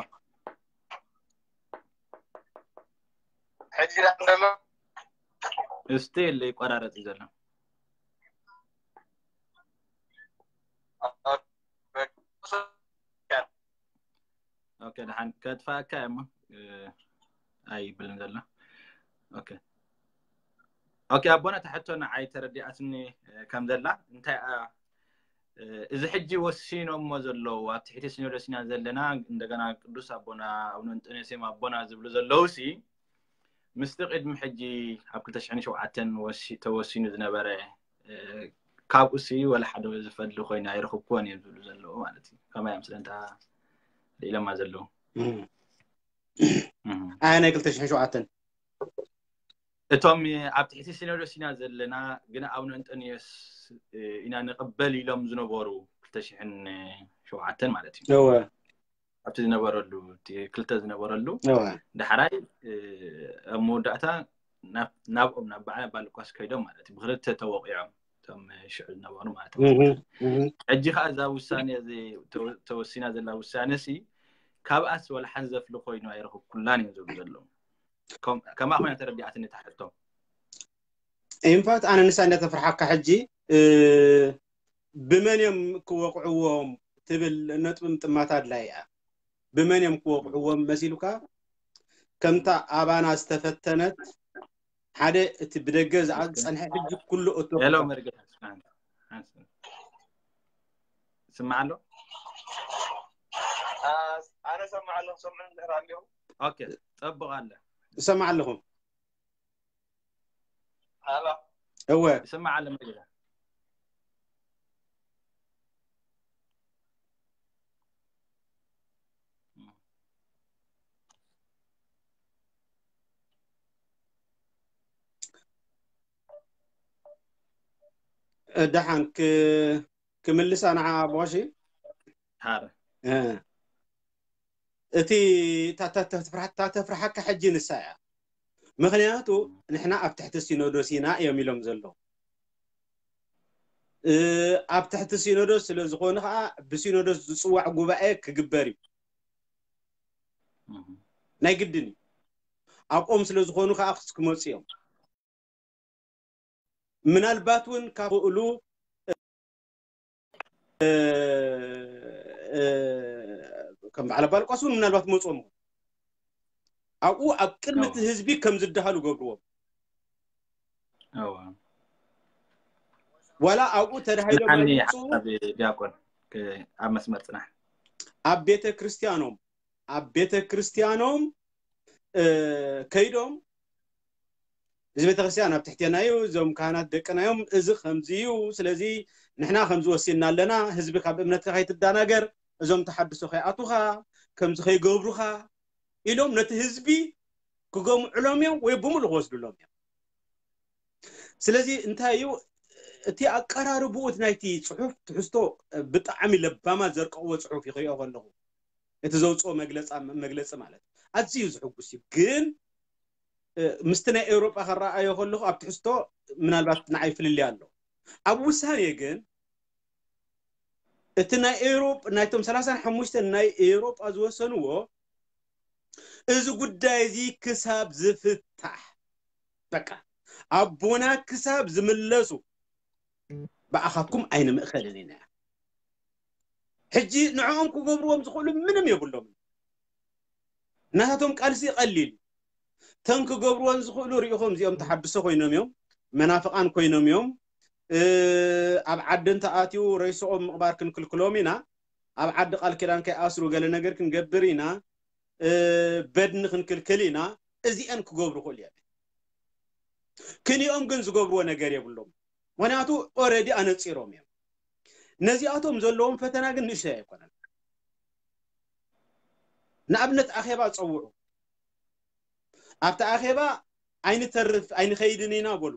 ሕጂ ዳ ዘሎ ስቲል ይቆራረፅ እዩ ዘሎ። ኦኬ፣ ደሓን ከጥፋእካ እሞ እ፣ ኣይብልን ዘሎ። ኦኬ ኦኬ፣ ኣቦና እታ ሕቶ ንዓይ ተረዲኣትኒ እ፣ ከም ዘላ እንታይ ኣ- እ፣ እዚ ሕጂ ወሲኖሞ ዘለዉ ኣብ ትሕቲ ሲኖዶስ ኢና ዘለና እንደገና ቅዱስ ኣቦና ኣቡነ እንጦንዮስ እዮም ኣቦና ዝብሉ ዘለዉ ሲ ምስቲ ቅድሚ ሕጂ ኣብ ክልተ ሽሕን ሸውዓተን ወሲ- ተወሲኑ ዝነበረ እ፣ ካብኡ ሲ ወላ ሓደ ዝፈሊ ኮይኑ ኣይረኽብክዎን እዮም ዝብሉ ዘለዉ ማለት እዩ። ከማይ እዮም ስለንታ ኢለማ ዘለዉ እም። እም። ኣያ ናይ ክልተ ሽሕን ሸውዓተን እቶም ኣብ ትሕቲ ሲኖዶስ ኢና ዘለና ግን ኣቡነ እንጦንዮስ እ፣ ኢና ንቕበል ኢሎም ዝነበሩ ክልተ ሽሕን ሸውዓተን ማለት እዩ። እወ ኣብቲ ዝነበረሉ እቲ ክልተ ዝነበረሉ እወ ዳሕራይ እ፣ ኣብ መወዳእታ ናብ- ናብኦም ናብ በዓል ኣባ ሉቃስ ከይዶም ማለት እዩ። ብክልተ ተወቂዖም እቶም ሽዑ ዝነበሩ ማለት እዩ። እህ፣ እህ። ሕጂ ከዓ እዛ ውሳኔ እዚ ተወ- ተወሲና ዘላ ውሳነ ሲ ካብኣስ ወላ ሓንቲ ዘፍሊ ኮይኑ ኣይረኽብኩላን እዮም ዝብሉ ዘለዉ። ከም- ከማ ኮይና ተረዲኣትኒ እታ ሕቶ። ኢንፋክት ኣነ ንሳ እንዳተፍርሓካ ሕጂ እ፣ ብመን እዮም ክወቕዕዎም ትብል ነጥቢ ምጥማት ኣድላይ እያ። ብመን እዮም ክወቕዕዎም መሲሉካ ከምታ ኣባና ዝተፈተነት ሓደ እቲ ብደገ ዝኣ- ዝፀንሐ ሕጂ ኩሉ እቶ ሄሎ መርጌታ ስማዕ ኣሎ። ኣነ ሰማዕ ኣለኹ ሰምዑ እንድሕር ኣልዮም ኦኬ፣ ፀቡቕ ኣለ። እሰማዕ ኣለኹ። ሃሎ እወ ይስማዕ ኣሎ መርጌታ። እ፣ ደሓን ክ-፣ ክምልሳ ንዓ ቦሺ። ሃረ እ፣ እቲ እታ፣ እታ፣ እታ ተፍርሓ-፣ እታ ተፍርሓካ ሕጂ ንሳ እያ። ምኽንያቱ ንሕና ኣብ ትሕቲ ሲኖዶስ ኢና እዮም ኢሎም ዘለዉ። እ፣ ኣብ ትሕቲ ሲኖዶስ ስለ ዝኾኑ ከዓ ብሲኖዶስ ዝፅዋዕ ጉባኤ ክግበር እዩ። እህ። ናይ ግድን እዩ። ኣብኦም ስለ ዝኾኑ ከዓ ክስ-፣ ክመፁ እዮም። ምናልባት እውን ካብ ክእሉ፣ እ፣ እ፣ ከም በዓል ኣባ ሉቃስ እውን ምናልባት መፅኦም ይኾኑ። ኣብኡ ኣብ ቅድሚ እቲ እዋ ህዝቢ ከም ዝደሃሉ ገብርዎም። እዋ ዋላ ኣብኡ ተዳሂሎም ጽንሓኒ ኣይምፅኡ። ሓሳብ ዲያቆን ክ-፣ ኣብ መስመር ጽናሕ። ኣብ ቤተ ክርስቲያኖም፣ ኣብ ቤተ ክርስቲያኖም፣ እ፣ ከይዶም፣ እዚ ቤተ ክርስቲያን ኣብ ትሕቴና እዩ፣ እዞም ካህናት ደቅና እዮም፣ እዚ ከምዚ እዩ፣ ስለዚ ንሕና ከምዚ ወሲንና ኣለና፣ ህዝቢ ካብ እምነትካ ከይትደናገር፣ እዞም ተሓድሶ ከይኣቱኻ፣ ከምዚ ከይገብሩኻ ኢሎም ነቲ ህዝቢ ክገምዕሎም እዮም ወይ ብምሉእ ክወስድሎም እዮም። ስለዚ እንታይ እዩ እቲ ኣቀራርብኡ፣ እቲ ናይቲ ጽሑፍ ትሕዝቶ ብጣዕሚ ለባማት ዘርቀቕዎ ጽሑፍ እዩ ክሪኦ ከለኹ። እቲ ዘውጽኦ መግለጻ-፣ መግለጺ ማለት ኣዝዩ ዘሕጉስ እዩ። ግን፣ እ፣ ምስቲ ናይ ኤውሮጳ ከረኣዮ ከለኹ ኣብ ትሕዝቶ ምናልባት ንዓይ ፍልልይ ኣሎ። ኣብ ውሳኔ ግን እቲ ናይ ኤውሮጳ፣ ናይቶም ሰላሳን ሓሙሽተን ናይ ኤውሮጳ ዝወሰንዎ፣ እዚ ጉዳይ እዚ ክሳብ ዝፍታሕ፣ በቃ ኣቦና ክሳብ ዝምለሱ ብኣኻትኩም ኣይንምእኸልን ኢና። ሕጂ ንዕኦም ክገብርዎም ዝኽእሉ ምንም የብሎም። ናታቶም ቃልሲ ቀሊል እዩ። ተን ክገብርዎን ዝኽእሉ ሪኢኹም፣ እዚኦም ተሓድሶ ኮይኖም እዮም፣ መናፍቃን ኮይኖም እዮም። እ፣ ኣብ ዓዲ እንተኣትዩ ሬስኦም ምቕባር ክንክልክሎም ኢና፣ ኣብ ዓዲ ቃል ኪዳን ከይኣስሩ ገለ ነገር ክንገብር ኢና፣ እ፣ በድኒ ክንክልክል ኢና። እዚአን ክገብሩ ይኽእሉ እዮም። ክሊኦም ግን ዝገብርዎ ነገር የብሎም። ምኽንያቱ ኦረዲ ኣነፂሮም እዮም። ነዚኣቶም ዘለዎም ፈተና ግን ንእሽተይ ኣይኮነን። ንኣብነት ኣኼባ ጸውዑ። ኣብቲ ኣኼባ ኣይንተርፍ ኣይንኸይድን ኢና በሉ።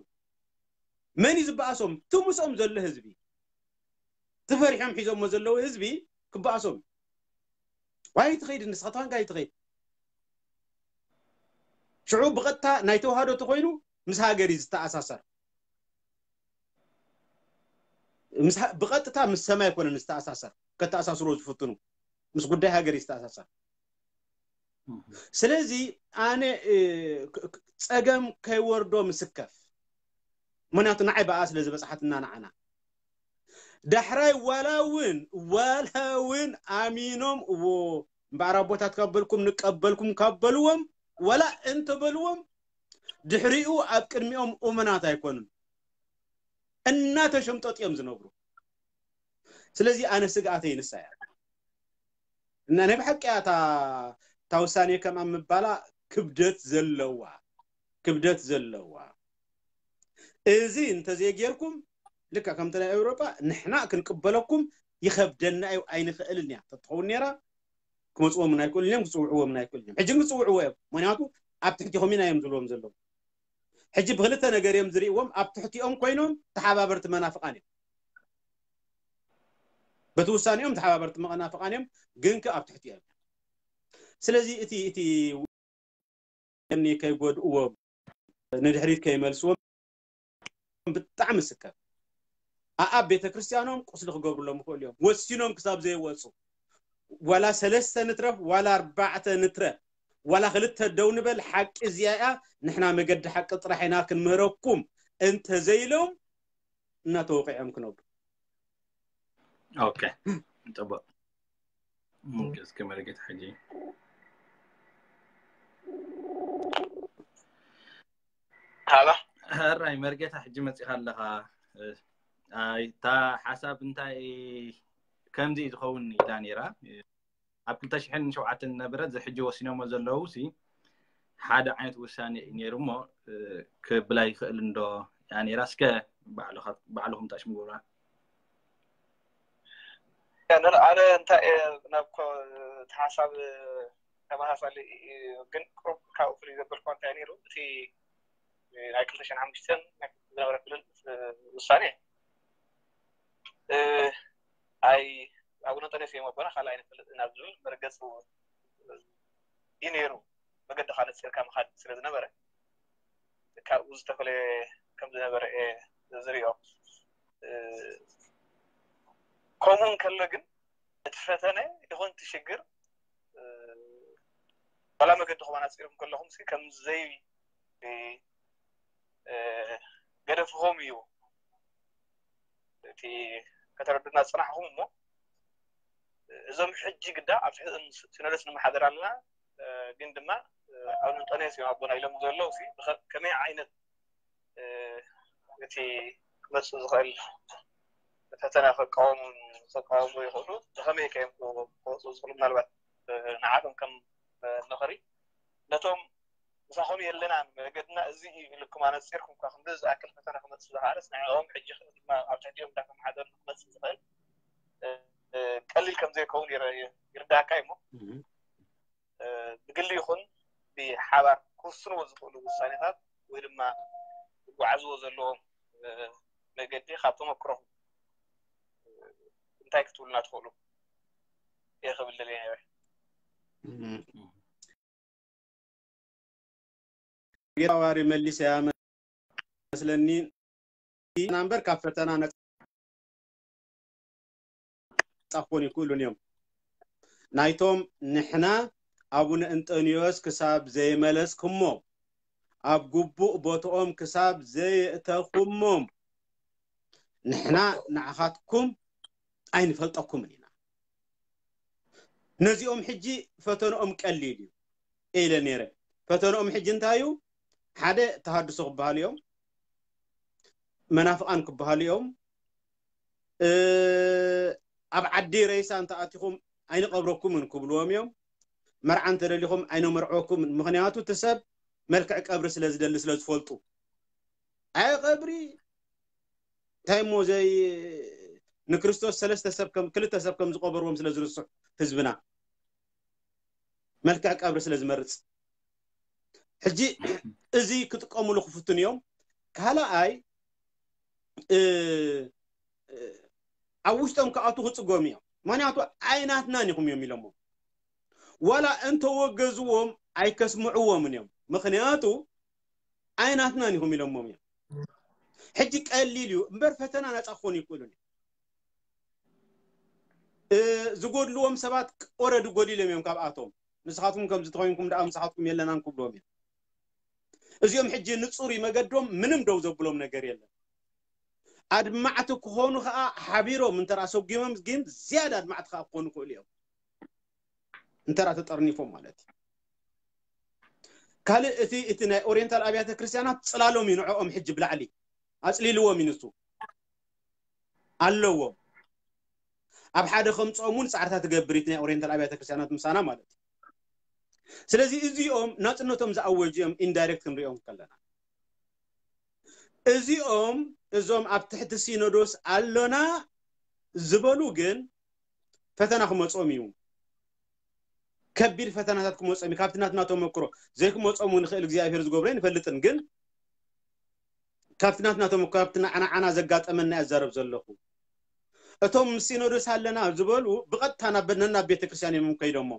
መን እዩ ዝበኣሶም? እቲ ምስኦም ዘሎ ህዝቢ። እቲ ፈሪሖም ሒዞሞ ዘለዉ ህዝቢ ክበኣሶም። ዋይ ትኸይድ ንስኻ ተዋንጋ ይትኸይድ። ሽዑ ብቐጥታ ናይ ተዋህዶ ተኾይኑ ምስ ሃገር እዩ ዝተኣሳሰር። ምስ ሃ-፣ ብቐጥታ ምስ ሰማይ ኣይኮነን ዝተኣሳሰር። ከተኣሳስሮ ዝፍትኑ ምስ ጉዳይ ሃገር እዩ ዝተኣሳሰር። ስለዚ ኣነ፣ እ፣ ክ-፣ ክ-፣ ጸገም ከይወርዶ ምስከፍ። ምኽንያቱ ንዓይ ብኣ ስለ ዝበጽሓትና ንዓና። ዳሕራይ ዋላ እውን፣ ዋላ እውን ኣሚኖም እዎ እምበኣር ኣቦታት ካብ በልኩም ንቀበልኩም ካብ በልዎም፣ ዋላ እንተበልዎም፣ ድሕሪኡ ኣብ ቅድሚኦም እሙናት ኣይኮኑን። እናተሸምጠጡ እዮም ዝነብሩ። ስለዚ ኣነ ስግኣተይ ንሳ እያ። እና ናይ ብሓቂ እያ እታ፣ እታ ውሳኔ ከም ኣብ ምባላ ክብደት ዘለዋ፣ ክብደት ዘለዋ። እዚ እንተዘይጌርኩም፣ ልክዕ ከምቲ ናይ ኤውሮጳ፣ ንሕና ክንቅበለኩም ይኸብደና እዩ፣ ኣይንኽእልን እያ ተትኸውን ነይራ፣ ክመጽዎም ውን ኣይክእሉን እዮም፣ ክጽውዕዎም ውን ኣይክእሉን እዮም። ሕጂ ግን ክጽውዕዎ እዮም። ምኽንያቱ ኣብ ትሕቲኹም ኢና እዮም ዝብልዎም ዘለዉ። ሕጂ ብክልተ ነገር እዮም ዝርእይዎም፣ ኣብ ትሕቲኦም ኮይኖም ተሓባበርቲ መናፍቃን እዮም። በቲ ውሳኔኦም ተሓባበርቲ መናፍቃን እዮም፣ ግን ከ ኣብ ትሕቲኦም እዮም። ስለዚ እቲ፣ እቲ እኒ ከይጎድእዎም፣ ንድሕሪት ከይመልስዎም ብጣዕሚ ስከፍ። ኣኣብ ቤተ ክርስቲያኖም ቁስሊ ክገብሩሎም ይኽእሉ እዮም። ወሲኖም ክሳብ ዘይወፁ፣ ዋላ ሰለስተ ንትረፍ፣ ዋላ ኣርባዕተ ንትረፍ፣ ዋላ ክልተ ደው ንበል፣ ሓቂ እዚኣ እያ፣ ንሕና መገዲ ሓቂ ጥራሕ ኢና ክንምህረኩም እንተዘይሎም፣ እናተወቂዖም ክነብሩ። ኦኬ፣ ጽቡቅ። ኦኬ፣ እስከ መርጌታ ሕጂ። ሃሎ። ሕራይ መርጌታ፣ ሕጂ መጺኻ ኣለኻ። ኣይ፣ እታ ሓሳብ እንታይ ከምዚ እዩ ዝኸውን ኢላ ነይራ። ኣብ ክልተ ሽሕን ሸውዓተን ዝነበረ፣ እዚ ሕጂ ወሲኖሞ ዘለዉ ሲ ሓደ ዓይነት ውሳኔ እዩ ነይሩ እሞ፣ እ፣ ክብል ኣይኽእል እንዶ እያ ነይራ። እስከ ባዕልኻ-፣ ባዕልኹም ታሽምጉራ። ያንን ኣነ እንታይ እየ ናብ ኮ-፣ እቲ ሓሳብ ተመሳሳሊ እዩ፣ ግን ቁሩብ ካብኡ ፍልይ ዘበልኩዎ እንታይ ነይሩ፣ እቲ ናይ ክልተ ሽሕን ሓሙሽተን ዝነበረ ክልል ውሳኔ እዮም ኣቦና ካልእ ኣይንፈልጥን ኣብ ዝብል መርገፂ እዩ ነይሩ። መገዲ ካልእ ስርካ ምኻድ ስለ ዝነበረ ካብኡ ዝተፈለየ ከም ዝነበረ እየ ዝሪኦ። ከምኡ እንከሎ ግን እቲ ፈተነ ይኹን እቲ ሽግር ዋላ መገዲ ከማን ኣፅርኩም ከለኹም ሲ ከም ዘይ ገደፍኹም እዩ እቲ ከተረዱና ዝፅናሕኹም እሞ እዞም ሕጂ ግዳ ኣብ ትሕቲ ሲኖዶስ ንመሓደር ኣለና ግን ድማ ኣብ እንጦንዮስ እዮም ኣቦና ኢሎም ዘለዉ ከመይ ዓይነት እቲ ክመፅእ ዝኽእል ፈተና ክቃወሙ ክቃወሙ ይኽእሉ ብኸመይ ከዮም ክወፅኡ ዝኽእሉ ምናልባት ንዓቶም ከም ምኽሪ ነቶም ምሳኹም የለናን መገድና እዚ እዩ ኢልኩም ኣነፂርኩም እኳ ክንዲ ዝኣክል ፈተና ክመፅእ ዝኽኣለስ ንዕኦም ሕጂ ድማ ኣብ ትሕቲኦም እንዳተመሓደሩ ክመፅእ ዝኽእል ቀሊል ከም ዘይከውን ይርዳእካ እሞ ብግሊ ይኹን ብሓባር ክውስንዎ ዝኽእሉ ውሳኔታት ወይ ድማ ዝጓዓዝዎ ዘለዎም መገዲ ካብ ተመክሮኹም እንታይ ክትብሉና ትኽእሉ እየ ክብል ደልየ ነይረ። ጌታዋሪ መሊሰ መስለኒ ናምበር ካብ ፈተና ነፃ ክኾኑ ይክእሉን እዮም። ናይቶም ንሕና ኣቡነ እንጠንዮስ ክሳብ ዘይመለስኩሞም ኣብ ግቡእ ቦትኦም ክሳብ ዘየእተኹሞም ንሕና ንዓኻትኩም ኣይንፈልጠኩምን ኢና። ነዚኦም ሕጂ ፈተንኦም ቀሊል እዩ ኢለ ነይረ። ፈተንኦም ሕጂ እንታይ እዩ? ሓደ ተሃድሶ ክበሃሉ እዮም፣ መናፍቓን ክበሃሉ እዮም። ኣብ ዓዲ ሬሳ እንተኣቲኹም ኣይንቐብረኩምን ክብልዎም እዮም። መርዓ እንተደሊኹም ኣይነመርዕወኩምን። ምኽንያቱ እቲ ሰብ መልክዕ ቀብሪ ስለ ዝደሊ ስለ ዝፈልጡ። ኣይ ቀብሪ እንታይ እሞ ዘይ ንክርስቶስ ሰለስተ ሰብ ከም ክልተ ሰብ ከም ዝቆበርዎም ስለ ዝርስዕ ህዝብና መልክዕ ቀብሪ ስለ ዝመርጽ ሕጂ እዚ ክጥቀሙሉ ክፍትን እዮም። ካልኣይ ኣብ ውሽጦም ክኣቱ ክፅጎም እዮም። ምክንያቱ ኣይናትናን ኢኹም እዮም ኢሎሞ ዋላ እንተወገዝዎም ኣይከስምዕዎምን እዮም። ምክንያቱ ኣይናትናን ኢኹም ኢሎሞም እዮም። ሕጂ ቀሊል እዩ እምበር ፈተና ነፃ ክኾኑ ይክእሉን እዮም። ዝጎድልዎም ሰባት ኦረዲ ጎዲሎም እዮም ካብኣቶም። ንስኻትኩም ከምዚ ተኮይንኩም ደኣ ምሳኻትኩም የለናን ክብሎም እዮም። እዚኦም ሕጂ ንፁር መገዶም ምንም ደው ዘብሎም ነገር የለን። ኣድማዕቲ ክኾኑ ከዓ ሓቢሮም እንተ ሰጉሞም ግን ዝያዳ ኣድማዕቲ ከዓ ክኾኑ ይኽእሉ እዮም። እንተ ተጠርኒፎም ማለት እዩ። ካልእ እቲ እቲ ናይ ኦሪየንታል ኣብያተ ክርስቲያናት ፅላሎም እዩ ንዕኦም ሕጂ ብላዕሊ ኣፅሊልዎም እዩ ንሱ ኣለዎም። ኣብ ሓደ ከምፅኦም እውን ፃዕርታት ትገብር እቲ ናይ ኦሪየንታል ኣብያተ ክርስቲያናት ምሳና ማለት እዩ። ስለዚ እዚኦም ናፅነቶም ዝኣወጁ እዮም ኢንዳይሬክት ክንሪኦም ከለና እዚኦም እዞም ኣብ ትሕቲ ሲኖዶስ ኣሎና ዝበሉ ግን ፈተና ክመፆም እዩ። ከቢድ ፈተናታት ክመፆም እዩ። ካብቲ ናትና ተመክሮ ዘይክመፆም እውን ይኽእል እግዚኣብሔር ዝገብሮ ይንፈልጥን ግን ካብቲ ናትና ተመክሮ ካብቲ ንዓና ዘጋጠመና እዛረብ ዘለኹ እቶም ሲኖዶስ ኣለና ዝበሉ ብቐጥታ ናብ ነናብ ቤተክርስትያን እዮም ከይዶሞ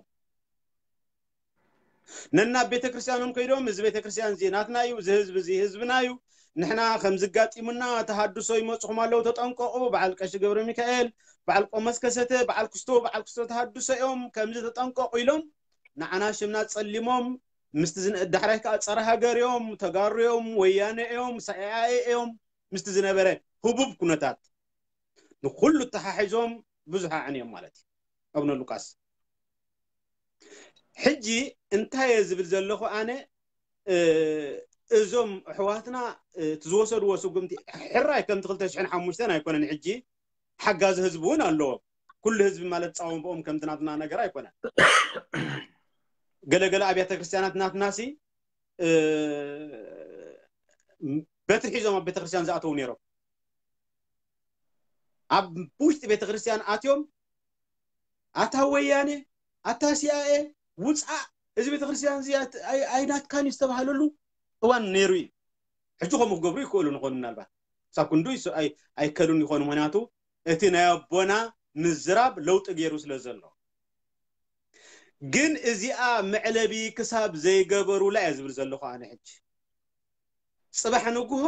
ነናብ ቤተክርስትያኖም ከይዶም እዚ ቤተክርስትያን እዚ ናትና እዩ፣ እዚ ህዝቢ እዚ ህዝብና እዩ፣ ንሕና ከምዚ ኣጋጢሙና ተሃድሶ ይመፅኹም ኣለዉ ተጠንቀቑ፣ በዓል ቀሺ ገብረ ሚካኤል፣ በዓል ቆሞስ ከሰተ፣ በዓል ክስቶ፣ በዓል ክስቶ ተሃድሶ እዮም ከምዚ ተጠንቀቑ ኢሎም ንዓና ሽምና ፀሊሞም ምስቲ ዝነ- ዳሕራይ ከዓ ፀረ ሃገር እዮም፣ ተጋሩ እዮም፣ ወያነ እዮም፣ ሳኤኣኤ እዮም ምስቲ ዝነበረ ህቡብ ኩነታት ንኩሉ ተሓሒዞም ብዙሕ ኣዕንዮም ማለት እዩ ኣቡነ ሉቃስ። ሕጂ እንታይ እየ ዝብል ዘለኹ ኣነ እዞም ኣሕዋትና እቲ ዝወሰድዎ ስጉምቲ ሕራይ ከምቲ ክልተ ሽሕን ሓሙሽተን ኣይኮነን። ሕጂ ሓጋዚ ህዝቢ እውን ኣለዎም። ኩሉ ህዝቢ ማለት ፃወንብኦም ከምቲ ናትና ነገር ኣይኮነን። ገለገለ ኣብያተ ክርስትያናት ናትናሲ በትሪ ሒዞም ኣብ ቤተክርስትያን ዝኣተዉ ነይሮም። ኣብ ውሽጢ ቤተክርስትያን ኣትዮም ኣታ ወያነ ኣታ ሲኣኤ ውፃእ እዚ ቤተክርስትያን እዚ ኣይናትካን እዩ ዝተባሃለሉ እዋን ነይሩ እዩ። ሕጂ ከምኡ ክገብሩ ይክእሉ ንኾኑ ምናልባት ሳብ ክንዱ ኣይከሉን ይኾኑ። ምክንያቱ እቲ ናይ ኣቦና ምዝራብ ለውጢ ገይሩ ስለ ዘሎ። ግን እዚኣ መዕለቢ ክሳብ ዘይገበሩላ እየ ዝብል ዘለኹ ኣነ። ሕጂ ጽባሕ ንግሆ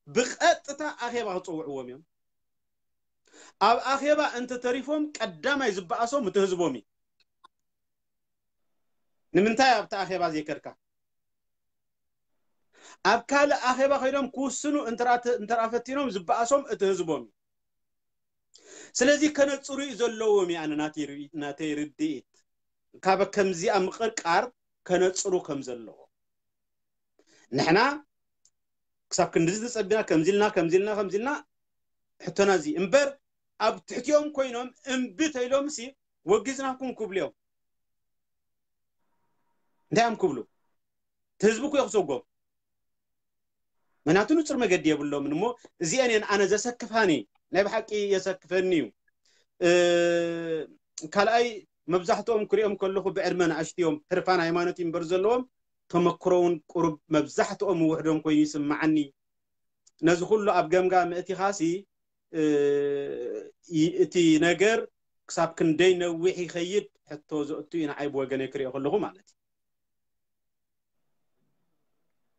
ብቐጥታ ኣኼባ ክጽውዕዎም እዮም። ኣብ ኣኼባ እንተተሪፎም ቀዳማይ ዝበኣሶም እቲ ህዝቦም እዩ። ንምንታይ ኣብቲ ኣኼባ ዘይከድካ? ኣብ ካልእ ኣኼባ ኮይኖም ክውስኑ እንተ ፈቲኖም ዝበኣሶም እቲ ህዝቦም እዩ። ስለዚ ከነጽሩ እዩ ዘለዎም እዩ ኣነ ናተይ ርኢ- ናተይ ርድኢት። ካብ ከምዚኣ ምቕርቃር ከነጽሩ ከም ዘለዎ። ንሕና ክሳብ ክንድዚ ተጸቢና ከምዚ ኢልና ከምዚ ኢልና ከምዚ ኢልና ሕቶና እዚ እምበር ኣብ ትሕቲኦም ኮይኖም እምቢ ተኢሎም ሲ ወጊዝናኩም ክብሉ እዮም። እንታይ እዮም ክብሉ? እቲ ህዝቢ እኮ እዩ ክሰጎም። ምክንያቱ ንጹር መገዲ የብሎምን እሞ እዚአን እየን ኣነ ዘሰክፋኒ፣ ናይ ብሓቂ የሰክፈኒ እዩ። እ፣ ካልኣይ መብዛሕትኦም ክሪኦም ከለኹ ብዕድመ ንኣሽቱ እዮም፣ ሕርፋን ሃይማኖት እዩ እምበር ዘለዎም ተመክሮ እውን ቁሩብ መብዛሕትኦም ውሕዶም ኮይኑ ይስምዓኒ። ነዚ ኩሉ ኣብ ገምጋም ምእቲኻሲ እ፣ ይ- እቲ ነገር ክሳብ ክንደይ ነዊሕ ይኸይድ ሕቶ ዘእቱ እዩ ንዓይ ብወገነይ ክሪኦ ከለኹ ማለት እዩ።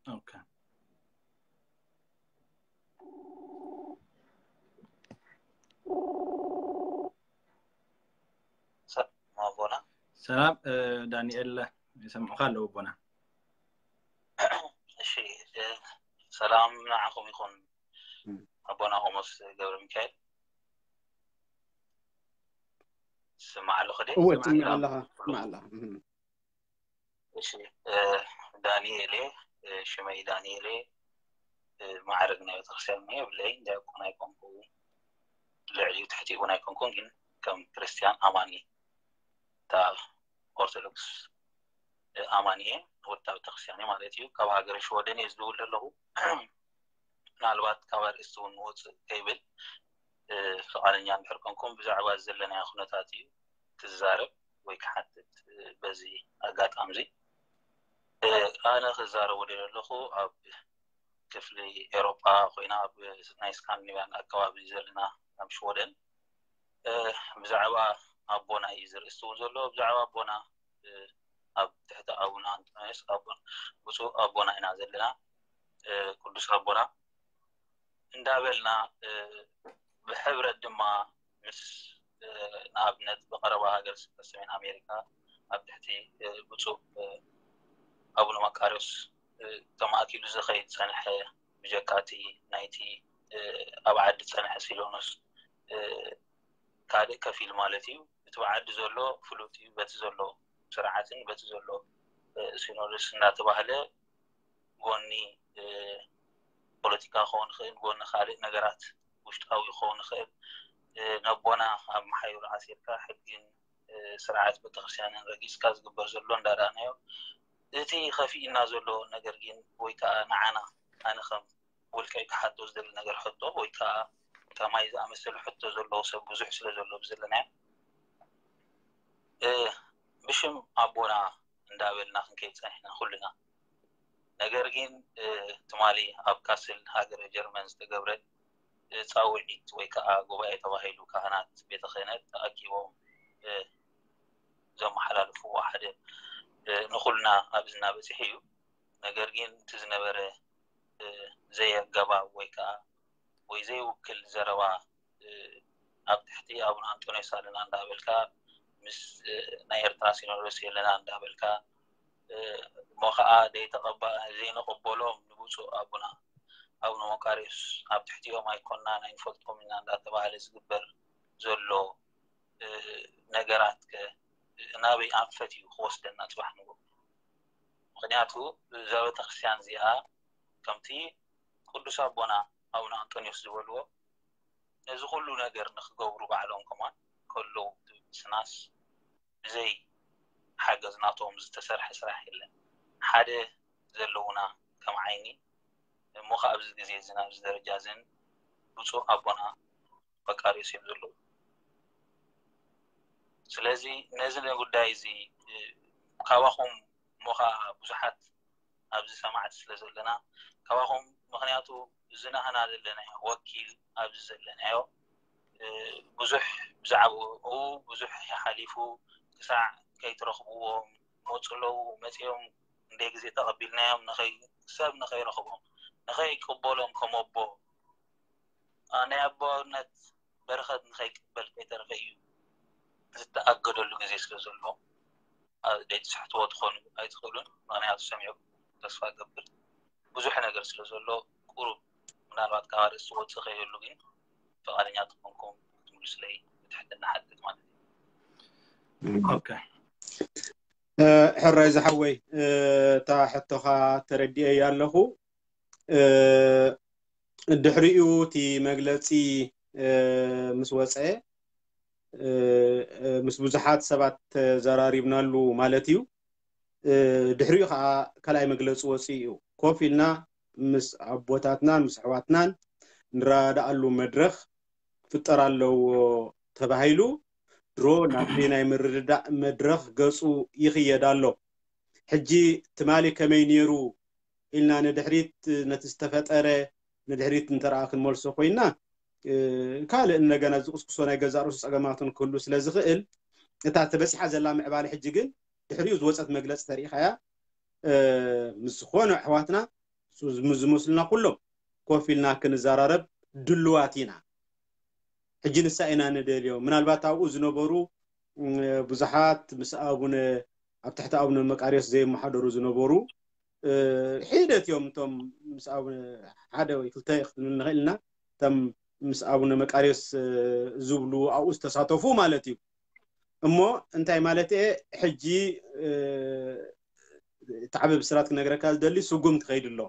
ኦኬ። ሰላም ኣቦና። ሰላም እ፣ ዳንኤል ይሰምዑካ ኣለዉ ኣቦና። እሺ እ፣ ሰላም ንዓኹም ይኹን። ኣቦና ቆሞስ ገብረ ሚካኤል ስማዕ ኣለኹ ድየ? እወ ጽምዕ ኣለኻ ጽምዕ ኣለኻ እህ። እሺ እ፣ ዳንኤል እየ። እ፣ ሽመይ ዳንኤል እየ። እ፣ ማዕረግ ናይ ቤተክርስትያን እየ ብለይ ዲያቆን ኣይኮንኩ፣ ልዕሊኡ ትሕቲ እውን ኣይኮንኩን፣ ግን ከም ክርስትያን ኣማኒ እታ ኦርቶዶክስ እ፣ ኣማኒ እየ። ወዲ ቤተክርስትያን እየ ማለት እዩ። ካብ ሃገረ ሽወደን እየ ዝድውል ዘለኹ። ምናልባት ካብ ኣርእስቲ እውን ንወፅእ ከይብል እ፣ ፍቓደኛ እንድሕር ኮንኩም ብዛዕባ ዘለናዮ ኩነታት እዩ ክዛረብ ወይ ክሓትት እ፣ በዚ ኣጋጣሚ እዚ እ፣ ኣነ ክዛረቦ ደለኹ ኣብ ክፍሊ ኤሮጳ ኮይና ኣብ ናይ ስካንዲኔቭያን ኣከባቢ ዘለና ኣብ ሽወደን እ፣ ብዛዕባ ኣቦና እዩ ዝርእስቲ እውን ዘሎ ብዛዕባ ኣቦና እ፣ ኣብ ትሕቲ ኣቡና ኣንጦንዮስ ኣቦና ብፁዕ ኣቦና ኢና ዘለና እ፣ ቅዱስ ኣቦና እንዳበልና እ፣ ብሕብረት ድማ ምስ እ፣ ንኣብነት ብቐረባ ሃገር ስብከት ሰሜን ኣሜሪካ ኣብ ትሕቲ እ፣ ብፁዕ እ፣ ኣቡነ መቃርዮስ እ፣ ተማእኪሉ ዝኸይድ ጸንሐ ብጀካቲ ናይቲ እ፣ ኣብ ዓዲ ጸንሐ ሲኖዶስ እ፣ ካልእ ከፊል ማለት እዩ። እቲ ብዓዲ ዘሎ ፍሉጥ እዩ። በቲ ዘሎ ስርዓትን በቲ ዘሎ እ፣ ሲኖዶስ እንዳተባህለ ጎኒ እ፣ ፖለቲካ ክኸውን ይኽእል፣ ጎኒ ካልእ ነገራት ውሽጣዊ ክኸውን ይኽእል። እ፣ ነቦና ኣብ መሓይሩ ኣሲርካ ሕግን እ፣ ስርዓት ቤተክርስትያንን ረጊጽካ ዝግበር ዘሎ እንዳረኣናዮ እቲ ከፊእና ዘሎ ነገር ግን ወይ ከዓ ንዓና ኣነ ከም ውልቀይ ክሓቶ ዝደሊ ነገር ሕቶ ወይ ከዓ ከማይ ዝኣመሰሉ ሕቶ ዘለዎ ሰብ ብዙሕ ስለ ዘሎ ብዘለናዮ እ፣ ብሽም ኣቦና እንዳበልና ክንከይድ ጸኒሕና ኩልና። ነገር ግን እ፣ ትማሊ ኣብ ካስል ሃገረ ጀርመን ዝተገብረ እ፣ ጻውዒት ወይ ከዓ ጉባኤ ተባሂሉ ካህናት ቤተ ክህነት ተኣኪቦም እ፣ ዘመሓላልፍዎ ሓደ እ፣ ንኹልና ኣብ እዝና በፂሑ እዩ። ነገር ግን እቲ ዝነበረ እ፣ ዘየገባብ ወይ ከዓ ወይ ዘይውክል ዘረባ እ፣ ኣብ ትሕቲ ኣቡነ ኣንጦንዮስ ኣለና እንዳበልካ ምስ እ፣ ናይ ኤርትራ ሲኖዶስ የለና እንዳበልካ እ፣ እሞ ከዓ ዘይተቐባ ዘይንቕበሎም ንብፁዕ ኣቡና ኣቡነ መቃርዮስ ኣብ ትሕቲኦም ኣይኮናን ኣይንፈልጦም ኢና እንዳተባሃለ ዝግበር ዘሎ እ፣ ነገራት ከ ናበይ ኣንፈት እዩ ክወስደና ፅባሕ ንግሆ? ምክንያቱ እዛ ቤተክርስትያን እዚኣ ከምቲ ቅዱስ ኣቦና ኣቡነ ኣንጦንዮስ ዝበልዎ ነዚ ኩሉ ነገር ንክገብሩ ባዕሎም ከማን ከለዉ እቲ ምስናስ ብዘይ ሓገዝ ናቶም ዝተሰርሐ ስራሕ የለን። ሓደ ዘለውና ከም ዓይኒ እሞ ከ ኣብዚ ግዜ እዚ ናብዚ ደረጃ እዝን ብፁዕ ኣቦና መቃርዮስ እዮም ዘለዉ። ስለዚ ነዚ ጉዳይ እዚ እ፣ ካባኹም እሞ ከኣ ብዙሓት ኣብዚ ሰማዕቲ ስለ ዘለና ካባኹም ምክንያቱ እዚ ናህና ዘለናዮ ወኪል ኣብዚ ዘለናዮ ብዙሕ ብዛዕባኡ ብዙሕ ሓሊፉ ክሳዕ ከይትረኽብዎም መፁ ኣለዉ። መፂኦም እንደ ግዜ ተቐቢልናዮም ንኸይ ሰብ ንኸይረኽቦም ንኸይቅበሎም ከም ኣቦ ናይ ኣቦነት በረኸት ንኸይቅበል ከይተረፈ እዩ ዝተኣገደሉ ግዜ ስለ ዘሎ ደጅ ስሕትዎ ትኾኑ ኣይትኽእሉን። ምክንያቱ ሰሚዑ ተስፋ ገብር ብዙሕ ነገር ስለ ዘሎ ቁሩብ ምናልባት ካብ ርእሲ ወፅእ ከይህሉ ግን ፍቓደኛ ትኾንኩም ክትምልሱለይ ብትሕትና ሓትት ማለት እዩ። ሕራይ ዝሓወይ እታ ሕቶኻ ተረዲኤያ ኣለኹ። ድሕሪኡ እቲ መግለፂ ምስ ወፀ ምስ ብዙሓት ሰባት ተዘራሪብናሉ ማለት እዩ። ድሕሪኡ ከዓ ካልኣይ መግለፂ ወፂኡ እዩ። ኮፍ ኢልና ምስ ኣቦታትናን ምስ ኣሕዋትናን ንረዳኣሉ መድረኽ ክፍጠር ኣለዎ ተባሂሉ ድሮ ናብቲ ናይ ምርድዳእ መድረኽ ገፁ ይኽየድ ኣሎ። ሕጂ ትማሊ ከመይ ነይሩ ኢልና ንድሕሪት ነቲ ዝተፈጠረ ንድሕሪት እንተረኣ ክንመልሶ ኮይና ካልእ እንደገና ዝቁስቁሶ ናይ ገዛእ ርእሱ ፀገማትን ክህሉ ስለ ዝኽእል እታ ተበፂሓ ዘላ ምዕባለ ሕጂ ግን ድሕሪኡ ዝወፀት መግለፂ ተሪኢኻያ ምስ ዝኾኑ ኣሕዋትና ዝመስሉና ኩሎም ኮፍ ኢልና ክንዘራረብ ድልዋት ኢና። ሕጂ ንሳ ኢና ንደልዮ። ምናልባት ኣብኡ ዝነበሩ ብዙሓት ምስ ኣቡነ ኣብ ትሕቲ ኣቡነ መቃርዮስ ዘይመሓደሩ ዝነበሩ ሒደት እዮም እቶም ምስ ኣቡነ ሓደ ወይ ክልተ ክንብል ንኽእል ኢና እቶም ምስ ኣቡነ መቃርዮስ ዝብሉ ኣብኡ ዝተሳተፉ ማለት እዩ። እሞ እንታይ ማለት እየ ሕጂ እቲ ዓቢ ብስራት ክነግረካ ዝደሊ ስጉም ትኸይድ ኣሎ።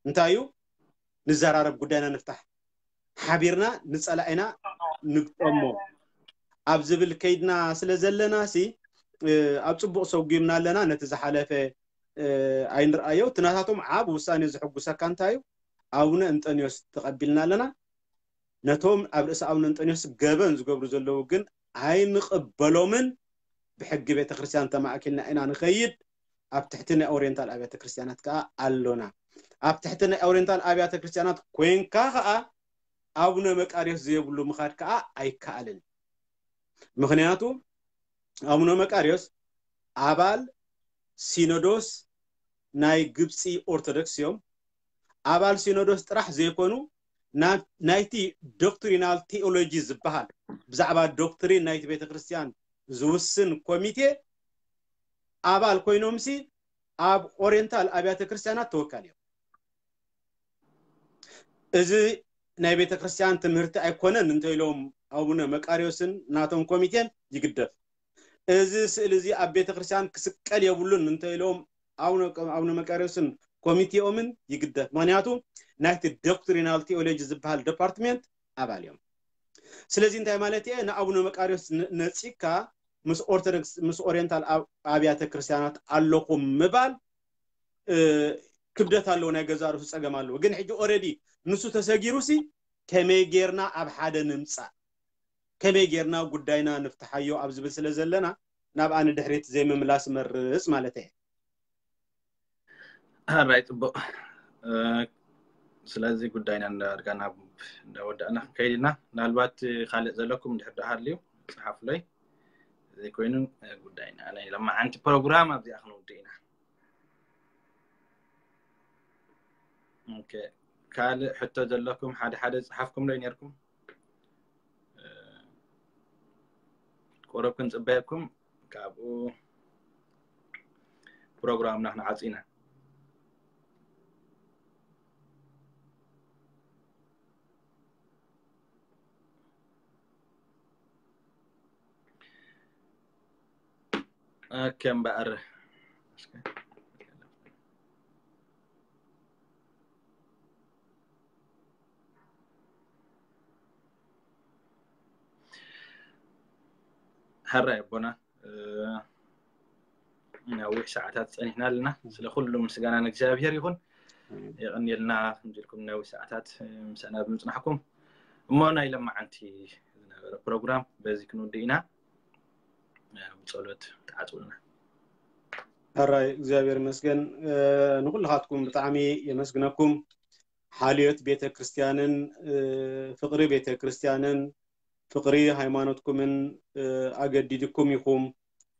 እንታይ እዩ ንዘራረብ ጉዳይና ንፍታሕ ሓቢርና ንፀላኢና ንግጠሞ ኣብ ዝብል ከይድና ስለ ዘለና ሲ ኣብ ፅቡቕ ሰጉምና ኣለና። ነቲ ዝሓለፈ ኣይንርኣዮ። እቲ ናታቶም ዓብ ውሳኔ ዝሕጉሰካ እንታይ እዩ? ኣቡነ እንጠንዮስ ተቐቢልና ኣለና። ነቶም ኣብ ርእሲ ኣቡነ እንጠንዮስ ገበን ዝገብሩ ዘለዉ ግን ኣይንቕበሎምን። ብሕጊ ቤተክርስትያን ተማእኪልና ኢና ንኸይድ። ኣብ ትሕቲ ናይ ኦሪየንታል ኣብያተ ክርስትያናት ከዓ ኣሎና። ኣብ ትሕቲ ናይ ኦሪየንታል ኣብያተ ክርስትያናት ኮይንካ ከዓ ኣቡነ መቃርዮስ ዘይብሉ ምኻድ ከዓ ኣይከኣልን። ምክንያቱ ኣቡነ መቃርዮስ ኣባል ሲኖዶስ ናይ ግብፂ ኦርቶዶክስ እዮም። ኣባል ሲኖዶስ ጥራሕ ዘይኮኑ ናይቲ ዶክትሪናል ቴኦሎጂ ዝበሃል ብዛዕባ ዶክትሪን ናይቲ ቤተክርስትያን ዝውስን ኮሚቴ ኣባል ኮይኖምሲ ኣብ ኦሪየንታል ኣብያተ ክርስትያናት ተወካል እዮም። እዚ ናይ ቤተ ክርስቲያን ትምህርቲ ኣይኮነን እንተ ኢሎም ኣቡነ መቃርዮስን ናቶም ኮሚቴን ይግደፍ። እዚ ስእሊ እዚ ኣብ ቤተ ክርስቲያን ክስቀል የብሉን እንተ ኢሎም ኣቡነ መቃርዮስን ኮሚቴኦምን ይግደፍ። ምክንያቱ ናይቲ ዶክትሪናል ቴኦሎጂ ዝበሃል ዲፓርትሜንት ኣባል እዮም። ስለዚ እንታይ ማለት እየ ንኣቡነ መቃርዮስ ነፂካ ምስ ኦርቶዶክስ ምስ ኦሪየንታል ኣብያተ ክርስቲያናት ኣለኹም ምባል ክብደት ኣለዎ፣ ናይ ገዛ ርእሱ ፀገም ኣለዎ። ግን ሕጂ ኦረዲ ንሱ ተሰጊሩ ሲ ከመይ ጌርና ኣብ ሓደ ንምፃእ፣ ከመይ ጌርና ጉዳይና ንፍትሓዮ ኣብ ዝብል ስለ ዘለና ናብኣ ንድሕሪት ዘይምምላስ መርፅ ማለት እየ። ኣራይ ፅቡቅ። ስለዚ ጉዳይና እንዳርጋ ናብ እንዳወዳእና ክንከይድ ኢና። ምናልባት ካልእ ዘለኩም ድሕር ደሃልዩ ፀሓፉለይ። ዘይኮይኑ ጉዳይና ናይ ለማዓንቲ ፕሮግራም ኣብዚኣ ክንውድእ ኢና። ካልእ ሕቶ ዘለኩም ሓደ ሓደ ዝፀሓፍኩም ዶ ነርኩም? ቁሩብ ክንፅበየኩም ካብኡ ፕሮግራምና ክንዓፂ ኢና። ኦኬ እምበኣር ሕራይ ኣቦና ነዊሕ ሰዓታት ፀኒሕና ኣለና። ስለ ኩሉ ምስጋና ንእግዚኣብሔር ይኹን። የቐንየልና ከምዚ ኢልኩም ነዊሕ ሰዓታት ምሳና ብምፅናሕኩም። እሞ ናይ ለማዓንቲ ዝነበረ ፕሮግራም በዚ ክንውድእ ኢና። ብፀሎት ተዓፅውልና። ሕራይ እግዚኣብሔር ይመስገን። ንኩልኻትኩም ብጣዕሚ የመስግነኩም። ሓልዮት ቤተ ክርስቲያንን ፍቕሪ ቤተ ክርስቲያንን ፍቕሪ ሃይማኖትኩምን ኣገዲድኩም ኢኹም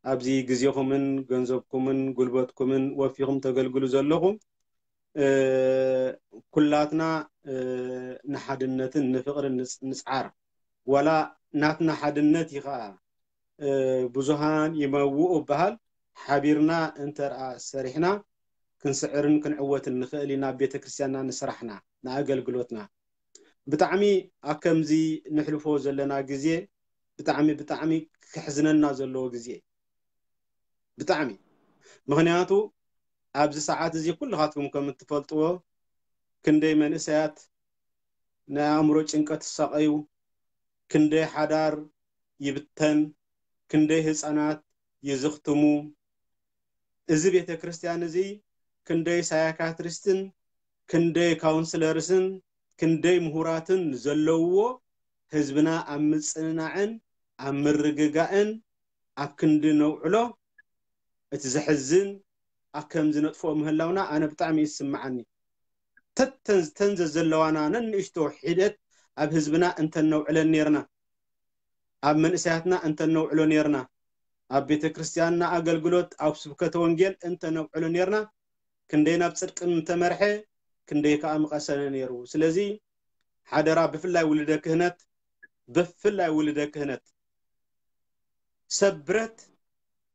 ኣብዚ ግዜኹምን ገንዘብኩምን ጉልበትኩምን ወፊኹም ተገልግሉ ዘለኹም። ኩላትና ንሓድነትን ንፍቕርን ንጽዓር። ዋላ ናትና ሓድነት እዩ ከዓ ብዙሃን ይመውኡ በሃል። ሓቢርና እንተርኣ ሰሪሕና ክንስዕርን ክንዕወትን ንኽእል ኢና። ቤተክርስትያንና ንስራሕና ንኣገልግሎትና ብጣዕሚ ኣብ ከምዚ ንሕልፎ ዘለና ግዜ ብጣዕሚ ብጣዕሚ ክሕዝነና ዘለዎ ግዜ ብጣዕሚ። ምኽንያቱ ኣብዚ ሰዓት እዚ ኩልኻትኩም ከም እትፈልጥዎ ክንደይ መንእሰያት ናይ ኣእምሮ ጭንቀት ይሳቐዩ፣ ክንደይ ሓዳር ይብተን፣ ክንደይ ህፃናት ይዝኽትሙ። እዚ ቤተ ክርስቲያን እዚ ክንደይ ሳይካትሪስትን ክንደይ ካውንስለርስን ክንደይ ምሁራትን ዘለውዎ ህዝብና ኣብ ምፅንናዕን ኣብ ምርግጋእን ኣብ ክንዲ ነውዕሎ እቲ ዘሕዝን ኣብ ከምዚ ነጥፍኦ ምህላውና ኣነ ብጣዕሚ ይስምዓኒ። ተተን ተን ዘዘለዋና ነንእሽቶ ሒደት ኣብ ህዝብና እንተነውዕለን ነርና፣ ኣብ መንእሰያትና እንተነውዕሎ ነርና፣ ኣብ ቤተ ክርስቲያንና ኣገልግሎት ኣብ ስብከተ ወንጌል እንተነውዕሎ ነርና ክንደይ ናብ ጽድቂ ምተመርሐ ክንደይ ከኣ ምቐሰነ ነይሩ። ስለዚ ሓደራ ብፍላይ ውልደ ክህነት ብፍላይ ውልደ ክህነት ሰብ ብረት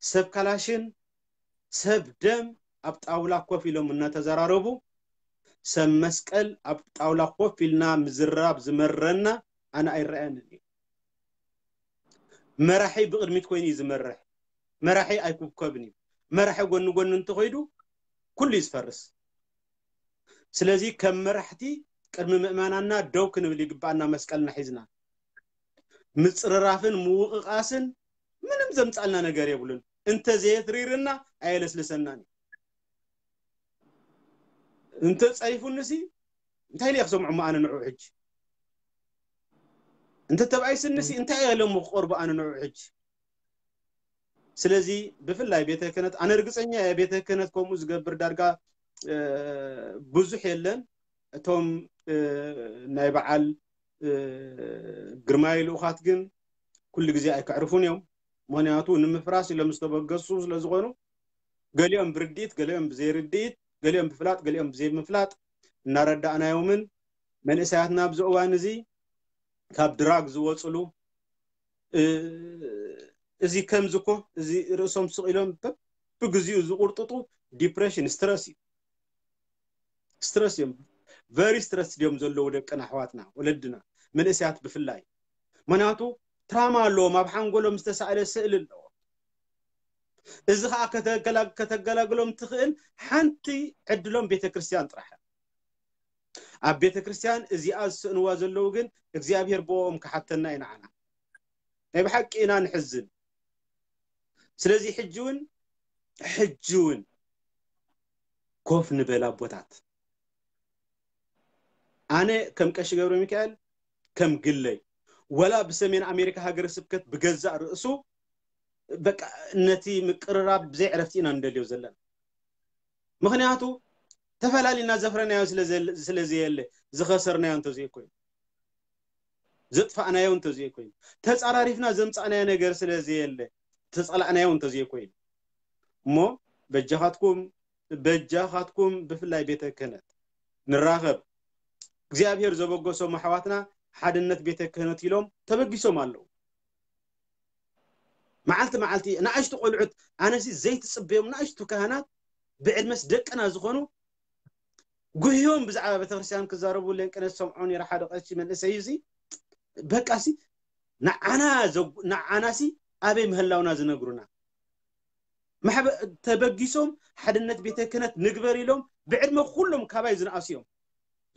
ሰብ ካላሽን ሰብ ደም ኣብ ጣውላ ኮፍ ኢሎም እናተዘራረቡ ሰብ መስቀል ኣብ ጣውላ ኮፍ ኢልና ምዝራብ ዝመረና ኣነ ኣይረኣየንን እዩ። መራሒ ብቕድሚት ኮይኑ እዩ ዝመርሕ። መራሒ ኣይኩብከብን እዩ። መራሒ ጎኒ ጎኒ እንተኾይዱ ኩሉ እዩ ዝፈርስ። ስለዚ ከም መራሕቲ ቅድሚ ምእመናንና ደው ክንብል ይግባኣና። መስቀልና ሒዝና ምፅርራፍን ምውቕቓስን ምንም ዘምፃልና ነገር የብሉን። እንተዘየትሪርና ኣየለስልሰናን እዩ። እንተፀይፉንሲ እንታይ ኢለ ክሰምዖ ኣነ ንዑ ሕጂ? እንተ ተባኢስንሲ እንታይ ኢሎም ክቐርቡ ኣነ ንዑ ሕጂ? ስለዚ ብፍላይ ቤተ ክህነት ኣነ ርግፀኛ እየ ቤተ ክህነት ከምኡ ዝገብር ዳርጋ ብዙሕ የለን። እቶም ናይ በዓል ግርማይ ልኡኻት ግን ኩሉ ግዜ ኣይክዕርፉን እዮም። ምክንያቱ ንምፍራስ ኢሎም ዝተበገሱ ስለዝኾኑ ገሊኦም ብርድኢት ገሊኦም ብዘይርድኢት ገሊኦም ብፍላጥ ገሊኦም ብዘይምፍላጥ እናረዳእናዮምን መንእሰያትና ኣብዚ እዋን እዚ ካብ ድራግ ዝወፅሉ እዚ ከምዚ እኮ እዚ ርእሶም ስቕ ኢሎም በብግዚኡ ዝቁርጥጡ ዲፕሬሽን ስትረስ እዩ። ስትረስ እዮም። ቨሪ ስትረስ ድዮም ዘለዉ ደቅና ኣሕዋትና ወለድና መንእሰያት ብፍላይ። ምክንያቱ ትራማ ኣለዎም። ኣብ ሓንጎሎም ዝተሳእለ ስእሊ ኣለዎም። እዚ ከዓ ከተገላግሎም ትኽእል ሓንቲ ዕድሎም ቤተ ክርስቲያን ጥራሕ። ኣብ ቤተ ክርስቲያን እዚኣ ዝስእንዋ ዘለዉ ግን እግዚኣብሔር ብኦም ክሓተና እዩ ንዓና። ናይ ብሓቂ ኢና ንሕዝን። ስለዚ ሕጂ እውን ሕጂ እውን ኮፍ ንበል ኣቦታት። ኣነ ከም ቀሺ ገብረ ሚካኤል ከም ግለይ ወላ ብሰሜን ኣሜሪካ ሃገረ ስብከት ብገዛእ ርእሱ በቃ ነቲ ምቅርራብ ብዘይ ዕረፍቲ ኢና ንደልዮ ዘለና። ምክንያቱ ተፈላሊና ዘፍረናዮ ስለዘየለ ዝኸሰርናዮ እንተዘይኮይኑ ዘጥፋእናዮ እንተዘይኮይኑ ተፃራሪፍና ዘምፃእናዮ ነገር ስለዘየለ ተፀላእናዮ እንተዘይኮይኑ እሞ በጃኻትኩም በጃኻትኩም ብፍላይ ቤተ ክህነት ንራኸብ እግዚኣብሔር ዘበገሶም ኣሕዋትና ሓድነት ቤተ ክህነት ኢሎም ተበጊሶም ኣለዉ። መዓልቲ መዓልቲ ንኣሽቱ ቆልዑት ኣነሲ ዘይትፅበዮም ንኣሽቱ ካህናት ብዕድመስ ደቅና ዝኾኑ ጉህዮም ብዛዕባ ቤተክርስትያን ክዛረቡ ለንቅነ ዝሰምዖ ነይረ ሓደ ቀሺ መንእሰይ እዚ በቃሲ ንዓና ንዓናሲ ኣበይ ምህላውና ዝነግሩና ተበጊሶም ሓድነት ቤተ ክህነት ንግበር ኢሎም ብዕድመ ኩሎም ካባይ ዝነኣሱ እዮም።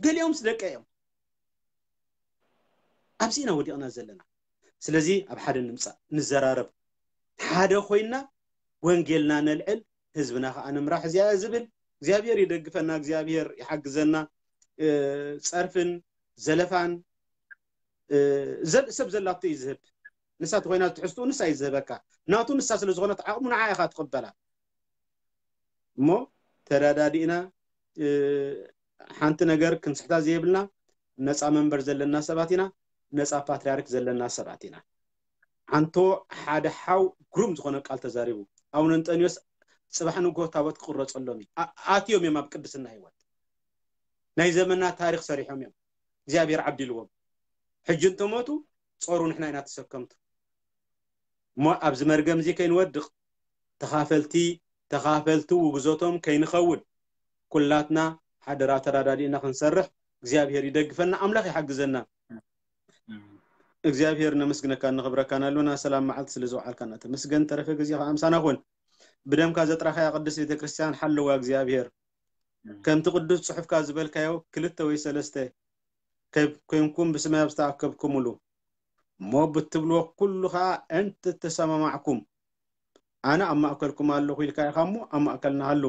ገሊኦምስ ደቀ እዮም። ኣብዚ ኢና ወዲቕና ዘለና። ስለዚ ኣብ ሓደ ንምፃእ ንዘራረብ ሓደ ኮይና ወንጌልና ነልዕል ህዝብና ከዓ ንምራሕ እዚኣ ዝብል እግዚኣብሔር ይደግፈና እግዚኣብሔር ይሓግዘና። ፀርፍን ዘለፋን ሰብ ዘላቶ እዩ ዝህብ። ንሳ ተኮይና ትሕዝትኡ ንሳ እዩ ዝህበካ። ናቱ ንሳ ስለዝኮነት ዓቕሙ ንዓ ኢካ ትቕበላ። እሞ ተረዳዲእና ሓንቲ ነገር ክንስሕታ ዘየብልና ነፃ መንበር ዘለና ሰባት ኢና። ነፃ ፓትርያርክ ዘለና ሰባት ኢና። ሓንቶ ሓደ ሓው ግሩም ዝኾነ ቃል ተዛሪቡ። ኣቡነ እንጠንዮስ ጽባሕ ንግሆ ታቦት ክቕረጸሎም እዩ። ኣትዮም እዮም ኣብ ቅድስና ህይወት ናይ ዘመና ታሪኽ ሰሪሖም እዮም። እግዚኣብሔር ዓዲልዎም። ሕጂ እንተሞቱ ጾሩ ንሕና ኢና ተሰከምቱ። እሞ ኣብዚ መርገም እዚ ከይንወድቕ ተኻፈልቲ ተኻፈልቲ ውግዘቶም ከይንኸውን ኩላትና ሓደራ ተራዳዲእና ክንሰርሕ እግዚኣብሔር ይደግፈና፣ ኣምላኽ ይሓግዘና። እግዚኣብሔር ነመስግነካ ነኽብረካ ናሉና ሰላም መዓልቲ ስለ ዝወዓልካና ተመስገን። ተረፈ ግዜ ከዓ ምሳና ኩን። ብደምካ ዘጥራኻያ ቅድስት ቤተክርስትያን ሓለዋ እግዚኣብሔር። ከምቲ ቅዱስ ጽሑፍካ ዝበልካዮ ክልተ ወይ ሰለስተ ከብ- ኮይንኩም ብስማይ ኣብ ዝተኣከብኩምሉ እሞ ብትብልዎ ኩሉ ከዓ እንተተሰማማዕኩም ኣነ ኣብ ማእከልኩም ኣለኹ ኢልካ ኢኻ እሞ ኣብ ማእከልና ሃሉ።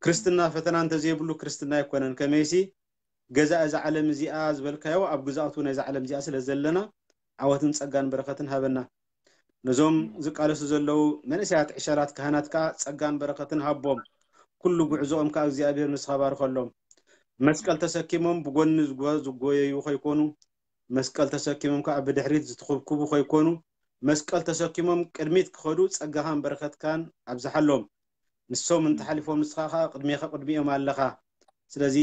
ክርስትና ፈተና እንተዘይብሉ ክርስትና ኣይኮነን። ከመይሲ ገዛ እዛ ዓለም እዚኣ ዝበልካዮ ኣብ ግዛእቱ ናይዛ ዓለም እዚኣ ስለ ዘለና ዓወትን ጸጋን በረኸትን ሃበና። ነዞም ዝቃለሱ ዘለዉ መንእሰያት ዕሸላት ካህናት ከኣ ጸጋን በረኸትን ሃቦም። ኩሉ ጉዕዞኦም ከኣ እግዚኣብሔር ንስኻ ባርኸሎም። መስቀል ተሰኪሞም ብጎኒ ዝጎ- ዝጎየዩ ከይኮኑ መስቀል ተሰኪሞም ከኣ ብድሕሪት ዝትኹብኩቡ ከይኮኑ መስቀል ተሰኪሞም ቅድሚት ክኸዱ ጸጋኻን በረኸትካን ኣብዝሓሎም። ንሶም እንተሓሊፎም ንስኻ ከኣ ቅድሜኻ ቅድሚኦም ኣለኻ። ስለዚ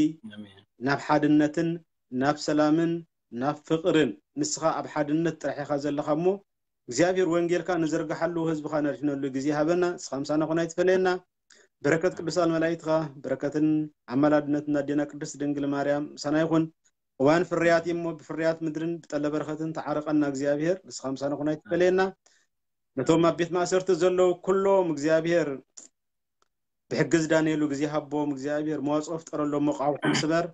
ናብ ሓድነትን ናብ ሰላምን ናብ ፍቕርን ንስኻ ኣብ ሓድነት ጥራሕ ኢኻ ዘለኻ እሞ እግዚኣብሔር ወንጌልካ ንዝርግሓሉ ህዝብኻ ነድሕነሉ ግዜ ሃበና። ንስኻ ምሳና ኮን ኣይትፈለየና። በረከት ቅዱሳን መላእክትኻ በረከትን ኣማላድነትን ኣዴና ቅድስት ድንግል ማርያም ምሳና ይኹን። እዋን ፍርያት እዩ እሞ ብፍርያት ምድርን ብጠለ በረኸትን ተዓረቐና እግዚኣብሔር። ንስኻ ምሳና ኮን ኣይትፈለየና። ነቶም ኣብ ቤት ማእሰርቲ ዘለዉ ኩሎም እግዚኣብሔር ብሕጊ ዝዳነየሉ ግዜ ሃቦም እግዚኣብሔር። መዋፅኦ ፍጠረሎም፣ መቃውሖም ስበር።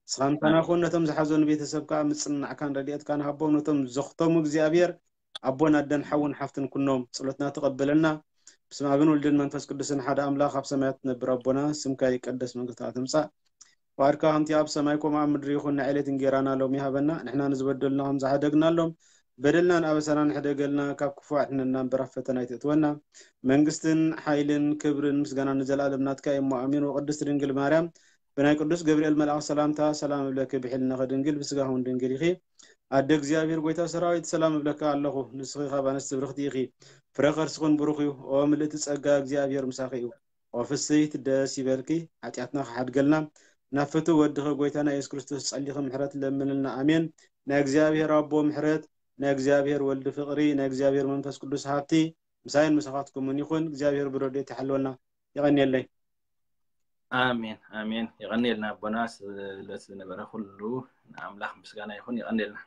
ንስኻ ምሳና ኩን። ነቶም ዝሓዘኑ ቤተሰብ ከዓ ምፅንናዕካን ረድኤትካን ሃቦም። ነቶም ዘኽተሙ እግዚኣብሔር ኣቦን ኣደን ሓውን ሓፍትን ኩኖም። ጸሎትና ተቐበለና። ብስመ ኣብን ወልድን መንፈስ ቅዱስን ሓደ ኣምላኽ ኣብ ሰማያት ትነብር ኣቦና፣ ስምካ ይቀደስ፣ መንግስትካ ትምጻእ፣ ፍቓድካ ከምቲ ኣብ ሰማይ ከምኡ ኣብ ምድሪ ይኹን። ንዕለት እንጌራና ሎሚ ሃበና፣ ንሕና ንዝበደሉና ከም ዝሓደግናሎም በደልናን ኣበሳናን ሕደገልና፣ ካብ ክፉእ ኣድሕነና እምበር ኣብ ፈተና ኣይተእትወና። መንግስትን ሓይልን ክብርን ምስጋናን ንዘለኣለም ናትካ እዩ እሞ ኣሜን። ወቅድስት ድንግል ማርያም ብናይ ቅዱስ ገብርኤል መልኣኽ ሰላምታ ሰላም እብለኪ፣ ብሕልናኺ ድንግል ብስጋኺ እውን ድንግል ኢኺ። ኣደ እግዚኣብሔር ጎይታ ሰራዊት ሰላም እብለካ ኣለኹ፣ ንስኺ ካብ ኣንስቲ ብርኽቲ ኢኺ፣ ፍረ ከርስኽን ብሩኽ እዩ። ኦ ምልእቲ ጸጋ እግዚኣብሔር ምሳኺ እዩ። ኦ ፍስሕቲ ደስ ይበልኪ፣ ሓጢኣትና ክሓድገልና ናብ ፍትው ወድኺ ጎይታና የሱስ ክርስቶስ ጸሊኺ ምሕረት ለምንልና። ኣሜን። ናይ እግዚኣብሔር ኣቦ ምሕረት፣ ናይ እግዚኣብሔር ወልዲ ፍቕሪ፣ ናይ እግዚኣብሔር መንፈስ ቅዱስ ሃብቲ ምሳይን ምሳኻትኩምን ይኹን። እግዚኣብሔር ብረድኤቱ ይሓልወልና። የቐንየለይ። ኣሜን ኣሜን። የቐንየልና ኣቦና፣ ስለቲ ዝነበረ ኩሉ ንኣምላኽ ምስጋና ይኹን። የቐንየልና።